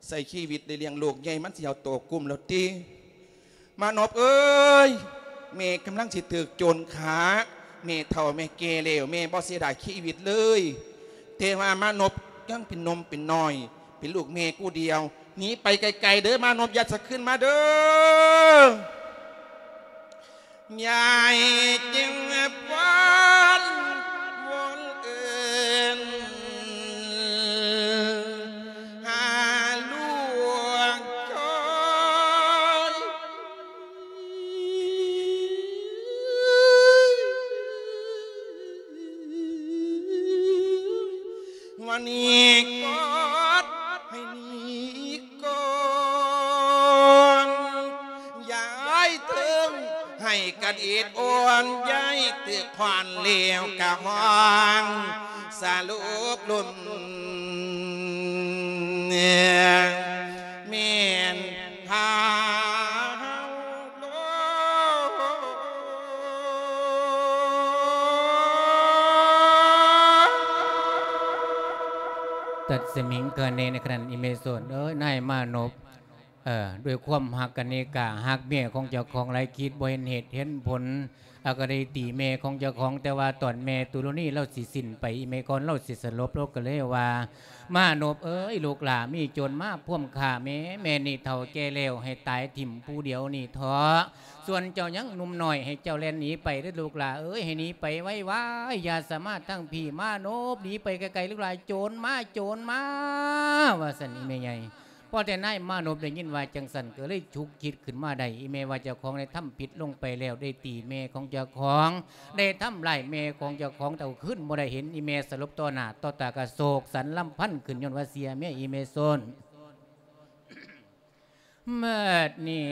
ໃຊ້ຊີວິດໄດ້ລ້ຽງລູກໃຫຍ່ ມັນຊິເອົາໂຕກຸ້ມແລ້ວຕິ. ມານົບເອີຍ ແມ່ກຳລັງຊິຖືກໂຈນຂ້າ ແມ່ເຖົ້າແມ່ແກ່ແລ້ວ ແມ່ບໍ່ເສຍດາຍຊີວິດເລີຍ ແຕ່ວ່າມານົບຍັງເປັນໜຸ່ມເປັນນ້ອຍ ເປັນລູກແມ່ຜູ້ດຽວ ໜີໄປໄກໆເດີ ມານົບ ຢ່າສະຄືນມາເດີ. ຍາຍຈຶ່ງວອນວອນເອີ້ນ ຫາລູກຊາຍ ວ່າໜີກ່ອນ ໃຫ້ໜີກ່ອນ ຍາຍເຖິງໃຫ້ກັນອິດອ່ອນ ຍາຍຖືກຂວັນແລ້ວກະຮ້ອງສະຫຼຸບລຸນ ແມ່ນພາເຮົາໂລ ຕັດສະມິງກະເນ ໃນຂະນະນີ້ແມ່ໂສນເອີຍ ນາຍມານົບ ເອີ ດ້ວຍຄວາມຮັກກັນນີ້ກະຮັກເມຍຂອງເຈົ້າຂອງຫຼາຍ ຄິດບໍ່ເຫັນເຫດເຫັນຜົນ ອາ ກໍໄດ້ຕີແມ່ຂອງເຈົ້າຂອງ ແຕ່ວ່າຕອນແມ່ຕຸລະນີລາວຊິສິ້ນໄປ ອີ່ແມ່ກ່ອນລາວຊິສະຫຼົບ ລາວກໍເລີຍວ່າ ມານົບເອີຍ ລູກຫຼ້າ ມີໂຈນມາພວມຂ້າແມ່ ແມ່ນີ້ເຖົ້າແກ່ແລ້ວ ໃຫ້ຕາຍຖິ້ມຜູ້ດຽວນີ້ເຖາະ ສ່ວນເຈົ້າຍັງໜຸ່ມນ້ອຍ ໃຫ້ເຈົ້າແລ່ນໜີໄປເດີລູກຫຼ້າເອີຍ ໃຫ້ໜີໄປໄວໆ ຢ່າສາມາດທາງພີ້ ມານົບໜີໄປໄກໆ ລູກຫຼ້າ ໂຈນມາ ໂຈນມາ ວ່າຊັ້ນ ອີ່ແມ່ໃຫຍ່ ພໍແຕ່ນາຍມານົບໄດ້ຍິນວ່າຈັ່ງຊັ້ນ ກໍເລີຍຊຸກຄິດຂຶ້ນມາໄດ້ ອີ່ແມ່ວ່າເຈົ້າຂອງໄດ້ທຳຜິດລົງໄປແລ້ວ ໄດ້ຕີແມ່ຂອງເຈົ້າຂອງ ໄດ້ທຳຮ້າຍແມ່ຂອງເຈົ້າຂອງ ເອົາຄືນບໍ່ໄດ້ ເຫັນອີ່ແມ່ສະຫຼົບຕໍ່ໜ້າຕໍ່ຕາ ກະໂສກສັນລຳພັນຂຶ້ນ ຍ້ອນວ່າເສຍເມຍອີ່ແມ່ໂຊນ ເໝິດນີ້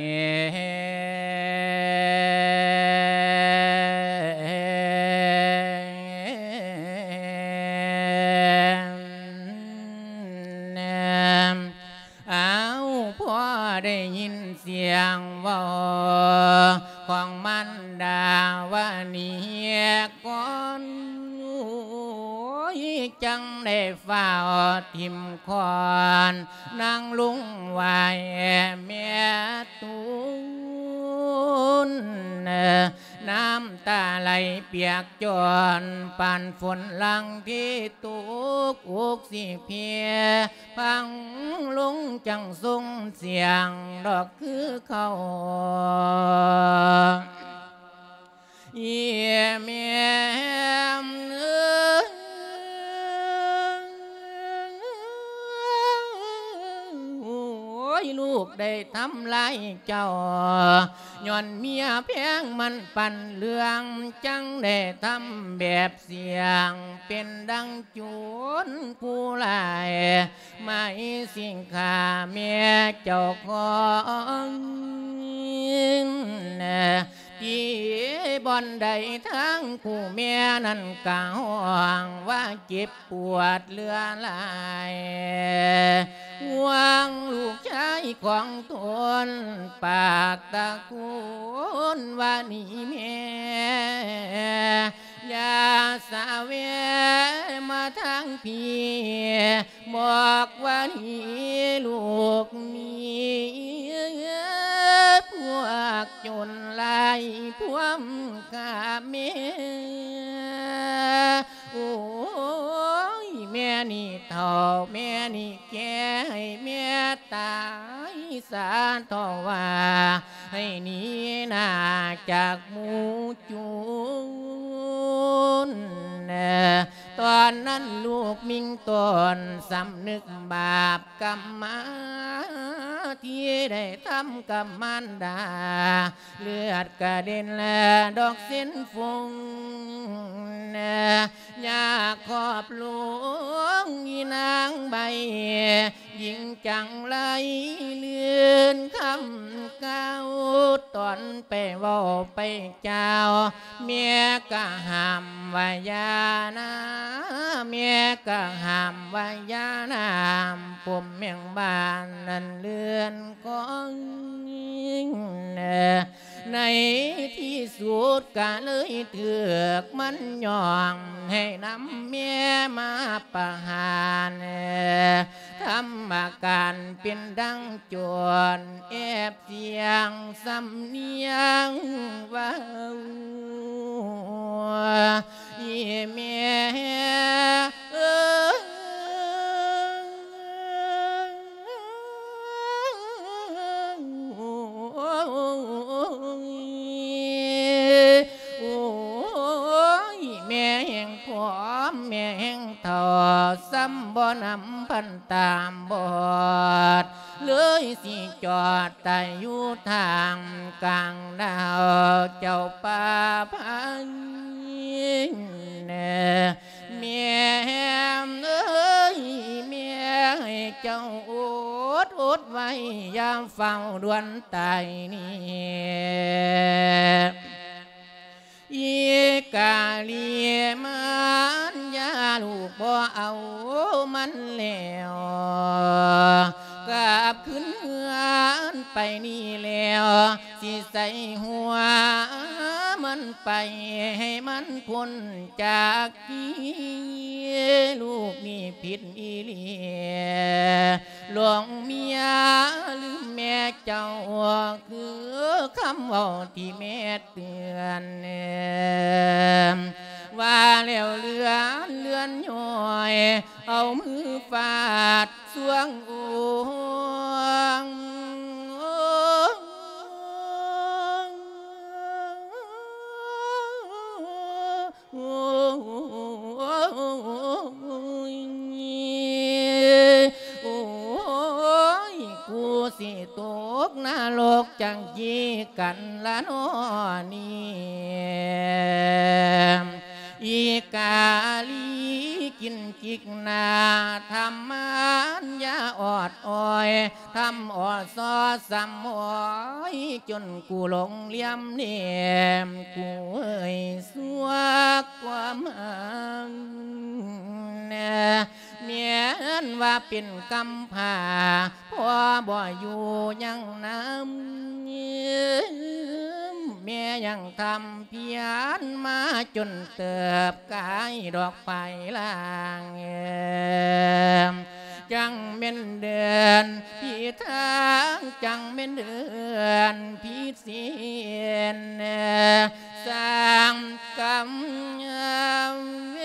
ເອົາ ພໍໄດ້ຍິນສຽງເວົ້າຂອງມານດາວ່ານີ້ກ່ອນ ໂອ້ຍ ຈັ່ງໄດ້ຟ້າວຖິ້ມຄ້ອນ ນາງລົງໄຫວ້ແມ່ຕູນ ນ້ຳຕາໄຫຼປຽກຈອນ ປານຝົນຫຼັງທີ່ຕົກ ອົກຊິເພ ພັງລົງຈັ່ງສົ່ງສຽງດອກຄືເກົ່າ ອີ່ແມ່ເອີຍ ໂອ້ຍ ລູກໄດ້ທຳລາຍເຈົ້າ ຍ້ອນເມຍແພງມັນປັນເລື່ອງ ຈັ່ງໄດ້ທຳແບບ ສຽງເປັນດັ່ງໂຈນຜູ້ຮ້າຍ ໝາຍສິງຂ້າແມ່ເຈົ້າຂອງ ທີ່ບ່ອນໃດທາງຜູ້ແມ່ນັ້ນກະຮ້ອງວ່າເຈັບປວດເຫຼືອຫຼາຍ ຫ່ວງລູກຊາຍຂອງຕົນ ປາກຕະໂກນວ່ານີ້ແມ່ ຢ່າສະແຫວະມາທາງພີ້ ບອກວ່ານີ້ລູກມີພວກໂຈນລາຍພວມຂ້າແມ່ ໂອ້ຍ ແມ່ນີ້ເຖົ້າ ແມ່ນີ້ແກ່ ໃຫ້ແມ່ຕາຍສາເຖາະວ່າ ໃຫ້ໜີໜ້າຈາກໝູ່ໂຈນ ຕອນນັ້ນລູກມິ່ງຕົນສຳນຶກບາບກຳມາ ທີ່ໄດ້ທຳກັບມານດາ ເລືອດກະເດັນແລະດອກເສັ້ນຟົງ ຢາກຂອບລົງອີນາງໃບ ຍິງຈັງໄລລື່ນຄຳກ່າວ ຕອນໄປເວົ້າໄປກ່າວ ແມ່ກະຫ້າມວ່າຢ່ານາ ແມ່ກະຫ້າມວ່າຢ່ານາ ປົມແມງບ້ານນັ້ນເລື່ອນຂອງ ໃນທີ່ສຸດກະເລີຍຖືກມັນຍ້ອງ ໃຫ້ນຳແມ່ມາປະຫານ ທຳອາການເປັນດັ່ງໂຈນ ແອບສຽງສຳນຽງເວົ້າ ອີ່ແມ່ເອີຍ ໂອ້ຍ ແມ່ແຮ່ງຜອມ ແມ່ແຮ່ງເຖົ້າ ສ່ຳບໍ່ນຳພັນຕາບອດ ເລີຍຊິຈອດຕາຍຢູ່ທ່າມກາງດາວ ເຈົ້າປ່າພາຍ ແມ່ເອີຍ ແມ່ໃຫ້ເຈົ້າອົດ ອົດໄວ້ ຢ່າຟ້າວດ່ວນຕາຍນີ້ ອີກາລີມານຍາ ລູກບໍ່ເອົາມັນແລ້ວ ກັບຄືນເຮືອນໄປນີ້ແລ້ວ ຊິໃສ່ຫົວມັນໄປ ໃຫ້ມັນພົ້ນຈາກທີ່ ລູກນີ້ຜິດອີ່ຫຼີ ຫຼວງເມຍລືມແມ່ເຈົ້າ ຄືຄຳເວົ້າທີ່ແມ່ເຕືອນ ວ່າແລ້ວເລື່ອນເລື່ອນຍ້ອຍ ເອົາມືຟາດສວງໂອງ. ໂອ້ຍ ໂອ້ຍ ກູຊິຕົກນະລົກຈັ່ງຈີກັນລະນໍນີ້ ອີກາລີກິນຈິກນາ ທຳມານຢາອອດອອຍ ທຳອອດຊໍສຳອອຍ ຈົນກູຫຼົງຫຼຽມແຫຼມ ກູເອີຍ ສວກຄວາມຫັກ ແມ່ນວ່າເປັນກຳພ້າ ພໍ່ບໍ່ຢູ່ຍັງນຳ ແມ່ຍັງທຳພຽນມາຈົນເຕີບ ກາຍດອກປາຍລ່າງ ຈັ່ງແມ່ນເດີນຜິດທາງ ຈັ່ງແມ່ນເດີນຜິດສິນ ສ້າງກຳເວ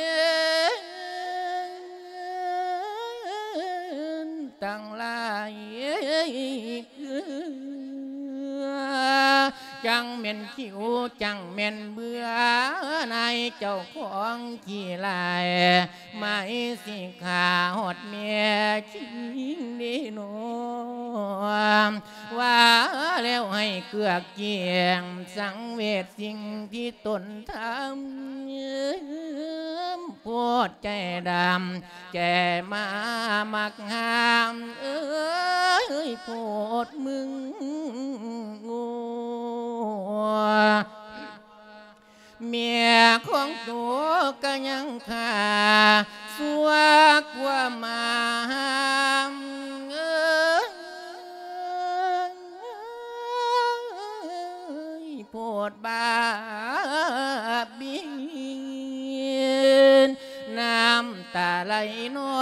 ນທັງຫຼາຍ ຈັ່ງແມ່ນຄິວ ຈັ່ງແມ່ນເບື່ອ ນາຍເຈົ້າຂອງຂີ້ຫຼາຍ ໝາຍຊິຂ້າຮອດແມ່ຄິງເດນໍ ວ່າແລ້ວໃຫ້ເກືອກກ້ຽງ ສັງເວດສິ່ງທີ່ຕົນທຳ ໂພດໃຈດຳ ແກ່ມາມັກຫາມ ເອີຍ ໂພດມຶງ ໂອ້ ແມ່ຂອງໂຕກະຍັງຂ້າ ຊົ່ວກວ່າໝາຫາມ ເອີຍ ໂພດບາບບິນ ນ້ຳຕາໄຫຼນອ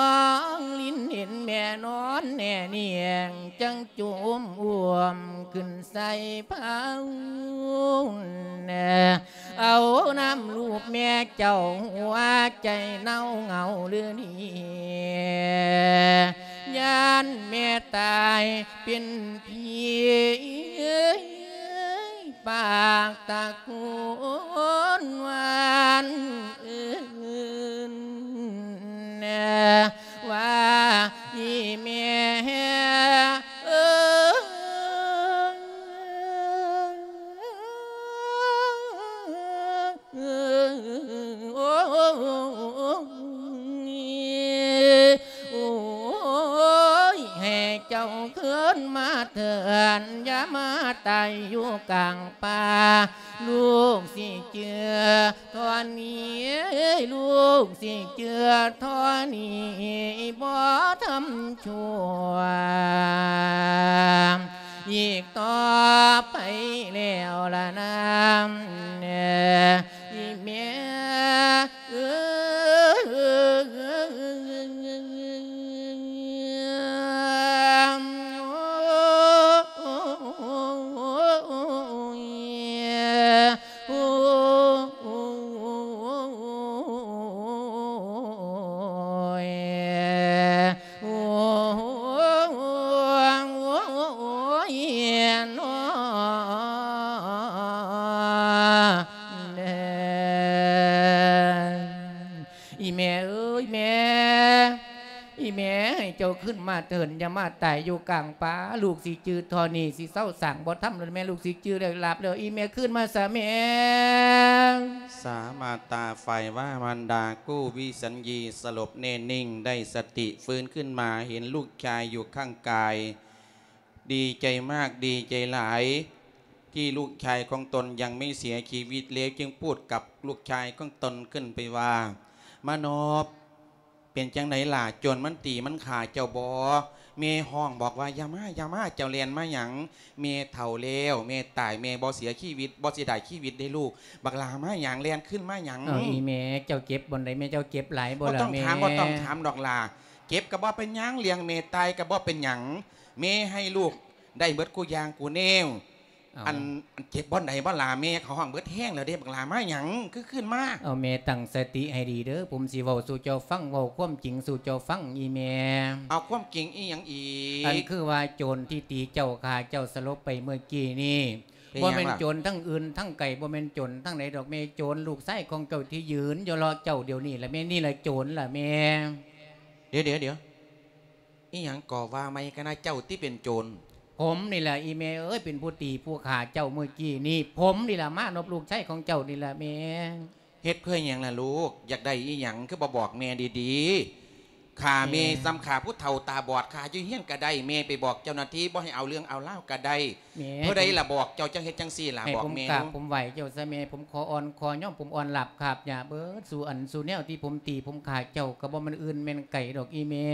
ງລິນ ເຫັນແມ່ນອນແນ່ນຽງ ຈັ່ງໂຈມອ້ວມຂຶ້ນໃສ່ເພົາ ເອົານ້ຳລູບແມ່ເຈົ້າ ຫົວໃຈເນົ່າເຫງົາເຫຼືອນີ້ ຢ້ານແມ່ຕາຍເປັນຜີ ປາກຕະໂກນຫວານເອີ້ນ ວ່າອີ່ແມ່ເອີຍ ໂອ້ຍ ໃຫ້ເຈົ້າຄືນມາເທີນ ຢ່າມາຕາຍຢູ່ກາງປ່າ ລູກຊິຈື່ທໍ່ນີ້ ລູກຊິຈື່ທໍ່ນີ້ ບໍ່ທຳຊົ່ວ ອີກຕໍ່ໄປແລ້ວລະນາ ອີ່ແມ່ເອີຍ ໂອ້ຍ ໂອ້ຍ ໂອ້ຍ ໂອ້ຍ ເອີ ອີ່ແມ່ເອີຍ ແມ່ ອີ່ແມ່ ໃຫ້ເຈົ້າຄືນມາເທີນ ຢ່າມາຕາຍຢູ່ກາງປ່າ ລູກຊິຈື່ທໍ່ນີ້ ຊິເຊົາສ້າງບໍ່ທຳແລ້ວ ແມ່ ລູກຊິຈື່ແລ້ວ ຫຼາບແລ້ວ ອີ່ແມ່ ຄືນມາຊະແມ່. ສາມາດຕາ ຝ່າຍວາມານດາ ກູ້ວິສັນຍີ ສະຫຼົບແນ່ນິ່ງ ໄດ້ສະຕິຟື້ນຂຶ້ນມາ ເຫັນລູກຊາຍຢູ່ຂ້າງກາຍ ດີໃຈມາກ ດີໃຈຫຼາຍ ທີ່ລູກຊາຍຂອງຕົນຍັງໄມ່ເສຍຊີວິດ ແລ້ວຈຶ່ງພູດກັບລູກຊາຍຂອງຕົນຂຶ້ນໄປວ່າ ມານອບ ເປັນຈັ່ງໃດຫຼ້າ? ໂຈນມັນຕີມັນຂ້າເຈົ້າບໍ? ແມ່ຮ້ອງບອກວ່າ ຢ່າມາ ຢ່າມາ ເຈົ້າແລ່ນມາຫຍັງ? ແມ່ເຖົ້າແລ້ວ ແມ່ຕາຍ ແມ່ບໍ່ເສຍຊີວິດ ບໍ່ເສຍດາຍຊີວິດເດ້ລູກ. ບັກຫຼ້າມາຫຍັງ? ແລ່ນຄືນມາຫຍັງ? ເອີ ອີ່ແມ່ ເຈົ້າເຈັບບ່ອນໃດແມ່? ເຈົ້າເຈັບຫຼາຍບໍ່ລະແມ່? ບໍ່ຕ້ອງຖາມ ບໍ່ຕ້ອງຖາມດອກຫຼ້າ. ເຈັບກໍບໍ່ເປັນຫຍັງ ລ້ຽງແມ່ຕາຍກໍບໍ່ເປັນຫຍັງ ແມ່ໃຫ້ລູກໄດ້ເບິດຄູ່ຢ່າງຄູ່ແນວ. ເອົ້າ ອັນ ອັນເຈັບບ່ອນໃດບໍ່ຫຼ້າ? ແມ່ເຂົາຮ້ອງເບິດແຮງແລ້ວເດ້. ບັກຫຼ້າມາຫຍັງຄືຄືນມາ? ເອົາ ແມ່ຕັ້ງສະຕິໃຫ້ດີເດີ ຜົມຊິເວົ້າສູ່ເຈົ້າຟັງ ເວົ້າຄວາມຈິງສູ່ເຈົ້າຟັງ ອີ່ແມ່. ເອົາ ຄວາມຈິງອີ່ຫຍັງອີກ? ອັນຄືວ່າໂຈນທີ່ຕີເຈົ້າ ຂ້າເຈົ້າສະຫຼົບໄປເມື່ອກີ້ນີ້ ເປັນຫຍັງລະ? ບໍ່ແມ່ນໂຈນທາງອື່ນທາງໄກ ບໍ່ແມ່ນໂຈນທາງໃດດອກແມ່ ໂຈນລູກຊາຍຂອງເຈົ້າທີ່ຢືນຢູ່ເລາະເຈົ້າດຽວນີ້ລະແມ່. ນີ້ລະໂຈນລະແມ່. ດຽວໆໆ ອີ່ຫຍັງກໍວ່າໃໝ່ກັນນະ ເຈົ້າຕິເປັນໂຈນ? ຜົມນີ້ລະອີ່ແມ່ເອີຍ ເປັນຜູ້ຕີຜູ້ຂ້າເຈົ້າມື້ກີ້ນີ້ ຜົມນີ້ລະມານົບລູກຊາຍຂອງເຈົ້ານີ້ລະແມ່. ເຮັດເພື່ອຫຍັງລະລູກ? ຢາກໄດ້ອີ່ຫຍັງ ຄືບໍ່ບອກແມ່ດີໆ? ຂ້າແມ່ ແມ່ ສ່ຳຂ້າຜູ້ເຖົ້າຕາບອດ ຂ້າຢູ່ເຮືອນກໍໄດ້ ແມ່ໄປບອກເຈົ້າໜ້າທີ່ ບໍ່ໃຫ້ເອົາເລື່ອງເອົາລາວກໍໄດ້. ແມ່ ຜູ້ໃດລະບອກເຈົ້າຈັ່ງເຮັດຈັ່ງຊີ້ລະ? ໃຫ້ ບອກ ຜົມ ແມ່ ກາບ ດູ ຜົມໄຫວ້ເຈົ້າຊະແມ່ ຜົມຂໍອ່ອນຂໍຍອມ ຜົມອ່ອນລາບຂາບຫຍ້າເບິດສູ່ອັນສູ່ແນວທີ່ຜົມຕີຜົມຂ້າເຈົ້າ ກໍບໍ່ແມ່ນອື່ນແມ່ນໄກດອກອີ່ແມ່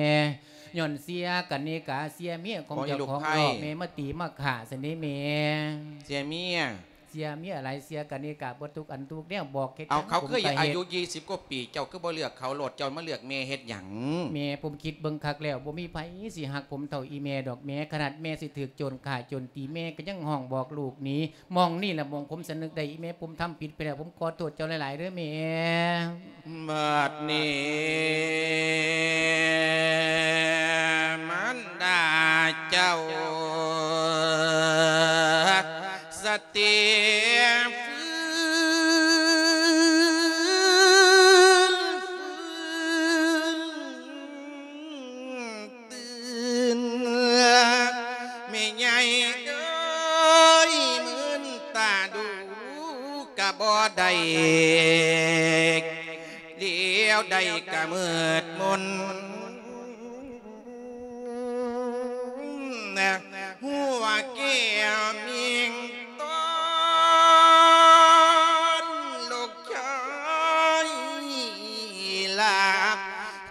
ຍ້ອນເສຍກະນິກາ ເສຍເມຍຂອງເຈົ້າຂອງເນາະແມ່ ມາຕີມາຂ້າຊັ້ນເດ້ແມ່. ເສຍເມຍ? ເສຍເມຍຫຼາຍ ເສຍກະນິກາເບິດທຸກອັນທຸກແນວ ບອກເຮັດຫຍັງ ເອົາ ເຂົາຄືອາຍຸ ສິບກວ່າປີ ເຈົ້າຄືບໍ່ເລືອກເຂົາໂລດ ເຈົ້າມາເລືອກແມ່ເຮັດຫຍັງ? ແມ່ ຜົມຄິດເບິ່ງຄັກແລ້ວ ບໍ່ມີໃຜຊິຮັກຜົມເທົ່າອີ່ແມ່ດອກແມ່ ຂະໜາດແມ່ຊິຖືກໂຈນຂ້າໂຈນຕີ ແມ່ກໍຍັງຮ້ອງບອກລູກໜີ. ໝ່ອງນີ້ລະໝ່ອງຜົມສຳນຶກໄດ້ ອີ່ແມ່ ຜົມທຳຜິດໄປແລ້ວ ຜົມຂໍໂທດເຈົ້າຫຼາຍໆເດີແມ່. ບັດນີ້ມານດາເຈົ້າ ສະຕິຟື້ນ ຟື້ນ ຕື່ນ ແມ່ໃຫຍ່ເອີຍ ມື່ນຕາດູກະບໍ່ໄດ້ ດຽວໃດກະມືດມົນ ຫົວແກ້ວມິ່ງຕອນ ລູກຊາຍຫຼັບ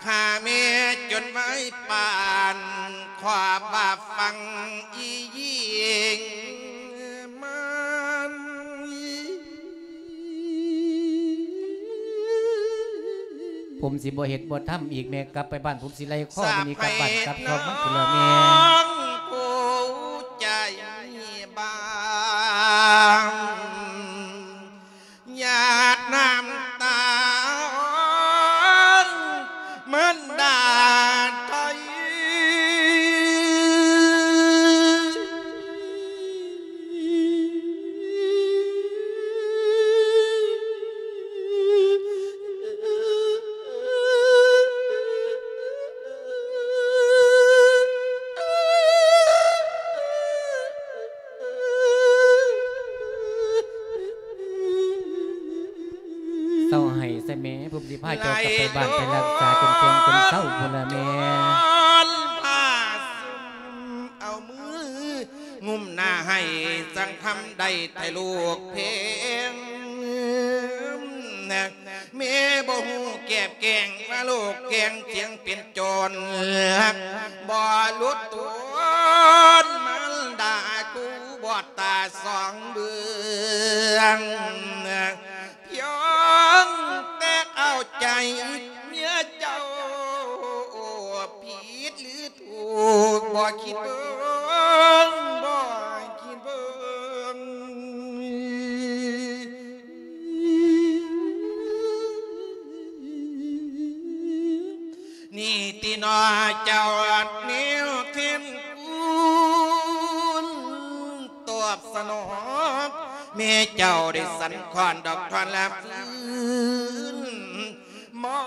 ຂ້າແມ່ຈົນໄວປານ ຄວາມວ່າຟັງອີຍິງມັນ. ຜົມຊິບໍ່ເຮັດບໍ່ທຳອີກແມ່ ກັບໄປບ້ານຜົມຊິໄລ່ຄໍມັນໜີກັບບ້ານກັບຊ່ອງມັນພຸ້ນລະແມ່. ຜູ້ໃຈບາງ ຫຍາດນ້ຳຕາ ມັນດາໄທ ເຊົາໄຫ້ຊະແມ່ ຜົມຊິພາເຈົ້າກັບໄປບ້ານໄປລັກສາຈົນແຂງຈົນເຊົາພຸ້ນລະແມ່. ພາສຸມເອົາມືງຸ້ມໜ້າໃຫ້ ຈັ່ງທຳໄດ້ແຕ່ລູກເພງ ແມ່ບໍ່ຮູ້ແກບແກ້ງ ວ່າລູກແກງຈຽງເປັນໂຈນ ບໍ່ຫຼຸດຕົນ ມານດາກູບອດຕາສອງເບື້ອງ ພຽງແຕ່ເອົາໃຈເມຍເຈົ້າ ຜິດຫຼື ຖືກ ບໍ່ຄິດເບິ່ງ ບໍ່ຄິດເບິ່ງ ນີ້ຕິໜໍ່ເຈົ້າແນວແທນຄຸນ ຕອບສະໜອງ ແມ່ເຈົ້າໄດ້ສັ່ນຄອນດອກທ່ອນລະຟື້ນ ໝໍ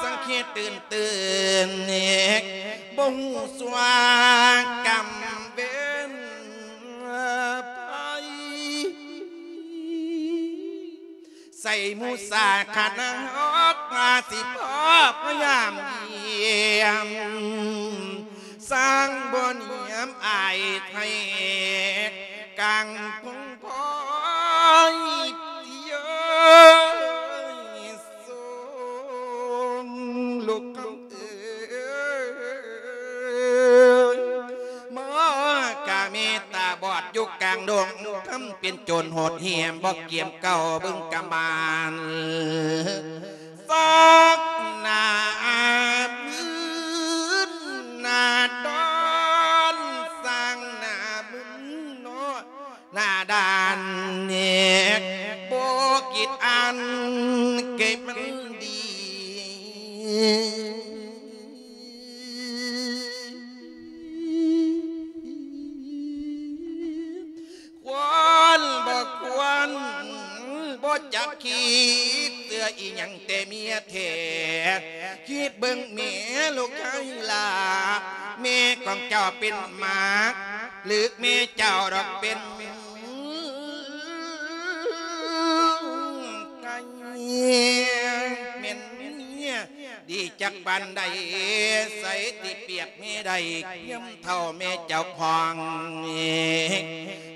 ສັງເຂດຕື່ນຕື່ນ ບໍ່ຮູ້ຊົ່ວກຳເວັນໄພ ໃສ່ໝູ່ສາຂະນະຮອກ ວ່າຊິພໍພະຍາຍາມຢ້ຽມ ສ້າງບໍ່ນຽມອາຍໄທ ກາງພົງພອຍ ເອີຍ ສົ່ງລູກເອີຍ ມາກະເມດຕາບອດຢູ່ກາງດົງ ທຳເປັນໂຈນໂຫດຫ້ຽມ ບໍ່ກຽມເກົ່າເບິ່ງກະມານ ສັກໜ້າມື ດານ ບໍ່ຄິດອ່ານເກັບມັນດີ ຄວນບໍ່ຄວນ ບໍ່ຈັກຄິດ ເຊື່ອອີ່ຫຍັງແຕ່ເມຍແທ້ ຄິດເບິ່ງແມ່ລູກຊາຍຫຼ້າ ແມ່ຂອງເຈົ້າເປັນໝາ ຫຼືແມ່ເຈົ້າດອກເປັນໄກ່ ແມ່ນເມຍ ດີຈັກປານໃດ ໃສຕິປຽບແມ່ໄດ້ ຍາມເຖົ້າແມ່ເຈົ້າຂອງ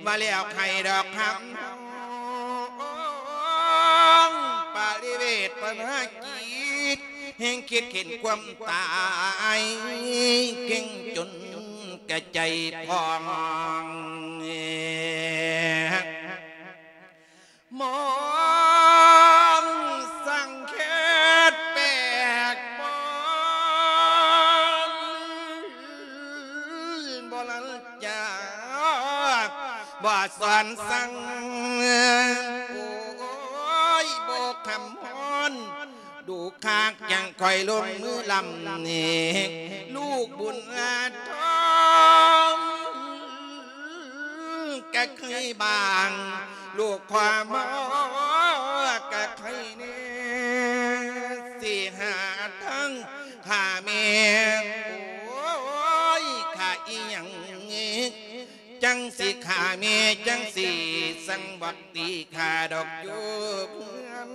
ວ່າແລ້ວໃຫ້ດອກຄຳ ປະລິເວດປະນາກິດ ແຮ່ງຄິດເຫັນຄວາມຕາຍ ເກັ່ງຈົນກະໃຈພອງ ມອງສັງເຂດແປກປອນ ບໍ່ລັນຈາ ບໍ່ສອນສັ່ງ ໂອ້ຍ ບໍ່ຄຳຮ້ອນ ດູຄາກຈັ່ງຄ່ອຍລົງມືລຳນີ້ ລູກບຸນອາທອງ ກະເຄີຍບາງ ລູກຄວາມກະເຄີຍແນ່ ຊິຫາທາງຂ້າແມ່ ໂອ້ຍ ຂ້າອີ່ຫຍັງ ຈັ່ງຊິຂ້າແມ່ ຈັ່ງຊິສັ່ງບັກຕີຂ້າດອກຢູ່ເຮືອນ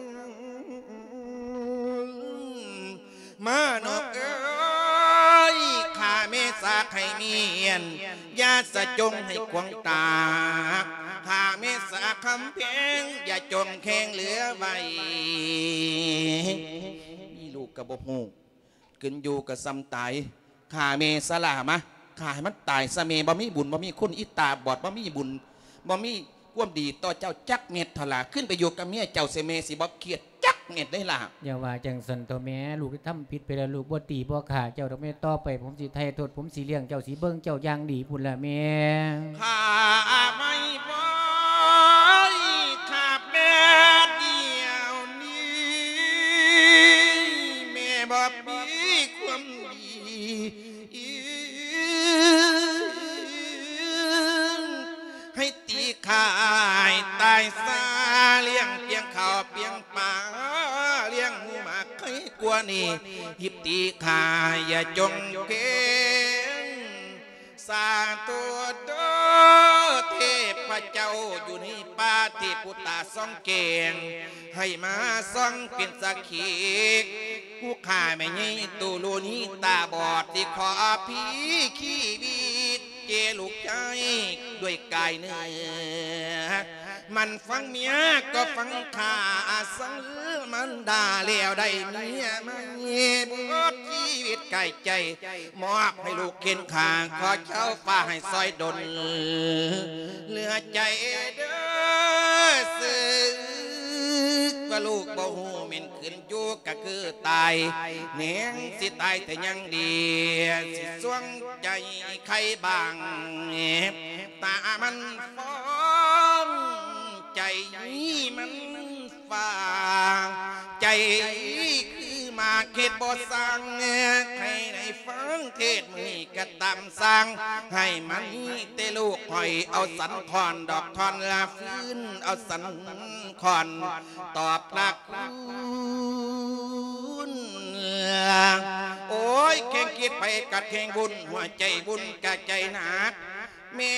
ມານອກເອີຍ ຂ້າແມ່ສາໃຫ້ມຽນ ຢ່າສະຈົງໃຫ້ຂວາງຕາ ຂ້າແມ່ສາຄຳແພງ ຢ່າຈົງແຂງເຫຼືອໄວ້ ມີລູກກໍບໍ່ຮູ້ ຂຶ້ນຢູ່ກໍສ່ຳຕາຍ ຂ້າແມ່ສະຫຼ້າມາ ຂ້າໃຫ້ມັນຕາຍຊະແມ່ ບໍ່ມີບຸນ ບໍ່ມີຄຸນ ອີຕາບອດ ບໍ່ມີບຸນ ບໍ່ມີຄວາມດີຕໍ່ເຈົ້າຈັກເມັດເທົ່າລະ ຂຶ້ນໄປຢູ່ກັບເມຍເຈົ້າຊະແມ່ ຊິບໍ່ຄຽດຈັກເມັດເດ້ລະ. ຢ່າວ່າຈັ່ງຊັ້ນເຖາະແມ່ ລູກໄດ້ທຳຜິດໄປແລ້ວ ລູກບໍ່ຕີບໍ່ຂ້າເຈົ້າດອກແມ່ ຕໍ່ໄປຜົມຊິໄຖ່ໂທດ ຜົມຊິລ້ຽງເຈົ້າ ຊິເບິ່ງເຈົ້າຢ່າງດີພຸ້ນລະແມ່. ຂ້າໄມ່ໄຫວ ຂ້າແມ່ດຽວນີ້ ແມ່ບໍ່ມີຄວາມດີ ໃຫ້ຕີຂ້າໃຫ້ຕາຍຊາ ລ້ຽງປຽງເຂົ້າປຽງປາ ລ້ຽງໝູໝາກໄຄກວ່ານີ້ ຮີບຕີຂ້າຢ່າຈົ່ງເກງ ສາທຸເດີ ເທບພະເຈົ້າຢູ່ໃນປ່າ ເທບຜູ້ຕາສ່ອງແກງ ໃຫ້ມາສ່ອງເປັນສັກຂີ ຜູ້ຂ້າແມ່ໃຫຍ່ຕຸລຸນີຕາບອດ ຊິຂໍຜີຊີວິດເຈລູກຊາຍດ້ວຍກາຍເນື້ອ ມັນຟັງເມຍກໍຟັງຂ້າ ສັງມານດາແລ້ວໄດ້ເມຍໃໝ່ ເບິດຊີວິດກາຍໃຈ ມອບໃຫ້ລູກເຄັນຂ້າ ຂໍເຈົ້າຟ້າໃຫ້ຊ່ອຍດົນ ເຫຼືອໃຈເດີ ເຊິ່ງວ່າລູກບໍ່ຮູ້ແມ່ນຂຶ້ນຢູ່ກະຄືຕາຍ ແນງຊິຕາຍແຕ່ຍັງດີ ຊິຊ່ວງໃຈໄຄບາງ ຕາມັນຟອງ ໃຈມັນ ວ່າໃຈຄືໝາກເຂດບໍ່ສ້າງ ໃຫ້ໄດ້ຟັງເທດມື້ນີ້ກະຕາມສ້າງ ໃຫ້ມັນມີແຕ່ລູກຂ້ອຍ ເອົາສັນຄ້ອນດອກທ່ອນລະຟື້ນ ເອົາສັນຄ້ອນຕອບລະຄູນ ໂອ້ຍ ແຂ່ງຄິດໄປກັດແຂ່ງວຸ້ນ ຫົວໃຈວຸ້ນກະໃຈໜັກ ແມ່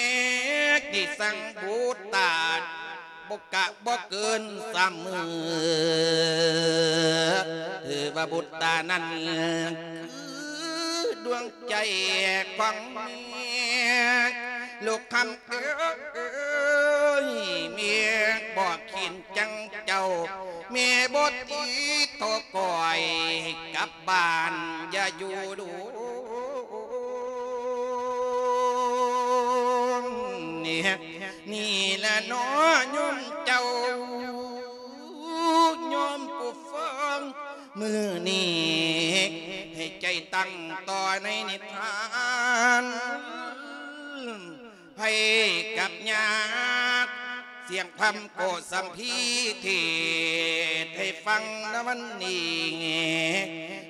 ນີ້ສັງບຸດຕາ ບໍ່ກະບໍ່ເກີນສາມມື້ ຖືວ່າບຸດຕານັ້ນຄືດວງໃຈຂອງແມ່ ລູກຄຳເອີຍ ແມ່ບໍ່ຂີນຈັ່ງເຈົ້າ ແມ່ບໍ່ຕີໂຕກ້ອຍ ກັບບ້ານຢ່າຢູ່ດົນ ນີ້ລະເນາະໂຍມເຈົ້າ ໂຍມຜູ້ຟັງ ມື້ນີ້ໃຫ້ໃຈຕັ້ງຕໍ່ໃນນິທານ ໃຜກັບຍາກ ສຽງຄຳໂກສຳພີເທດໃຫ້ຟັງນະວັນນີ້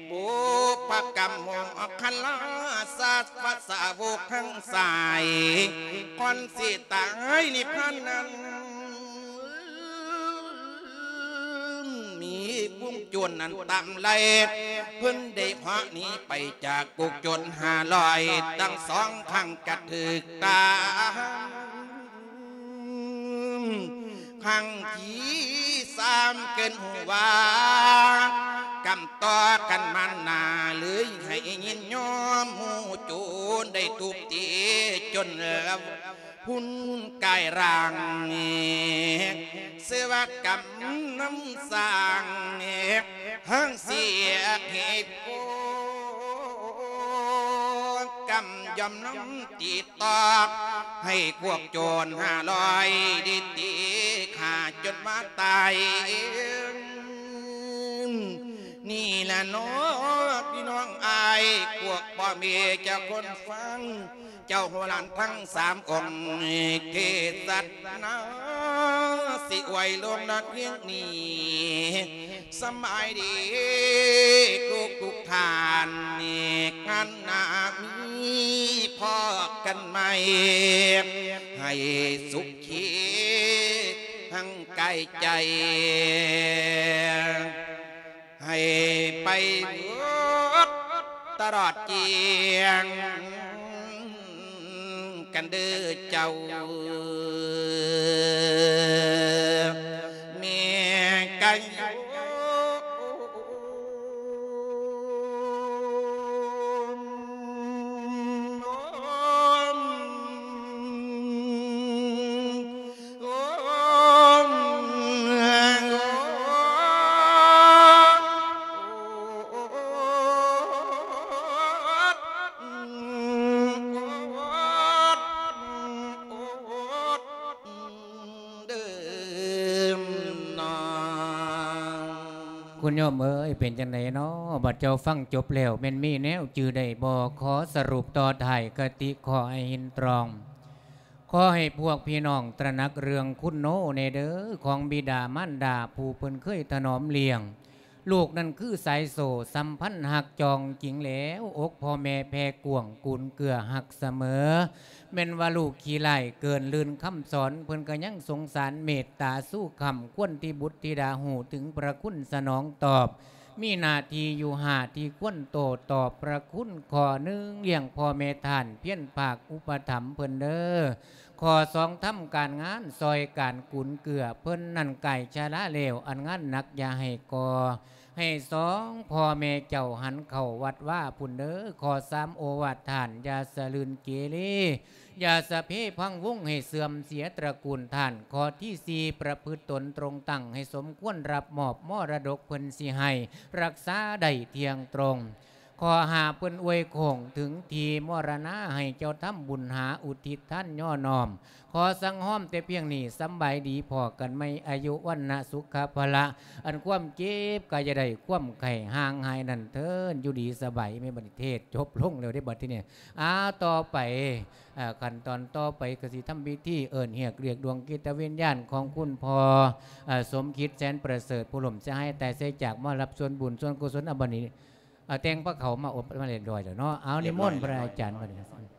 ບຸບພະກຳໂມຄະລາ ສາວະສາວົກທັງສາຍ ກ່ອນຊິຕາຍນິບພານນັ້ນ ມີກຸ່ມໂຈນນັ້ນຕາມໄລ່ ເພິ່ນໄດ້ເພາະໜີໄປຈາກກຸກໂຈນຫ້າຮ້ອຍ ທັງສອງຂ້າງກະຖືກຕາມ ຄັ້ງທີສາມເກີນຮູ້ວ່າ ກຳຕໍ່ກັນມານາ ເລີຍໃຫ້ຍິນຍອມ ໝູ່ໂຈນໄດ້ທຸບຕີຈົນລະພຸນກາຍຮ່າງ ເສວະກຳນຳສ້າງ ຫາງເສຍເຫດໂກ ກຳຍອມນຳຕິດ ຕອກໃຫ້ພວກໂຈນຫ້າຮ້ອຍໄດ້ຕີຂ້າຈົນວ່າຕາຍ. ນີ້ລະເນາະພີ່ນ້ອງອ້າຍ ພວກພໍ່ແມ່ເຈົ້າຄົນຟັງ ເຈົ້າຫົວຫຼານທັງສາມອົງ ເທດສະນາ ຊິອວຍລົງນອນພຽງນີ້ ສະບາຍດີທຸກໆທ່ານ ງານໜ້າມີພໍ້ກັນໃໝ່ ໃຫ້ສຸຂີທັງກາຍໃຈ ໃຫ້ໄປເບິດຕະຫຼອດກ້ຽງ ກັນເດີເຈົ້າ ແມ່ນກະຢູ່ ເດີມນອງ. ຄຸນໂຍມເອີຍ ເປັນຈັ່ງໃດເນາະ? ບັດເຈົ້າຟັງຈົບແລ້ວ ແມ່ນມີແນວຈື່ໄດ້ບໍ່? ຂໍສະຫຼຸບຕໍ່ທ້າຍຄະຕິ ຂໍໃຫ້ເຫັນຕຣອງ. ຂໍໃຫ້ພວກພີ່ນ້ອງຕະໜັກເລື່ອງຄຸນໂນແດ່ເດີ ຂອງບິດາມານດາ ຜູ້ເພິ່ນເຄີຍຖະໜອມລ້ຽງ. ລູກນັ້ນຄືສາຍໂສ້ ສຳພັນຮັກຈອງຈິງແລ້ວ ອົກພໍ່ແມ່ແຜ່ກວ້າງ ກຸນເກື້ອຮັກສະເໝີ. ແມ່ນວ່າລູກຂີ້ຮ້າຍເກີນລື່ນຄຳສອນ ເພິ່ນກໍຍັງສົງສານເມດຕາຊູຄຳ ຄວນທີ່ບຸດທິດາຮູ້ເຖິງພະຄຸນສະໜອງຕອບ ມີໜ້າທີ່ຢູ່ຫ້າທີ່ຄວນໂຕ້ຕອບພະຄຸນ. ຂໍ້ໜຶ່ງ ລ້ຽງພໍ່ແມ່ທ່ານ ພຽນພາກອຸປະຖຳເພິ່ນເດີ. ຂໍ້ສອງ ທຳການງານຊ່ອຍການກຸນເກື້ອເພິ່ນນັ້ນ ກາຍຊະລາແລ້ວ ອັນງານໜັກຢ່າໃຫ້ກໍ່ ໃຫ້ສອງພໍ່ແມ່ເຈົ້າຫັນເຂົ້າວັດວາພຸ້ນເດີ. ຂໍ້ສາມ ໂອວາດທ່ານຢ່າສະລື່ນເກເລ ຢ່າສະເພພັງວົງໃຫ້ເສື່ອມເສຍຕະກູນທ່ານ. ຂໍ້ທີສີ່ ປະພຶດຕົນຕົງຕັ້ງໃຫ້ສົມຄວນຮັບມອບມໍລະດົກເພິ່ນຊິໃຫ້ ຮັກສາໄດ້ທ່ຽງຕົງ. ຂໍ້ຫ້າ ເພິ່ນອວຍໂຄ້ງເຖິງທີ່ມໍລະນາ ໃຫ້ເຈົ້າທຳບຸນຫາອຸທິດທານຍໍນ້ອມ. ຂໍສັ່ງຮອມແຕ່ພຽງນີ້ ສຳບາຍດີ ພໍ້ກັນໃໝ່ ອາຍຸວັນນະສຸຂະພະລະ ອັນຄວາມເຈັບກະຢ່າໄດ້ ຄວາມໄຂ້ຫ່າງຫາຍນັ້ນເທີນ ຢູ່ດີສະບາຍ. ແມ່ນບັດນີ້ເທດຈົບລົງແລ້ວເດ້ ບັດທີນີ້ ອ່າ ຕໍ່ໄປ ອ່າ ຂັ້ນຕອນຕໍ່ໄປກໍຊິທຳພິທີເອີ້ນຮຽກ ລຽກດວງຈິດຕະວິນຍານຂອງຄຸນພໍ່ ອ່າ ສົມຄິດ ແສນປະເສີດ ຜູ້ລົ້ມສະຫາຍຕາຍໄສຈາກ ມາຮັບສ່ວນບຸນສ່ວນກຸສົນ. ອາ ບັດນີ້ ອ່າ ແຕ່ງພະເຂົ້າມາອົບມາຮຽບຮ້ອຍແລ້ວເນາະ. ເອົາ ນິມົນພະອາຈານບັດນີ້.